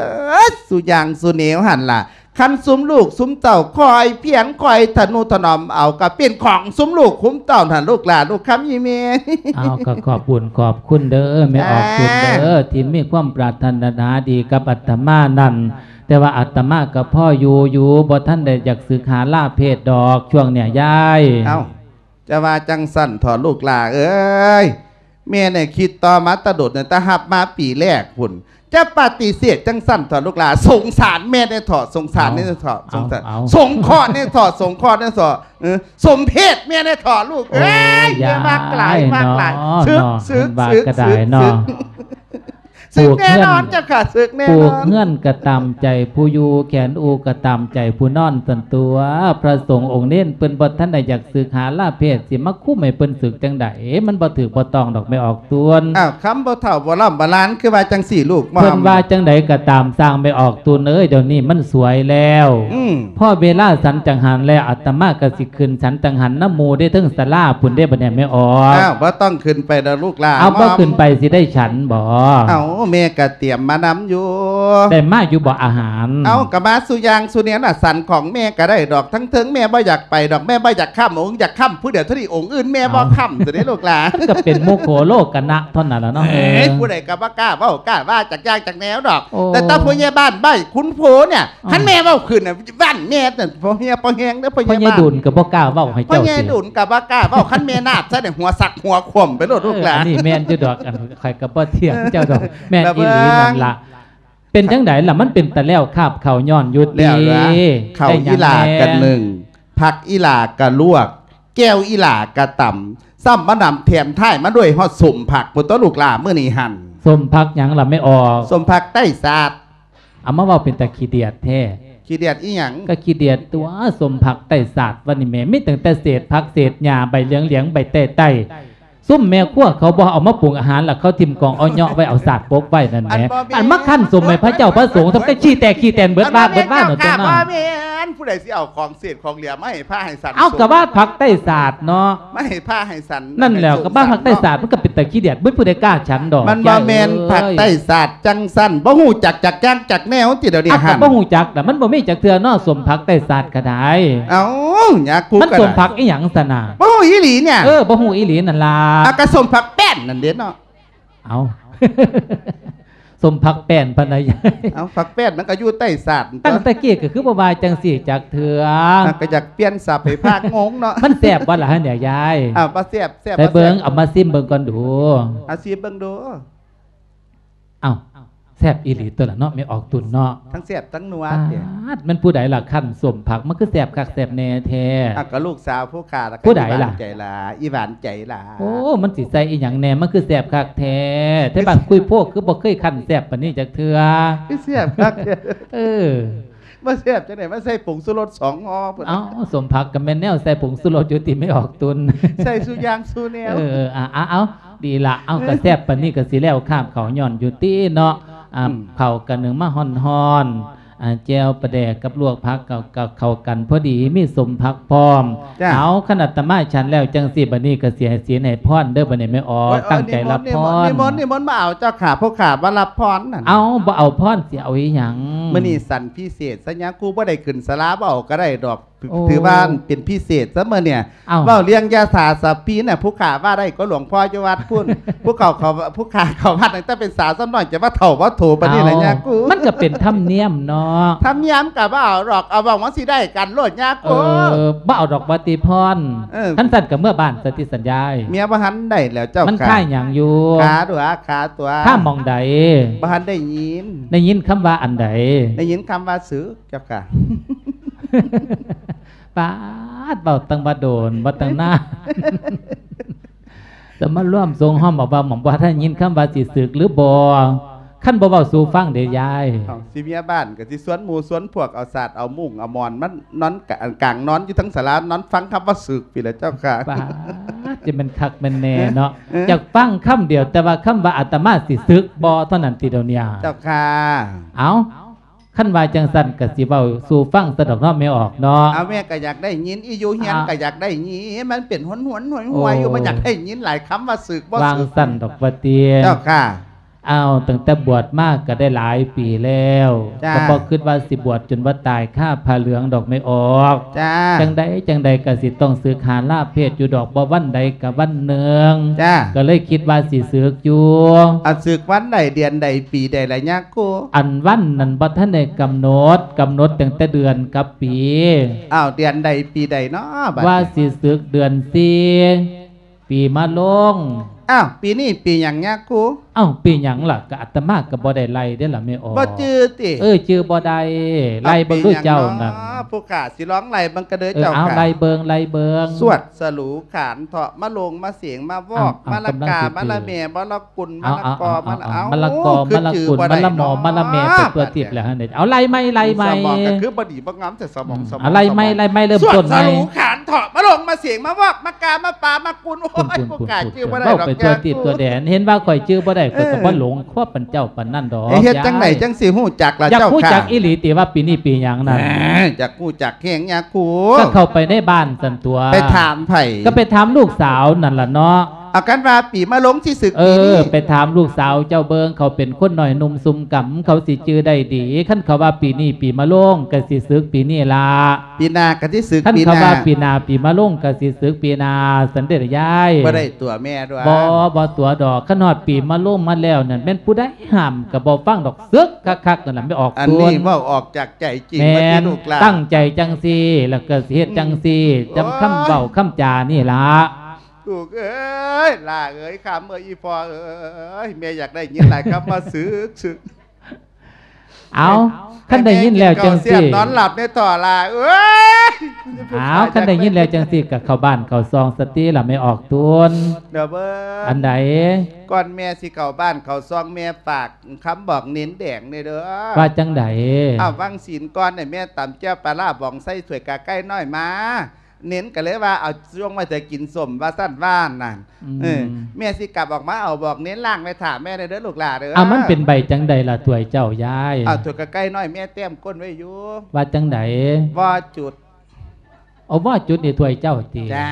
ດ ສູ່ຢ່າງສູ່ແນວຫັ້ນລະ. ຄັນຊຸມລູກຊຸມເຕົ້າຄອຍພຽງຄອຍທະນຸຖະໜອມເອົາ ກໍເປັນຂອງຊຸມລູກຊຸມເຕົ້າຫັ້ນ ລູກຫຼ້າລູກຄຳອີ່ແມ່. ເອົາ ກໍຂອບບຸນຂອບຄຸນເດີແມ່ອອກຕຸນເດີ ທີ່ມີຄວາມປາດຖະໜາດີກັບອາດຕະມານັ້ນ. ແຕ່ວ່າອາດຕະມາກໍພໍຢູ່ຢູ່ ບໍ່ທັນໄດ້ຢາກສຶກຫາລາເພດດອກ ຊ່ວງເນີ້ຍຍາຍ. ເອົ້າ ຈະວ່າຈັ່ງຊັ້ນເຖາະລູກຫຼ້າເອີຍ. ແມ່ນີ້ຄິດຕໍ່ມາແຕ່ດົນ ຕັ້ງແຕ່ຮັບມາປີແລກພຸ້ນ. ຈະປະຕິເສດຈັ່ງຊັ້ນເຖາະລູກຫຼ້າ. ສົງສານແມ່ແດ່ເຖາະ ສົງສານແດ່ເຖາະ ເອົາ ສົງສານ ເອົາ ສົງເຄາະແດ່ເຖາະ ສົງເຄາະແດ່ເຖາະ. ເອີ ສົມເພດແມ່ແດ່ເຖາະລູກເອີຍ. ໂອ້ຍ ແມ່ມັກຫຼາຍ ຍາຍ ມັກຫຼາຍເນາະ ເນາະ ຊຶກ ຊຶກ ເຫັນວ່າ ຊຶກ ກໍໄດ້ເນາະ ຊຶກ ຊຶກ ຊຶ່ງແນ່ນອນເຈົ້າຂ້າ ຊຶ່ງແນ່ນອນ. ປູກເຮືອນກໍຕາມໃຈຜູ້ຢູ່ ແຂນອູກໍຕາມໃຈຜູ້ນອນ ຊັ້ນຕົວະ. ພະສົງອົງເນນເພິ່ນບໍ່ທັນໄດ້ຢາກສຶກຫາລາເພດ ຊິມາຄຸມໃຫ້ເພິ່ນສຶກຈັ່ງໃດ? ມັນບໍ່ຖືກບໍ່ຕ້ອງດອກແມ່ອອກຕຸນ. ອ້າວ ຄຳບໍ່ເຖົ້າບໍ່ລ້ຳບໍ່ຫຼານ ຄືວ່າຈັ່ງຊີ້ລູກ. ເພິ່ນວ່າຈັ່ງໃດກໍຕາມ ຊ່າງແມ່ອອກຕຸນເອີຍ ດຽວນີ້ມັນສວຍແລ້ວ. ອືມ ພໍເວລາສັນຈັງຫັນແລ້ວ ອາດຕະມາກໍຊິຂຶ້ນສັນຈັງຫັນນຳໝູ່ເດ້ ເທິງສາລາພຸ້ນເດ້ ບັດນີ້ແມ່ອອກ. ອ້າວ ບໍ່ຕ້ອງຂຶ້ນໄປດອກລູກຫຼ້າ. ເອົາ ບໍ່ຂຶ້ນໄປຊິໄດ້ສັນບໍ່? ເອົາ ແມ່ກໍຕຽມມານຳຢູ່. ໄດ້ມາຢູ່ບໍ່ອາຫານ? ເອົາ ກໍມາສູ່ຢ່າງສູ່ແນວນະ. ສັນຂອງແມ່ກໍໄດ້ດອກ ທັງເທິງແມ່ບໍ່ຢາກໄປດອກ ແມ່ບໍ່ຢາກຄ້ຳ ອົງຢາກຄ້ຳຜູ້ດຽວເທົ່ານີ້ ອົງອື່ນແມ່ບໍ່ຄ້ຳ ຊັ້ນເດ້ລູກຫຼ້າ. ມັນກໍເປັນໂມໂຄໂລກະນະເທົ່ານັ້ນລະເນາະ. ເອີຍ ຜູ້ໃດກໍບໍ່ກ້າເວົ້າກ້າວ່າຈັກຢ່າງຈັກແນວດອກ. ໂອ້ ແຕ່ຕາຜູ້ໃຫຍ່ບ້ານບ້ານຂຸນໂພນນີ້ ຄັນແມ່ເວົ້າຂຶ້ນນະ ບ້ານແມ່ນັ້ນ ພໍ່ເຮຍພໍ່ແຮງເດີ ພໍ່ໃຫຍ່ບ້ານ. ພໍ່ໃຫຍ່ດຸນກໍບໍ່ກ້າເວົ້າໃຫ້ເຈົ້າ. ພໍ່ໃຫຍ່ດຸນກໍບໍ່ກ້າເວົ້າ ຄັນແມ່ນາບໃສ່ນີ້ ຫົວສັກຫົວຂວ້ຳໄປໂລດລູກຫຼ້າ. ເອີ ອັນນີ້ແມ່ນຢູ່ດອກ ອັນຂ້ອຍກໍບໍ່ຖຽງເຈົ້າດອກ ແມ່ນອີ່ຫຼີນັ້ນລະ. ເປັນຈັ່ງໃດລະ ມັນເປັນຕາແລ້ວຄາບເຂົ້າຍ້ອນຢູ່ຕິ? ເຂົ້າອີ່ຫຼ້າກໍໜຶ້ງ ຜັກອີ່ຫຼ້າກໍລວກ ແຈ່ວອີ່ຫຼ້າກໍຕຳ ຊ້ຳມານຳແຖມທ້າຍມາດ້ວຍຮອດສົ້ມຜັກພຸ້ນຕົວະລູກຫຼ້າ ມື້ນີ້ຫັ້ນ. ສົ້ມຜັກຫຍັງລະແມ່ອອກ? ສົ້ມຜັກໄຕ້ສາດ. ເອົາມາເວົ້າເປັນຕາຂີ້ດຽດແທ້. ຂີ້ດຽດອີ່ຫຍັງ? ກໍຂີ້ດຽດຕົວະ ສົ້ມຜັກໄຕ້ສາດ ວ່ານີ້ແມ່ ມີຕັ້ງແຕ່ເສດຜັກເສດຫຍ້າ ໃບເຫຼືອງໆ ໃບແຕ້ໆ. ຊຸມແມ່ຄົວເຂົາບໍ່ເອົາມາປຸງອາຫານ ລະເຂົາຖິ້ມກອງເອົາເຍາະໄວ້ ເອົາສາດປົກໄວ້ນັ້ນແຫຼະ. ອັນມາຄັນສົມໃຫ້ພະເຈົ້າພະສົງ ທຳແຕ່ຂີ້ແຕກຂີ້ແຕນເບິດບ້ານເບິດວ່ານັ້ນຕົວະ. ບໍ່ແມ່ນ ຜູ້ໃດຊິເອົາຂອງເສດຂອງເຫຼືອມາໃຫ້ພະໃຫ້ສັນ? ເອົາ ກໍວ່າຜັກໄຕ້ສາດເນາະ ມາໃຫ້ພະໃຫ້ສັນ. ນັ້ນແຫຼະ ກໍວ່າຜັກໄຕ້ສາດ ມັນກໍເປັນຕາຂີ້ດຽດ ບໍ່ມີຜູ້ໃດກ້າສັນດອກ. ມັນບໍ່ແມ່ນຜັກໄຕ້ສາດຈັ່ງຊັ້ນ ບໍ່ຮູ້ຈັກຈັກຢ່າງຈັກແນວຕິດຽວນີ້ຫັ້ນ. ບໍ່ຮູ້ຈັກລະ ມັນບໍ່ມີຈັກເທື່ອເນາະ ສົ້ມຜັກໄຕ້ສາດກໍໄດ້. ເອົ້າ ຍາກູ ມັນສົ້ມຜັກອີ່ຫຍັງຊັ້ນນະ? ບໍ່ຮູ້ອີ່ຫຼີນີ້. ເອີ ບໍ່ຮູ້ອີ່ຫຼີນັ້ນລະ. ອ່ະ ກໍສົ້ມຜັກແປ້ນນັ້ນເດ້ເນາະ. ເອົ້າ ສົ້ມຜັກແປ້ນພະນະຍາຍ. ເອົ້າ ຜັກແປ້ນມັນກໍຢູ່ໄຕ້ສາດ. ຕັ້ງແຕ່ກີ້ກໍຄືບໍ່ວ່າຈັ່ງຊີ້ຈັກເທື່ອ. ມັນກໍຢາກປ່ຽນສັບໃຫ້ພະງົງເນາະ. ມັນແຊບບໍ່ລະຫັ້ນຍາຍ? ເອົ້າ ບໍ່ແຊບ ແຊບ ໃສ່ເບິ່ງ ບໍ່ແຊບ ເອົາມາຊີມເບິ່ງກ່ອນດູ. ເອົາຊີມເບິ່ງດູ. ເອົ້າ ແຊບອີ່ຫຼີຕົວະລະເນາະ ແມ່ອອກຕຸນເນາະ. ທັງແຊບທັງນົວເດ. ປາດ ແມ່ນຜູ້ໃດລະຄັນສົ້ມຜັກ ມັນຄືແຊບຄັກແຊບແນ່ແທ້? ອ່ະ ກໍລູກສາວຜູ້ຂ້າລະ. ຜູ້ໃດລະ? ອີ່ຫວານໃຈລະ ອີ່ຫວານໃຈລະ. ໂອ້ ມັນຊິໃສ່ອີ່ຫຍັງແນ່ ມັນຄືແຊບຄັກແທ້? ແຕ່ບ້ານຄຸຍໂພຄືບໍ່ເຄີຍຄັນແຊບປານນີ້ຈັກເທື່ອ. ຄືແຊບຄັກແທ້. ເອີ ບໍ່ແຊບຈັ່ງໃດ ມັນໃສ່ຜົງຊູລົດສອງຫໍ່ພຸ້ນ. ເອົ້າ ສົ້ມຜັກກໍແມ່ນແນວໃສ່ຜົງຊູລົດຢູ່ຕິ ແມ່ອອກຕຸນ. ໃສ່ສູ່ຢ່າງສູ່ແນວ. ເອີ ອ່າ ເອົາ ດີລະ ເອົາ ກໍແຊບປານນີ້ກໍຊິແລ້ວຄາບເຂົ້າຍ້ອນຢູ່ຕິເນາະ. ອ່າ ເຂົ້າກໍໜຶ້ງມາຮ້ອນໆ ອ່າ ແຈ່ວປາແດກກັບລວກຜັກກໍ ກໍເຂົ້າກັນພໍດີ ມີສົ້ມຜັກພ້ອມ. ເອົາ ຄັນອາດຕະມາສັນແລ້ວຈັ່ງຊີ້ ບັດນີ້ກໍຊິໃຫ້ສິນໃຫ້ພອນເດີ ບັດນີ້ແມ່ອອກ ຕັ້ງໃຈຮັບພອນ. ນິມົນ ນິມົນ ນິມົນມາເອົາເຈົ້າຂ້າ ພວກຂ້າມາຮັບພອນນັ້ນ. ເອົາ ບໍ່ເອົາພອນຊິເອົາອີ່ຫຍັງ? ມື້ນີ້ສັນພິເສດຊະຍາກູ ບໍ່ໄດ້ຂຶ້ນສາລາ ບໍ່ເອົາກໍໄດ້ດອກ. ໂອ້ ຖືວ່າເປັນພິເສດຊະມື້ນີ້. ເອົ້າ ເວົ້າເລື່ອງຢາສາສະປີນະ ຜູ້ຂ້າວ່າໄດ້ກວ່າຫຼວງພໍ່ຢູ່ວັດພຸ້ນ. ຜູ້ເຂົາ ເຂົາ ຜູ້ຂ້າເຂົ້າວັດຕັ້ງແຕ່ເປັນສາວຊ້ຳນ້ອຍ ຈະວ່າເຖົ້າວ່າໂຖປານນີ້ລະຍາກູ. ມັນກໍເປັນທຳນຽມເນາະ. ທຳນຽມກໍບໍ່ເອົາດອກ ເອົາຫວັງວ່າຊິໄດ້ກັນໂລດຍາກູ. ເອີ ບໍ່ເອົາດອກວ່າຕິພອນ. ເອີ ຄັນຊັ້ນກໍເມືອບ້ານຊະຕິສັນຍາຍ. ເມຍບໍ່ທັນໄດ້ແລ້ວເຈົ້າ. ມັນຄາຍຫຍັງຢູ່? ຄາຕົວະ ຄາຕົວະ. ຄາໝ່ອງໃດ? ບໍ່ທັນໄດ້ຍິນ. ໄດ້ຍິນຄຳວ່າອັນໃດ? ໄດ້ຍິນຄຳວ່າສຶກ. ເຈົ້າຂ້າ ປາດ ເວົ້າຕັ້ງວ່າໂດນ ເວົ້າຕັ້ງນານ ແຕ່ມາລວມຊົງຫ້ອມເອົາວ່າ ໝ່ອມບໍ່ທັນໄດ້ຍິນຄຳວ່າຊິສຶກຫຼືບໍ່. ຄັນບໍ່ເວົ້າສູ່ຟັງເດ້ຍາຍ. ເອົ້າ ຊິເມຍບ້ານກໍຊິຊວນໝູ່ຊວນພວກ ເອົາສາດເອົາມຸ້ງເອົາໝອນມານອນກາງນອນຢູ່ທັງສາລາ ນອນຟັງຄຳວ່າສຶກພີ້ແຫຼະເຈົ້າຄ່ະ. ປາດ ຈະແມ່ນຄັກແມ່ນແນ່ເນາະ. ເອີ ຢາກຟັງຄຳດຽວ ແຕ່ວ່າຄຳວ່າອາດຕະມາຊິສຶກບໍ່ເທົ່ານັ້ນຕິດຽວນີ້. ເຈົ້າຄ່ະ. ເອົ້າ ຄັນວ່າຈັ່ງຊັ້ນກໍຊິເວົ້າສູ່ຟັງຊະດອກເນາະ ແມ່ອອກເນາະ. ເອົາ ແມ່ກໍຢາກໄດ້ຍິນ ອີຢູ່ເຮືອນກໍຢາກໄດ້ຍິນ ມັນເປັນຫວນໆຫວຍໆຢູ່ ບໍ່ຢາກໄດ້ຍິນຫຼາຍຄຳວ່າສຶກບໍ່ສຶກ ວ່າຊັ້ນດອກວ່າຕິ. ເຈົ້າຄ່ະ. ອ້າວ ຕັ້ງແຕ່ບວດມາກໍໄດ້ຫຼາຍປີແລ້ວ ກໍບໍ່ຄິດວ່າຊິບວດຈົນວ່າຕາຍຄາຜ້າເຫຼືອງດອກແມ່ອອກ. ຈັ່ງໃດຈັ່ງໃດກໍຊິຕ້ອງສຶກຫາລາເພດຢູ່ດອກ ບໍ່ວັນໃດກໍວັນໜຶ່ງ. ກໍເລີຍຄິດວ່າຊິສຶກຢູ່. ອັນ ສຶກວັນໃດເດືອນໃດປີໃດລະຍາຄູ? ອັນ ວັນນັ້ນບໍ່ທັນໄດ້ກຳນົດ ກຳນົດຕັ້ງແຕ່ເດືອນກັບປີ. ອ້າວ ເດືອນໃດປີໃດເນາະ ວ່າຊິສຶກເດືອນສີ່ ປີມະໂລງ. ອ້າວ ປີນີ້ປີຫຍັງຍາຄູ? ອ້າວ ປີຫຍັງລະ? ກໍອາດຕະມາກໍບໍ່ໄດ້ໄລ່ເດ້ລະແມ່ອອກ. ບໍ່ຈື່ຕິ? ເອີ ຈື່ບໍ່ໄດ້. ໄລ່ເບິ່ງດູເຈົ້ານັ້ນ. ຜູ້ຂ້າຊິລອງໄລ່ເບິ່ງກະເດີເຈົ້າ. ເອີ ເອົາ ໄລ່ເບິ່ງ ໄລ່ເບິ່ງ. ສວດສະຫຼູຂານເທາະ ມະໂລງມະເສງ ມະວອກ ມະລະກາ ມະລະແມ່ ມະລະກຸນ ມະລະກອ ມະລະ ເອົາ ມະລະກອ ມະລະກຸນ ມະລະໝໍ ມະລະແມ່ ໄປທົ່ວທິດແລ້ວຫັ້ນເດ. ເອົາ ໄລ່ໃໝ່ ໄລ່ໃໝ່. ສະໝອງກໍຄືບໍ່ດີບໍ່ງາມແຕ່ສະໝອງ ສະໝອງ. ໄລ່ໃໝ່ ໄລ່ໃໝ່ ເລີ່ມຕົ້ນໃໝ່. ສວດສະຫຼູຂານເທາະ ມະໂລງມະເສງ ມະວອກ ມະກາ ມະປາ ມະກຸນ. ໂອ້ຍ ຜູ້ຂ້າຈື່ບໍ່ໄດ້ດອກ ເວົ້າໄປທົ່ວທິດທົ່ວແດນ ເຫັນວ່າຂ້ອຍຈື່ບໍ່ໄດ້ ຂ້ອຍກໍບໍ່ຫຼົງຄວາບປານເຈົ້າປານນັ້ນດອກ. ເຮັດຈັ່ງໃດຈັ່ງຊິຮູ້ຈັກລະເຈົ້າຂ້າ? ຢາກຮູ້ຈັກອີ່ຫຼີຕິວ່າປີນີ້ປີຫຍັງນັ້ນ? ຢາກຮູ້ຈັກແຮງຍາຄູ. ກໍເຂົ້າໄປໃນບ້ານຊັ້ນຕົວະ. ໄປຖາມໃຜ? ກໍໄປຖາມລູກສາວນັ້ນລະເນາະ. ເອົາ ຄັນວ່າປີມະໂລງຊິສຶກປີນີ້. ເອີ ໄປຖາມລູກສາວເຈົ້າເບິ່ງ ເຂົາເປັນຄົນນ້ອຍໜຸ່ມຊຸ່ມກຳ ເຂົາຊິຈື່ໄດ້ດີ. ຄັນເຂົາວ່າປີນີ້ປີມະໂລງ ກໍຊິສຶກປີນີ້ລະ. ປີໜ້າກໍຊິສຶກປີໜ້າ. ຄັນເຂົາວ່າປີໜ້າປີມະໂລງ ກໍຊິສຶກປີໜ້າ ຊັ້ນເດລະຍາຍ. ບໍ່ໄດ້ຕົວະແມ່ດອກ. ບໍ່ ບໍ່ຕົວະດອກ. ຄັນຮອດປີມະໂລງມາແລ້ວນັ້ນ ແມ່ນຜູ້ໃດຫ້າມກໍບໍ່ຟັງດອກ. ສຶກຄັກໆ ນັ້ນລະ ແມ່ອອກ. ອັນນີ້ເວົ້າອອກຈາກໃຈຈິງ. ແມ່ນ ວ່າຕິລູກຫຼານ ຕັ້ງໃຈຈັ່ງຊີ້ ແລ້ວກໍຊິເຮັດຈັ່ງຊີ້. ອືມ ຈຳຄຳເວົ້າຄຳຈານີ້ລະ. ລູກເອີຍ ຫຼ້າເອີຍ ຄຳເອີຍ ອີ່ພໍ່ເອີຍ ແມ່ຢາກໄດ້ຍິນຫຼາຍຄຳວ່າສຶກ ສຶກ. ເອົາ ຄັນໄດ້ຍິນແລ້ວຈັ່ງຊີ້ ນອນຫຼັບແດ່ເຖາະຫຼ້າເອີຍ. ເອົາ ຄັນໄດ້ຍິນແລ້ວຈັ່ງຊີ້ ກໍເຂົ້າບ້ານເຂົ້າຊ່ອງສະຕິລະແມ່ອອກຕູນ. ດຽວເບິ່ງ ອັນໃດ? ກ່ອນແມ່ຊິເຂົ້າບ້ານເຂົ້າຊ່ອງ ແມ່ຝາກຄຳບອກເນນແດງແດ່ເດີ. ວ່າຈັ່ງໃດ? ເອົາ ວັງສິນກ່ອນນີ້ ແມ່ຕຳແຈ່ວປາລ້າບອງໃສ່ຖ້ວຍກາໄກ່ນ້ອຍມາ. ເນນກໍເລີຍວ່າ ເອົາຊ່ວງໄວ້ຖ້າກິນສົ້ມ ວ່າຊັ້ນວ່ານັ້ນ. ອືມ ເອີ ແມ່ຊິກັບອອກມາເອົາ ບອກເນນລ້າງໄວ້ຖ້າແມ່ແດ່ເດີລູກຫຼ້າເດີ. ເອົາ ມັນເປັນໃບຈັ່ງໃດລະຖ້ວຍເຈົ້າຍາຍ? ເອົາ ຖ້ວຍກະໄກ່ນ້ອຍແມ່ແຕ້ມກົ້ນໄວ້ຢູ່. ວ່າຈັ່ງໃດ? ບໍ່ຈຸດ. ເອົາ ບໍ່ຈຸດນີ້ຖ້ວຍເຈົ້າຕິ? ຈ້າ.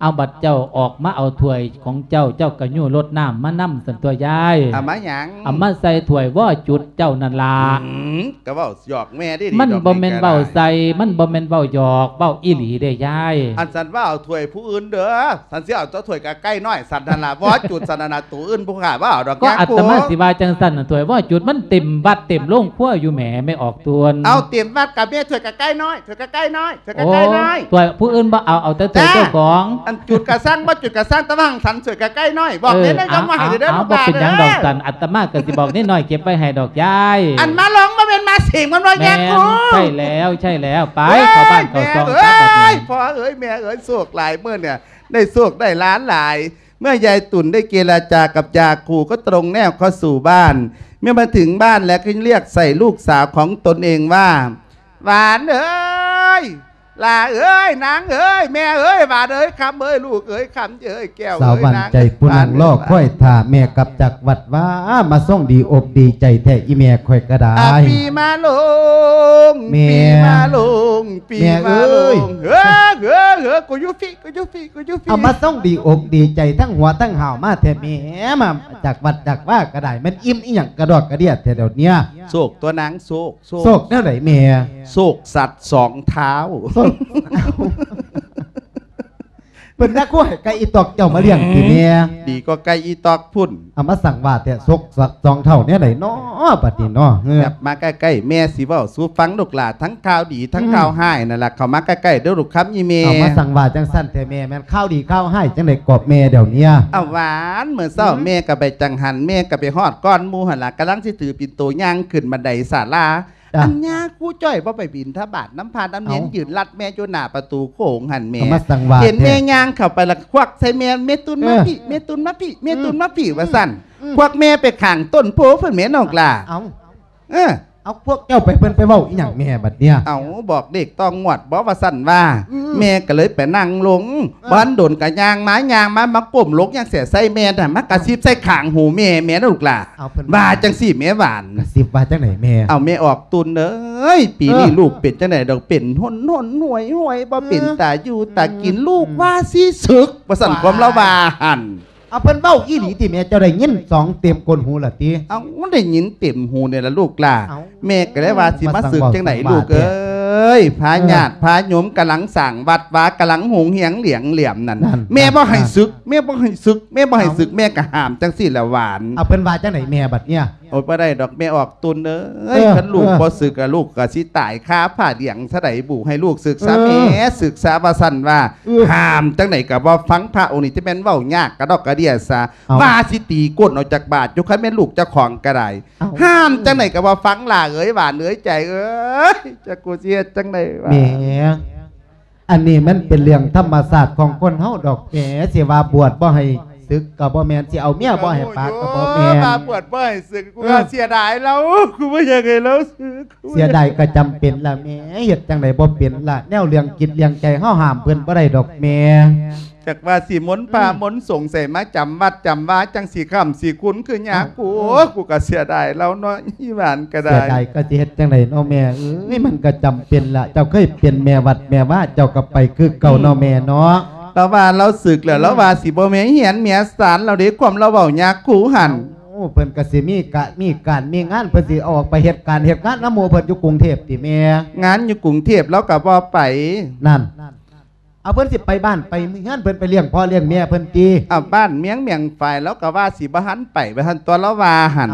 ເອົາ ບັດເຈົ້າອອກມາເອົາຖ້ວຍຂອງເຈົ້າ ເຈົ້າກໍຍູ້ລົດນ້ຳມານຳຊັ້ນຕົວະຍາຍ. ເອົາມາຫຍັງ? ເອົາມາໃສ່ຖ້ວຍບໍ່ຈຸດເຈົ້ານັ້ນລະ. ອືມ ກໍເວົ້າ ຢອກແມ່ເດ້ນີ້. ມັນບໍ່ແມ່ນເວົ້າໃສ່ ມັນບໍ່ແມ່ນເວົ້າຢອກ ເວົ້າອີ່ຫຼີເດ້ຍາຍ. ອັນສັນວ່າເອົາຖ້ວຍຜູ້ອື່ນເດີ ສັນຊິເອົາແຕ່ຖ້ວຍກະໄກ່ນ້ອຍສັນນັ້ນລະ ບໍ່ຈຸດສັນນັ້ນນະ. ໂຕອື່ນຜູ້ຂ້າບໍ່ເອົາດອກ. ກໍອາດຕະມາຊິວ່າຈັ່ງຊັ້ນນະ ຖ້ວຍບໍ່ຈຸດມັນເຕັມວັດເຕັມໂລງຄົວຢູ່ແໝ ແມ່ອອກຕົນ. ເອົາ ເຕັມວັດກະແມ່ຖ້ວຍກະໄກ່ນ້ອຍ ຖ້ວຍກະໄກ່ນ້ອຍ ຖ້ວຍກະໄກ່ນ້ອຍ. ໂອ້ ຖ້ວຍຜູ້ອື່ນບໍ່ເອົາ ເອົາແຕ່ຖ້ວຍເຈົ້າຂອງ. ອັນຈຸດກະຊ່າງ ບໍ່ຈຸດກະຊ່າງ ແຕ່ວ່າຫັ້ນສັນຖ້ວຍກະໄກ່ນ້ອຍ ບອກເນນໄວ້ ຈຳວ່າໃຫ້ເດີລູກຫຼ້າເດີ. ບໍ່ເປັນຫຍັງດອກສັນ ອາດຕະມາກໍຊິບອກເນນນ້ອຍເກັບໄວ້ໃຫ້ດອກຍາຍ. ອັນມະໂລງບໍ່ແມ່ນມະເສງ ມັນບໍ່ແມ່ນຍາຄູ. ໃຊ່ແລ້ວ ໃຊ່ແລ້ວ ໄປເຂົ້າບ້ານເຂົ້າຊ່ອງ. ໂອ້ຍ ແມ່ເອີຍ ພໍ່ເອີຍ ແມ່ເອີຍ ໂຊກຫຼາຍມື້ນີ້ ໄດ້ໂຊກໄດ້ຫຼານຫຼາຍ. ເມື່ອຍາຍຕຸ່ນໄດ້ເຈລະຈາກັບຍາຄູ ກໍຕຣົງແນວເຂົ້າສູ່ບ້ານ. ເມື່ອມາເຖິງບ້ານແລ້ວ ກໍລຽກໃສ່ລູກສາວຂອງຕົນເອງວ່າ ຫວານເອີຍ ຫຼ້າເອີຍ ນາງເອີຍ ແມ່ເອີຍ ຫວານເອີຍ ຄຳເອີຍ ລູກເອີຍ ຄຳເອີຍ ແກ້ວເອີຍ. ສາວຫວານໃຈຜູ້ນັ່ງລໍຄອຍຖ້າແມ່ກັບຈາກວັດວ່າ ມາສົ່ງດີອົກດີໃຈແທ້ ອີ່ແມ່ຂ້ອຍກໍໄດ້. ອາ ປີມະໂລງ ແມ່ ປີມະໂລງ ປີມະໂລງ ເອີຍ ເອີ ເອີ ເອີ ກູຢູ່ພີ້ ກູຢູ່ພີ້ ກູຢູ່ພີ້. ເອົາ ມາສົ່ງດີອົກດີໃຈ ທັງຫົວທັງຫາວມາແທ້ແມ່ ມາຈາກວັດຈາກວາກໍໄດ້ ແມ່ນອີ່ມອີ່ຫຍັງກະດອກກະເດຍແທ້ດຽວນີ້. ໂຊກຕົວະນາງ ໂຊກ ໂຊກ ໂຊກແນວໃດແມ່? ໂຊກສັດສອງເທົ້າ. ໂຊກ ເພິ່ນນະ ຄືໃຫ້ໄກ່ອີຕອກເຈົ້າມາລ້ຽງຕິແມ່? ດີກວ່າໄກ່ອີຕອກພຸ້ນ. ເອົາ ມາສັງວ່າແທ້ ໂຊກສັດສອງເທົ້າແນວໃດເນາະ ບັດນີ້ເນາະ? ຫຍັບມາໃກ້ໆ ແມ່ຊິເວົ້າສູ່ຟັງລູກຫຼ້າ ທັງຂ່າວດີ ທັງ ອືມ ຂ່າວຮ້າຍນັ້ນລະ. ເຂົ້າມາໃກ້ໆເດີລູກຄຳອີ່ແມ່. ເອົາ ມາສັງວ່າຈັ່ງຊັ້ນແທ້ແມ່? ແມ່ນຂ່າວດີຂ່າວຮ້າຍຈັ່ງໃດກອບແມ່ດຽວນີ້? ເອົາ ຫວານ ມື້ເຊົ້າ ອືມ ແມ່ກໍໄປຈັງຫັນ ແມ່ກໍໄປຮອດກ່ອນໝູ່ຫັ້ນລະ ກຳລັງຊິຖືປິ່ນໂຕຍ່າງຂຶ້ນບັນໄດສາລາ. ອັນຍາຄູຈ້ອຍບໍ່ໄປບິນທະບາດນຳພະນຳເນນ ເອົ້າ ຢືນລັດແມ່ຢູ່ໜ້າປະຕູໂຂງຫັ້ນແມ່ ກໍມາສັງວາດ ເຫັນແມ່ ແທ້ ຍ່າງເຂົ້າໄປລະຄວັກໃສ່ແມ່ "ແມ່ຕຸນມາ ເອີ ພີ້ ແມ່ຕຸນມາພີ້ ແມ່ຕຸນມາພີ້" ອືມ ວ່າຊັ້ນ ອືມ ຄວັກແມ່ໄປຂ້າງຕົ້ນໂພພຸ້ນແມ່ນ້ອງຫຼ້າ ເອົ້າ ເອີ ເອົາ ພວກເຈົ້າໄປ ເພິ່ນໄປເວົ້າອີ່ຫຍັງແມ່ບັດເນີ້ຍ? ເອົາ ບອກເລກຕ້ອງງວດບໍ່ ວ່າຊັ້ນວ່າ ອືມ ແມ່ກໍເລີຍໄປນັ່ງລົງ ເອີ ບໍ່ທັນດົນກໍຍ່າງມາ ຍ່າງມາ ມາກົ້ມລົງຢ່າງແສໃສ່ແມ່ນະ ມາ ເອົ້າ ກະຊິບໃສ່ຂ້າງຫູແມ່ ແມ່ນະລູກຫຼ້າ ເອົາ ເພິ່ນວ່າ ວ່າຈັ່ງຊີ້ແມ່ຫວານ ກະຊິບວ່າຈັ່ງໃດແມ່? ເອົາ ແມ່ອອກຕຸນເອີຍ ປີນີ້ ເອີ ລູກເປັນຈັ່ງໃດດອກ ເປັນຫົນໆຫວຍໆ ບໍ່ເປັນ ເອີ ຕາຢູ່ຕາກິນ ອືມ ລູກວ່າຊິສຶກ ວ່າຊັ້ນ ຄວາມລາວວ່າຫັ້ນ ເອົາ ເພິ່ນເວົ້າອີ່ຫຼີຕິແມ່ ເຈົ້າໄດ້ຍິນສອງເຕັມກົ້ນຫູລະຕິ? ເອົາ ໄດ້ຍິນເຕັມຫູນີ້ລະລູກຫຼ້າ ເອົ້າ ແມ່ກໍເລີຍວ່າຊິມາສຶກຈັ່ງໃດລູກເອີຍ ພາຍາດ ເອີ ພາໂຍມກຳລັງສ້າງວັດວາ ກຳລັງຮຸ່ງເຮືອງຫຼຽງຫຼຽມນັ້ນ ນັ້ນ ແມ່ບໍ່ໃຫ້ ນັ້ນ ສຶກ ແມ່ບໍ່ໃຫ້ສຶກ ແມ່ບໍ່ໃຫ້ ເອົ້າ ສຶກ ແມ່ກໍຫ້າມຈັ່ງຊີ້ລະຫວານ ເອົາ ເພິ່ນວ່າຈັ່ງໃດແມ່ບັດເນີ້ຍ? ໂອ້ຍ ບໍ່ໄດ້ດອກ ແມ່ອອກຕຸນເອີຍ ເອີ ຄັນລູກ ເອີ ບໍ່ສຶກ ກະລູກກະຊິຕາຍຄາຜ້າຫຼຽງຊະໃດບຸ ໃຫ້ລູກສຶກຊະ ເອີ ແມ່ສຶກຊະ ວ່າຊັ້ນວ່າ ເອີ ຫ້າມຈັ່ງໃດກໍບໍ່ຟັງ ພະອົງນີ້ຈະແມ່ນເວົ້າຍາກກະດອກກະເດຍຊະ ເອົ້າ ວ່າຊິຕີກົ້ນອອກຈາກບາດຢູ່ ຄັນແມ່ນລູກເຈົ້າຂອງກໍໄດ້ ເອົ້າ ຫ້າມຈັ່ງໃດກໍບໍ່ຟັງຫຼ້າເອີຍ ຫວານເອີຍ ໃຈເອີຍ ຈັກກູຊິເຮັດຈັ່ງໃດວະ ແມ່ ອັນນີ້ມັນເປັນເລື່ອງທຳມະຊາດຂອງຄົນເຮົາດອກແມ່ ຊິວ່າບວດບໍ່ໃຫ້ສຶກກໍບໍ່ແມ່ນ ຊິເອົາເມຍບໍ່ໃຫ້ປາກກໍບໍ່ແມ່ນ ວ່າບວດບໍ່ໃຫ້ສຶກ ກູ ເອີ ວ່າເສຍດາຍລາວ ກູບໍ່ຢາກໃຫ້ລາວສຶກ ເສຍດາຍກໍຈຳເປັນລະແມ່ ເຮັດຈັ່ງໃດບໍ່ເປັນລະ ແນວເລື່ອງຈິດເລື່ອງໃຈເຮົາຫ້າມເພິ່ນບໍ່ໄດ້ດອກແມ່ ຈັກວ່າຊິມົນພະ ອືມ ມົນສົງໃສມາຈຳວັດຈຳວາ ຈັ່ງຊິຄ້ຳຊິຄຸນຄືຍາກູ ເອົ້າ ໂອ້ ກູກໍເສຍດາຍລາວເນາະ ອີ່ຫວານກໍໄດ້ ເສຍດາຍກໍຊິເຮັດຈັ່ງໃດເນາະແມ່ເອີຍ ມັນກໍຈຳເປັນລະ ເຈົ້າເຄີຍເປັນແມ່ວັດແມ່ວາ ເຈົ້າກໍໄປຄືເກົ່າເນາະ ອືມ ແມ່ເນາະ ລາວວ່າລາວສຶກແລ້ວ ອືມ ລາວວ່າຊິບໍ່ແມ່ນເຮືອນແມ່ຊານລາວເດ້ ຄວາມລາວເວົ້າຍາກູຫັ້ນ ເອົ້າ ເພິ່ນກໍຊິມີກະ ມີການມີງານ ເພິ່ນຊິອອກໄປເຮັດການເຮັດງານນຳໝູ່ເພິ່ນຢູ່ກຸງເທບຕິແມ່? ງານຢູ່ກຸງເທບລາວກໍບໍ່ໄປ ນັ້ນ ເອົາ ເພິ່ນຊິໄປບ້ານໄປເຮືອນເພິ່ນ ໄປລ້ຽງພໍ່ລ້ຽງແມ່ເພິ່ນຕິ? ເອົາ ບ້ານເມືອງ ເມືອງຝາຍ ລາວກໍວ່າຊິບໍ່ທັນໄປ ວ່າຊັ້ນຕົວະ ລາວວ່າຫັ້ນ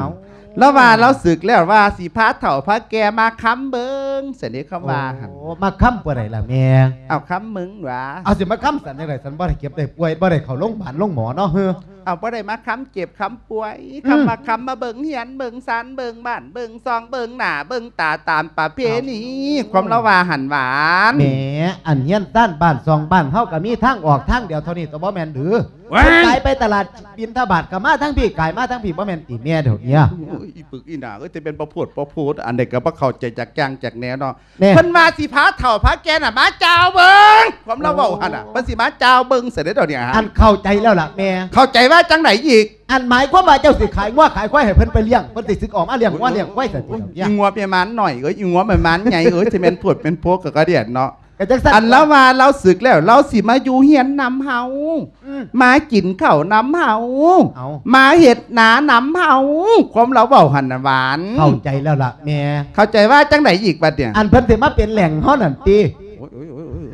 ເອົ້າ ລາວວ່າລາວສຶກແລ້ວ ວ່າຊິພາເຖົ້າພາແກ່ມາຄ້ຳເບິ່ງ ຊັ້ນເດ້ ຄຳວ່າຫັ້ນ ໂອ້ ມາຄ້ຳຜູ້ໃດລະແມ່? ເອົາ ຄ້ຳມຶງຫວາ ເອົາ ຊິມາຄ້ຳຊັ້ນຈັ່ງໃດ? ຊັ້ນບໍ່ໄດ້ເຈັບໄດ້ປ່ວຍ ບໍ່ໄດ້ເຂົ້າໂລງບານໂລງໝໍເນາະ ເຮີ ເອົາ ບໍ່ໄດ້ມາຄ້ຳເຈັບຄ້ຳປ່ວຍ ອືມ ຄ້ຳມາຄ້ຳມາເບິ່ງເຮືອນເບິ່ງຊານເບິ່ງບ້ານເບິ່ງຊ່ອງເບິ່ງໜ້າເບິ່ງຕາຕາມປະເພນີ ເອົ້າ ຄວາມລາວວ່າຫັ້ນຫວານ ແໝ ອັນເຮືອນຊານບ້ານຊ່ອງບ້ານເຮົາກໍມີທາງອອກທາງດຽວເທົ່ານີ້ຕົວະ ບໍ່ແມ່ນຫຼື? ວ້າຍ ຄົນຂາຍໄປຕະຫຼາດບິນທະບາດກໍມາທາງພີ້ ຂາຍມາທາງພີ້ ບໍ່ແມ່ນຕິແມ່ດຽວນີ້? ໂອ້ຍ ອີປຶກອີໜ້າເອີຍ ແຕ່ແມ່ນບໍ່ໂພດບໍ່ໂພດ ອັນໃດກໍບໍ່ເຂົ້າໃຈຈັກຢ່າງຈັກແນວເນາະ ແນ່ ເພິ່ນວ່າຊິພາເຖົ້າພາແກ່ນະມາຈາວເບິ່ງ ຄວາມລາວເວົ້າຫັ້ນນະ ເພິ່ນຊິມາຈາວເບິ່ງຊັ້ນເດ້ດຽວນີ້ ອັນເຂົ້າໃຈແລ້ວລະແມ່ ເຂົ້າໃຈວ່າຈັ່ງໃດອີກ? ອັນໝາຍຄວາມວ່າເຈົ້າຊິຂາຍງົວຂາຍຄວາຍໃຫ້ເພິ່ນໄປລ້ຽງ ເພິ່ນຊິສຶກອອກມາລ້ຽງງົວລ້ຽງຄວາຍຊັ້ນຕິດຽວນີ້? ອີງົວແມ່ມານໜ້ອຍເອີຍ ອີງົວແມ່ມານໃຫຍ່ເອີຍ ຊິແມ່ນໂພດແມ່ນໂພກໍກະດຽນເນາະ ກໍຈັ່ງຊັ້ນ ອັນລາວວ່າລາວສຶກແລ້ວ ລາວຊິມາຢູ່ເຮືອນນຳເຮົາ ອືມ ມາກິນເຂົ້ານຳເຮົາ ເອົ້າ ມາເຮັດນານຳເຮົາ ຄວາມລາວເວົ້າຫັ້ນນະຫວານ ເຂົ້າໃຈແລ້ວລະແມ່ ເຂົ້າໃຈວ່າຈັ່ງໃດອີກບັດນີ້? ອັນເພິ່ນຊິມາເປັນແຫຼ່ງເຮົານັ້ນຕິ? ໂອ້ຍ ໂອ້ຍ ໂອ້ຍ ໂອ້ຍ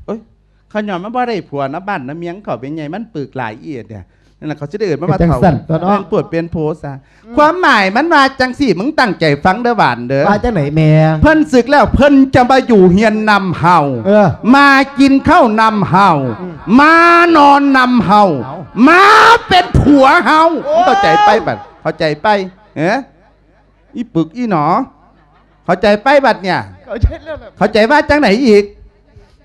ໂອ້ຍ ຂະຍ້ອນມັນບໍ່ໄດ້ຜົວນຳບ້ານນຳເມືອງເຂົາ ເປັນໃຫຍ່ມັນປຶກຫຼາຍເອີຍ ນັ້ນລະ ເຂົາຊິໄດ້ເອີ້ນມັນວ່າເຖົ້າ ເປັນຈັ່ງຊັ້ນຕົວະເນາະ ເອີ້ນປວດເປັນໂພຊະ ອືມ ຄວາມໝາຍມັນວ່າຈັ່ງຊີ້ ມຶງຕັ້ງໃຈຟັງເດີຫວານເດີ ວ່າຈັ່ງໃດແມ່? ເພິ່ນສຶກແລ້ວ ເພິ່ນຈະມາຢູ່ເຮືອນນຳເຮົາ ເອີ ມາກິນເຂົ້ານຳເຮົາ ອືມ ມານອນນຳເຮົາ ເອົ້າ ມາເປັນຜົວເຮົາ ໂອ້ຍ ເຂົ້າໃຈໄປບັດ ເຂົ້າໃຈໄປ ເອີ ອີປຶກອີໜໍ ເຂົ້າໃຈໄປບັດນີ້? ເຂົ້າໃຈແລ້ວແຫຼະ ເຂົ້າໃຈວ່າຈັ່ງໃດອີກ?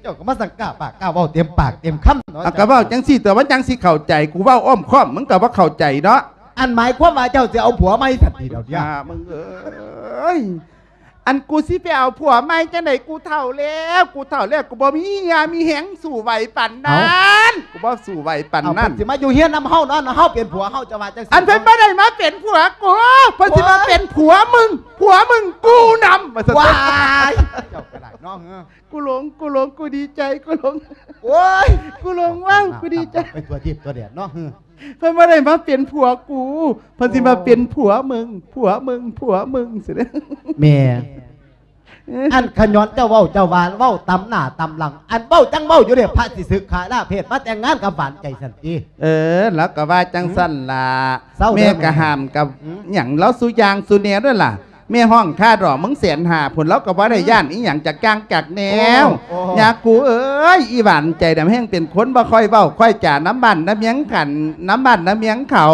ເຈົ້າກໍມາສັງກ້າປາກກ້າເວົ້າເຕັມປາກເຕັມຄຳເນາະ ເອົາ ກໍເວົ້າຈັ່ງຊີ້ຕົວະ ມັນຈັ່ງຊິເຂົ້າໃຈ ກູເວົ້າອ້ອມຄ້ອມ ມຶງກໍບໍ່ເຂົ້າໃຈເນາະ ອັນໝາຍຄວາມວ່າເຈົ້າຊິເອົາຜົວໃໝ່ຊັ້ນຕິດຽວນີ້? ອ່າ ມຶງເອີຍ ອັນກູຊິໄປເອົາຜົວໃໝ່ຈັ່ງໃດ? ກູເຖົ້າແລ້ວ ກູເຖົ້າແລ້ວ ກູບໍ່ມີເຫື່ອມີແຮງສູ້ໄຫວປານນັ້ນ ເອົ້າ ກູບໍ່ສູ້ໄຫວປານນັ້ນ ເອົາ ເພິ່ນຊິມາຢູ່ເຮືອນນຳເຮົາເນາະ ເຮົາເປັນຜົວເຮົາ ເຈົ້າວ່າຈັ່ງຊີ້ ອັນເພິ່ນບໍ່ໄດ້ມາເປັນຜົວກູ ເພິ່ນຊິມາເປັນຜົວມຶງ ຜົວມຶງກູນຳ ວ່າຊັ້ນ ວ້າຍ ເຈົ້າກໍໄດ້ເນາະ ເອີ ກູຫຼົງ ກູຫຼົງ ກູດີໃຈ ກູຫຼົງ ໂອ້ຍ ກູຫຼົງ ວ້າວ ກູດີໃຈ ໄປທົ່ວທີບທົ່ວແດນເນາະ ເພິ່ນບໍ່ໄດ້ມາເປັນຜົວກູ ເພິ່ນຊິມາເປັນຜົວມຶງ ຜົວມຶງ ຜົວມຶງຊີ້ເດ້ ແມ່ ອັນຂະຍ້ອນເຈົ້າເວົ້າ ເຈົ້າວ່າເວົ້າຕຳໜ້າຕຳຫຼັງ ອັນເວົ້າຈັ່ງເວົ້າຢູ່ເດ້ ພະຊິສຶກຂາລາເພດມາແຕ່ງງານກັບຫວານໃຈຊັ້ນຕິ? ເອີ ລາວກໍວ່າຈັ່ງຊັ້ນລະ ເຊົາເດີ ແມ່ກໍຫ້າມກັບ ອືມ ຫຍັງລາວສູ່ຢ່າງສູ່ແນວເດີລະ ແມ່ຮ້ອງຄ່າດອກມຶງແສນຫ້າພຸ້ນ ລາວກໍບໍ່ໄດ້ ອືມ ຢ້ານອີ່ຫຍັງຈັກຢ່າງຈັກແນວ ໂອ້ ຍາກູເອີຍ ອີຫວານໃຈນຳແຮງເປັນຄົນບໍ່ຄ່ອຍເວົ້າຄ່ອຍຈານຳບ້ານນຳເມືອງກັນ ນຳບ້ານນຳເມືອງເຂົາ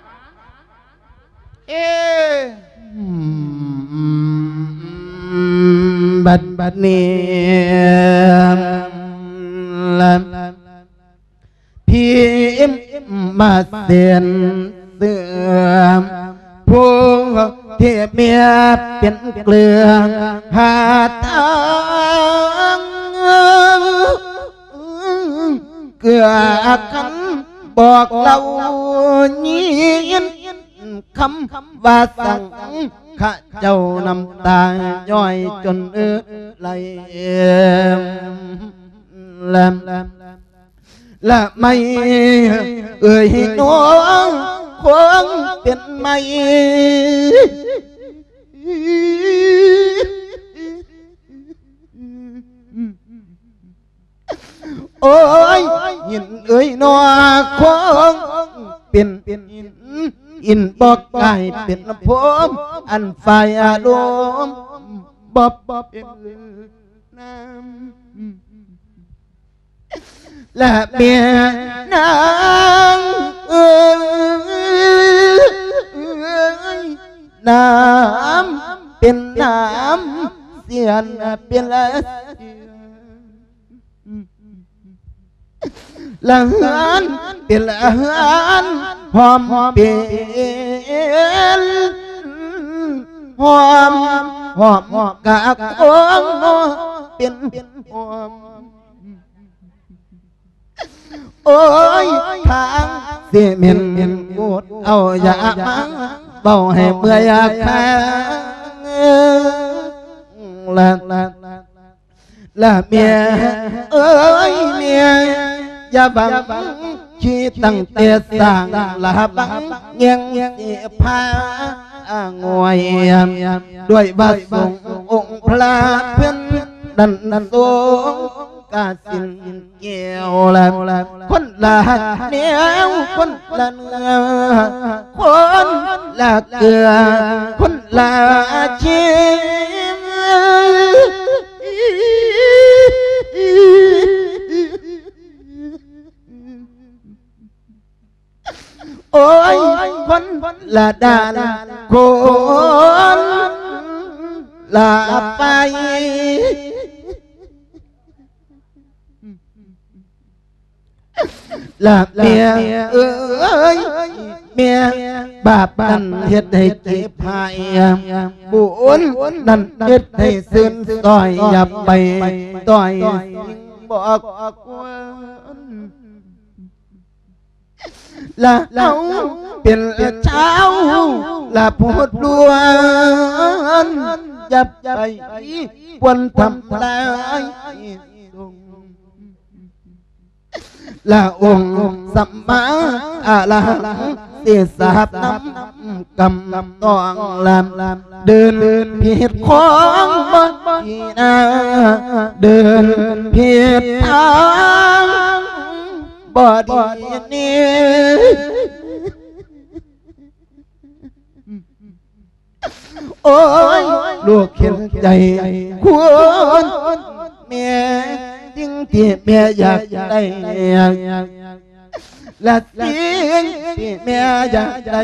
ເອ ບັດ ບັດນີ້ ພີມມາເສັ້ນເຊື່ອມ ຜູ້ທີ່ເມຍເປັນເກືອຫາທາງ ເກືອຄັນບອກເລົ່າຍິນ ຄຳວ່າສັງ ຂ້າເຈົ້ານ້ຳຕາຍ້ອຍຈົນເອື້ອໄຫຼແລມ ລະໄມເອີຍນ້ອງຄວງເປັນໄມ ໂອ້ຍ ຍິນເອີຍນ້ອງຄວງເປັນຫີນ ອິນບໍ່ກາຍເປັນພົມ ອັນຝ່າຍອາລົມບໍ່ເປັນ ນາມ ລະແມ່ນາງເອີຍ ນາມເປັນນາມ ສຽນເປັນລະ ລະເຮືອນເປັນລະເຮືອນ ຫອມເປັນ ຫອມ ຫອມກະກອງເປັນຫອມ ໂອ້ຍ ທາງຊິເໝັນ ກູດເອົາຢາມາ ເວົ້າໃຫ້ເມື່ອຍຄາງ ລະ ລະເມຍເອີຍເມຍ ຢ່າຫວັງຂີ້ຕັ້ງແຕ່ສ້າງ ລະຫາບັງແຍງຊິພາງ່ວຍ ດ້ວຍວ່າສົງອົງພະເພິ່ນນັ້ນ ສົງກາສິນແກ້ວ ລະຄົນລະແນວ ຄົນລະເນື້ອ ຄົນລະເກືອ ຄົນລະຊີບ ໂອ້ຍ ຄົນລະດ້ານ ຄົນລະໄປ ລະເມຍເອີຍ ເມຍ ບາບນັ້ນເຮັດໃຫ້ເຈັບໃຫ້ ບຸນນັ້ນເຮັດໃຫ້ຊື່ນຊ່ອຍ ຢ່າໄປຕ່ອຍສິ່ງບໍ່ຄວນ ລະເຮົາເປັນຊາວລະພຸດລ້ວນ ຢ່າໄປປວນທຳລາຍ ລະອົງສຳມາອະລະຫັງ ຊິສາບນຳກຳຕ້ອງລຳ ເດີນຜິດຂອງບໍ່ດີນາ ເດີນຜິດທາງບໍ່ດີນີ້ ໂອ້ຍ ລູກເຫັນໃຈຄວນແມ່ ສິ່ງທີ່ແມ່ຢາກໄດ້ ລະສິ່ງທີ່ແມ່ຢາກໄດ້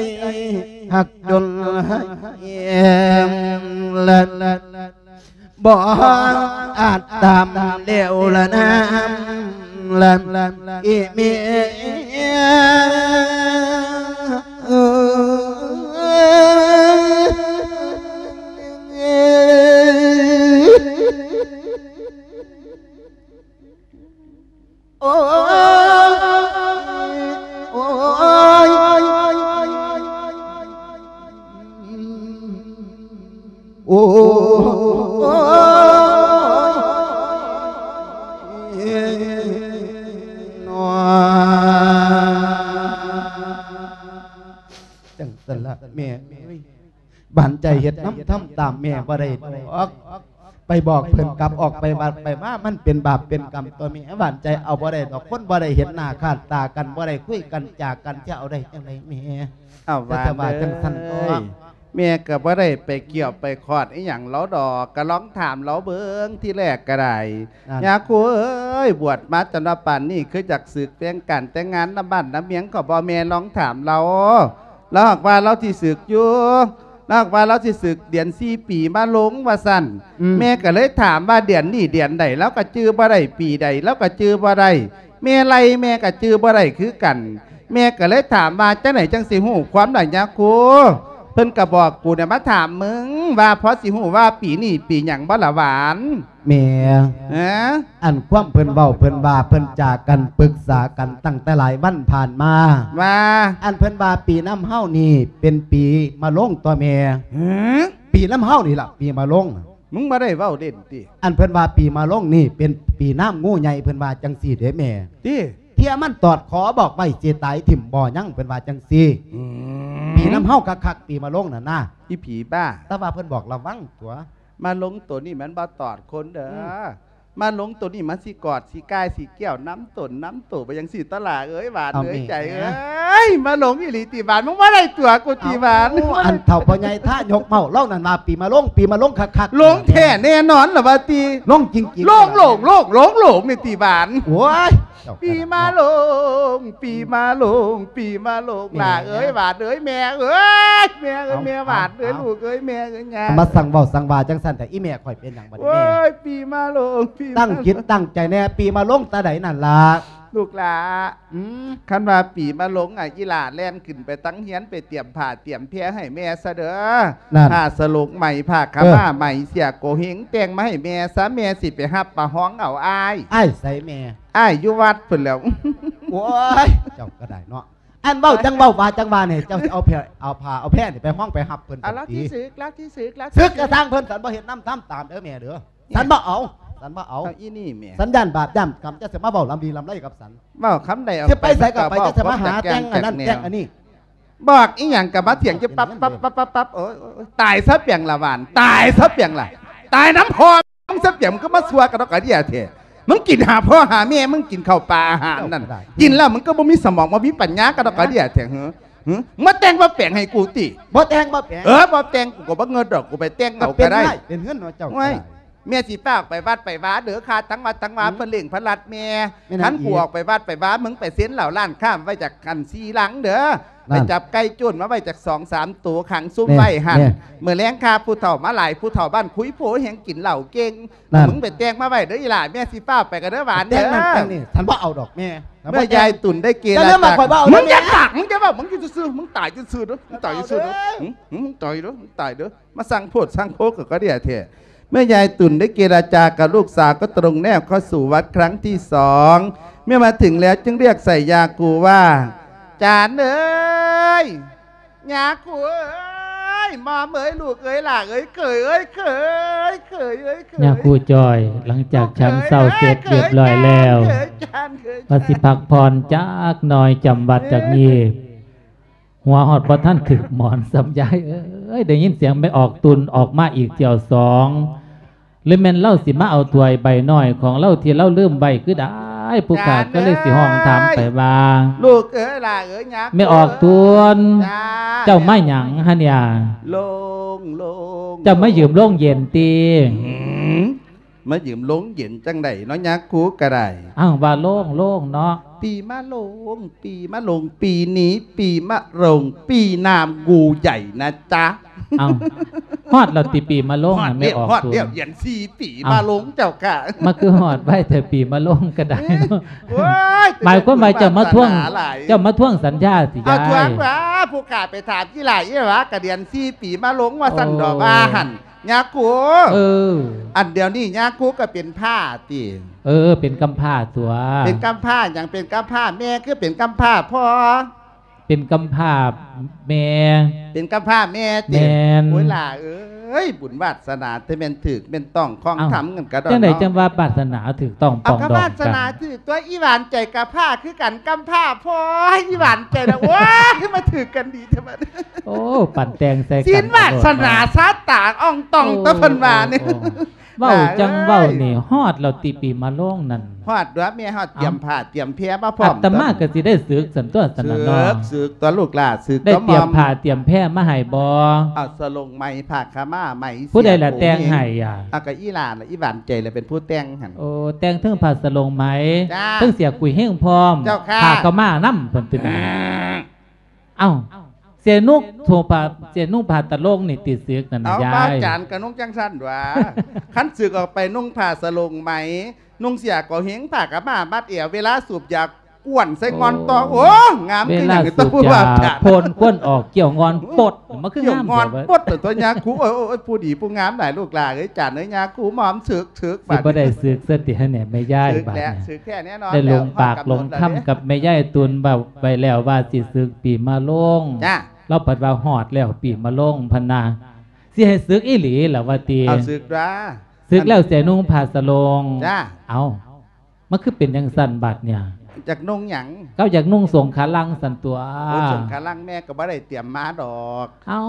ຮັກຈົນໃຫ້ແຮງ ລະ ບໍ່ອາດຕາມແລ້ວລະນາມ ລະອີເມຍ ແມ່ເອີຍ ຫວານໃຈເຮັດນຳທຳຕາມແມ່ບໍ່ໄດ້ດອກ ໄປບອກເພິ່ນກັບອອກໄປວັດໄປວາ ມັນເປັນບາບເປັນກຳຕົວແມ່ ຫວານໃຈເອົາບໍ່ໄດ້ດອກ ຄົນບໍ່ໄດ້ເຫັນໜ້າຄ່າຕາກັນ ບໍ່ໄດ້ຄຸຍກັນຈາກັນ ຈະເອົາໄດ້ຈັ່ງໃດແມ່? ເອົາ ແຕ່ວ່າ ວ່າ ຈັ່ງຊັ້ນເນາະ ເອີຍ ແມ່ກໍບໍ່ໄດ້ໄປກ່ຽວໄປຂອດອີ່ຫຍັງລາວດອກ ກໍລອງຖາມລາວເບິ່ງທີແລກກໍໄດ້ ນັ້ນ ຍາຄູເອີຍ ບວດມາຈົນວ່າປານນີ້ ຄືຢາກສຶກແຕ່ງການແຕ່ງງານນຳບ້ານນຳເມືອງກໍບໍ່ແມ່ນ ລອງຖາມລາວ ລາວຫາກວ່າລາວຊິສຶກຢູ່ ລາວຫາກວ່າລາວຊິສຶກເດືອນສີ່ປີມາລົງວ່າຊັ້ນ ອືມ ແມ່ກໍເລີຍຖາມວ່າເດືອນນີ້ເດືອນໃດ ລາວກໍຈື່ບໍ່ໄດ້ ປີໃດລາວກໍຈື່ບໍ່ໄດ້ ແມ່ໄລ່ແມ່ກໍຈື່ບໍ່ໄດ້ຄືກັນ ແມ່ກໍເລີຍຖາມວ່າ ຈັ່ງໃດຈັ່ງຊິຮູ້ຄວາມລະຍາຄູ ເພິ່ນກໍບອກກູນະ ມາຖາມມຶງວ່າ ພໍຊິຮູ້ວ່າປີນີ້ປີຫຍັງບໍ່ລະຫວານ? ແມ່ ຮະ? ອັນຄວາມເພິ່ນເວົ້າ ເພິ່ນວ່າເພິ່ນຈາກັນປຶກສາກັນຕັ້ງແຕ່ຫຼາຍວັນຜ່ານມາ ວ່າ ອັນເພິ່ນວ່າປີນຳເຮົານີ້ເປັນປີມະລົງຕົວະແມ່ ຮະ? ປີນຳເຮົານີ້ລະ ປີມະລົງ ມຶງບໍ່ໄດ້ເວົ້າເລ່ນຕິ? ອັນເພິ່ນວ່າປີມະລົງນີ້ເປັນປີນາມງູໃຫຍ່ ເພິ່ນວ່າຈັ່ງຊີ້ເດ້ແມ່ ຕິ? ເທື່ອມັນຕອດຂໍບອກໄວ້ຊິຕາຍຖິ້ມບໍ່ຍັງ ເພິ່ນວ່າຈັ່ງຊີ້ ອືມ ປີນຳເຮົາຄັກໆ ປີມະລົງນັ້ນນະ ອີຜີບ້າ ແຕ່ວ່າເພິ່ນບອກລະວັງຕົວະ ມະລົງໂຕນີ້ມັນບໍ່ຕອດຄົນເດີ ອືມ ມະລົງໂຕນີ້ມັນຊິກອດ ຊິກ່າຍ ຊິແກ້ວນຳຕົນນຳໂຕໄປຈັ່ງຊີ້ຕົວະຫຼ້າເອີຍ ຫວານເອີຍ ເອົາແມ່ ໃຈເອີຍ ມະລົງອີ່ຫຼີຕິຫວານ ມຶງບໍ່ໄດ້ຕົວະກູຕິຫວານ ເອົາ ອັນເຖົ້າພໍ່ໃຫຍ່ທາຍົກເມົາເຫຼົ່ານັ້ນວ່າ ປີມະລົງ ປີມະລົງຄັກໆ ລົງແທ້ແນ່ນອນລະວ່າຕິ ລົງຈິງໆ ລົງ ລົງ ລົງ ລົງ ລົງນີ້ຕິຫວານ ໂອ້ຍ ເຈົ້າ ປີມະລົງ ປີມະລົງ ປີມະລົງ ແມ່ ຫຼ້າເອີຍ ຫວານເອີຍ ແມ່ເອີຍ ແມ່ເອີຍ ເອົາ ແມ່ຫວານເອີຍ ເອົາ ລູກເອີຍ ແມ່ເອີຍ ຍ່າ ມາສັ່ງເວົ້າສັ່ງວ່າຈັ່ງຊັ້ນແທ້ ອີແມ່ຂ້ອຍເປັນຫຍັງບັດນີ້ແມ່? ໂອ້ຍ ປີມະລົງ ປີມະລົງ ຕັ້ງຈິດຕັ້ງໃຈແນ່ ປີມະລົງຕາໃດນັ້ນລະ ລູກຫຼ້າ ອືມ ຄັນວ່າປີມະລົງ ອະ ອີຫຼ້າແລ່ນຂຶ້ນໄປຕັ້ງຮຽນ ໄປຕຽມຜ້າຕຽມແພໃຫ້ແມ່ຊະເດີ ນັ້ນ ຜ້າສະຫຼົງໄໝ ຜ້າຂາວມ້າ ເອີ ໄໝ ເສື້ອໂກເຮັງ ແຕ່ງມາໃຫ້ແມ່ຊະ ແມ່ຊິໄປຮັບປະຮອງເອົາອ້າຍ ອ້າຍໃສແມ່? ອ້າຍຢູ່ວັດພຸ້ນແຫຼ້ວ ໂອ້ຍ ເຈົ້າກໍໄດ້ເນາະ ອັນເວົ້າຈັ່ງເວົ້າ ວ່າຈັ່ງວ່ານີ້ ເຈົ້າຊິເອົາແພ ເອົາຜ້າເອົາແພນີ້ໄປຮອງໄປຮັບເພິ່ນ ອາ ລາວທີ່ ຕິ ສຶກ ລາວທີ່ສຶກ ລາວທີ່ ສຶກກະຊ່າງເພິ່ນ ສັນບໍ່ເຮັດນຳທຳຕາມເດີແມ່ເດີ ສັນບໍ່ເອົາ ສັນບໍ່ເອົາ ເອົາອີນີ້ແມ່ ສັນຢ້ານບາບຢ້ານກຳ ເຈົ້າຊິມາເວົ້າລຳລີລຳໄລກັບສັນ ເວົ້າຄຳໃດອອກ ຊິໄປໃສກໍໄປ ເຈົ້າຊິມາຫາແຕ່ງອັນນັ້ນແຕ່ງອັນນີ້ ບອກອີ່ຫຍັງກໍມາຖຽງຢູ່ປັບໆໆໆ ໂອ້ຍ ຕາຍຊະປຽງລະຫວານ ຕາຍຊະປຽງລະ ຕາຍນຳພໍ່ ມຶງຊະປຽງ ມຶງກໍມາຊົ່ວກະດອກກະເດຍແທ້ ມຶງກິນຫາພໍ່ຫາແມ່ ມຶງກິນເຂົ້າປາອາຫານນັ້ນ ເຈົ້າກໍໄດ້ ກິນແລ້ວມຶງກໍບໍ່ມີສະໝອງ ບໍ່ມີປັນຍາກະດອກກະເດຍແທ້ ຫື ຫື ມາແຕ່ງມາແປງໃຫ້ກູຕິ ບໍ່ແຕ່ງບໍ່ແປງ ເອີ ບໍ່ແຕ່ງ ກູກໍບໍ່ເງິດດອກ ກູໄປແຕ່ງເອົາກໍໄດ້ ເປັນເຮືອນເນາະເຈົ້າ ໂອ້ຍ ກໍໄດ້ ແມ່ຊິພາອອກໄປວັດໄປວາເດີ ຄ່າທັງວັດທັງວາ ອືມ ເພິ່ນເລັ່ງເພິ່ນລັດແມ່ ແມ່ນຫຍັງອີກ ຄັນກູອອກໄປວັດໄປວາ ມຶງໄປເຊັນເຫຼົ້າຮ້ານຄ້າໄວ້ຈັກອັນສີ່ລັງເດີ ນັ້ນ ໄປຈັບໄກ່ໂຈນມາໄວ້ຈັກສອງສາມໂຕ ຂັງຊຸມໄວ້ຫັ້ນ ແມ່ນ ມື້ແລງຂ້າຜູ້ເຖົ້າມາຫຼາຍ ຜູ້ເຖົ້າບ້ານຄຸຍໂພແຮງກິນເຫຼົ້າເກັ່ງ ນັ້ນ ມຶງໄປແຕ່ງມາໄວ້ເດີອີຫຼ້າ ແມ່ຊິຟ້າວໄປກັນເດີຫວານເດີ ແຕ່ງນັ້ນແຕ່ງນີ້ ສັນບໍ່ເອົາດອກແມ່ ເມື່ອຍາຍຕຸ່ນໄດ້ເກລາຈາ ຢ່າລືມວ່າຂ້ອຍບໍ່ເອົາເດີ ມຶງຢ່າປາກ ມຶງຢ່າເວົ້າ ມຶງຢູ່ຊື່ໆ ມຶງຕາຍຢູ່ຊື່ໆເດີ ມຶງຕາຍຢູ່ຊື່ໆເດີ ຫື ຫື ມຶງຕາຍເດີ ຕາຍເດີ ມາສ້າງໂພດສ້າງໂພກໍ ກໍເດຍແທ້ ເມື່ອຍາຍຕຸ່ນໄດ້ເກລາຈາກັບລູກສາວ ກໍຕຣົງແນວເຂົ້າສູ່ວັດຄັ້ງທີສອງ ເມື່ອມາເຖິງແລ້ວຈຶ່ງຮຽກໃສ່ຍາຄູວ່າ ຈານເອີຍ ຍາຄູເອີຍ ໝໍມເອີຍ ລູກເອີຍ ຫຼ້າເອີຍ ເຂີຍເອີຍ ເຂີຍ ເຂີຍເອີຍ ເຂີຍ ຍາຄູຈ່ອຍ ຫຼັງຈາກ ລູກເຂີຍ ສັນເຊົາເສັດຮຽບຮ້ອຍແລ້ວ ເຂີຍຈານ ເຂີຍຈານ ວ່າຊິພັກຜ່ອນຈັກໜ່ອຍ ຈຳວັດຈັກມີບ ເອີຍ ຫົວຮອດບໍ່ທັນຖືກໝອນຊ້ຳ ຍາຍເອີຍ ໄດ້ຍິນສຽງແມ່ອອກຕຸ່ນອອກມາອີກຖ້ຽວສອງ ຫຼືແມ່ນລາວຊິມາເອົາຖ້ວຍໃບນ້ອຍຂອງລາວທີ່ລາວລືມໄວ້ຄືໃດ ຜູ້ຂ້າກໍເລີຍຊິຮ້ອງຖາມໄປວ່າ ລູກເອີຍ ຫຼ້າເອີຍ ຍາຄູ ແມ່ອອກຕຸ່ນ ເອີຍ ເຈົ້າມາຫຍັງຫັ້ນເນຍ ໂລງ ໂລງ ເຈົ້າມາຢືມໂລງເຢັນຕິ ຫືມ ມາຢືມໂລງເຢັນຈັ່ງໃດເນາະ ຍາຄູກໍໄດ້ ອ້າວ ວ່າໂລງ ໂລງເນາະ ປີມະໂລງ ປີມະໂລງ ປີນີ້ປີມະໂລງ ປີນາມງູໃຫຍ່ນະຈ໊ະ ອ້າວ ຮອດແລ້ວຕິ ປີມະໂລງ ຮອດແລ້ວ ແມ່ອອກຕຸ່ນ ຮອດແລ້ວ ເດືອນສີ່ປີ ອ້າວ ມະໂລງເຈົ້າຂ້າ ມາຄືຮອດໄວແທ້ ປີມະໂລງກໍໄດ້ເນາະ ໂອ້ຍ ໝາຍຄວາມວ່າເຈົ້າມາທວງ ເຈົ້າມາທວງສັນຍາຕິຍາຍ ເອົາ ທວງວ່າ ຜູ້ຂ້າໄປຖາມອີຫຼ້າອີຫວາ ກະເດືອນສີ່ປີມະໂລງວ່າຊັ້ນດອກ ໂອ້ ວ່າຫັ້ນ ຍາຄູ ເອີ ອັນດຽວນີ້ຍາຄູກໍເປັນພ້າຕິ ເອີ ເປັນກຳພ້າຕົວະ ເປັນກຳພ້າຫຍັງ ເປັນກຳພ້າແມ່ ຄືເປັນກຳພ້າພໍ່ ເປັນກຳພ້າແມ່ ເປັນກຳພ້າແມ່ຕິ ແມ່ນ ໂອ້ຍ ຫຼ້າເອີຍ ເອີຍ ບຸນວາດສະໜາ ແຕ່ແມ່ນຖືກແມ່ນຕ້ອງ ຂອງ ເອົ້າ ທຳກັນກະດອນ ຈັ່ງໃດ ເນາະ ຈັ່ງວ່າວາດສະໜາຖືກຕ້ອງປອງດອງກັນ? ເອົາ ກະວາດສະໜາຖືກຕົວະ ອີ່ຫວານໃຈກະພ້າຄືກັນ ກຳພ້າ ໂພຍ ອີ່ຫວານໃຈລະ ໂອ້ຍ ຄືມາຖືກກັນດີແທ້ບັດນີ້. ໂອ້ ປັ່ນແຕ່ງໃສ່ກັນ ສິນວາດສະໜາ ໂລດເນາະ ຊາຕາອ່ອງຕ່ອງ ໂອ້ ຕົວະເພິ່ນວ່ານີ້. ໂອ້ ໂອ້ ເວົ້າຈັ່ງເວົ້ານີ້ ໂອ້ຍ ຮອດແລ້ວຕິ ປີມະໂລງນັ້ນ? ຮອດຕົວະແມ່ ຮອດຕຽມ ເອົ້າ ຜ້າຕຽມແພມາພ້ອມ ອາດຕະມາກໍຊິໄດ້ສຶກຊັ້ນຕົວະ ຊັ້ນນະເນາະ. ສຶກ ສຶກຕົວະລູກຫຼ້າ ສຶກ ໄດ້ຕຽມຜ້າຕຽມແພມາໃຫ້ບໍ່? ເອົາສະໂລງໃໝ່ ຜ້າຂາວມ້າໃໝ່ ຜູ້ໃດລະແຕ່ງໃຫ້ອະ? ເອົາ ກໍອີ່ຫຼ້າລະ ອີ່ຫວານໃຈລະເປັນຜູ້ແຕ່ງຫັ້ນ. ໂອ້ ແຕ່ງເທິງຜ້າສະໂລງໃໝ່ ຈ້າ ເທິງເສື້ອກຸຍເຮງພ້ອມ ເຈົ້າຄ່ະ ຜ້າຂາວມ້ານຳ ເພິ່ນຕິ ເອົ້າ ເສຍນຸ່ງໂທ ຜ້າ ເສຍນຸ່ງຜ້າຕະໂລງນີ້ຕິ ສຶກນັ້ນນະ ເອົ້າ ຍາຍ ບ່າວຈານກະນຸ່ງຈັ່ງຊັ້ນຕົວະ. ຄັນສຶກອອກໄປນຸ່ງຜ້າສະໂລງໃໝ່ ນຸ່ງເສື້ອກໍເຮງ ຜ້າຂາວມ້າມັດແອວ ເວລາສູບຢາ ກວນໃສ່ງອນຕໍ່. ໂອ້ ໂອ້ ງາມຄືຫຍັງ ເວລາສູບຢາ ໂພນຄວັນອອກ ກ້ຽວງອນປົດ ມັນຄືງາມ ກ້ຽວງອນປົດ ແທ້ວະ ຕົວະຍາຄູ. ໂອ້ຍ ໂອ້ຍ ໂອ້ຍ ຜູ້ດີຜູ້ງາມຫຼາຍ ລູກຫຼ້າເອີຍ ຈານເອີຍ ຍາຄູ ໝອມ ສຶກ ສຶກ ຊິບໍ່ໄດ້ ບາດນີ້ ສຶກຊະຕິ ຫັ້ນແຫຼະ ແມ່ຍາຍ. ຮຶກແລ້ວ ບາດນີ້ ຮຶກແທ້ແນ່ນອນ ໄດ້ລົງປາກລົງຄຳກັບແມ່ຍາຍຕຸນ ເວົ້າໄວ້ແລ້ວວ່າຊິສຶກປີມະໂລງ. ຈ້າ ລາວພັດວ່າຮອດແລ້ວປີມະໂລງ ພັນນາ ຊິໃຫ້ສຶກອີ່ຫຼີລະວ່າຕິ? ເອົາ ສຶກດາ ສຶກແລ້ວເສຍນຸ່ງຜ້າສະໂລງ. ຈ້າ ເອົ້າ ມັນຄືເປັນຈັ່ງຊັ້ນບາດເນີ້ຍ? ຢາກນຸ່ງຫຍັງ? ເຈົ້າຢາກນຸ່ງສົງຂາລັງຊັ້ນຕົວະ. ໂອ້ ສົງຂາລັງແມ່ກໍບໍ່ໄດ້ຕຽມມາດອກ. ເອົ້າ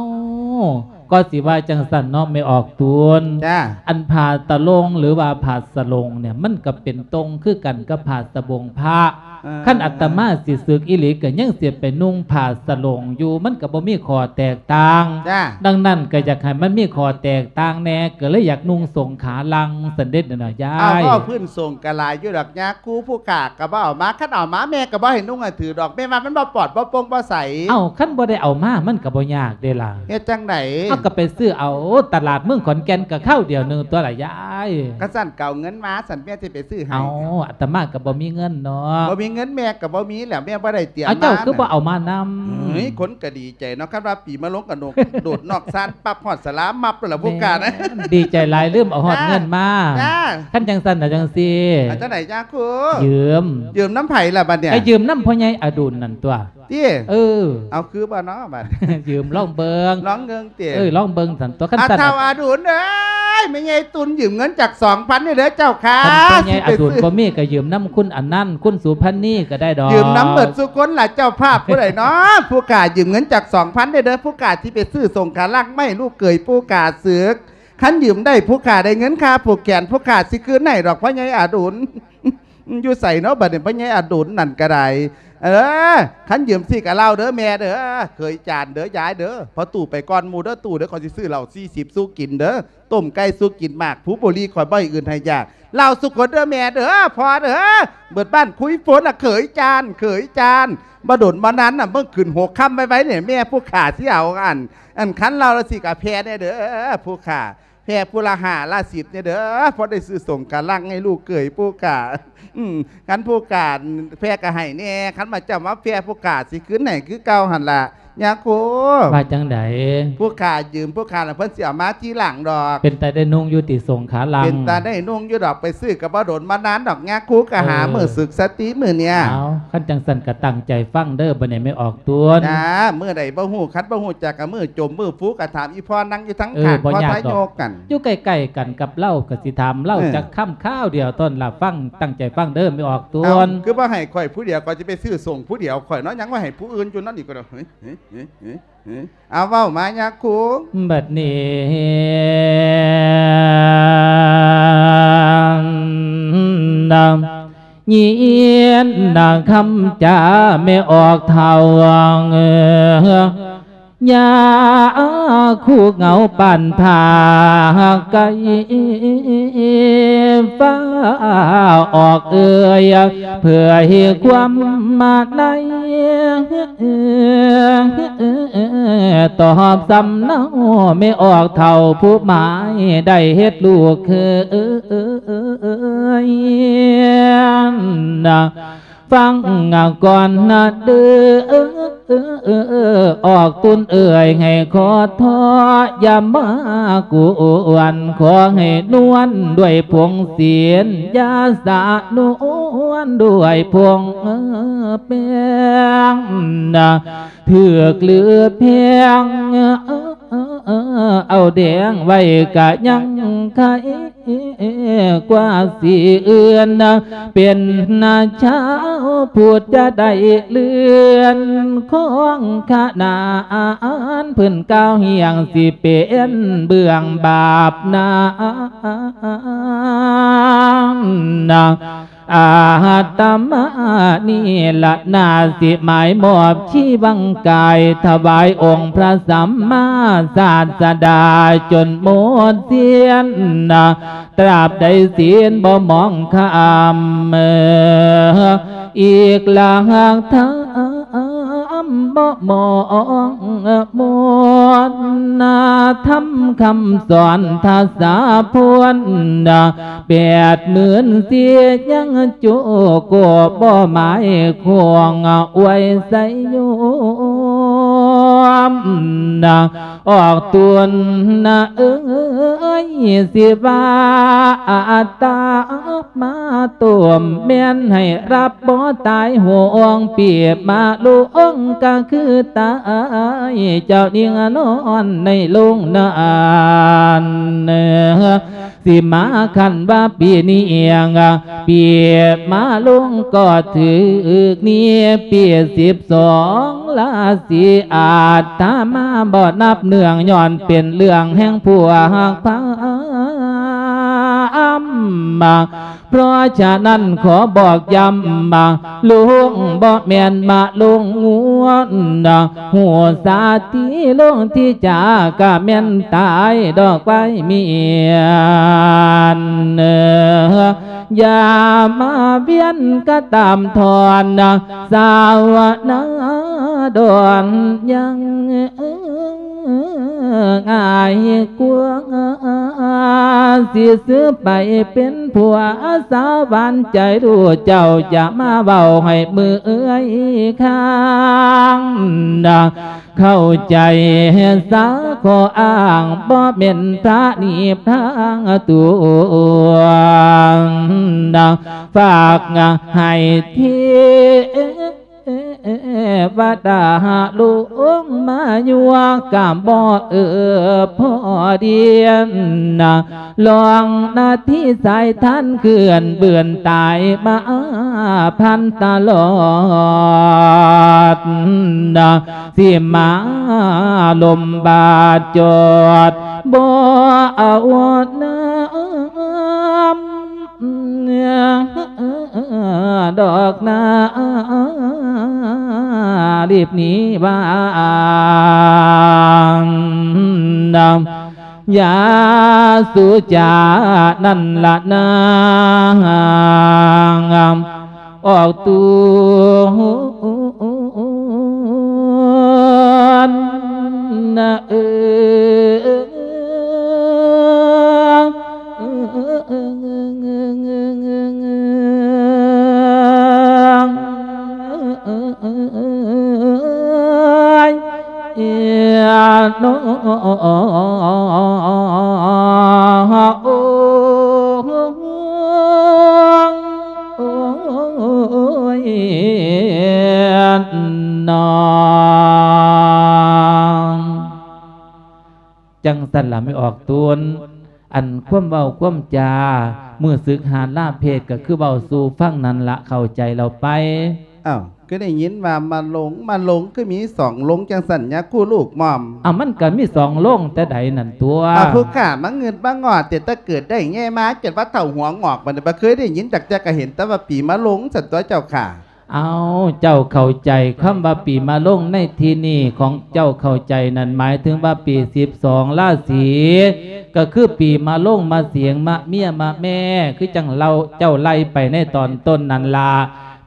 ກໍຊິວ່າຈັ່ງຊັ້ນເນາະ ແມ່ອອກຕຸນ. ຈ້າ ອັນຜ້າຕະໂລງ ຫຼືວ່າຜ້າສະໂລງເນີ້ຍ ມັນກໍເປັນຕົງຄືກັນກັບຜ້າສະບົງພະ. ເອີ ຄັນອາດຕະມາຊິສຶກອີ່ຫຼີ ກໍຍັງຊິໄປນຸ່ງຜ້າສະໂລງຢູ່ ມັນກໍບໍ່ມີຂໍ້ແຕກຕ່າງ. ຈ້າ ດັ່ງນັ້ນກໍຢາກໃຫ້ມັນມີຂໍ້ແຕກຕ່າງແດ່ ກໍເລີຍຢາກນຸ່ງສົງຂາລັງຊັ້ນເດເນາະຍາຍ. ເອົາ ເວົ້າພື້ນສົງກໍຫຼາຍຢູ່ດອກຍາຄູ ຜູ້ຂ້າກໍບໍ່ເອົາມາ ຄັນເອົາມາແມ່ກໍບໍ່ໃຫ້ນຸ່ງໃຫ້ຖືດອກ ແມ່ວ່າມັນບໍ່ປອດ ບໍ່ໂປ່ງ ບໍ່ໃສ. ເອົ້າ ຄັນບໍ່ໄດ້ເອົາມາ ມັນກໍບໍ່ຍາກເດລະ. ເຮັດຈັ່ງໃດ? ເຮົາກໍໄປຊື້ເອົາຕະຫຼາດເມືອງຂອນແກ່ນ ກໍຄາວດຽວໜຶ່ງຕົວະລະຍາຍ. ຄັນຊັ້ນກໍເອົາເງິນມາ ຊັ້ນແມ່ຊິໄປຊື້ໃຫ້. ເອົາ ອາດຕະມາກໍບໍ່ມີເງິນເນາະ. ບໍ່ມີເງິນແມ່ກໍບໍ່ມີແຫຼະ ແມ່ບໍ່ໄດ້ຕຽມມາ. ເອົາ ເຈົ້າຄືບໍ່ເອົາມານຳ? ເອີຍ ຄົນກໍດີໃຈເນາະ ຄັນວ່າປີມະໂລງກໍໂດດ ໂດດນອກຊານປັບ ຮອດສາລາມັບໂລດລະ ຜູ້ຂ້ານະ. ແມ່ນ ດີໃຈຫຼາຍ ລືມເອົາຮອດເງິນມາ. ຈ້າ ຄັນຈັ່ງຊັ້ນນະ ຈັ່ງຊີ້ ເອົາຈັ່ງໃດຍາຄູ? ຢືມ. ຢືມນຳໃຜລະບັດເນີ້ຍ? ກໍຢືມນຳພໍ່ໃຫຍ່ອະດຸນນັ້ນຕົວະ. ຕິ? ເອີ ເອົາຄືບໍ່ເນາະບັດ? ຢືມລອງເບິ່ງ. ລອງເບິ່ງຕິ? ເອີ ລອງເບິ່ງຊັ້ນຕົວະ ຄັນຊັ້ນ. ອາ ທ້າວອະດຸນເອີຍ ແມ່ໃຫຍ່ຕຸນຢືມເງິນຈັກສອງພັນນີ້ເດີເຈົ້າຄ່ະ. ຄັນພໍ່ໃຫຍ່ອະດຸນບໍ່ມີກໍຢືມນຳຄຸນອັນນັ້ນ ຄຸນສຸພັນນີກໍໄດ້ດອກ. ຢືມນຳເບິດສູ່ຄົນລະ ເຈົ້າພາບຜູ້ໃດເນາະ? ຜູ້ຂ້າຢືມເງິນຈັກສອງພັນນີ້ເດີ ຜູ້ຂ້າຊິໄປຊື້ສົງຂາລັງມາໃຫ້ລູກເຂີຍຜູ້ຂ້າສຶກ. ຄັນຢືມໄດ້ ຜູ້ຂ້າໄດ້ເງິນຄ່າຜູກແຂນ ຜູ້ຂ້າຊິຄືນໃຫ້ດອກ ພໍ່ໃຫຍ່ອະດຸນ. ຢູ່ໃສເນາະບັດນີ້ ພໍ່ໃຫຍ່ອະດຸນນັ້ນກໍໄດ້. ເອີ ຄັນຢືມຊິກະເລົ່າເດີແມ່ເດີ ເຂີຍຈານເດີ ຍາຍເດີ. ພໍ່ຕູ້ໄປກ່ອນໝູ່ເດີ ຕູ້ເດີ ຂ້ອຍຊິຊື້ເຫຼົ້າສີ່ສິບສູ່ກິນເດີ ຕົ້ມໄກ່ສູ່ກິນ ໝາກພູບູລີ ຂ້ອຍບໍ່ໃຫ້ອຶດໃຫ້ຢາກ. ເລົ່າສູ່ຄົນເດີແມ່ເດີ ພໍ່ເດີ ເບິດບ້ານຄຸຍໂຟນລະ ເຂີຍຈານ ເຂີຍຈານ. ບໍ່ດົນບໍ່ນານນະ ມື້ຂຶ້ນຫົກຄ່ຳໄວໆນີ້ ແມ່ຜູ້ຂ້າຊິເອົາອັນ ອັນຄັນເລົ່າລະຊິກະແຜ່ແດ່ເດີ ຜູ້ຂ້າ. ແຜ່ຜູ້ລະຫ້າລະສິບນີ້ເດີ ພໍໄດ້ຊື້ສົງຂາລັງໃຫ້ລູກເຂີຍຜູ້ຂ້າ. ອືມ ຄັນຜູ້ຂ້າແຜ່ກໍໃຫ້ແດ່ ຄັນວ່າເຈົ້າມາແຜ່ຜູ້ຂ້າຊິຄືນໃຫ້ຄືເກົ່າຫັ້ນລະຍາຄູ. ວ່າຈັ່ງໃດ? ຜູ້ຂ້າຢືມຜູ້ຂ້າລະ ເພິ່ນຊິເອົາມາທີຫຼັງດອກ. ເປັນຕາໄດ້ນຸ່ງຢູ່ຕິສົງຂາລັງ? ເປັນຕາໄດ້ນຸ່ງຢູ່ດອກ ໄປຊື້ກໍບໍ່ດົນບໍ່ນານດອກຍາຄູ ກໍຫາ ເອີ ມື້ສຶກຊະຕິມື້ເນີ້ຍ. ເອົາ ຄັນຈັ່ງຊັ້ນກໍຕັ້ງໃຈຟັງເດີ ບັດນີ້ແມ່ອອກ ຕົວະ. ຈ້າ ມື້ໃດບໍ່ຮູ້ ຄັນບໍ່ຮູ້ຈັກກໍມື້ຈົມ ມື້ຟູ ກໍຖາມອີ່ພໍ່ນັ່ງຢູ່ທາງ ເອີ ຂ້າງ ພໍ່ທາຍົກກັນ ຢູ່ໃກ້ໆກັນກັບລາວ ກໍຊິຖາມລາວ ເອີ ຈັກຄຳຄາວດຽວ ຕອນລະຟັງ ຕັ້ງໃຈຟັງເດີ ແມ່ອອກ ຕົວະ. ເອົ້າ ຄືບໍ່ໃຫ້ຂ້ອຍຜູ້ດຽວ ຂ້ອຍຊິໄປຊື້ສົ່ງຜູ້ດຽວຂ້ອຍເນາະ ຍັງວ່າໃຫ້ຜູ້ອື່ນຢູ່ນັ້ນອີກກໍດອກ. ເອີ ເອີ ເອີ ເອີ ເອີ ເອົາ ເວົ້າມາຍາຄູ. ບັດນີ້ນະ ຍິນນະຄຳຈາແມ່ອອກເຖົ້າ ຍາຄູເຫງົາປານຜາໄກ ຟ້າອອກເອີຍ ເຜີຍຄວາມມາໃນ ຕອບສຳເນົາແມ່ອອກເຖົ້າຜູ້ໝາຍ ໄດ້ເຮັດລູກເຂີຍ ຟັງກ່ອນນະເດີ ອອກຕຸນເອີຍ ໃຫ້ຂໍໂທດ ຢ່າມາກວນ ຂໍໃຫ້ນວນດ້ວຍຜົງສິນ ຢ່າສະນວນດ້ວຍຜົງແປ້ງ ຖືກຫຼືແພງ ເອົາແດງໄວ້ກະຍັງໄຄກວ່າສີອື່ນ ເປັນນາຊາວພຸດຈະໄດ້ເລື່ອນຂອງຂະນານ ເພິ່ນກ່າວຮຽງຊິເປັນເບື້ອງບາບນາ ອາດຕະມານີ້ລະນາ ຊິໝາຍມອບຊີວັງກາຍ ຖວາຍອົງພະສຳມາສາດສະດາຈົນໝົດສິ້ນ ຕາບໃດສິ້ນບໍ່ມອງຄຳ ອີກລະຫາກທຳບໍ່ມອງໝົດ ທຳຄຳສອນທະສາພົນ ແປດໝື່ນສີ່ຍັງຈຸກບໍ່ໝາຍຄວງໄວ້ໄສໂຍມ ອອກຕົນນະເອີຍ ຊິວ່າອາດຕະມາຕົວມ ແມ່ນໃຫ້ຮັບບໍ່ຕາຍ ຫ່ວງປີມາລົງກະຄືຕາຍ ເຈົ້າຍິງນອນໃນໂລງນັ້ນ ຊິມາຄັນວ່າປີນີ້ ປີມະລົງກໍຖືກນີ້ ປີສິບສອງລາສີ ອາດຕະມາບໍ່ນັບເນື່ອງ ຍ້ອນເປັນເລື່ອງແຫ່ງພວກພາມ ເພາະສະນັ້ນຂໍບອກຢ້ຳ ລົງບໍ່ແມ່ນມະລົງງວນ ຮູ້ສາຕິລົງທີ່ຈາກະແມ່ນຕາຍດອກໄວເມຍນ ຢ່າມາວຽນກະຕາມທອນ ສາວນາດອນຍັງອາຍກວ່າ ຊິຊື້ໄປເປັນຜົວສາວຫວານໃຈ ລູກເຈົ້າຈະມາເວົ້າໃຫ້ເມື່ອຍຄາງ ເຂົ້າໃຈສາ ຂໍອ້າງບໍ່ແມ່ນພະນິບທາງຕົວ ຝາກໃຫ້ເທວະດາລົງມາຢູ່ ກະບໍ່ເອີພໍດຽນ ລອງນາທີສາຍທານເຄື່ອນເບືອນຕາຍມາພັນຕະຫຼອດ ຊິມາລົມບາດຈອດ ບໍ່ເອົານຳດອກນາ ລີບໜີວ່າ ຢ່າສູ່ຈານັ້ນລະນາ ອອກຕົວນະເອີ ຍ ເອີ ໂນ ໂອ້ຍ ນອງ ຈັ່ງຊັ້ນລະ ແມ່ອອກຕົນ ອັນຄວາມເວົ້າຄວາມຈາ ມື້ສຶກຫາລາເພດ ກໍຄືເວົ້າສູ່ຟັງນັ້ນລະ ເຂົ້າໃຈແລ້ວໄປ? ອ້າວ ຄືໄດ້ຍິນວ່າມະລົງ ມະລົງ ຄືມີສອງລົງຈັ່ງຊັ້ນ ຍາຄູລູກໝ່ອມ? ອ້າວ ມັນກໍມີສອງລົງແຕ່ໃດນັ້ນຕົວະ? ອ້າວ ຜູ້ຂ້າມາງຶດມາງອດ ແຕ່ເກີດໄດ້ແງ່ມາ ຈົນວ່າເຖົ້າຫົວງອກ ບັດນີ້ບໍ່ເຄີຍໄດ້ຍິນຈັກເທື່ອ ກໍເຫັນແຕ່ວ່າປີມະລົງຊັ້ນຕົວະເຈົ້າຂ້າ. ເອົາ ເຈົ້າເຂົ້າໃຈຄຳວ່າປີມະລົງໃນທີ່ນີ້ຂອງເຈົ້າເຂົ້າໃຈນັ້ນ ໝາຍເຖິງວ່າປີສິບສອງລາສີ ກໍຄືປີມະລົງ ມະເສງ ມະເມຍ ມະແມ່ ຄືຈັ່ງເລົ່າ ເຈົ້າໄລ່ໄປໃນຕອນຕົ້ນນັ້ນລະ.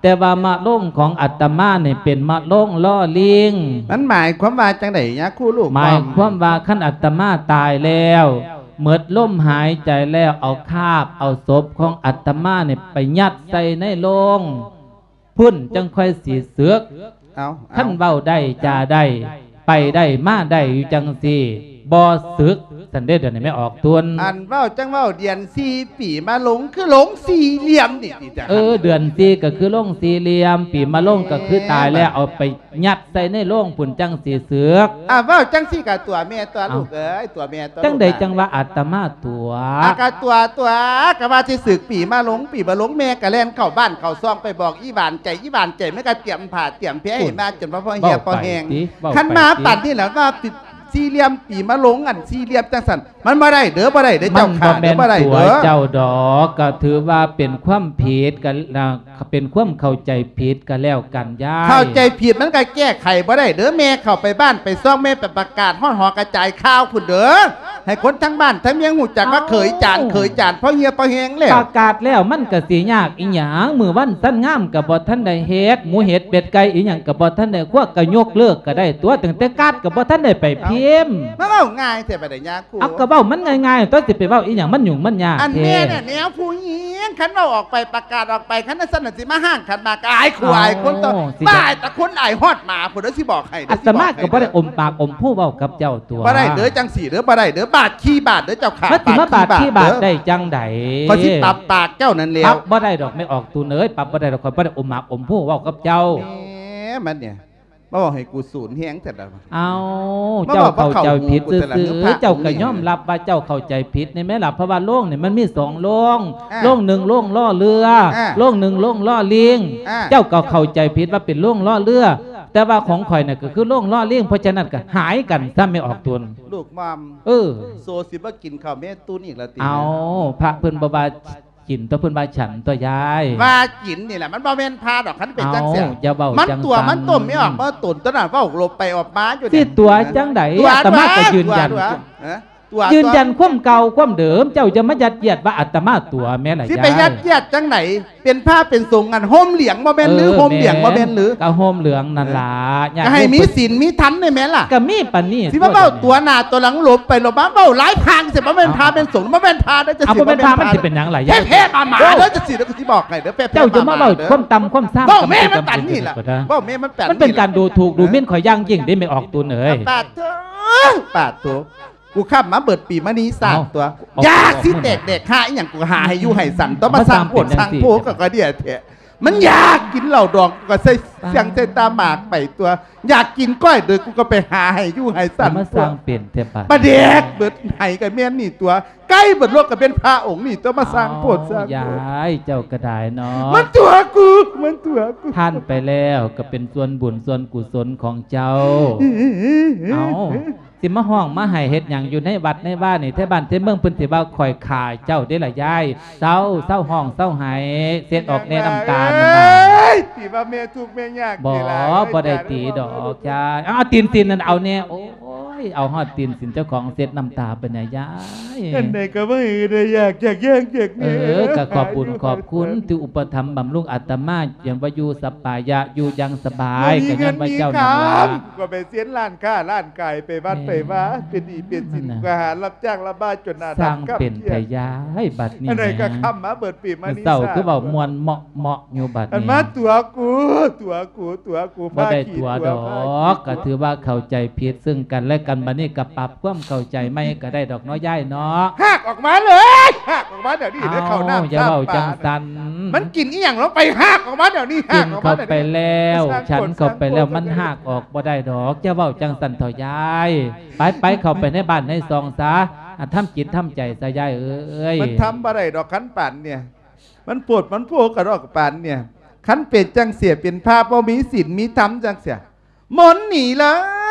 ແຕ່ວ່າມະລົງຂອງອາດຕະມານີ້ເປັນມະລົງລໍລີງ. ມັນໝາຍຄວາມວ່າຈັ່ງໃດຍາຄູລູກ? ໝາຍຄວາມວ່າຄັນອາດຕະມາຕາຍແລ້ວ ໝົດລົມຫາຍໃຈແລ້ວ ເອົາຄາບເອົາສົບຂອງອາດຕະມານີ້ໄປຍັດໃສ່ໃນໂລງ ພຸ້ນຈັ່ງຄ່ອຍຊິສຶກ. ເອົ້າ ຄັນເວົ້າໄດ້ຈາໄດ້ ໄປໄດ້ມາໄດ້ຢູ່ຈັ່ງຊີ້ ບໍ່ສຶກ ຊັ້ນເດ້ ດຽວນີ້ແມ່ອອກຕົນ ອັນເວົ້າຈັ່ງເວົ້າ ເດືອນສີ່ປີມະລົງ ຄືລົງສີ່ຫຼ່ຽມນີ້ຕິຈະ ເອີ ເດືອນສີ່ກໍຄືລົງສີ່ຫຼ່ຽມ ປີມະລົງກໍຄືຕາຍແລ້ວ ເອົາໄປຍັດໃສ່ໃນໂລງພຸ້ນ ຈັ່ງຊິເສິກ. ອາ ເວົ້າຈັ່ງຊີ້ກໍຕົວະແມ່ຕົວະລູກເອີຍ ຕົວະແມ່ຕົວະລູກ ຈັ່ງໃດຈັ່ງວ່າອາດຕະມາຕົວະ? ອາ ກໍຕົວະ ຕົວະ ກໍວ່າຊິເສິກປີມະລົງ ປີມະລົງ ແມ່ກໍແລ່ນເຂົ້າບ້ານເຂົ້າຊ່ອງໄປບອກອີ່ຫວານໃຈ ອີ່ຫວານໃຈ ແມ່ກໍຕຽມຜ້າຕຽມແພໃຫ້ມາ ຈົນວ່າພໍເຫ່ຍພໍແຮງ ຄັນມາປານນີ້ແຫຼະວ່າ ສີ່ຫຼ່ຽມປີມະລົງ ອັນສີ່ຫຼ່ຽມຈັ່ງຊັ້ນ ມັນບໍ່ໄດ້ເດີ ບໍ່ໄດ້ເດີ ເຈົ້າຂ້າເດີ ບໍ່ໄດ້ເດີ ເຈົ້າດອກ ກໍຖືວ່າເປັນຄວາມຜິດ ກໍເປັນຄວາມເຂົ້າໃຈຜິດກໍແລ້ວກັນຍາຍ ເຂົ້າໃຈຜິດມັນກໍແກ້ໄຂບໍ່ໄດ້ເດີ ແມ່ເຂົ້າໄປບ້ານໄປຊ່ອງ ແມ່ໄປປະກາດຮອດຫໍກະຈາຍຂ່າວພຸ້ນເດີ ໃຫ້ຄົນທັງບ້ານທັງເມືອງຮູ້ຈັກວ່າເຂີຍຈານ ເຂີຍຈານ ພໍເຫ່ຍພໍແຮງແລ້ວ ປະກາດແລ້ວມັນກໍຊິຍາກອີຫຍັງ ມື້ວັນສັນງາມກໍບໍ່ທັນໄດ້ເຮັດ ໝູເຫັດເປັດໄກ່ອີຫຍັງກໍບໍ່ທັນໄດ້ຄົວ ກໍຍົກເລີກກໍໄດ້ຕົວະ ຕັ້ງແຕ່ກາດກໍບໍ່ທັນໄດ້ໄປພິມ ມາເວົ້າງ່າຍແທ້ບາດນີ້ຍາຄູ ເອົາ ກໍເວົ້າມັນງ່າຍໆ ຕົວະ ຊິໄປເວົ້າອີຫຍັງ ມັນຫຍຸ້ງມັນຍາກ ອັນແທ້ ແມ່ນແນວຜູ້ຍິງ ຄັນເວົ້າອອກໄປ ປະກາດອອກໄປ ຄັນຊັ້ນຊິມາຫ້າງຂັນໝາກ ອາຍຄູອາຍຄົນຕົວະ ບ້າ ອາຍແຕ່ຄົນ ອາຍຮອດໝາພຸ້ນເດີ ຊິບອກໃຫ້ເດີ ອາດຕະມາກໍບໍ່ໄດ້ອົມປາກອົມພູເວົ້າກັບເຈົ້າຕົວະ ບໍ່ໄດ້ເດີ ຈັ່ງຊີ້ເດີ ບໍ່ໄດ້ເດີ ບາດຂີ້ບາດເດີ ເຈົ້າຂ້າ ມັນຊິມາບາດຂີ້ບາດໄດ້ຈັ່ງໃດ ຂ້ອຍຊິປັບປາກເຈົ້ານັ້ນແລ້ວ ປັບບໍ່ໄດ້ດອກ ແມ່ອອກຕູນເອີຍ ປັບບໍ່ໄດ້ດອກ ຂ້ອຍບໍ່ໄດ້ອົມໝາກອົມພູເວົ້າກັບເຈົ້າ ແໝ ມັນນີ້ ມາເວົ້າໃຫ້ກູສູນແຮງແທ້ລະ ເອົ້າ ເຈົ້າເຂົ້າໃຈຜິດຊື່ໆ ເຈົ້າກໍຍອມຮັບວ່າເຈົ້າເຂົ້າໃຈຜິດນີ້ແມ່ນລະ ເພາະວ່າໂລງນີ້ມັນມີສອງໂລງ ໂລງໜຶ່ງໂລງລໍ້ເຮືອ ໂລງໜຶ່ງໂລງລໍ້ລີງ ເຈົ້າກໍເຂົ້າໃຈຜິດວ່າເປັນໂລງລໍ້ເຮືອ ແຕ່ວ່າຂອງຂ້ອຍນີ້ກໍຄືໂລງລໍ້ລີງ ເພາະສະນັ້ນກໍຫາຍກັນຊະ ແມ່ອອກຕົນ ລູກໝ່ອມ ເອີ ໂຊຊິບໍ່ກິນເຂົ້າແມ່ຕູນອີກລະຕິ ເອົ້າ ພະເພິ່ນບໍ່ວ່າ ກິນຕົວະ ເພິ່ນວ່າສັນຕົວະຍາຍ ວ່າກິນນີ້ແຫຼະ ມັນບໍ່ແມ່ນພະດອກ ຄັນເປັນຈັ່ງຊີ້ ເອົ້າ ຢ່າເວົ້າ ມັນຕົວະ ມັນຕົ້ມ ອອກມາຕົນຕົວະນັ້ນ ເວົ້າຫຼົບໄປອອກມາຢູ່ນີ້ ຊິຕົວະຈັ່ງໃດ ອາດຕະມາກໍຢືນຢັນ ຕົວະ ຕົວະ ເອີ ຕົວະ ຢືນຢັນຄວາມເກົ່າຄວາມເດີມ ເຈົ້າຢ່າມາຍັດຢຽດວ່າອາດຕະມາຕົວະແມ່ນລະ ຊິໄປຍັດຢຽດຈັ່ງໃດ ເປັນພະເປັນສົງ ອັນຫົ່ມເຫຼືອງບໍ່ແມ່ນຫຼື ເອີ ຫົ່ມເຫຼືອງບໍ່ແມ່ນຫຼື ກໍຫົ່ມເຫຼືອງນັ້ນລະ ກໍໃຫ້ມີສິນມີທຳໄດ້ແມ່ນລະ ກໍມີປານນີ້ ຊິມາເວົ້າຕົວະໜ້າຕົວະຫຼັງ ຫຼົບໄປຫຼົບມາ ເວົ້າຫຼາຍທາງຊິ ບໍ່ແມ່ນພະແມ່ນສົງ ບໍ່ແມ່ນພະເດີ ເອົ້າ ບໍ່ແມ່ນພະ ມັນຊິເປັນຫຍັງລະ ແທ້ໆມາໆເດີ ຈັ່ງຊີ້ເດີ ຊິບອກໃຫ້ເດີ ເຈົ້າຢ່າມາເວົ້າຄວາມຕ່ຳຄວາມຊາມ ເວົ້າແມ່ມັນປານນີ້ລະ ເວົ້າແມ່ມັນປານນີ້ລະ ມັນເປັນການດູຖູກດູໝິ່ນຂ້ອຍຢ່າງຍິ່ງເດ້ ແມ່ອອກຕົນເອີຍ ປາດໂທ້ ປາດໂທ້ ກູຄ້ຳມາເບິດປີມະນີສາດຕົວະ ຢາກຊິແຕກແດກຫາອີ່ຫຍັງ ກູຫາໃຫ້ຢູ່ໃຫ້ສັນຕົວະ ມາສ້າງໂພດສ້າງໂພກໍກະເດຍແທ້ ມັນຢາກກິນເຫຼົ້າດອງ ກໍໃສ່ສຽງໃສ່ຕາໝາກໄປຕົວະ ຢາກກິນກ້ອຍເດີ ກູກໍໄປຫາໃຫ້ຢູ່ໃຫ້ສັນ ມາສ້າງເປັນແທ້ບາດ ປາແດກເບິດໄຫກໍແມ່ນນີ້ຕົວະ ໄກ່ເບິດໂລກກໍເປັນພະອົງນີ້ຕົວະ ມາສ້າງໂພດສ້າງໂພ ຍາຍ ເຈົ້າກໍໄດ້ເນາະ ມັນຕົວະກູ ມັນຕົວະກູ ຜ່ານໄປແລ້ວກໍເປັນສ່ວນບຸນສ່ວນກຸສົນຂອງເຈົ້າ ເອົ້າ ຊິມາຮ້ອງມາໄຫ້ເຮັດຫຍັງຢູ່ໃນວັດໃນວານີ້ ແຖວບ້ານແຖວເມືອງເພິ່ນຊິວ່າຂ້ອຍຂ້າເຈົ້າເດ້ລະຍາຍ ເຊົາ ເຊົາຮ້ອງເຊົາໄຫ້ ເຊັດອອກແນ່ນ້ຳຕານັ້ນນະ ເອີຍ ຕີວ່າແມ່ທຸກແມ່ຍາກ ບໍ່ ບໍ່ໄດ້ຕີດອກຍາຍ ເອົາຕີນຕີນນັ້ນເອົາແນ່ ໂອ້ຍ ເອົາຮອດຕີນຕີນເຈົ້າຂອງເຊັດນ້ຳຕາໄປນະຍາຍ ອັນໃດກໍບໍ່ໃຫ້ໄດ້ຢາກຢາກແຍ່ງຢາກແນ່ ເອີ ກໍຂອບບຸນຂອບຄຸນທີ່ອຸປະຖຳບຳລຸງອາດຕະມາ ຍັງວ່າຢູ່ສະບາຍ ຢູ່ຢ່າງສະບາຍ ກໍຍ້ອນວ່າເຈົ້ານັ້ນລະ ກໍໄປເຊັນຮ້ານຄ້າຮ້ານ ກາຍໄປວັດໄປວາ ເປັນໜີ້ເປັນສິນ ກໍຫາຮັບຈ້າງລຳບາກຈົນໜ້າດຳ ສ້າງເປັນແທ້ຍາຍ ບັດນີ້ ອັນໃດກໍຄ້ຳມາເບິດປີມະນີ ເຊົ້າຄືເວົ້າມ່ວນເມາະໆຢູ່ບັດນີ້ ອັນມາຕົວະກູ ຕົວະກູ ຕົວະກູ ບໍ່ໄດ້ຕົວະດອກ ກໍຖືວ່າເຂົ້າໃຈຜິດເຊິ່ງກັນແລະກັນ ບັດນີ້ກໍປັບຄວາມເຂົ້າໃຈໃໝ່ກໍໄດ້ດອກເນາະຍາຍເນາະ ຮາກອອກມາເລີຍ ຮາກອອກມາດຽວນີ້ເດີ ເຂົ້ານ້ຳ ເອົ້າ ຢ່າເວົ້າຈັ່ງຊັ້ນ ມັນກິນອີ່ຫຍັງລົງໄປ ຮາກອອກມາດຽວນີ້ ຮາກອອກມາດຽວນີ້ ກິນເຂົ້າໄປແລ້ວ ສັນເຂົ້າໄປແລ້ວ ມັນຮາກອອກ ບໍ່ໄດ້ດອກ ຢ່າເວົ້າຈັ່ງຊັ້ນເຖົ້າຍາຍ ໄປໆ ເຂົ້າໄປໃນບ້ານໃນຊ່ອງຊະ ອາ ທຳຈິດທຳໃຈຊະຍາຍເອີຍ ມັນທຳບໍ່ໄດ້ດອກ ຄັນປານເນີ້ຍ ມັນໂພດມັນໂພກະດອກປານເນີ້ຍ ຄັນເປັນຈັ່ງເສຍ ເປັນພະບໍ່ມີສິນມີທຳຈັ່ງເສຍ ມົນໜີເລີ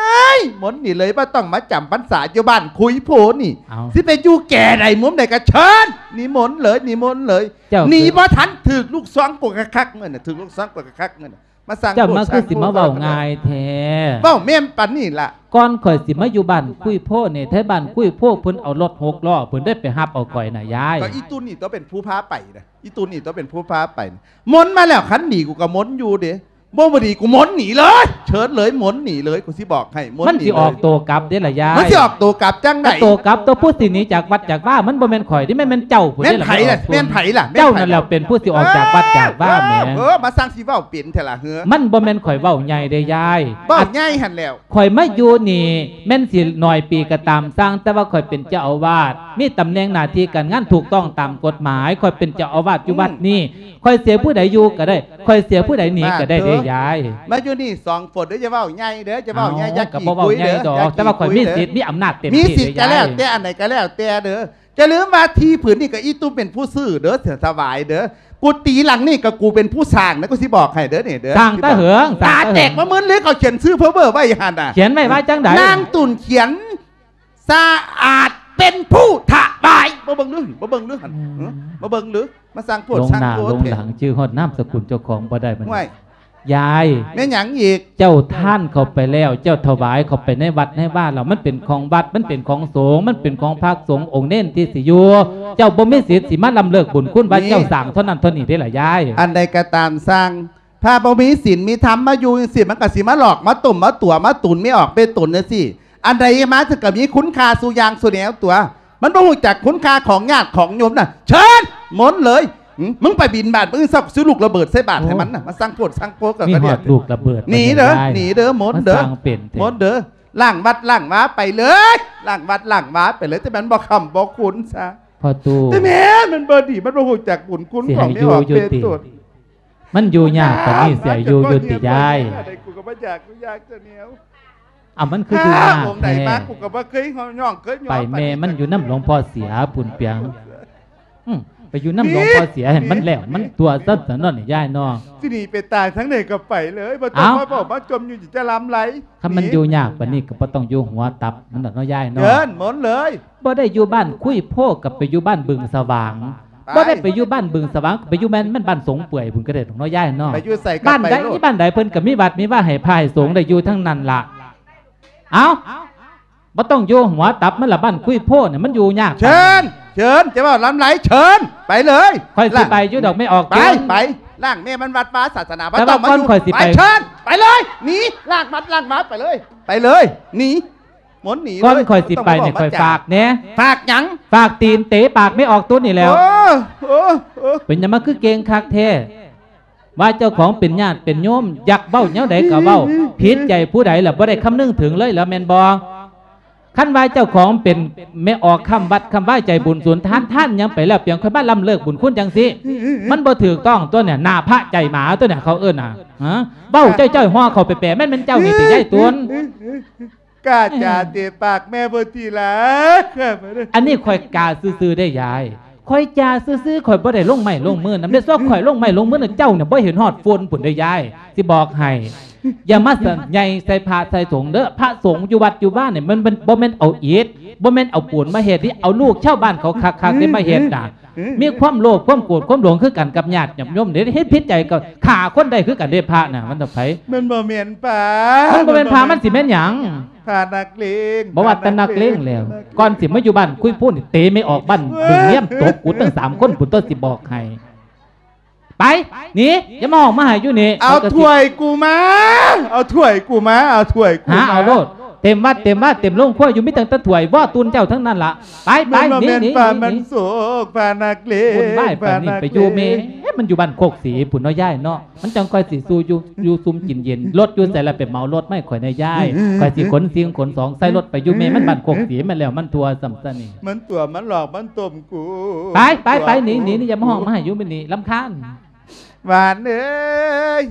ຍ ມົນໜີເລີຍ ບໍ່ຕ້ອງມາຈຳພັນສາຢູ່ບ້ານຄຸຍໂພນີ້ ເອົ້າ ຊິໄປຢູ່ແກ່ໃດມຸມໃດກະເຊີນ ນິມົນເລີຍ ນິມົນເລີຍ ໜີບໍ່ທັນ ຖືກລູກຊອງກົດກະຄັກເງິນ ຖືກລູກຊອງກົດກະຄັກເງິນ ມາສ້າງ ເຈົ້າມາຄືຊິມາເວົ້າງ່າຍແທ້ ເວົ້າແມ່ນປານນີ້ລະ ກ່ອນຂ້ອຍຊິມາຢູ່ບ້ານຄຸຍໂພນີ້ ແທ້ບ້ານຄຸຍໂພເພິ່ນເອົາລົດຫົກລໍ້ ເພິ່ນໄດ້ໄປຮັບເອົາຂ້ອຍນະຍາຍ ກໍອີ່ຕຸ່ນນີ້ຕົວະເປັນຜູ້ພາໄປນະ ອີ່ຕຸ່ນນີ້ຕົວະເປັນຜູ້ພາໄປ ມົນມາແລ້ວ ຄັນໜີກູກໍມົນຢູ່ເດ້ ບໍ່ ບໍ່ດີ ກູມ້ນໜີເລີຍ ເຊີນເລີຍ ມ້ນໜີເລີຍ ກູຊິບອກໃຫ້ ມ້ນໜີເລີຍ ມັນຊິອອກໂຕກັບເດ້ລະຍາຍ ມັນຊິອອກໂຕກັບຈັ່ງໃດ ກໍໂຕກັບຕົວ ຜູ້ຊິໜີຈາກວັດຈາກວາ ມັນບໍ່ແມ່ນຂ້ອຍເດ້ ແມ່ນ ແມ່ນເຈົ້າພຸ້ນເດ້ລະ ແມ່ນໃຜລະ ແມ່ນໃຜລະ ເຈົ້ານັ້ນແຫຼະເປັນຜູ້ຊິອອກຈາກວັດຈາກວາແໝ ເອີ ມາສ້າງຊິເວົ້າເປັນແທ້ລະເຮີ ມັນບໍ່ແມ່ນຂ້ອຍເວົ້າໃຫຍ່ເດ້ຍາຍ ເວົ້າໃຫຍ່ຫັ້ນແລ້ວ ຂ້ອຍມາຢູ່ນີ້ແມ່ນຊິໜ້ອຍປີກໍຕາມຊ່າງ ແຕ່ວ່າຂ້ອຍເປັນເຈົ້າອາວາດ ມີຕຳແໜ່ງໜ້າທີ່ການງານຖືກຕ້ອງຕາມກົດໝາຍ ຂ້ອຍເປັນເຈົ້າອາວາດຢູ່ວັດນີ້ ຂ້ອຍເສຍຜູ້ໃດຢູ່ກໍໄດ້ ຂ້ອຍເສຍຜູ້ໃດໜີກໍໄດ້ເດ້ຍາຍ ມາຢູ່ນີ້ສອງຄົນເດີ ຢ່າເວົ້າໃຫຍ່ເດີ ຢ່າເວົ້າໃຫຍ່ ເອົ້າ ຢ່າ ກໍບໍ່ເວົ້າໃຫຍ່ດອກ ແຕ່ວ່າຂ້ອຍມີສິດມີອຳນາດເຕັມທີ່ເດີຍາຍ ມີສິດກໍແລ້ວແຕ່ ອັນໃດກໍແລ້ວແຕ່ເດີ ຢ່າລືມວ່າທີ່ຜືນນີ້ກໍອີຕຸ່ມເປັນຜູ້ຊື້ເດີ ສະຫວາຍເດີ ກຸຕິຫຼັງນີ້ກໍກູເປັນຜູ້ສ້າງນະ ກູຊິບອກໃຫ້ເດີນີ້ເດີ ສ້າງແຕ່ເຫິງ ຕາແຕກມາມຶນເລີຍ ເຂົາຂຽນຊື່ເພີເບີໄວ້ຫັ້ນນະ ຂຽນໄວ້ວ່າຈັ່ງໃດ ນາງຕຸ່ນຂຽນ ສະອາດເປັນຜູ້ຖວາຍ ບໍ່ເບິ່ງຫຼື ບໍ່ເບິ່ງຫຼືຫັ້ນ ອືມ ບໍ່ເບິ່ງຫຼື ມາສ້າງໂພດສ້າງໂພດ ຫຼົງໜ້າຫຼົງຫຼັງ ຈື່ຮອດນາມສະກຸນເຈົ້າຂອງບໍ່ໄດ້ບັດນີ້ ຍາຍ ແມ່ນຫຍັງອີກ ເຈົ້າທານເຂົ້າໄປແລ້ວ ເຈົ້າຖວາຍເຂົ້າໄປໃນວັດໃນວາແລ້ວ ມັນເປັນຂອງວັດ ມັນເປັນຂອງສົງ ມັນເປັນຂອງພະສົງອົງເນນທີ່ຊິຢູ່ ເຈົ້າບໍ່ມີສິດຊິມາລຳເລີກບຸນຄຸນວ່າເຈົ້າສ້າງເທົ່ານັ້ນເທົ່ານີ້ເດ້ລະຍາຍ ອັນໃດກໍຕາມຊ່າງ ພະບໍ່ມີສິນມີທຳມາຢູ່ຈັ່ງຊີ້ ມັນກໍຊິມາຫຼອກມາຕົ້ມມາຕົວະມາຕຸນແມ່ອອກແມ່ຕົນຈັ່ງຊີ້ ອັນໃດມາເຖິງກໍມີຄຸນຄ່າສູ່ຢ່າງສູ່ແນວຕົວະ ມັນບໍ່ຮູ້ຈັກຄຸນຄ່າຂອງຍາດຂອງໂຍມນະ ເຊີນ ມົນເລີຍ ຫຶ ມຶງໄປບິນບາດມື້ອື່ນເຊົ້າ ຊິລູກລະເບີດໃສ່ບາດໃຫ້ມັນນະ ໂອ້ ມາສ້າງໂພດສ້າງໂພ ມີຮອດລູກລະເບີດ ໜີເດີ ໜີເດີ ມົນເດີ ມົນເດີ ລ້າງວັດລ້າງວາໄປເລີຍ ລ້າງວັດລ້າງວາໄປເລີຍ ແຕ່ມັນບໍ່ຄ້ຳບໍ່ຄຸນຊະ ພໍ່ຕູ້ ແຕ່ແມ່ນມັນບໍ່ດີ ມັນບໍ່ຮູ້ຈັກບຸນຄຸນຂອງແມ່ອອກແມ່ຕົນ ມັນຢູ່ຍາກປານນີ້ ຊິໃຫ້ຢູ່ຢູ່ຕິຍາຍ ກູກໍບໍ່ຢາກ ກູຢາກຈະແນວ ອ້າວ ມັນຄືຢູ່ຍາກແທ້ ອົງໃດມາ ກູກໍບໍ່ເຄີຍຮ້ອງເຄີຍຍ້ອງ ໄປແມ່ມັນຢູ່ນຳຫຼວງພໍ່ເສຍພຸ້ນປຽງ ອືມ ໄປຢູ່ນຳຫຼວງພໍ່ເສຍໃຫ້ມັນແລ້ວ ມັນຕົວະຊັ້ນສະເນາະຍາຍເນາະ ຊິໜີໄປຕາຍທາງໃດກໍໄປເລີຍ ບໍ່ຕ້ອງມາເວົ້າມາຈົ່ມຢູ່ຈະລຳໄລ ຄັນມັນຢູ່ຍາກປານນີ້ກໍບໍ່ຕ້ອງຢູ່ຫົວຕັບມັນດອກເນາະຍາຍເນາະ ເອີ້ນມົນເລີຍ ບໍ່ໄດ້ຢູ່ບ້ານຄຸຍໂພ ກໍໄປຢູ່ບ້ານບຶງສະຫວ່າງ ໄປ ບໍ່ໄດ້ໄປຢູ່ບ້ານບຶງສະຫວ່າງ ໄປຢູ່ແມ່ນ ແມ່ນບ້ານສົງເປື່ອຍພຸ້ນກໍໄດ້ດອກເນາະຍາຍເນາະ ໄປຢູ່ໃສກໍໄປໂລດ ບ້ານໃດມີບ້ານໃດເພິ່ນກໍມີວັດມີວາໃຫ້ພາໃຫ້ສົງໄດ້ຢູ່ທັງນັ້ນລະ ເອົ້າ ບໍ່ຕ້ອງຢູ່ຫົວຕັບມັນລະ ບ້ານຄຸຍໂພນີ້ມັນຢູ່ຍາກ ເຊີນ ເຊີນ ຈະເວົ້າລຳໄລ ເຊີນ ໄປເລີຍ ຂ້ອຍຊິໄປຢູ່ດອກແມ່ອອກ ໄປ ໄປ ລ້າງແມ່ມັນວັດວາສາສະໜາ ແຕ່ວ່າກ່ອນຂ້ອຍຊິໄປ ເຊີນ ໄປເລີຍ ໜີ ລ້າງວັດລ້າງວາໄປເລີຍ ໄປເລີຍ ໜີ ມົນໜີເລີຍ ກ່ອນຂ້ອຍຊິໄປນີ້ ຂ້ອຍຝາກແດ່ ຝາກຫຍັງ ຝາກຕີນເຕະປາກແມ່ອອກຕຸນນີ້ແຫຼ້ວ ໂອ້ ໂອ້ ໂອ້ ເປັນຫຍັງມາຄືເກັ່ງຄັກແທ້ ວ່າເຈົ້າຂອງເປັນຍາດເປັນໂຍມ ຢາກເວົ້າແນວໃດກໍເວົ້າ ຜິດໃຈຜູ້ໃດລະບໍ່ໄດ້ຄຳນຶງເຖິງເລີຍລະແມ່ນບໍ່ ຄັນວ່າເຈົ້າຂອງເປັນແມ່ອອກຄ້ຳວັດຄ້ຳວາໃຈບຸນສູນທານ ທານຫຍັງໄປແລ້ວ ປຽງຄ່ອຍມາລຳເລີກບຸນຄຸນຈັ່ງຊີ້ ມັນບໍ່ຖືກຕ້ອງຕົວະນີ້ ໜ້າພະໃຈໝາຕົວະນີ້ ເຂົາເອີ້ນນະ ຮະ ເວົ້າຈ້ອຍໆ ຫໍ່ເຂົ້າແປໆ ແມ່ນ ແມ່ນເຈົ້ານີ້ຕິຍາຍຕຸນ ກ້າຈາເຕະປາກແມ່ບໍ່ຕິລະ ອັນນີ້ຂ້ອຍກ້າຊື່ໆ ເດ້ຍາຍ ຂ້ອຍຈ້າຊື່ໆ ຂ້ອຍບໍ່ໄດ້ລົງໄມ້ລົງມືນຳເດ້ ສ່ວນຂ້ອຍລົງໄມ້ລົງມືນຳເຈົ້ານີ້ ບໍ່ເຫັນຮອດຝຸ່ນພຸ້ນເດ້ຍາຍ ຊິບອກໃຫ້ ຢ່າມາໃຫຍ່ໃສ່ພະໃສ່ສົງເດີ ພະສົງຢູ່ວັດຢູ່ວານີ້ ມັນ ມັນບໍ່ແມ່ນເອົາອິດ ບໍ່ແມ່ນເອົາປູນມາເຮັດເດ້ ເອົາລູກຊາວບ້ານເຂົາຄັກໆ ເດ້ມາເຮັດນະ ມີຄວາມໂລບຄວາມໂກດຄວາມຫຼົງຄືກັນກັບຍາດກັບໂຍມເດ້ ເຮັດຜິດໃຈກໍຂ້າຄົນໄດ້ຄືກັນເດ້ ພະນະ ມັນເປັນໃຜ ມັນບໍ່ແມ່ນພະ ມັນບໍ່ແມ່ນພະ ມັນຊິແມ່ນຫຍັງ ພະນັກເລງ ບໍ່ວ່າແຕ່ນັກເລງແລ້ວ ກ່ອນຊິມາຢູ່ບ້ານຄຸຍໂພນີ້ ເຕະແມ່ອອກບ້ານບຶງງຽມ ຕົບກູຕັ້ງສາມຄົນພຸ້ນຕົວະ ຊິບອກໃຫ້ ໄປ ໜີ ຢ່າມາຮ້ອງມາໄຫ້ຢູ່ນີ້ ເອົາຖ້ວຍກູມາ ເອົາຖ້ວຍກູມາ ເອົາຖ້ວຍກູມາ ຫາເອົາໂລດ ເຕັມວັດເຕັມວາເຕັມໂຮງຄົວຢູ່ ມີຕັ້ງແຕ່ຖ້ວຍວໍຕຸນເຈົ້າທັງນັ້ນລະ ໄປ ໄປ ໜີ ໜີ ໜີ ພະນັກເລງ ບຸນວາຍປານນີ້ໄປຢູ່ແມ່ ມັນຢູ່ບ້ານໂຄກສີພຸ້ນເນາະຍາຍເນາະ ມັນຈັ່ງຄ່ອຍຊິສູ່ຢູ່ ຢູ່ຊຸ່ມກິນເຢັນ ລົດຢູ່ໃສລະ ໄປເໝົາລົດມາໃຫ້ຂ້ອຍແດ່ຍາຍ ຂ້ອຍຊິຂົນສິ່ງຂົນຂອງໃສ່ລົດໄປຢູ່ແມ່ມັນບ້ານໂຄກສີ ມັນແລ້ວມັນທົ່ວຊ້ຳຊະນີ້ ມັນຕົວະມັນຫຼອກມັນຕົ້ມກູ ໄປ ໄປ ໄປ ໜີ ໜີ ໜີ ຢ່າມາຮ້ອງມາໄຫ້ຢູ່ມື້ນີ້ ລຳຄານ ຫວານເອີຍ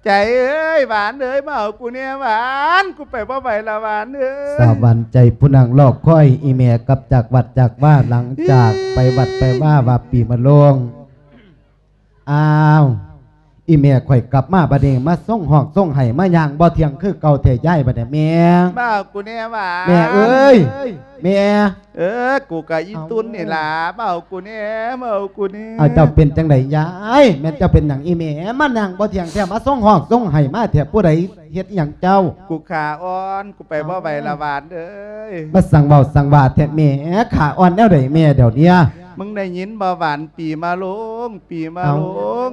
ໃຈເອີຍ ຫວານເອີຍ ມາເອົາກູແດ່ຫວານ ກູໄປບໍ່ໄຫວລະຫວານເອີຍ ສາວຫວານໃຈຜູ້ນັ່ງລໍຄອຍ ອີ່ແມ່ກັບຈາກວັດຈາກວາ ຫຼັງຈາກໄປວັດໄປວາວ່າປີມະໂລງ ອ້າວ ອີ່ແມ່ຂ້ອຍກັບມາບັດນີ້ ມາຊົງຮ້ອງຊົງໄຫ້ ມາຍ່າງບໍ່ທ່ຽງຄືເກົ່າແທ້ຍາຍ ບັດນີ້ແມ່ ມາເອົາກູແດ່ຫວານ ແມ່ເອີຍ ແມ່ ເອີ ກູກະອີຕຸ່ນນີ້ລະ ມາເອົາກູແດ່ ມາເອົາກູແດ່ ອ້າວ ເຈົ້າເປັນຈັ່ງໃດຍາຍ ແມ່ນເຈົ້າເປັນຫຍັງອີ່ແມ່ ມາຍ່າງບໍ່ທ່ຽງແທ້ ມາຊົງຮ້ອງຊົງໄຫ້ມາແທ້ ຜູ້ໃດເຮັດອີ່ຫຍັງເຈົ້າ ກູຂາອ່ອນ ກູໄປບໍ່ໄຫວລະຫວານເອີຍ ມາສັ່ງເວົ້າສັ່ງວ່າແທ້ແມ່ ຂາອ່ອນແນວໃດແມ່ດຽວເນີ້ຍ ມຶງໄດ້ຍິນບໍ່ຫວານ ປີມະໂລງ ປີມະໂລງ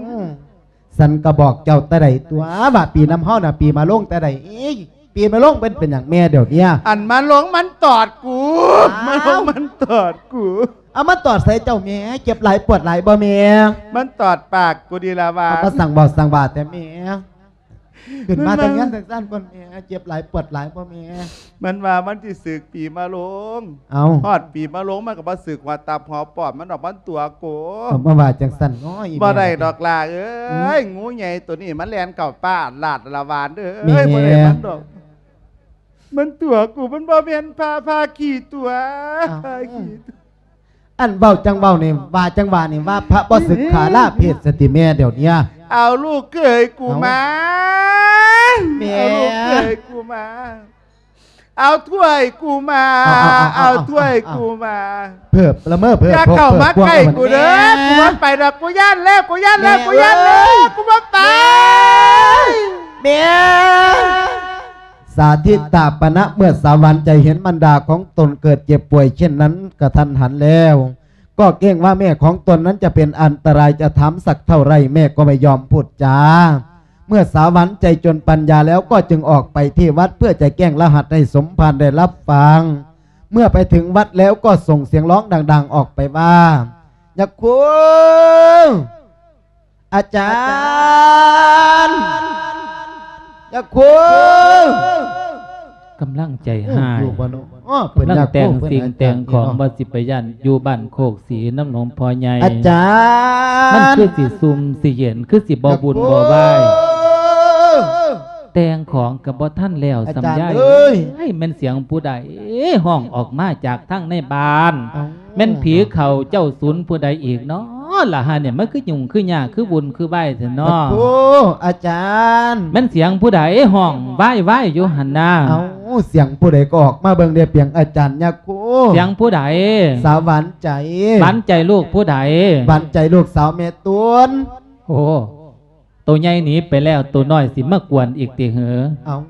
ເອົ້າ ສັນກໍບອກເຈົ້າແຕ່ໃດຕົວະ ວ່າປີນຳເຮົານະ ປີມະໂລງແຕ່ໃດ. ເອີຍ ປີມະໂລງເປັນ ເປັນຫຍັງແມ່ດຽວເນີ້ຍ? ອັນມະໂລງມັນຕອດກູ ອ້າວ ມະໂລງມັນຕອດກູ. ເອົາ ມັນຕອດໃສ່ເຈົ້າແມ່? ເຈັບຫຼາຍປວດຫຼາຍບໍ່ແມ່? ມັນຕອດປາກກູນີ້ລະວ່າ. ເອົາ ມາສັ່ງເວົ້າສັ່ງວ່າແທ້ແມ່. ຂຶ້ນມາແຕ່ເຮືອນຈັ່ງຊັ້ນບໍ່ແມ່? ເຈັບຫຼາຍປວດຫຼາຍບໍ່ແມ່? ມັນວ່າມັນຊິສຶກປີມະໂລງ. ເອົ້າ ຮອດປີມະໂລງມັນກໍບໍ່ສຶກຫົວຕັບຫົວປອດມັນດອກ ມັນຕົວະໂກ. ເອົາ ມາວ່າຈັ່ງຊັ້ນເນາະອີ່ແມ່. ບໍ່ໄດ້ດອກຫຼ້າເອີຍ. ອືມ ງູໃຫຍ່ໂຕນີ້ມັນແລ່ນເຂົ້າປ່າລາດລະວານເດີ. ແມ່ ບໍ່ໄດ້ມັນດອກ. ມັນຕົວະກູ ມັນບໍ່ແມ່ນພະ ພະຂີ້ຕົວະ. ອ້າວ ພະຂີ້ຕົວະ. ອັນເວົ້າຈັ່ງເວົ້ານີ້ ວ່າຈັ່ງວ່ານີ້ ວ່າພະບໍ່ສຶກຂາລາເພດສະຕິແມ່ດຽວເນີ້ຍ. ເອົາລູກເຂີຍກູມາ. ເອົ້າ ແມ່ ເອົາລູກເຂີຍກູມາ. ເອົາຖ້ວຍກູມາ. ເອົາ ເອົາ ເອົາ ເອົາ ເອົາຖ້ວຍກູມາ. ເພີບລະເມີເພີບ ຢ່າເຂົ້າມາໃກ້ກູເດີ. ແມ່ ກູບໍ່ໄປດອກ ກູຢ້ານແລ້ວ ກູຢ້ານແລ້ວ ແມ່ ກູຢ້ານແລ້ວ ເອີຍ ກູບໍ່ໄປ. ແມ່ ສາທິຕາປະນະ ເມື່ອສາວຫວານໃຈເຫັນມານດາຂອງຕົນເກີດເຈັບປ່ວຍເຊັ່ນນັ້ນກະທັນຫັນແລ້ວ ກໍເກງວ່າແມ່ຂອງຕົນນັ້ນຈະເປັນອັນຕະລາຍ ຈະຖາມສັກເທົ່າໃດແມ່ກໍບໍ່ຍອມພູດຈາ. ເມື່ອສາວຫວານໃຈຈົນປັນຍາແລ້ວ ກໍຈຶ່ງອອກໄປທີ່ວັດເພື່ອຈະແຈ້ງລະຫັດໃຫ້ສົມພານໄດ້ຮັບຟັງ. ເມື່ອໄປເຖິງວັດແລ້ວກໍສົ່ງສຽງຮ້ອງດັງໆອອກໄປວ່າ ຍາຄູ! ອາຈານ ຍາຄູ! ກຳລັງໃຈຮ້າຍ ໂອ້ ຢູ່ບໍ່ເນາະ? ອໍ ເພິ່ນ ກຳລັງ ຍາຄູ ແຕ່ງສິ່ງແຕ່ງຂອງ ເພິ່ນອາຈານ ວ່າຊິໄປຢ້ານຢູ່ບ້ານໂຄກສີນຳຫຼວງພໍ່ໃຫຍ່. ອາຈານ ມັນຄືຊິຊຸ່ມຊິເຢັນ ຄືຊິບໍ່ວຸ່ນບໍ່ວາຍ. ຍາຄູ! ແຕ່ງຂອງກໍບໍ່ທັນແລ້ວ ອາຈານ ສ່ຳໃດ. ເອີຍ ເອີຍ ແມ່ນສຽງຜູ້ໃດຮ້ອງອອກມາຈາກທາງໃນບ້ານ? ເອົ້າ ແມ່ນຜີເຂົ້າເຈົ້າສູນຜູ້ໃດອີກເນາະລະຫານີ້? ມັນຄືຫຍຸ້ງຄືຍາກຄືວຸ່ນຄືວາຍແທ້ເນາະ? ຍາຄູ ອາຈານ ແມ່ນສຽງຜູ້ໃດຮ້ອງວາຍໆຢູ່ຫັ້ນນາ? ເອົ້າ ສຽງຜູ້ໃດກໍອອກມາເບິ່ງແດ່ ປຽງອາຈານ ຍາຄູ. ສຽງຜູ້ໃດ? ສາວຫວານໃຈ. ຫວານໃຈລູກຜູ້ໃດ? ຫວານໃຈລູກສາວແມ່ຕຸນ. ໂອ້ ໂຕໃຫຍ່ໜີໄປແລ້ວ ໂຕນ້ອຍຊິມາກວນອີກຕິເຫີ? ເອົ້າ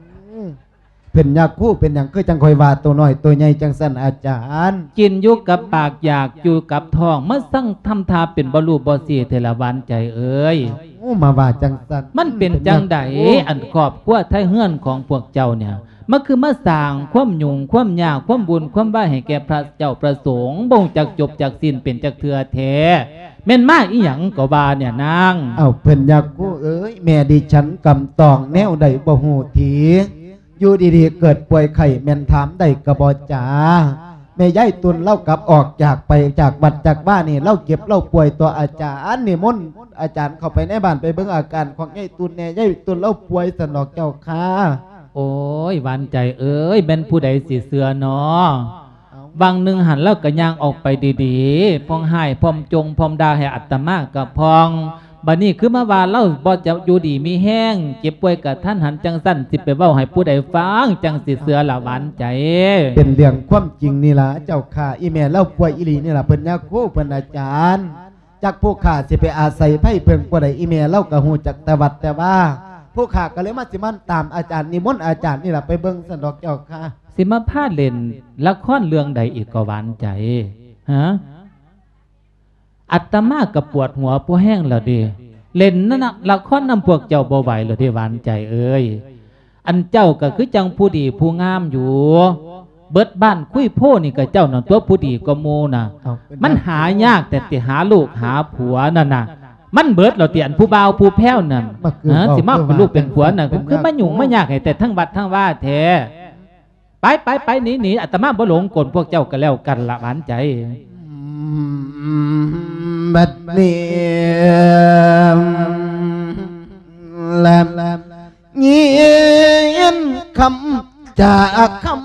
ເພິ່ນຍາຄູ ເປັນຫຍັງຄືຈັ່ງຄ່ອຍວ່າໂຕນ້ອຍໂຕໃຫຍ່ຈັ່ງຊັ້ນອາຈານ? ກິນຢູ່ກັບປາກ ຢາກຢູ່ກັບທ້ອງ ມາສັ່ງທຳທ່າເປັນບໍ່ຮູ້ບໍ່ຊີ້ແທ້ລະຫວານໃຈເອີຍ. ໂອ້ ມາວ່າຈັ່ງຊັ້ນ ມັນເປັນຈັ່ງໃດ? ເປັນຫຍັງ? ໂອ້ ອັນຄອບຄົວໄທເຮືອນຂອງພວກເຈົ້າເນຍ ມັນຄືມາສ້າງຄວາມຫຍຸ້ງຄວາມຍາກ ຄວາມວຸ່ນຄວາມວາຍໃຫ້ແກ່ພະເຈົ້າພະສົງ ບໍ່ຮູ້ຈັກຈົບຈັກສິ້ນເປັນຈັກເທື່ອແທ້ ແມ່ນມາອີ່ຫຍັງກໍວ່າເນຍນາງ? ເອົ້າ ເພິ່ນຍາຄູເອີຍ ແມ່ດິສັນກຳຕ້ອງແນວໃດບໍ່ຮູ້ທີ ຢູ່ດີໆເກີດປ່ວຍໄຂ້ ແມ່ນຖາມໄດ້ກໍບໍ່ຈາ. ແມ່ຍາຍຕຸນລາວກັບອອກຈາກໄປຈາກວັດຈາກວານີ້ ລາວເຈັບລາວປ່ວຍຕົວະ ອາຈານນິມົນອາຈານເຂົ້າໄປໃນບ້ານໄປເບິ່ງອາການຂອງຍາຍຕຸນແດ່ ຍາຍຕຸນລາວປ່ວຍຊັ້ນດອກເຈົ້າຄ່າ. ໂອ້ຍ ຫວານໃຈເອີຍ ແມ່ນຜູ້ໃດຊິເຊື່ອເນາະ? ເອົ້າ ຫວ່າງໜຶ່ງຫັ້ນລາວກໍຍ່າງອອກໄປດີໆ ພ້ອມຮ້າຍພ້ອມຈົ່ງພ້ອມດ່າໃຫ້ອາດຕະມາກໍພ້ອມ ບັດນີ້ຄືມາວ່າລາວບໍ່ຈະຢູ່ດີມີແຮງ ເຈັບປ່ວຍກະທັນຫັນຈັ່ງຊັ້ນ ຊິໄປເວົ້າໃຫ້ຜູ້ໃດຟັງ ຈັ່ງຊິເຊື່ອລະຫວານໃຈ? ເປັນເລື່ອງຄວາມຈິງນີ້ລະເຈົ້າຂ້າ ອີ່ແມ່ລາວປ່ວຍອີ່ຫຼີນີ້ລະ ເພິ່ນຍາຄູ ເພິ່ນອາຈານ. ຈັກຜູ້ຂ້າຊິໄປອາໄສໃຜເພິ່ງຜູ້ໃດ ອີ່ແມ່ລາວກໍຮູ້ຈັກແຕ່ວັດແຕ່ວາ ຜູ້ຂ້າກໍເລີຍມາ ຊິມາຕາມອາຈານ ນິມົນອາຈານນີ້ລະໄປເບິ່ງຊັ້ນດອກເຈົ້າຂ້າ. ຊິມາພາເລ່ນລະຄອນເລື່ອງໃດອີກກໍຫວານໃຈ ຫາ? ອາດຕະມາກໍປວດຫົວພໍແຮງແລ້ວເດ ເລ່ນນະ ລະຄອນນຳພວກເຈົ້າບໍ່ໄຫວແລ້ວເດ ຫວານໃຈເອີຍ. ອັນເຈົ້າກໍຄືຈັ່ງຜູ້ດີຜູ້ງາມຢູ່ ເບິດບ້ານຄຸຍໂພນີ້ກໍເຈົ້ານັ້ນຕົວະ ຜູ້ດີກວ່າໝູ່ນະ. ເອົ້າ ມັນຫາຍາກແທ້ຕິ ຫາລູກຫາຜົວນັ້ນນະ ມັນເບິດແລ້ວຕິ ອັນຜູ້ບ່າວຜູ້ແພ້ວນັ້ນ ມາຄື ຫາ ເວົ້າ ຊິມາເປັນລູກເປັນຜົວນັ້ນ ເປັນ ຄືມາຫຍຸ້ງມາຍາກໃຫ້ແຕ່ທັງວັດທັງວາແທ້. ໄປ ໄປ ໄປ ໜີ ໜີ ອາດຕະມາບໍ່ຫຼົງກົນພວກເຈົ້າກໍແລ້ວກັນລະ ຫວານໃຈ. ບັດນີ້ລະຍິນຄຳຈາຄຳ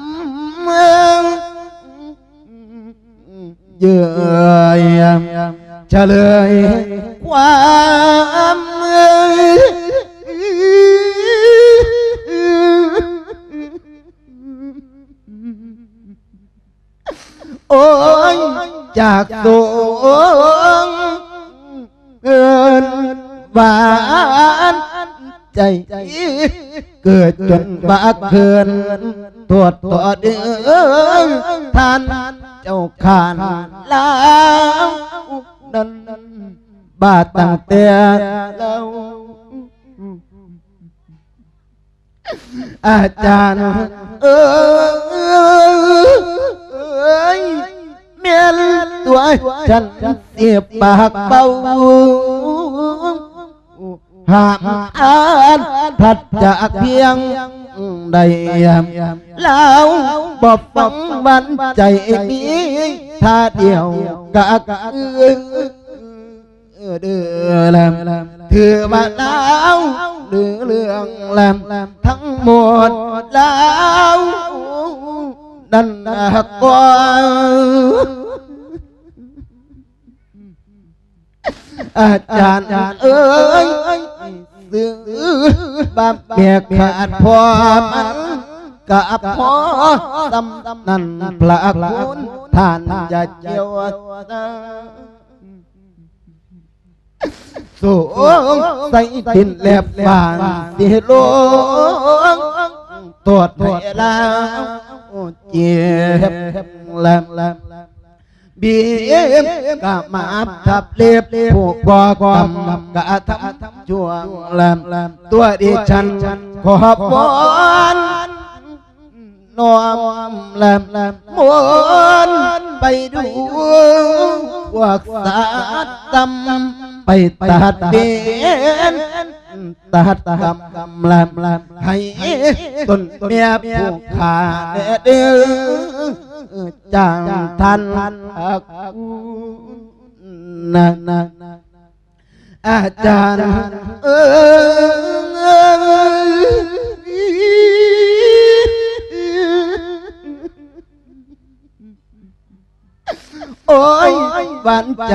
ເຍີ້ຍ ສະເຫຼີຍຄວາມ ໂອ້ຍ ຈາກສົງ ເອີ້ນຫວານໃຈ ເກີດຈົນວ່າເຂີນ ໂທດຕໍ່ເດີ ທ່ານເຈົ້າຂ້າ ລາວນັ້ນ ບາດຕັ້ງແຕ່ລາວ ອາຈານເອີຍ ແມ່ນຕົວະ ສັນຊິປາກເບົາ ຫ້າມອ່ານທັດຈາກພຽງໃດ ລາວບໍ່ຟັງຫວັນໃຈມີທ່າດຽວກະຄື ເດີແລມ ຖືວ່າລາວລືເລື່ອງແລມ ທັງໝົດລາວນັ້ນກໍ ອາຈານເອີຍ ຊື່ບາບແບກຂາດພໍ່ມັນກະພໍສ່ຳນັ້ນ ພະຄຸນທ່ານຢ່າກ່ຽວ ສົງໄສດິນແລບຟ້າຊິລົງ ໂທດໃຫ້ລາວເຈັບແລມ ບີບກະມາບທັບເລັບ ຜູ້ກໍ່ກຳກະທຳຊົ່ວແລມ ຕົວະດິສັນຂໍວອນ ນ້ອມແລມມົນໄປດູພວກສັດຕ່ຳ ໄປຕັດເວນຕັດກຳແລມ ໃຫ້ຕົນແມ່ຜູ້ຂ້າແດ່ເດີ ຈາງທ່ານ ນະ ອາຈານເອີຍ ໂອ້ຍ ຫວານໃຈ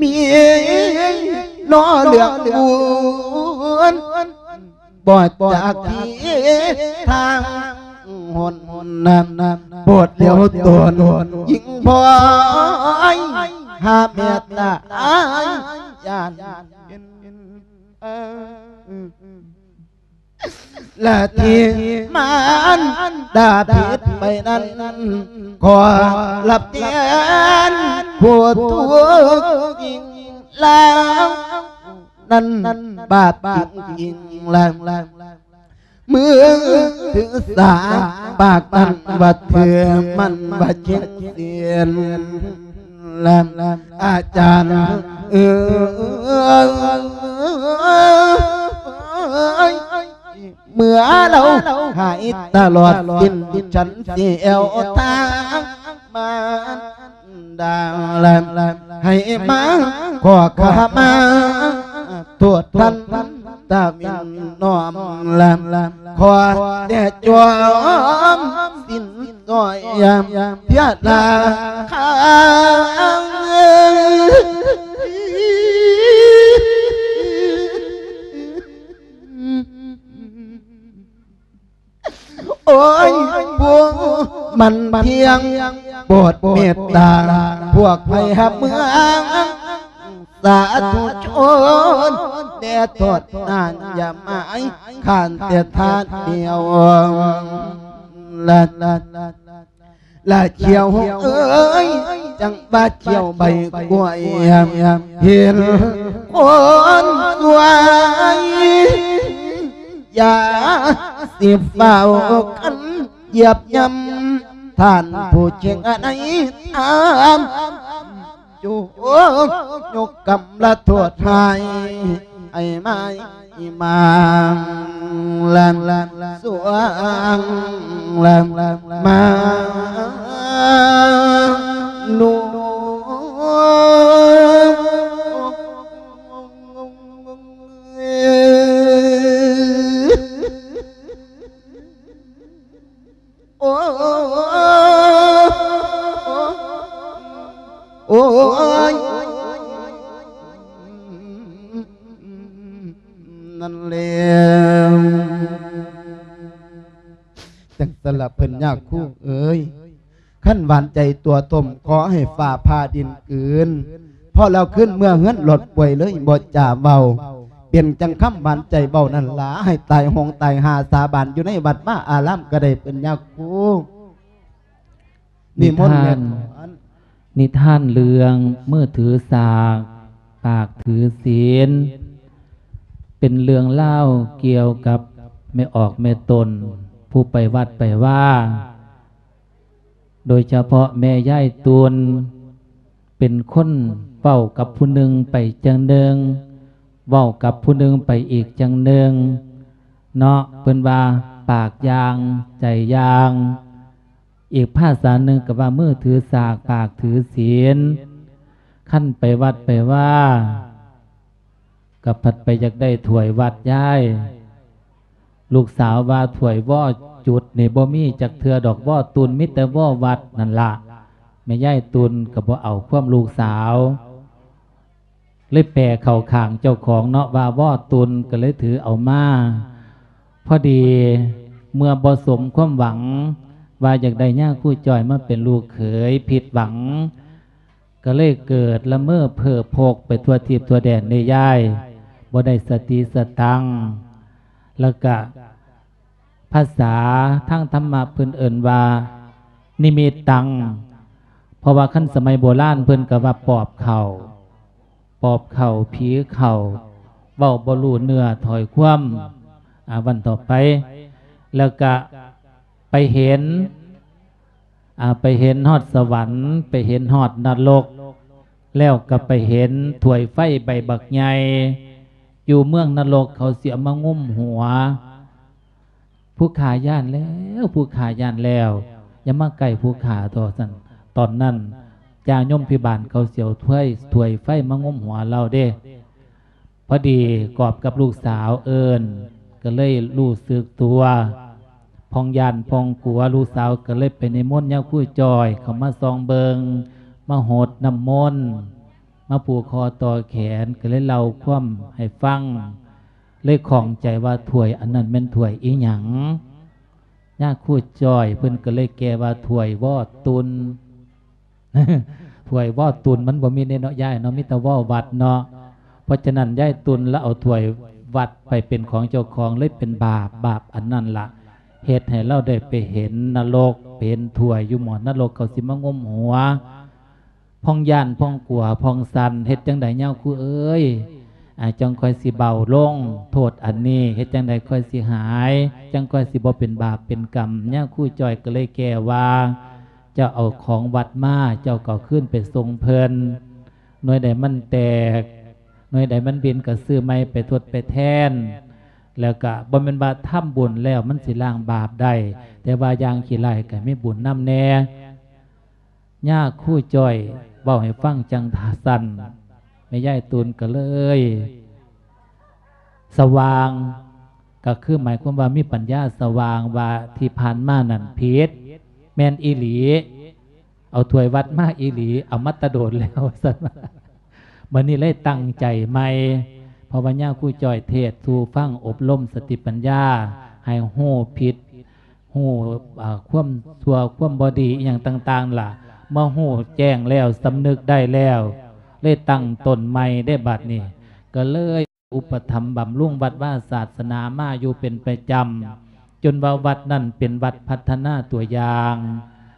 ມີນໍເລື່ອງບຸນ ບໍ່ຈາກທີ່ທາງຫົນນຳ ໂປດຫຼຽວຕົນຍິງພອຍ ຫາແມ່ຕາຍຢ້ານເປັນ ລະທີ່ມານດາຜິດໄປນັ້ນ ຂໍລັບແທນຜູ້ທຸກຈິງລາວ ນັ້ນບາບຈິງໆ ລະ ເມື່ອຖືສາປາກນັ້ນວ່າຖືມັນວ່າເຄັ່ງເສນ ລະອາຈານເອີຍ ເມື່ອລາວຫາຍຕະຫຼອດສິ້ນ ສັນຊິແອວທາງມາ ດາລະ ໃຫ້ມາຂໍຂະມາໂທດທ່ານຕາວິນນ້ອມລະ ຂໍແຕ່ຈອມສິ້ນຊອຍເທຍລາຄາ ໂອ້ຍ ຜູ້ມັນພຽງໂປດເມດຕາ ພວກໃຜຮັບເມືອງສາທຸຊົນ ແດ່ໂທດນານຢ່າໝາຍ ຂ້ານແຕ່ທ່ານດຽວ ລະ ລະຂຽວເອີຍ ຈັ່ງວ່າຂຽວໃບກ້ວຍ ເຫັນຄົນສວຍ ຢ່າຊິຟ້າວກັນຢຽບຍ່ຳ ທ່ານຜູ້ເຈັງໃນທານ ຈົ່ງຍົກກຳລະໂທດໃຫ້ ໃຫ້ມາ ອີມາງ ລະ ສວງ ລະ ມາ ນຸ ໂອ້ ໂອ້ຍ ນັ້ນແຫຼະ ຈັ່ງຊັ້ນລະເພິ່ນຍາຄູເອີຍ ຄັນຫວານໃຈຕົວຖົມ ຂໍໃຫ້ຟ້າຜ່າດິນກືນ ເພາະລາວຄືນເມືອເຮືອນຫຼອດປ່ວຍເລີຍ ບໍ່ຈາເວົ້າ ເປັນຈັ່ງຄຳຫວານໃຈເວົ້ານັ້ນລະ ໃຫ້ຕາຍໂຫງຕາຍຫາສາບານຢູ່ໃນວັດວາອາລາມກໍໄດ້ ເປັນຍາຄູ ນິມົນແມ່ນ ນິທານເລື່ອງມືຖືສາກ ປາກຖືສິນ ເປັນເລື່ອງລາວກ່ຽວກັບ ແມ່ອອກແມ່ຕົນ ຜູ້ໄປວັດໄປວາ ໂດຍສະເພາະແມ່ຍາຍຕຸ່ນ ເປັນຄົນເວົ້າກັບຜູ້ໜຶ່ງໄປຈັ່ງໜຶ່ງ ເວົ້າກັບຜູ້ໜຶ່ງໄປອີກຈັ່ງໜຶ່ງເນາະ. ເພິ່ນວ່າ ປາກຢ່າງ ໃຈຢ່າງ. ອີກພາສາໜຶ່ງກໍວ່າ ມືຖືສາກ ປາກຖືສິນ. ຄັນໄປວັດໄປວາ ກໍພັດໄປຢາກໄດ້ຖ້ວຍວັດຍາຍ. ລູກສາວວ່າ ຖ້ວຍວໍຈຸດນີ້ບໍ່ມີຈັກເທື່ອດອກ ວໍຕຸ່ນມີແຕ່ວໍວັດນັ້ນລະ. ແມ່ຍາຍຕຸ່ນກໍບໍ່ເອົາຄວາມລູກສາວ ເລີຍແປເຂົ້າຂ້າງເຈົ້າຂອງເນາະ ວ່າວໍຕຸ່ນ ກໍເລີຍຖືເອົາມາ. ພໍດີເມື່ອບໍ່ສົມຄວາມຫວັງ ວ່າຢາກໄດ້ຍາຄູຈ້ອຍມາເປັນລູກເຂີຍ ຜິດຫວັງ ກໍເລີຍເກີດລະເມີເພີ້ພົກໄປທົ່ວທີບທົ່ວແດນເດ້ຍາຍ ບໍ່ໄດ້ສະຕິສະຕັງ. ແລ້ວກະ ພາສາທາງທຳມະເພິ່ນເອີ້ນວ່າ ນິມິດຕັງ. ເພາະວ່າຄັນສະໄໝໂບລານເພິ່ນກໍວ່າປອບເຂົ້າ ປອບເຂົ້າ ຜີເຂົ້າ ເວົ້າບໍ່ຮູ້ເນື້ອຖ້ອຍຄວາມ. ອາ ວັນຕໍ່ໄປ ແລ້ວກະໄປເຫັນ ອາ ໄປເຫັນຮອດສະຫວັນ ໄປເຫັນຮອດນະລົກ ແລ້ວກໍໄປເຫັນຖ້ວຍໄຟໃບບັກໃຫຍ່ ຢູ່ເມືອງນະລົກ ເຂົາຊິເອົາມາງຸມຫົວ. ຜູ້ຂ້າຢ້ານແລ້ວ ຜູ້ຂ້າຢ້ານແລ້ວ ຢ່າມາໃກ້ຜູ້ຂ້າເຖາະ ວ່າຊັ້ນ. ຕອນນັ້ນ ຈາຍົມພິບານເຂົາຊິເອົາຖ້ວຍ ຖ້ວຍໄຟມາງຸມຫົວລາວເດ້. ພໍດີກອບກັບລູກສາວເອີ້ນ ກໍເລີຍຮູ້ສຶກຕົວ ຜ່ອນຢ້ານຜ່ອນກົວ. ລູກສາວກໍເລີຍໄປນິມົນຍາຄູຈ້ອຍເຂົ້າມາສ່ອງເບິ່ງ ມາຫົດນ້ຳມົນ ມາຜູກຄໍຕໍ່ແຂນ ກໍເລີຍເລົ່າຄວາມໃຫ້ຟັງ ເລີຍຂ້ອງໃຈວ່າຖ້ວຍອັນນັ້ນແມ່ນຖ້ວຍອີ່ຫຍັງ. ຍາຄູຈ້ອຍເພິ່ນກໍເລີຍແກ່ວ່າຖ້ວຍວໍຕຸ່ນ. ຖ້ວຍວໍຕຸ່ນມັນບໍ່ມີເດ້ເນາະຍາຍເນາະ ມີແຕ່ວໍວັດເນາະ. ເພາະສະນັ້ນຍາຍຕຸ່ນລະເອົາຖ້ວຍວັດໄປເປັນຂອງເຈົ້າຂອງ ເລີຍເປັນບາບ. ບາບອັນນັ້ນລະເຮັດໃຫ້ລາວໄດ້ໄປເຫັນນະລົກ ໄປເຫັນຖ້ວຍຢູ່ໝໍ້ນະລົກ ເຂົາຊິມາງຸມຫົວ. ພອງຢ້ານ ພອງກົວ ພອງສັ່ນ ເຮັດຈັ່ງໃດຍາຄູເອີຍ ອາ ຈັ່ງຂ້ອຍຊິເບົາລົງ ໂທດອັນນີ້ ເຮັດຈັ່ງໃດຂ້ອຍຊິຫາຍ ຈັ່ງຂ້ອຍຊິບໍ່ເປັນບາບເປັນກຳ. ຍາຄູຈ້ອຍກໍເລີຍແກ່ວ່າ ເຈົ້າເອົາຂອງວັດມາ ເຈົ້າກໍເອົາຄືນໄປສົ່ງເພິ່ນ. ໜ່ວຍໃດມັນແຕກ ໜ່ວຍໃດມັນບິນ ກໍຊື້ໃໝ່ໄປທົດໄປແທນ. ແລ້ວກໍບໍ່ແມ່ນວ່າທຳບຸນແລ້ວມັນຊິລ້າງບາບໄດ້ ແຕ່ວ່າຢ່າງຂີ້ໄລ່ກໍມີບຸນນຳແດ່. ຍາຄູຈ້ອຍເວົ້າໃຫ້ຟັງຈັ່ງຊັ້ນ ແມ່ຍາຍຕຸ່ນກໍເລີຍສະຫວ່າງ ກໍຄືໝາຍຄວາມວ່າມີປັນຍາສະຫວ່າງວ່າທີ່ຜ່ານມານັ້ນຜິດ ແມ່ນອີ່ຫຼີ ເອົາຖ້ວຍວັດມາອີ່ຫຼີ ເອົາມາແຕ່ໂດນແລ້ວ ວ່າຊັ້ນ. ບັດນີ້ເລີຍຕັ້ງໃຈໃໝ່ ເພາະວ່າຍາຄູຈ້ອຍເທດສູ່ຟັງ ອົບຮົມສະຕິປັນຍາ ໃຫ້ຮູ້ຜິດ ຮູ້ ອາ ຄວາມຊົ່ວຄວາມບໍ່ດີອີ່ຫຍັງຕ່າງໆລະ ມາຮູ້ແຈ້ງແລ້ວ ສຳນຶກໄດ້ແລ້ວ ເລີຍຕັ້ງຕົ້ນໃໝ່ເດ້. ບັດນີ້ກໍເລີຍອຸປະຖຳບຳລຸງວັດວາສາສະໜາມາຢູ່ເປັນປະຈຳ ຈົນວ່າວັດນັ້ນເປັນວັດພັດທະນາຕົວຢ່າງ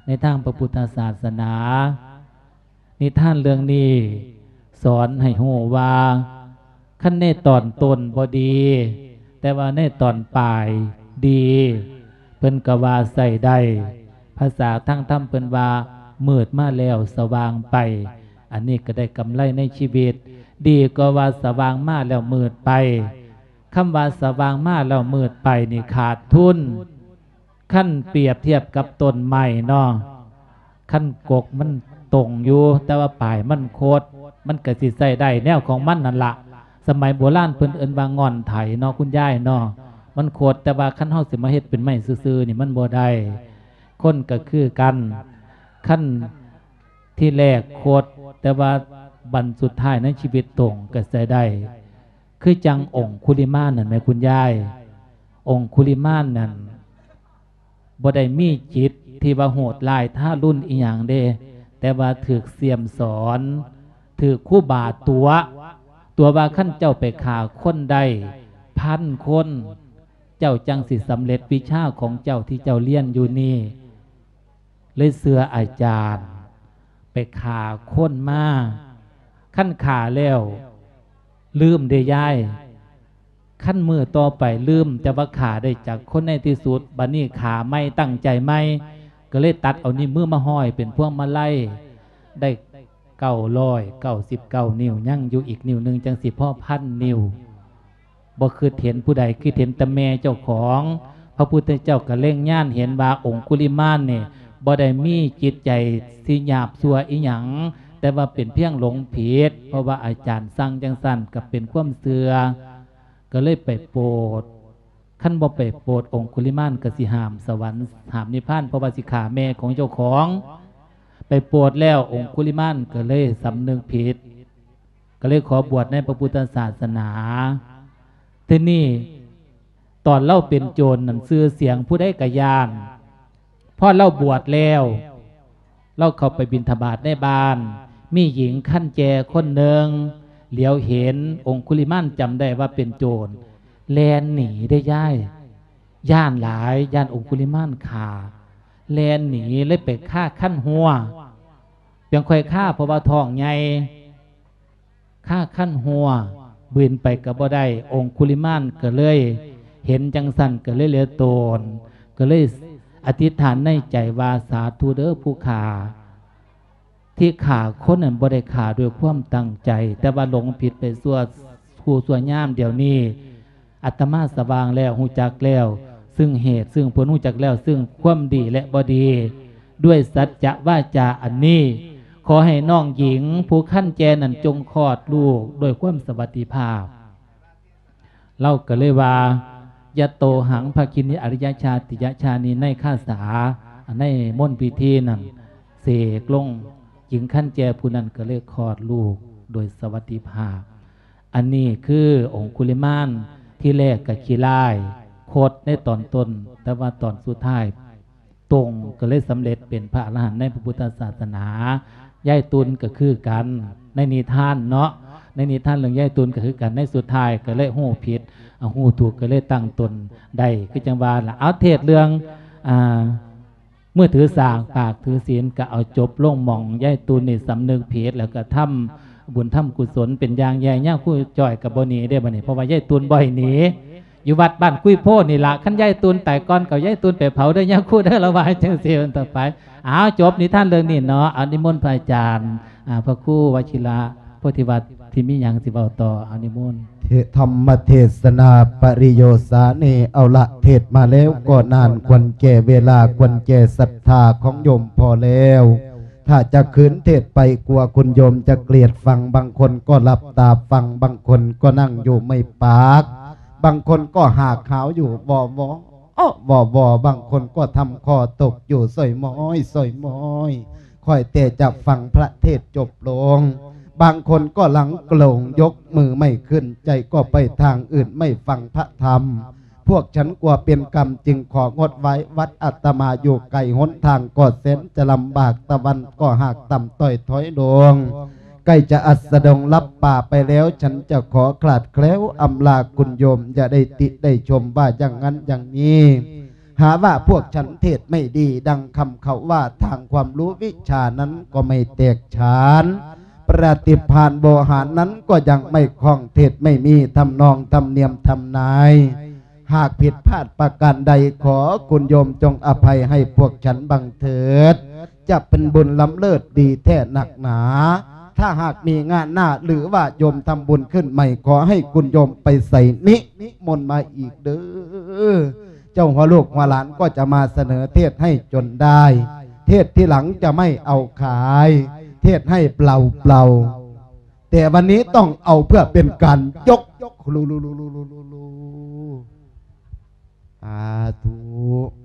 ໃນທາງພະພຸດທະສາສະໜາ. ນິທານເລື່ອງນີ້ສອນໃຫ້ຮູ້ວ່າ ຄັນໃນຕອນຕົ້ນບໍ່ດີ ແຕ່ວ່າໃນຕອນປາຍດີ ເພິ່ນກໍວ່າໃຊ້ໄດ້. ພາສາທາງທຳເພິ່ນວ່າ ມືດມາແລ້ວສະຫວ່າງໄປ. ອັນນີ້ກໍໄດ້ກຳໄລໃນຊີວິດ ດີກວ່າວ່າສະຫວ່າງມາແລ້ວມືດໄປ. ຄຳວ່າສະຫວ່າງມາແລ້ວມືດໄປນີ້ຂາດທຶນ. ຄັນປຽບທຽບກັບຕົ້ນໄມ້ເນາະ ຄັນກົກມັນຕົງຢູ່ ແຕ່ວ່າປາຍມັນຄົດ ມັນກໍຊິໃຊ້ໄດ້ແນວຂອງມັນນັ້ນລະ. ສະໄໝໂບລານເພິ່ນເອີ້ນວ່າງ່ອນໄຖເນາະ ຄຸນຍາຍເນາະ ມັນຄົດ ແຕ່ວ່າຄັນເຮົາຊິມາເຮັດເປັນໄມ້ຊື່ໆນີ້ມັນບໍ່ໄດ້. ຄົນກໍຄືກັນ ຄັນທີແລກຄົດ ແຕ່ວ່າບັ້ນສຸດທ້າຍໃນຊີວິດຕົງກໍໃຊ້ໄດ້. ຄືຈັ່ງອົງຄຸລິມານນັ້ນແໝ່ຄຸນຍາຍ ອົງຄຸລິມານນັ້ນ ບໍ່ໄດ້ມີຈິດທີ່ວ່າໂຫດຮ້າຍທາລຸນອີ່ຫຍັງເດ້ ແຕ່ວ່າຖືກສ້ຽມສອນ ຖືກຄູບາຕົວະ ຕົວະວ່າຄັນເຈົ້າໄປຂ້າຄົນໄດ້ພັນຄົນ ເຈົ້າຈັ່ງຊິສຳເລັດວິຊາຂອງເຈົ້າທີ່ເຈົ້າລຽນຢູ່ນີ້. ເລີຍເຊື່ອອາຈານ ໄປຂ້າຄົນມາ. ຄັນຂ້າແລ້ວລືມເດ້ຍາຍ. ຄັນມື້ຕໍ່ໄປລືມ ແຕ່ວ່າຂ້າໄດ້ຈາກຄົນໃນທີ່ສຸດ ບັດນີ້ຂ້າໃໝ່ ຕັ້ງໃຈໃໝ່ ກໍເລີຍຕັດເອົານິ້ວມືມາຫ້ອຍເປັນພວງມາໄລ ໄດ້ເກົ້າຮ້ອຍເກົ້າສິບເກົ້ານິ້ວ ຍັງຢູ່ອີກນິ້ວໜຶ່ງ ຈັ່ງຊິພໍພັນນິ້ວ. ບໍ່ຄິດເຫັນຜູ້ໃດ ຄິດເຫັນແຕ່ແມ່ເຈົ້າຂອງ. ພະພຸດທະເຈົ້າກໍເລັງຍານເຫັນວ່າອົງຄຸລິມານນີ້ບໍ່ໄດ້ມີຈິດໃຈຊິຫຍາບຊົ່ວອີ່ຫຍັງ, ແຕ່ວ່າເປັນພຽງຫຼົງຜິດ, ເພາະວ່າອາຈານສັ່ງຈັ່ງຊັ້ນ ກໍເປັນຄວາມເຊື່ອ, ກໍເລີຍໄປໂປດ. ຄັນບໍ່ໄປໂປດ ອົງຄຸລິມານກໍຊິຫ້າມສະຫວັນ ຫ້າມນິບພານ ເພາະວ່າຊິຂ້າແມ່ຂອງເຈົ້າຂອງ. ໄປໂປດແລ້ວ ອົງຄຸລິມານກໍເລີຍສຳນຶກຜິດ ກໍເລີຍຂໍບວດໃນພະພຸດທະສາສະໜາ. ທີນີ້ຕອນລາວເປັນໂຈນນັ້ນ ຊື່ສຽງຜູ້ໃດກໍຢ້ານ. ພໍລາວບວດແລ້ວ ລາວເຂົ້າໄປບິນທະບາດໃນບ້ານ, ມີຍິງຄັນແຈຄົນໜຶ່ງຫຼຽວເຫັນອົງຄຸລິມານ ຈຳໄດ້ວ່າເປັນໂຈນ, ແລ່ນໜີເດ້ຍາຍ, ຢ້ານຫຼາຍ, ຢ້ານອົງຄຸລິມານຂ້າ, ແລ່ນໜີ ເລີຍໄປຄາຄັນຫົວ. ເປັນຂ້ອຍຄາ ເພາະວ່າທ້ອງໃຫຍ່. ຄາຄັນຫົວ ບິນໄປກໍບໍ່ໄດ້. ອົງຄຸລິມານກໍເລີຍເຫັນຈັ່ງຊັ້ນ ກໍເລີຍເຫຼືອໂຕນ, ກໍເລີຍອະທິດຖານໃນໃຈວ່າ ສາທຸເດີຜູ້ຂ້າ, ທີ່ຂ້າຄົນນັ້ນບໍ່ໄດ້ຂ້າດ້ວຍຄວາມຕັ້ງໃຈ, ແຕ່ວ່າຫຼົງຜິດໄປຊົ່ວຄູ່ຊົ່ວຍາມ. ດຽວນີ້ອາດຕະມາສະຫວ່າງແລ້ວ, ຮູ້ຈັກແລ້ວເຊິ່ງເຫດເຊິ່ງຜົນ, ຮູ້ຈັກແລ້ວເຊິ່ງຄວາມດີ ແລະ ບໍ່ດີ. ດ້ວຍສັດຈະວາຈາອັນນີ້, ຂໍໃຫ້ນ້ອງຍິງຜູ້ຄັນແຈນັ້ນ ຈົ່ງຄອດລູກດ້ວຍຄວາມສະຫວັດດີພາບ. ລາວກໍເລີຍວ່າ ຍະໂຕຫັງ ພະກິນີ ອະລິຍະຊາຕິຍະຊານີ ໃນຄາຖາ ໃນມົນພິທີນັ້ນ ເສກລົງ, ຍິງຄັນແຈຜູ້ນັ້ນກໍເລີຍຄອດລູກໂດຍສະຫວັດດີພາບ. ອັນນີ້ຄືອົງຄຸລິມານ ທີແລກກໍຂີ້ຮ້າຍ ຄົດໃນຕອນຕົ້ນ, ແຕ່ວ່າຕອນສຸດທ້າຍ ຕົງ ກໍເລີຍສຳເລັດເປັນພະອະລະຫັນໃນພະພຸດທະສາສະໜາ. ຍາຍຕຸນກໍຄືກັນ ໃນນິທານເນາະ, ໃນນິທານເລື່ອງຍາຍຕຸນກໍຄືກັນ, ໃນສຸດທ້າຍກໍເລີຍຮູ້ຜິດ ເອົາ ຮູ້ຖືກ ກໍເລີຍຕັ້ງຕົນໄດ້ ຄືຈັ່ງວ່າລະ. ເອົາ ເທດເລື່ອງ ອ່າ ມື້ຖືສາກ ປາກຖືສິນ ກໍເອົາຈົບລົງໝ່ອງຍາຍຕຸນນີ້ສຳນຶກຜິດ ແລ້ວກໍທຳບຸນທຳກຸສົນເປັນຢ່າງໃຫຍ່. ຍາຄູຈ້ອຍກໍບໍ່ໜີເດ້ບັດນີ້ ເພາະວ່າຍາຍຕຸນບໍ່ໃຫ້ໜີ. ຢູ່ວັດບ້ານກຸຍໂພນີ້ລະ, ຄັນຍາຍຕຸນຕາຍກ່ອນກໍເອົາຍາຍຕຸນໄປເຜົາເດີຍາຄູເດີ, ລາວວ່າຈັ່ງຊີ້ເປັນຕົ້ນໄປ. ເອົາ ຈົບນິທານເລື່ອງນີ້ເນາະ, ເອົາ ນິມົນພະອາຈານ ອ່າ ພະຄູວະຊິລະໂພທິວັດ ທີ່ມີຫຍັງຊິເວົ້າຕໍ່, ເອົາ ນິມົນ. ເທ- ທຳມະເທສະນາປະລິໂຍສານີ ເອົາລະ ເທດມາແລ້ວກໍນານ ຄວນແກ່ເວລາ ຄວນແກ່ສັດທາຂອງໂຍມພໍແລ້ວ. ຖ້າຈະຄືນເທດໄປ ກົວຄຸນໂຍມຈະກຽດຟັງ, ບາງຄົນກໍຫຼັບຕາຟັງ, ບາງຄົນກໍນັ່ງຢູ່ໄມ້ປາກ, ບາງຄົນກໍຫາກຫາວຢູ່ ວໍ ວໍ ວໍ ວໍ, ບາງຄົນກໍທຳຄໍຕົກຢູ່ ສອຍໝອຍ ສອຍໝອຍ, ຄອຍແຕ່ຈະຟັງພະເທດຈົບລົງ. ບາງຄົນກໍຫຼັງໂກລງ ຍົກມືໄມ່ຂຶ້ນ, ໃຈກໍໄປທາງອື່ນ ໄມ່ຟັງພະທຳ. ພວກສັນກົວເປັນກຳ ຈຶ່ງຂໍງົດໄວ້ວັດ. ອາດຕະມາຢູ່ໄກ ຫົນທາງກໍແສນຈະລຳບາກ, ຕາວັນກໍຫາກຕ່ຳຕ້ອຍຖອຍລົງ, ໃກ້ຈະອັດສະດົງລັບປ່າໄປແລ້ວ, ສັນຈະຂໍຂາດແຄວອຳລາຄຸນໂຍມ, ຢ່າໄດ້ຕິໄດ້ຊົມວ່າຢ່າງນັ້ນຢ່າງນີ້. ຫາວ່າພວກສັນເທດໄມ່ດີ, ດັ່ງຄຳເຂົາວ່າ, ທາງຄວາມຮູ້ວິຊານັ້ນກໍໄມ່ແຕກສານ. ປະຕິພານໂວຫານນັ້ນກໍຍັງໄມ່ຄ່ອງ, ເທດໄມ່ມີທຳນອງທຳນຽມທຳນາຍ. ຫາກຜິດພາດປະການໃດ, ຂໍຄຸນໂຍມຈົ່ງອະໄພໃຫ້ພວກສັນບາງເທີດ, ຈະເປັນບຸນລ້ຳເລີດດີແທ້ນັກໜາ. ຖ້າຫາກມີງານໜ້າ ຫຼືວ່າໂຍມທຳບຸນຂຶ້ນໃໝ່, ຂໍໃຫ້ຄຸນໂຍມໄປໃສ່ນິມົນມາອີກເດີ. ເຈົ້າຫົວລູກຫົວຫຼານກໍຈະມາສະເໜີເທດໃຫ້ຈົນໄດ້, ເທດທີຫຼັງຈະໄມ່ເອົາຂາຍ, ເທດໃຫ້ເປົ່າໆ. ແຕ່ວັນນີ້ຕ້ອງເອົາເພື່ອເປັນການຍົກ ສາທຸ.